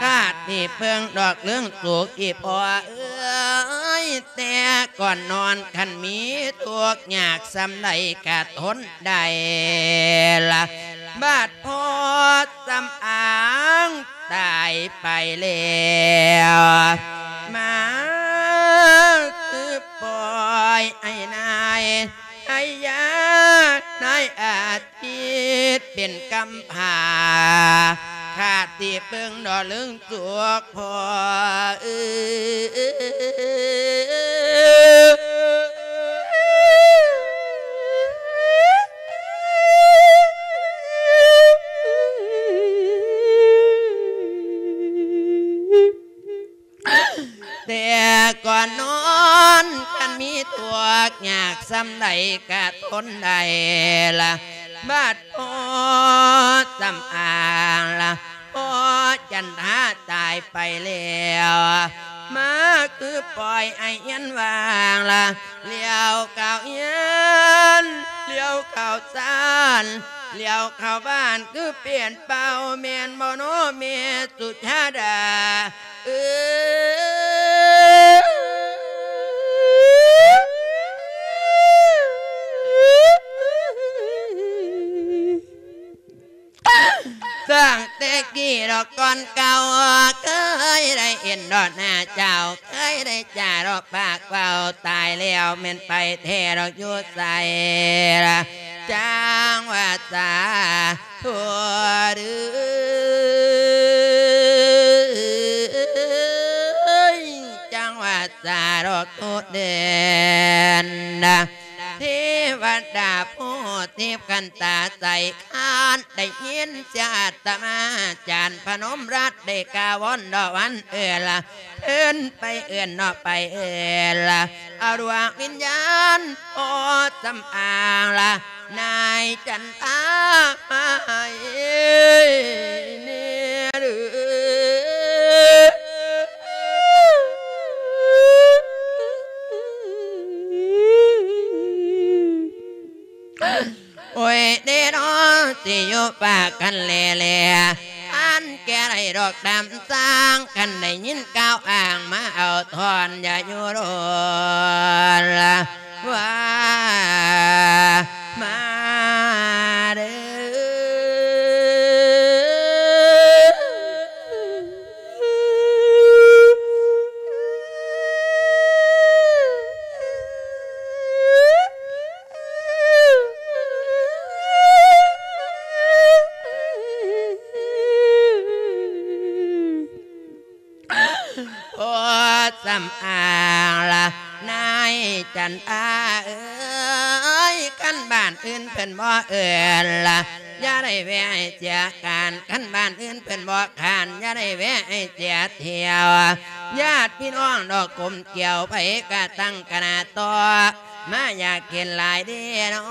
ຂາດທີ່ເພິ່ງດອກເລື່ອງສຸກອີ່ພໍ່ເອີຍ ແຕ່ກ່ອນນອນຄັນມີທຸກຍາກສ່ຳໃດກະທົນໄດ້ລະ ບາດພໍ່ສຳອາງຕາຍໄປແລ້ວ ມາຄືປ່ອຍໄອ້ນາຍ ໃຫ້ຍານາຍອາທິດເປັນກຳພ້າ ຂາດທີ່ເພິ່ງດອກເລື່ອງສຸກພໍ່ເອີຍ ແຕ່ກ່ອນນອນຄັນມີທຸກຍາກສ່ຳໃດກະທົນໄດ້ລະ ບາດພໍ່ສຳອາງລະ ພໍ່ຈັນທາຕາຍໄປແລ້ວ ມາຄືປ່ອຍໄອ້ເຮືອນວ່າງລະ ລ້ຽວເຂົ້າເຮືອນ ລ້ຽວເຂົ້າຊານ ລ້ຽວເຂົ້າບ້ານຄືປ່ຽນເປົ່າ ແມ່ນບໍ່ນໍແມ່ສຸຊາດາ ເອີ ສ້າງແຕ່ກີ້ດອກກ່ອນເກົ່າ ເຄີຍໄດ້ເຫັນດອກໜ້າເຈົ້າ ເຄີຍໄດ້ຈາດອກປາກເວົ້າ ຕາຍແລ້ວແມ່ນໄປແທ້ດອກຢູ່ໃສລະ ຈັ່ງວ່າສາທຸເດີ ຈັ່ງວ່າສາທຸເດີນ ເທວະດາຜູ້ທິບຂັນຕາໃສ ຄັນໄດ້ຍິນສຽງອາດຕະມາຈານພະນົມລັດໄດ້ກ່າວວອນດອກວັນເອີນລະ ເອີ້ນໄປເອີ້ນເນາະໄປເອີ້ນລະ ເອົາດວງວິນຍານພໍ່ສຳອາງລະ ນາຍຈັນທາມາໃຫ້ແນ່ເດີ ໂອ້ຍເດເນາະ ຊິຢູ່ປາກກັນແລໆ ອັນແກ່ໄດ້ດອກຕາມສ້າງ ຄັນໄດ້ຍິນກ່າວອ້າງ ມາເອົາທ່ອນ ຢ່າຢູ່ດົນລະ ວ່າມາເດີ. ໂອ້ ສຳອາງລະ ນາຍຈັນທາເອີຍ ຄັນບ້ານອື່ນເພິ່ນບໍ່ເອີ້ນລະ ຢ່າໄດ້ແວ່ໃຫ້ເສຍການ ຄັນບ້ານອື່ນເພິ່ນບໍ່ຄ້ານ ຢ່າໄດ້ແວ່ໃຫ້ເສຍທ່ຽວ ຍາດພີ່ນ້ອງດອກກົມກ່ຽວ ໃຜກະຕັ້ງຄະນະຕໍ່ ມາຢາກເຫັນຫຼາຍເດເນາ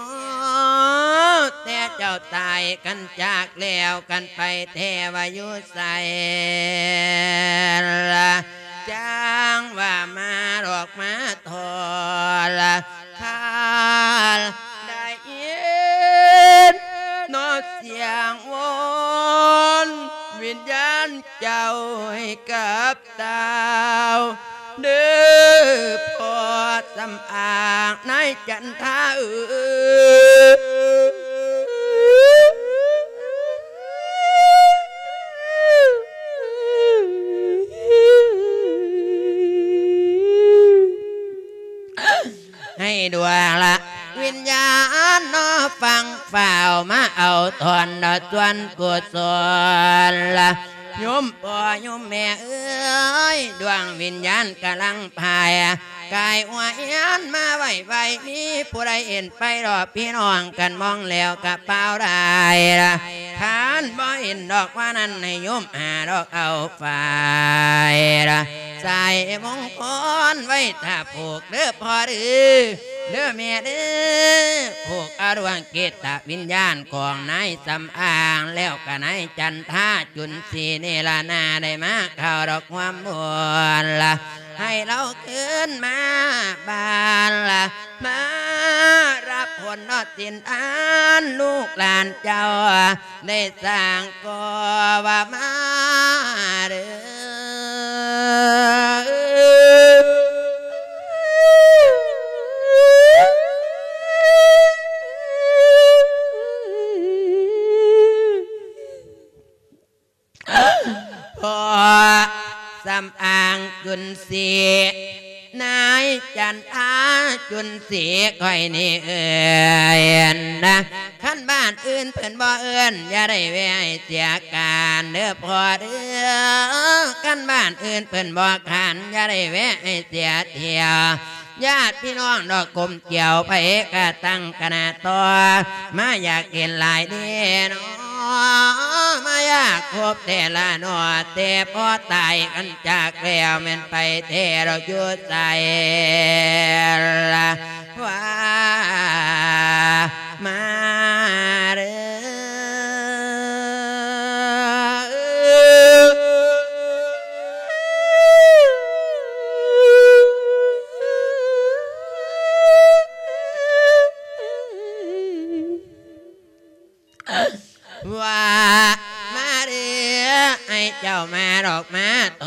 ະ ແຕ່ເຈົ້າຕາຍກັນຈາກແລ້ວ ກັນໄປແທ້ວ່າຢູ່ໃສລະ ຈັ່ງວ່າມາດອກມາທໍລະ ຖ້າໄດ້ຍິນເນາະສຽງວອນ ວິນຍານເຈົ້າໃຫ້ກັບ ເຕົ້າເດີ ພໍ່ສຳອາງນາຍຈັນທາເອີຍ ໃຫ້ດວງລະວິນຍານເນາະ ຟັງຟ້າວມາເອົາທ່ອນເນາະ ສ່ວນກຸສົນລະ ໂຍມພໍ່ໂຍມແມ່ເອີຍ ດວງວິນຍານກຳລັງພາຍ ກາຍຫົວເຮືອນມາໄຫວ້ໄຫວ້ ມີຜູ້ໃດເຫັນໄປດອກພີ່ນ້ອງກັນ ມອງແລ້ວກະປ່າວໄດ້ລະ ຄັນບໍ່ເຫັນດອກວ່ານັ້ນ ໃຫ້ໂຍມຫາດອກເອົາຝ້າຍລະ ສາຍມົງກອນໄວ້ຖ້າຜູກເດີພໍ່ເດີ ເດີແມ່ເດີ ຜູກເອົາດວງຈິດຕະວິນຍານຂອງນາຍສຳອາງ ແລ້ວກະນາຍຈັນທາ ຈຸນສີນີ້ລະນາ ໄດ້ມາເຂົ້າດອກຮ່ວມບຸນລະ ໃຫ້ລາວຄືນມາບ້ານລະ ມາຮັບຜົນເນາະສິນທານ ລູກຫຼານເຈົ້າໄດ້ສ້າງກໍ່ວ່າມາເດີ. ພໍ່ສຳອາງຈຸນສີ ນາຍຈັນທາຈຸນສີ ຂ້ອຍນີ້ເອີ້ນນະ ຄັນບ້ານອື່ນເພິ່ນບໍ່ເອີ້ນ ຢ່າໄດ້ແວ່ໃຫ້ເສຍການເດີພໍ່ເດີ ຄັນບ້ານອື່ນເພິ່ນບໍ່ຂານ ຢ່າໄດ້ແວ່ໃຫ້ເສຍທ່ຽວ ຍາດພີ່ນ້ອງດອກກົມກ່ຽວ ໃຜກະຕັ້ງຄະນະຕໍ່ ມາຢາກເຫັນຫຼາຍເດເນາະ ມາຢາກພົບແທ້ລະເນາະ ແຕ່ພໍຕາຍກັນຈາກແລ້ວ ແມ່ນໄປແທ້ດອກຢູ່ໃສລະ ວ່າມາເດີ. ວ່າມາເດີ ໃຫ້ເຈົ້າມາດອກມາໂຕ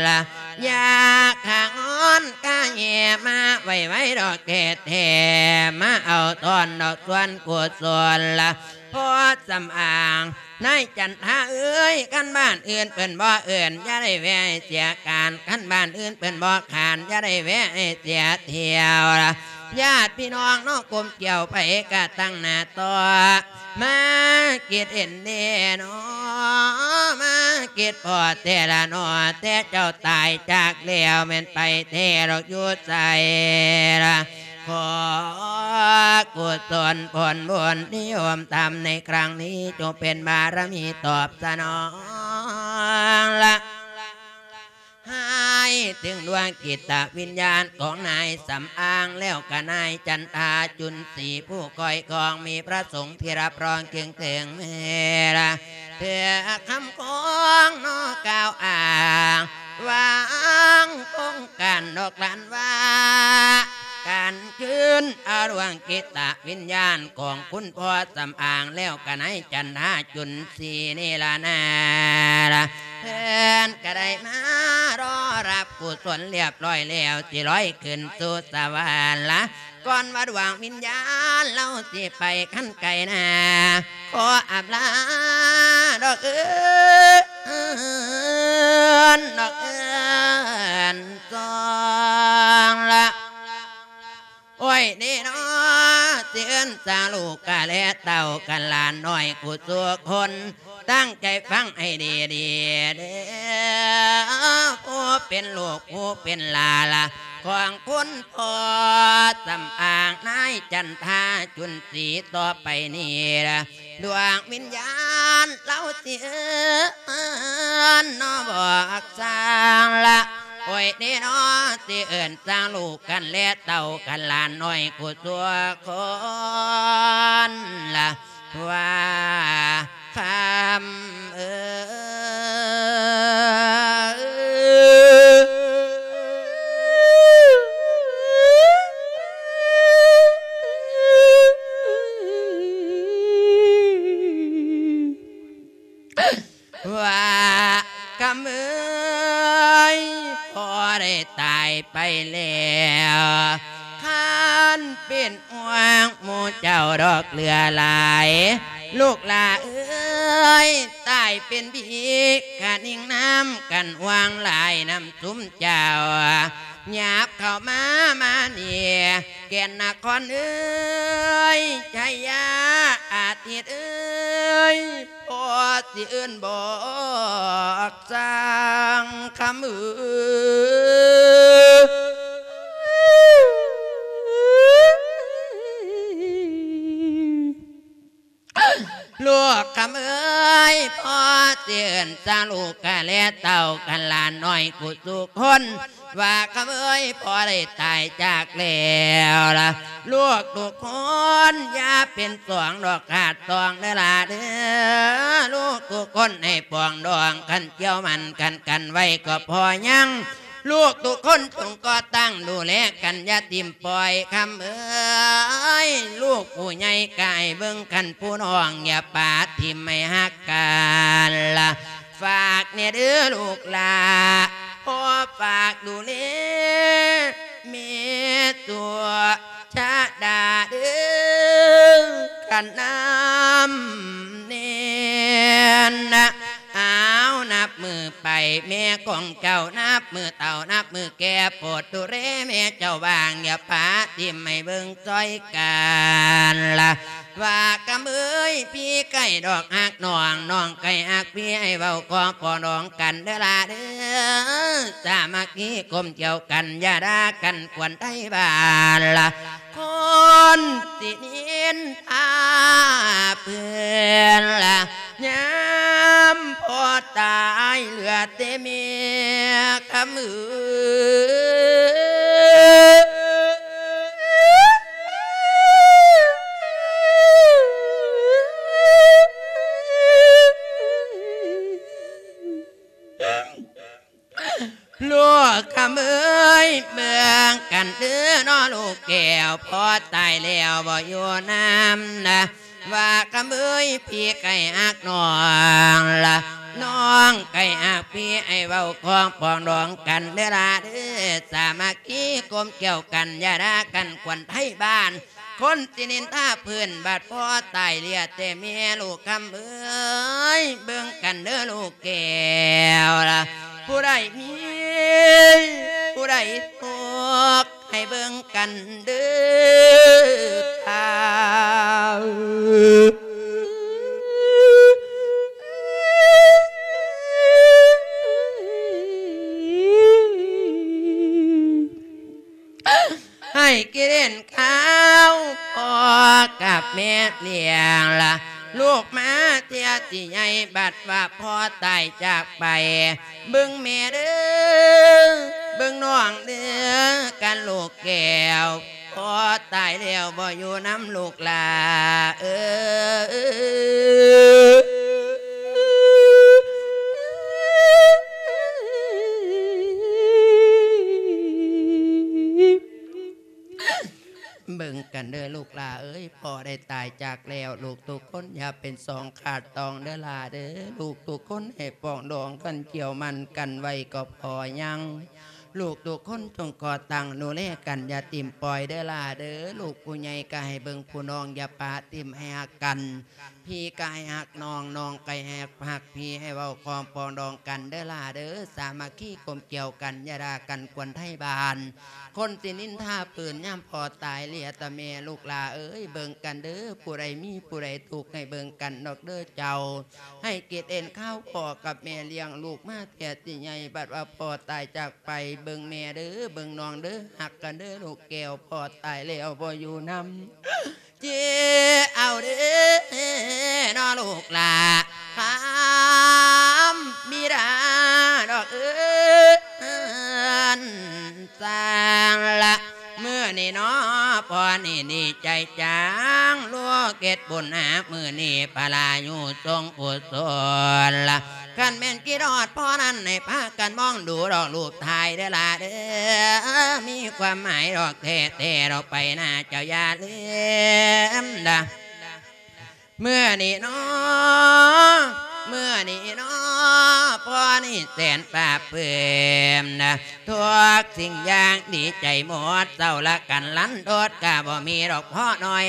ລະ ຢາກຂ້າງອນກະແຫ່ມາໄວໆດອກແທ້ໆ ມາເອົາຕອນດອກສ່ວນກຸສົນລະ ພໍ່ສຳອາງ ນາຍຈັນທາເອີຍ ຄັນບ້ານອື່ນເພິ່ນບໍ່ເອີ້ນ ຢ່າໄດ້ແວ່ໃຫ້ເສຍການ ຄັນບ້ານອື່ນເພິ່ນບໍ່ຂານ ຢ່າໄດ້ແວ່ໃຫ້ເສຍທ່ຽວລະ ຍາດພີ່ນ້ອງເນາະກົມກ່ຽວ ໃຜກະຕັ້ງໜ້າຕໍ່ ມາຄິດເຫັນເດເນາະ ມາຄິດພໍແທ້ລະເນາະ ແຕ່ເຈົ້າຕາຍຈາກແລ້ວ ແມ່ນໄປແທ້ດອກຢູ່ໃສລະ ຂໍກຸສົນຜົນບຸນທີ່ຮ່ວມທຳໃນຄັ້ງນີ້ ຈົ່ງເປັນບາລະມີຕອບສະໜອງລະ ໃຫ້ເຖິງດວງຈິດຕະວິນຍານຂອງນາຍສຳອາງ ແລ້ວກະນາຍຈັນທາຈຸນສີ ຜູ້ຄອຍຄອງ ມີພະສົງທີ່ຮັບຮອງເຄິ່ງເຖິງແມ່ລະ ເພື່ອຄຳຄອງເນາະກ່າວອ້າງ ວາງໂຄງການດອກຫຼານວ່າ ການຄືນເອົາດວງຈິດຕະວິນຍານຂອງຄຸນພໍ່ສຳອາງ ແລ້ວກະນາຍຈັນທາຈຸນສີນີ້ລະນາລະ ເພິ່ນກະໄດ້ມາລໍຮັບກຸສົນລຽບຮ້ອຍແລ້ວ ຊິລອຍຂຶ້ນສູ່ສະຫວັນລະ ກ່ອນວ່າດວງວິນຍານລາວຊິໄປຄັນໄກນາ ຂໍອຳລາດອກເອີ້ນ ດອກເອີ້ນສອງລະ ໂອ້ຍ ນີ້ເນາະ ຊິເອີ້ນສາລູກກະແລເຕົ້າກັນຫຼານນ້ອຍກູສູ່ຄົນ ຕັ້ງໃຈຟັງໃຫ້ດີໆເດີ ຜູ້ເປັນລູກຜູ້ເປັນຫຼານລະ ຂອງຄຸນພໍ່ສຳອາງນາຍຈັນທາຈຸນສີ ຕໍ່ໄປນີ້ລະ ດວງວິນຍານລາວຊິເອີ້ນເນາະບອກຊ່າງລະ ໂອ້ຍເດ້ເນາະ ຊິເອີ້ນຊ່າງລູກກັນແລເຕົ້າກັນຫຼານນ້ອຍກູສູ່ຄົນລະ ວ່າຄຳເອີຍ ວ່າຄຳເອີຍ ພໍ່ໄດ້ຕາຍໄປແລ້ວ ຄັນເປັນຫ່ວງໝູ່ເຈົ້າດອກເຫຼືອຫຼາຍ ລູກຫຼ້າເອີຍ ຕາຍເປັນຜີກະນິງນຳກັນຫວ່າງຫຼາຍນຳຊຸມເຈົ້າ ຫຍາບເຂົ້າມາ ມານີ້ ແກ່ນນະຄອນເອີຍ ໄຊຍາອາທິດເອີຍ ພໍ່ຊິເອີ້ນບອກຊ່າງຄຳເອີຍ ລູກຄຳເອີຍ ພໍ່ຊິເອີ້ນຊ່າງລູກກະແລເຕົ້າກັນຫຼານນ້ອຍກູສູ່ຄົນ ວ່າຄຳເອີຍ ພໍ່ໄດ້ຕາຍຈາກແລ້ວລະ ລູກທຸກຄົນຢ່າເປັນສອງດອກຂາດຕອງເດີຫຼ້າເດີ ລູກທຸກຄົນໃຫ້ປອງດອງ ຄັນກ່ຽວໝັ້ນກັນກັນໄວ້ກໍພໍຍັງ ລູກທຸກຄົນຈົ່ງກໍ່ຕັ້ງດູແລກັນ ຢ່າຖິ້ມປ່ອຍຄຳເອີຍ. ລູກຜູ້ໃຫຍ່ກະໃຫ້ເບິ່ງກັນ ຜູ້ນ້ອງຢ່າປະຖິ້ມ ໃຫ້ຮັກກັນລະ ຝາກແດ່ເດີລູກຫຼ້າ ພໍ່ຝາກດູແລແມ່ຕົວ ຊະດາເດີ ຄັນນຳແນ່ນນະ. ອ້າວ ນັບມື້ໄປແມ່ຂອງເຈົ້າ ນັບມື້ເຖົ້າ ນັບມື້ແກ່ ໂປດດູແລແມ່ເຈົ້າບ້າງ ຢ່າປະຖິ້ມ ໃຫ້ເບິ່ງຊ່ອຍກັນລະ ວ່າກຳເອີຍ ພີ່ໃກ້ດອກຮັກນ້ອງ ນ້ອງໃກ້ຮັກພີ່ ໃຫ້ເວົ້າຂອງປອງດອງກັນເດີຫຼ້າເດີ ສາມັກຄີກົມກ່ຽວກັນ ຢ່າດ່າກັນກວນໄທບ້ານລະ ຄົນຊິນິນທາເພິ່ນລະ ຍາມພໍ່ຕາຍເຫຼືອແຕ່ແມ່ຄຳເອີຍ. ລູກຄຳເອີຍ ເບິ່ງກັນເດີເນາະລູກແກ້ວ ພໍ່ຕາຍແລ້ວບໍ່ຢູ່ນຳນະ ວ່າຄຳເອີຍ ພີ່ໃກ້ຮັກນ້ອງລະ ນ້ອງໃກ້ຮັກພີ່ ໃຫ້ເວົ້າຂອງປອງດອງກັນເດີຫຼ້າເດີ ສາມັກຄີກົມກ່ຽວກັນ ຢ່າດ່າກັນກວນໄທບ້ານ ຄົນຊິນິນທາເພິ່ນ ບາດພໍ່ຕາຍເຫຼືອແຕ່ແມ່ ລູກຄຳເອີຍ ເບິ່ງກັນເດີລູກແກ້ວລະ ຜູ້ໃດມີ ຜູ້ໃດທຸກ ໃຫ້ເບິ່ງກັນເດີທ່ານ ໃຫ້ກິເລນຂາວ ພໍ່ກັບແມ່ລ້ຽງລະ ລູກມາເທື່ອທີ່ໃຫຍ່ ບັດວ່າພໍ່ຕາຍຈາກໄປ ເບິ່ງແມ່ເດີ ເບິ່ງນ້ອງເດີ ກັນລູກແກ້ວ ພໍ່ຕາຍແລ້ວບໍ່ຢູ່ນຳລູກຫຼ້າເອີຍ. ເບິ່ງກັນເດີລູກຫຼ້າເອີຍ ພໍ່ໄດ້ຕາຍຈາກແລ້ວ ລູກທຸກຄົນຢ່າເປັນສອງຂາດຕອງເດີຫຼ້າເດີ ລູກທຸກຄົນໃຫ້ປອງດອງກັນ ກ່ຽວໝັ້ນກັນໄວ້ກໍພໍຍັງ ລູກທຸກຄົນຈົ່ງກໍ່ຕັ້ງດູແລກັນ ຢ່າຖິ້ມປ່ອຍເດີຫຼ້າເດີ ລູກຜູ້ໃຫຍ່ກໍໃຫ້ເບິ່ງຜູ້ນ້ອງ ຢ່າປະຖິ້ມ ໃຫ້ຮັກກັນ ພີ່ກໍໃຫ້ຮັກນ້ອງ ນ້ອງກໍໃຫ້ຮັກພີ່ ໃຫ້ເວົ້າຄວາມປອງດອງກັນເດີຫຼ້າເດີ ສາມັກຄີກົມກ່ຽວກັນ ຢ່າດ່າກັນກວນໄທບ້ານ ຄົນຊິນິນທາເພິ່ນ ຍາມພໍ່ຕາຍເຫຼືອແຕ່ແມ່ ລູກຫຼ້າເອີຍ ເບິ່ງກັນເດີ ຜູ້ໃດມີຜູ້ໃດທຸກ ໃຫ້ເບິ່ງກັນດອກເດີເຈົ້າ ໃຫ້ກິດເອັນຂາວ ພໍ່ກັບແມ່ລ້ຽງລູກມາເທື່ອທີ່ໃຫຍ່ ບັດວ່າພໍ່ຕາຍຈາກໄປ ເບິ່ງແມ່ເດີ ເບິ່ງນ້ອງເດີ ຮັກກັນເດີລູກແກ້ວ ພໍ່ຕາຍແລ້ວບໍ່ຢູ່ນຳ ເຈເອົາເດີເນາະລູກຫຼ້າ ຄຳບິດາດອກເອີຍ ສ້າງລະ ມື້ນີ້ເນາະ ພໍ່ນີ້ດີໃຈຈັງ ລູກເຮັດບຸນຫາມື້ນີ້ ພະລາຢູ່ຊົງກຸສົນລະ ຄັນແມ່ນຄິດຮອດພໍ່ນັ້ນ ໃຫ້ພາກັນມອງດູດອກຮູບຖ່າຍເດີຫຼ້າເດີ ມີຄວາມໝາຍດອກແທ້ໆ ດອກໄປໜ້າເຈົ້າຢ່າລືມນະ ມື້ນີ້ເນາະ ມື້ນີ້ເນາະ ພໍ່ນີ້ແສນປາບປຶ້ມນະ ທຸກສິ່ງຢ່າງດີໃຈໝົດ ເຊົາລະກັນລັນທົດກະບໍ່ມີດອກພໍ່ນ້ອຍ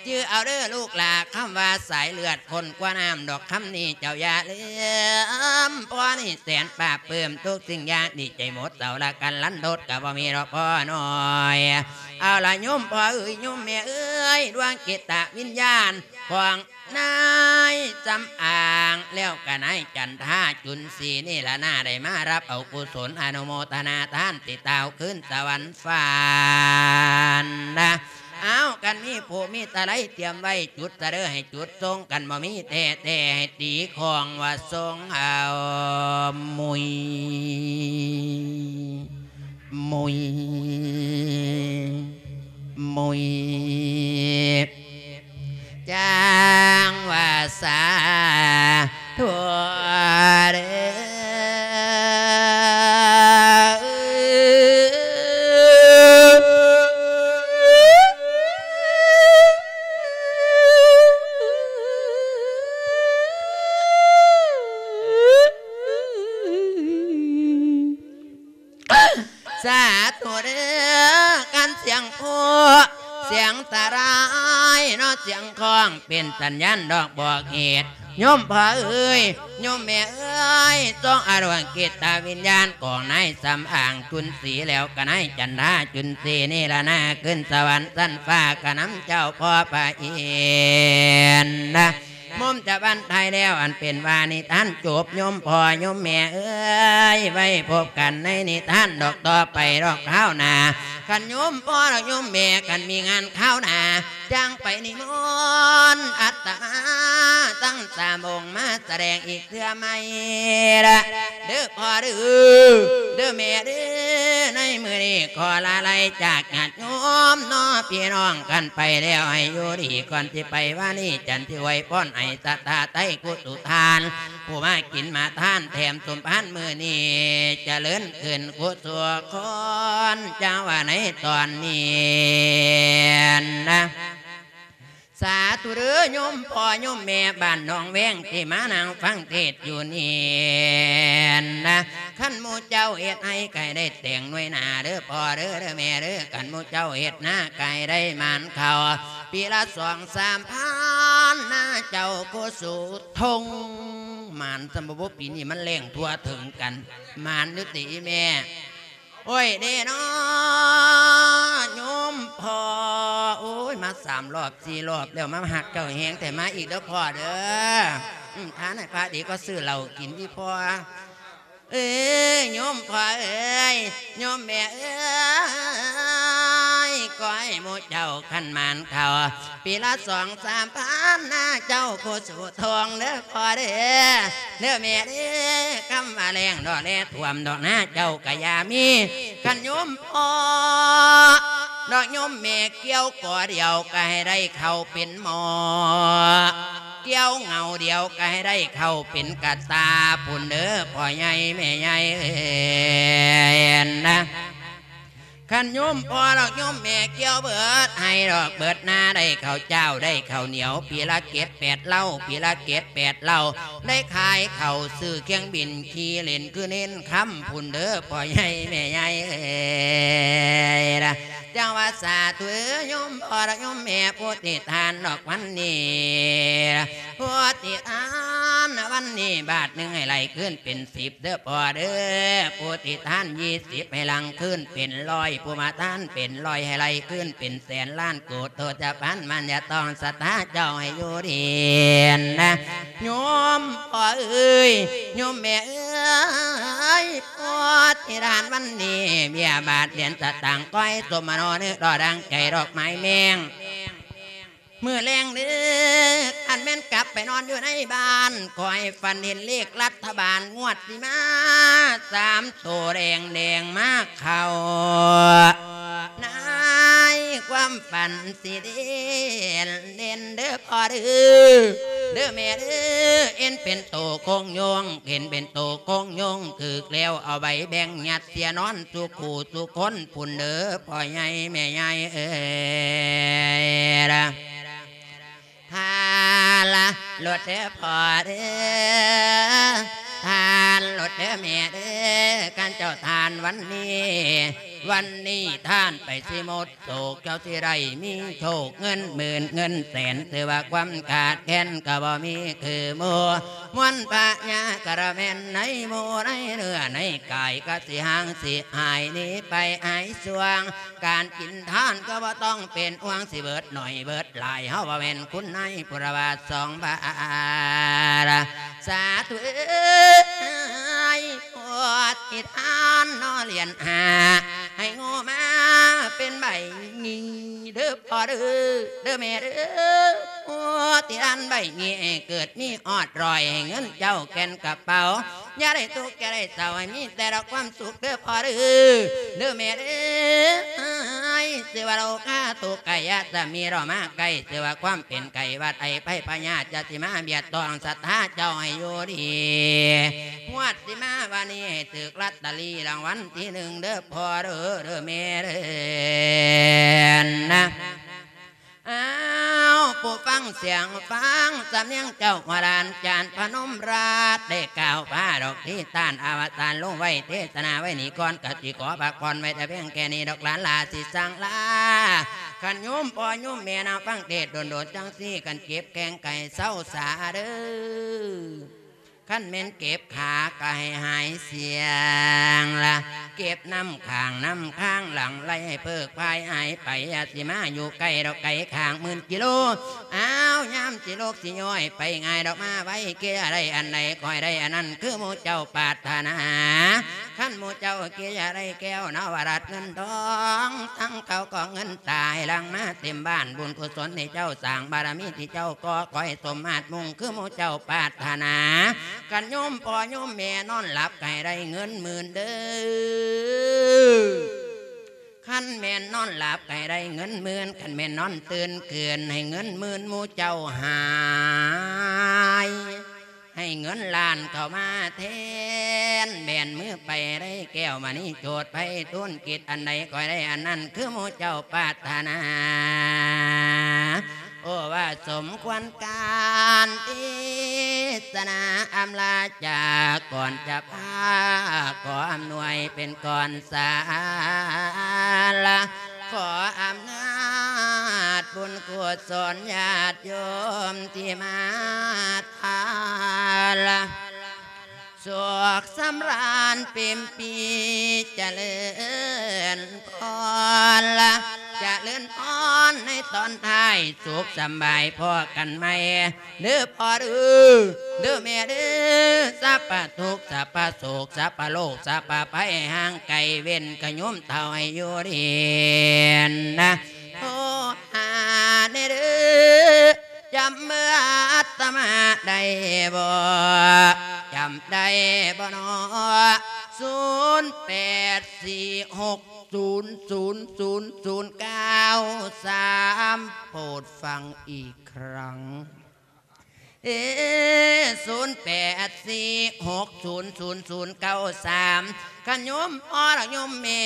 ຈື່ເອົາເດີລູກຫຼ້າ ຄຳວ່າສາຍເລືອດ ຂ້ນກວ່ານ້ຳດອກ ຄຳນີ້ເຈົ້າຢ່າລືມ ພໍ່ນີ້ແສນປາບປຶ້ມ ທຸກສິ່ງຢ່າງດີໃຈໝົດ ເຊົາລະກັນລັນທົດກະບໍ່ມີດອກພໍ່ນ້ອຍ ເອົາລະໂຍມພໍ່ເອີຍ ໂຍມແມ່ເອີຍ ດວງຈິດຕະວິນຍານຂອງນາຍສຳອາງ ແລ້ວກະນາຍຈັນທາ ຈຸນສີ ນີ້ລະນາ ໄດ້ມາຮັບເອົາກຸສົນ ອະນຸໂມທະນາທານ ຕິດຕາວຄືນສະຫວັນຝັນນະ ອ້າວ ຄັນມີພູມີຕະໄລຕຽມໄວ້ ຈຸດສະເດີໃຫ້ຈຸດຊົງ ຄັນບໍ່ມີແທ້ໆ ໃຫ້ຕີຂອງວ່າຊົງເອົາ ມຸຍ ມຸຍ ມຸຍ ຈັ່ງວ່າສາທຸເດີ. ສາທຸເດີ້ ຄັນສຽງໂພ ສຽງຕະລາຍເນາະ ສຽງຄ້ອງເປັນສັນຍານດອກບອກເຫດ ໂຍມພໍ່ເອີຍ ໂຍມແມ່ເອີຍ ຈົ່ງອະນຸກະລິດຕະວິນຍານຂອງນາຍສຳອາງຈຸນສີ ແລ້ວກໍນາຍຈັນທາຈຸນສີ ນີລະນາຂຶ້ນສະຫວັນຊັ້ນຟ້າ ກະນຳເຈົ້າພໍ່ພະອິນນະ ມຸມຈະບັນທາຍແລ້ວ ອັນເປັນວ່ານິທານຈົບ ໂຍມພໍ່ໂຍມແມ່ເອີຍ ໄວ້ພົບກັນໃນນິທານດອກຕໍ່ໄປດອກຄາວໜ້າ ຄັນໂຍມພໍ່ດອກໂຍມແມ່ ຄັນມີງານຄາວໜ້າ ຈັ່ງໄປນິມົນອັດຕະມາທັງສາມອົງມາສະແດງອີກເທື່ອໃໝ່ລະ ເດີ້ພໍ່ເດີ້ ເດີ້ແມ່ເດີ້ ໃນມື້ນີ້ຂໍລາໄລຈາກຍາດໂຍມເນາະ ພີ່ນ້ອງກັນໄປແລ້ວ ໃຫ້ຢູ່ດີກ່ອນຊິໄປ ວານີຈັນຊິອວຍພອນໃຫ້ສັດທາໄທກຸສຸທານ ຜູ້ມາກິນມາທານແຖມສົມພານມື້ນີ້ ຈະເລີນຂຶ້ນກຸສຸຄົນ ຈັ່ງວ່າໃນຕອນນີ້ນະ ສາທຸເດີ້ ໂຍມພໍ່ໂຍມແມ່ບ້ານໜອງແວງ ທີ່ມານັ່ງຟັງເທດຢູ່ນີ້ນະ ຄັນໝູ່ເຈົ້າເຮັດໄຮ່ ກະໃຫ້ໄດ້ແຕງໜ່ວຍໜ້າເດີ້ພໍ່ເດີ້ ເດີ້ແມ່ເດີ້ ຄັນໝູ່ເຈົ້າເຮັດນາ ກະໃຫ້ໄດ້ໝານເຂົ້າ ປີລະສອງສາມພັນນາ ເຈົ້າໂຄສຸທົງ ໝານຊຳບໍ່ບຸ ປີນີ້ມັນແລ້ງທົ່ວເຖິງກັນ ໝານຢູ່ຕິອີ່ແມ່ ໂອ້ຍເດ້ເນາະ ໂຍມພໍ່ ໂອ້ຍ ມາສາມລອບສີ່ລອບແລ້ວ ມາຮັກເຈົ້າແຮງແທ້ ມາອີກເດີ້ພໍ່ເດີ້ ອືມ ທານໃຫ້ພະດີກວ່າຊື້ເຫຼົ້າກິນຕິພໍ່ ເອີຍ ໂຍມພໍ່ເອີຍ ໂຍມແມ່ເອີຍ ຂໍໃຫ້ໝູ່ເຈົ້າຄັນໝານເຂົ້າ ປີລະສອງສາມພັນນາ ເຈົ້າໂຄສຸ ທອງເດີ້ພໍ່ເດີ້ ເດີ້ແມ່ເດີ້ ຄຳວ່າແລ້ງດອກແລ້ງຖ້ວມດອກນາເຈົ້າກະຢ່າມີ ຄັນໂຍມພໍ່ດອກໂຍມແມ່ກ່ຽວກໍດຽວກະໃຫ້ໄດ້ເຂົ້າເປັນໝໍ້ ກ່ຽວເຫງົ້າດຽວກະໃຫ້ໄດ້ເຂົ້າເປັນກະຕ່າພຸ້ນເດີ້ ພໍ່ໃຫຍ່ແມ່ໃຫຍ່ເອີຍນະ ຄັນໂຍມພໍ່ດອກໂຍມແມ່ກ່ຽວເບີດໄຮ່ດອກເບີດນາ ໄດ້ເຂົ້າຈ້າວໄດ້ເຂົ້າໜຽວ ປີລະເຈັດແປດເຫຼົ່າ ປີລະເຈັດແປດເຫຼົ່າ ໄດ້ຂາຍເຂົ້າຊື້ເຄື່ອງບິນຂີ່ຫຼິ້ນຄືເນັ້ນຄຳພຸ້ນເດີ້ ພໍ່ໃຫຍ່ແມ່ໃຫຍ່ເອີຍນະ ຈັ່ງວ່າສາທຸໂຍມພໍ່ດອກໂຍມແມ່ ຜູ້ຕິທານດອກວັນນີ້ ຜູ້ຕິທານວັນນີ້ບາດໜຶ່ງໃຫ້ໄລ່ຄືນເປັນສິບ ເດີ້ພໍ່ເດີ້ ຜູ້ຕິທານຊາວໃຫ້ຫຼັ່ງຄືນເປັນຮ້ອຍ ຜູ້ມາທານເປັນຮ້ອຍໃຫ້ໄລ່ຄືນເປັນແສນ ລ້ານໂກດໂທດຈະພັນມັນຍາຕ້ອງສັດທາເຈົ້າໃຫ້ຢູ່ດີນະ ໂຍມພໍ່ເອີຍ ໂຍມແມ່ເອີຍ ຜູ້ຕິທານວັນນີ້ ເບ້ຍບາດຫຼຽນສະຕາງ ຂໍໃຫ້ສົມມະໂນນຶກ ລໍດັງໃຈດອກໄມ້ແມງ ມື້ແລງເດີ້ ຄັນແມ່ນກັບໄປນອນຢູ່ໃນບ້ານ ຂໍໃຫ້ຝັນເຫັນເລກລັດຖະບານງວດຊິມາ ສາມໂຕແດງໆມາເຂົ້າ ໃນຄວາມຝັນຊິເດັ່ນເດັ່ນເດີ້ພໍ່ເດີ້ ເດີ້ແມ່ເດີ້ ເຫັນເປັນໂຕຄົງຍົງ ເຫັນເປັນໂຕຄົງຍົງ ຖືກແລ້ວເອົາໃບແບ່ງຍັດເສຍນອນ ສູ່ຄູ່ສູ່ຄົນພຸ້ນເດີ້ ພໍ່ໃຫຍ່ແມ່ໃຫຍ່ເອີຍ ທານລະໂລດເດີ້ພໍ່ເດີ້ ທານໂລດເດີ້ແມ່ເດີ້ ຄັນເຈົ້າທານວັນນີ້ ວັນນີ້ທານໄປຊິໝົດໂສກ ເຈົ້າຊິໄດ້ມີໂຊກ ເງິນໝື່ນເງິນແສນ ຖືວ່າຄວາມຂາດແຄນກໍບໍ່ມີຄືໝູ່ ມວນພະຍາກະລະແມ່ນໃນໝູ່ໃນເນື້ອໃນກາຍ ກະຊິຫ່າງຊິຫາຍໜີໄປຫາຍຊ່ວງ ການກິນທານກໍບໍ່ຕ້ອງເປັນຫ່ວງ ຊິເບີດໜ້ອຍເບີດຫຼາຍ ເຮົາບໍ່ແມ່ນຄຸນນາຍຜູ້ລະວ່າສອງບາດ ສາທຸເອີຍ ຜູ້ຕິທານເນາະຫຼຽນຫ້າ ໃຫ້ໂງ່ມາເປັນໃບ ນີ້ເດີ້ພໍ່ເດີ້ ເດີ້ແມ່ເດີ້ ໂອ້ ທີ່ອັນໃບນີ້ໃຫ້ເກີດມີຮອດຮ້ອຍ ໃຫ້ເງິນເຈົ້າແກ່ນກະເປົາ ຢ່າໄດ້ທຸກຢ່າໄດ້ເສົ້າ ໃຫ້ມີແຕ່ດອກຄວາມສຸກເດີ້ພໍ່ເດີ້ ເດີ້ແມ່ເດີ້ ຊື່ວ່າໂລຄາທຸກກາຍະຈະມີເຮົາມາໃກ້ ຊື່ວ່າຄວາມເປັນໄຂ້ຫວັດໄອໄພພະຍາດ ຢ່າຊິມາບຽດຕ້ອງສັດທາເຈົ້າໃຫ້ຢູ່ດີ ງວດ ຊິມາວານີ້ໃຫ້ຖືກລອດຕະລີລາງວັນທີໜຶ່ງເດີ້ພໍ່ເດີ້ ເດີ້ແມ່ເດີ້ນະ ອ້າວ ຜູ້ຟັງ ສຽງຟັງສຳນຽງເຈົ້າໂບລານ ຈານພະນົມລາດ ໄດ້ກ່າວພາດອກທີ່ທ່ານອະວະສານລົງໄວ້ ເທດສະໜາໄວ້ນີ້ກ່ອນ ກະຊິຂໍພັກຜ່ອນໄວ້ແຕ່ພຽງແຄ່ນີ້ດອກຫຼານຫຼ້າ ຊິສັ່ງລາ. ຄັນໂຍມພໍ່ໂຍມແມ່ນາງຟັງເທດດົນໆ ຈັ່ງຊີ້ ຄັນເຈັບແຂ້ງກະໃຫ້ເຊົາຊາເດີ້. ຄັນແມ່ນເຈັບຂາກະໃຫ້ຫາຍສ່ຽງລະ ເຈັບນ້ຳຂ້າງນ້ຳຄາງຫຼັ່ງໄຫຼໃຫ້ເພີກພາຍຫາຍໄປ ຢ່າຊິມາຢູ່ໃກ້ດອກໄກຂ້າງໝື່ນກິໂລ ອ້າວ ຍາມຊິລຸກຊິຍ້ອຍໄປງ່າຍດອກ ມາໄວ ເກຍໄດ້ອັນໃດ ຂ້ອຍໄດ້ອັນນັ້ນ ຄືໝູ່ເຈົ້າປາດຖະໜາ. ຄັນໝູ່ເຈົ້າເກຍໄດ້ແກ້ວນະວະລັດເງິນທອງ ທັງເຂົ້າຂອງເງິນຕາໃຫ້ຫຼັ່ງມາເຕັມບ້ານ ບຸນກຸສົນທີ່ເຈົ້າສ້າງ ບາລະມີທີ່ເຈົ້າກໍ່ ຂໍໃຫ້ສົມມາດມຸ່ງຄືໝູ່ເຈົ້າປາດຖະໜາ. ຄັນໂຍມພໍ່ໂຍມແມ່ນອນຫຼັບໃຫ້ໄດ້ເງິນໝື່ນເດີ້. ຄັນແມ່ນນອນຫຼັບໃຫ້ໄດ້ເງິນໝື່ນ ຄັນແມ່ນນອນຕື່ນຂຶ້ນໃຫ້ເງິນໝື່ນໝູ່ເຈົ້າຫາຍ ໃຫ້ເງິນລ້ານເຂົ້າມາແທນ ແບນມືໄປໄດ້ແກ້ວມະນີໂຈດໄພທູນ ກິດອັນໃດຂ້ອຍໄດ້ອັນນັ້ນ ຄືໝູ່ເຈົ້າປາດຖະໜາ. ໂອ ວ່າສົມຄວນການເທດສະໜາອຳລາຈາກ ກ່ອນຈະພາຂໍອຳນວຍເປັນກ່ອນສາລະ ຂໍອຳນາດບຸນກຸສົນຍາດໂຍມທີ່ມາທາລະ ສຸກສຳລານເຕັມປີ ຈະເລີນພອນລະ ຈະເລີນພອນໃນຕອນທ້າຍ ສຸກສຳບາຍພໍ້ກັນໃໝ່ເດີ້ພໍ່ເດີ້ ເດີ້ແມ່ເດີ້ ສັບພະທຸກ ສັບພະໂສກ ສັບພະໂລກ ສັບພະໄພ ໃຫ້ຫ່າງໄກ ເວັ້ນກະໂຍມເຖົ້າໃຫ້ຢູ່ດີນະ ໂທຫາແດ່ເດີ້ ຈຳເບີອາດຕະມາໄດ້ບໍ່? ຈຳໄດ້ບໍ່ນໍ? ສູນແປດສີ່ຫົກສູນສູນສູນສູນເກົ້າສາມ ໂປດຟັງອີກຄັ້ງ ເອ ສູນແປດສີ່ຫົກສູນສູນສູນເກົ້າສາມ ຄັນໂຍມພໍ່ແລະໂຍມແມ່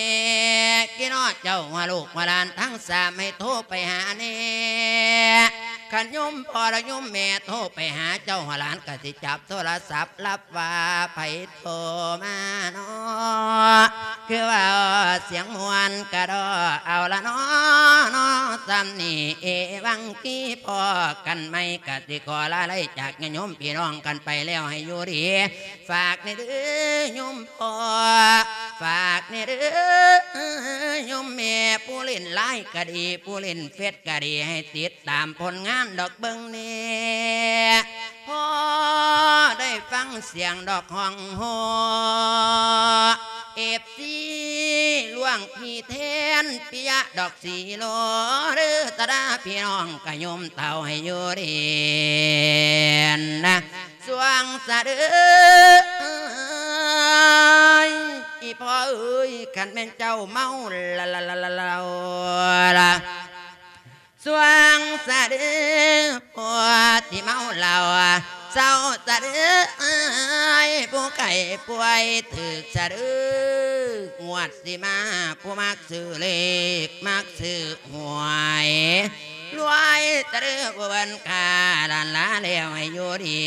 ກິນ້ອງເຈົ້າວ່າລູກວ່າຫຼານທັງສາມ ໃຫ້ໂທໄປຫາແນ່. ຄັນໂຍມພໍ່ແລະໂຍມແມ່ໂທໄປຫາເຈົ້າວ່າຫຼານ ກະຊິຈັບໂທລະສັບ ຮັບວ່າໃຜໂທມານໍ ຄືວ່າສຽງມ່ວນກະດໍ ເອົາລະນໍ ນໍສ່ຳນີ້ ເອວັງກີ ພໍ້ກັນໃໝ່ ກະຊິຂໍລາໄລຈາກຍາດໂຍມພີ່ນ້ອງກັນໄປແລ້ວ ໃຫ້ຢູ່ດີ ຝາກແນ່ເດີ້ໂຍມພໍ່ ຝາກແນ່ເດີ້ໂຍມແມ່ ຜູ້ຫຼິ້ນລາຍກະດີ ຜູ້ຫຼິ້ນເຟສກະດີ ໃຫ້ຕິດຕາມຜົນງານດອກເບິ່ງແນ່ ພໍ້ໄດ້ຟັງສຽງດອກຮ້ອງໂຮ ເອັຟຊີ ຫຼວງພີ່ແທນ ປິຍະດອກສີໂລ ເດີ້ຕາດາ ພີ່ນ້ອງກະໂຍມເຖົ້າໃຫ້ຢູ່ດີນະ ສວ່າງສະເດີ້ ອີ່ພໍ່ເອີຍ ຄັນແມ່ນເຈົ້າເມົາລະລະລະລະລະລະ ສວ່າງສະເດີ້ ຜູ້ທີ່ເມົາເຫຼົ້າ ເຊົາສະເດີ້ ຜູ້ໄຂ້ປ່ວຍຖືກສະເດີ້ ງວດຊິມາ ຜູ້ມັກຊື້ເລກ ມັກຊື້ຫວຍ ລວຍສະເດີ້ ຜູ້ເພິ່ນຂ້າລ້ານລາແລ້ວ ໃຫ້ຢູ່ດີ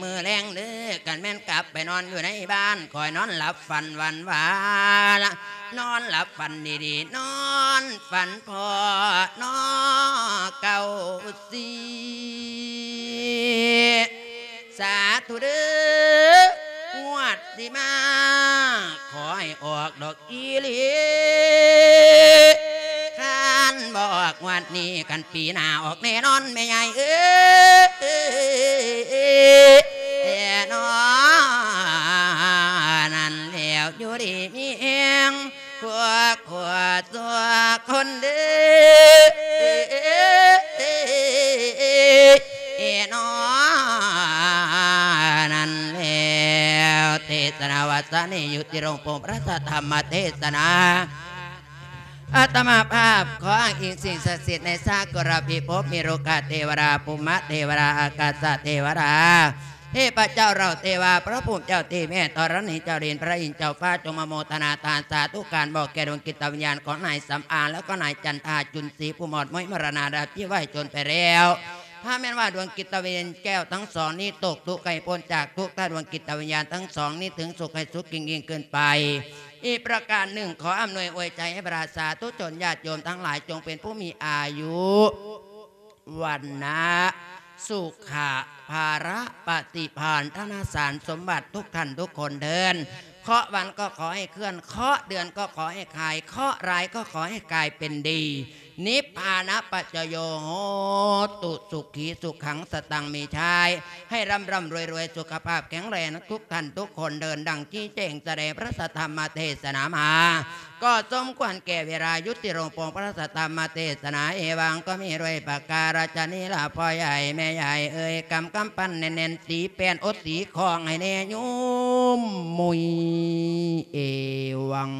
ມື້ແລງເດີ້ ຄັນແມ່ນກັບໄປນອນຢູ່ໃນບ້ານ ຂ້ອຍນອນຫຼັບຝັນຫວັ່ນຫວາ ນອນຫຼັບຝັນດີໆ ນອນຝັນພໍ້ນໍ ເກົ້າສີ່ ສາທຸເດີ້ ງວດຊິມາ ຂໍໃຫ້ອອກດອກອີ່ຫຼີ ຄັນບໍ່ອອກງວດນີ້ ຄັນປີໜ້າອອກແນ່ນອນ ແມ່ໃຫຍ່ເອີຍ ແນ່ນອນນັ້ນແລ້ວ ຢູ່ດີມີແຮງ ພວກຂ້າທຸກຄົນເດີ້ ແນ່ນອນນັ້ນແລ້ວ ເທດສະໜາວັດຊະນີ້ ຍຸຕິລົງປົງພະທຳມະເທດສະໜາ ອາດຕະມາພາບຂໍອ້າງອີງສິ່ງສັກສິດໃນສາກົນລະພິພົບ ມີໂລກະເທວະດາ ພູມະເທວະດາ ອາກາສະເທວະດາ ເທບພະເຈົ້າເຫຼົ່າເທວາ ພະພູມເຈົ້າທີ່ແມ່ທໍລະນີ ເຈົ້າດິນ ພະອິນ ເຈົ້າຟ້າ ຈົ່ງມາໂມທະນາທານສາທຸການ ບອກແກ່ດວງຈິດຕະວິນຍານຂອງນາຍສຳອາງ ແລະ ຂອງນາຍຈັນທາ ຈຸນສີ ຜູ້ໝອດມ້ອຍມໍລະນາໄດ້ພຽໄວ້ຈົນໄປແລ້ວ ຖ້າແມ່ນວ່າດວງຈິດຕະວິນຍານແກ້ວທັງສອງນີ້ຕົກທຸກ ໃຫ້ພົ້ນຈາກທຸກ ຖ້າດວງຈິດຕະວິນຍານທັງສອງນີ້ເຖິງສຸກ ໃຫ້ສຸກຍິ່ງໆຂຶ້ນໄປ. ອີກປະການໜຶ່ງ ຂໍອຳນວຍອວຍໄຈໃຫ້ບັນດາສາທຸຊົນຍາດໂຍມທັງຫຼາຍ ຈົ່ງເປັນຜູ້ມີອາຍຸ ວັນນະ ສຸຂະ ພະລະ ປະຕິພານ ທະນະສານສົມບັດທຸກທ່ານທຸກຄົນເທີ້ນ. ເຄາະວັນກໍຂໍໃຫ້ເຄື່ອນ ເຄາະເດືອນກໍຂໍໃຫ້ຄາຍ ເຄາະຮ້າຍກໍຂໍໃຫ້ກາຍເປັນດີ. ນິບພານະປັດຈະໂຍໂຫຕຸ ສຸຂີສຸຂັງສະຕັງມີຊາຍ ໃຫ້ລ່ຳໆລວຍໆ ສຸຂະພາບແຂງແຮງທຸກທ່ານທຸກຄົນເທີ້ນ. ດັ່ງຊີ້ແຈງສະແດງພະທຳມະເທສະນາມາ ກໍສົມຄວນແກ່ເວລາ ຢຸດທີ່ລົງໂປງພະທຳມະເທສະນາ. ເອວັງ ກໍມີດ້ວຍປະກາລະຊະນີລະ ພໍ່ໃຫຍ່ແມ່ໃຫຍ່ເອີຍ ກຳກຳປັນແໜ້ນໆ ຕີແປ້ນອົດຕີຄອງໃຫ້ແນ່ໂຍມ ມຸຍ ເອວັງ.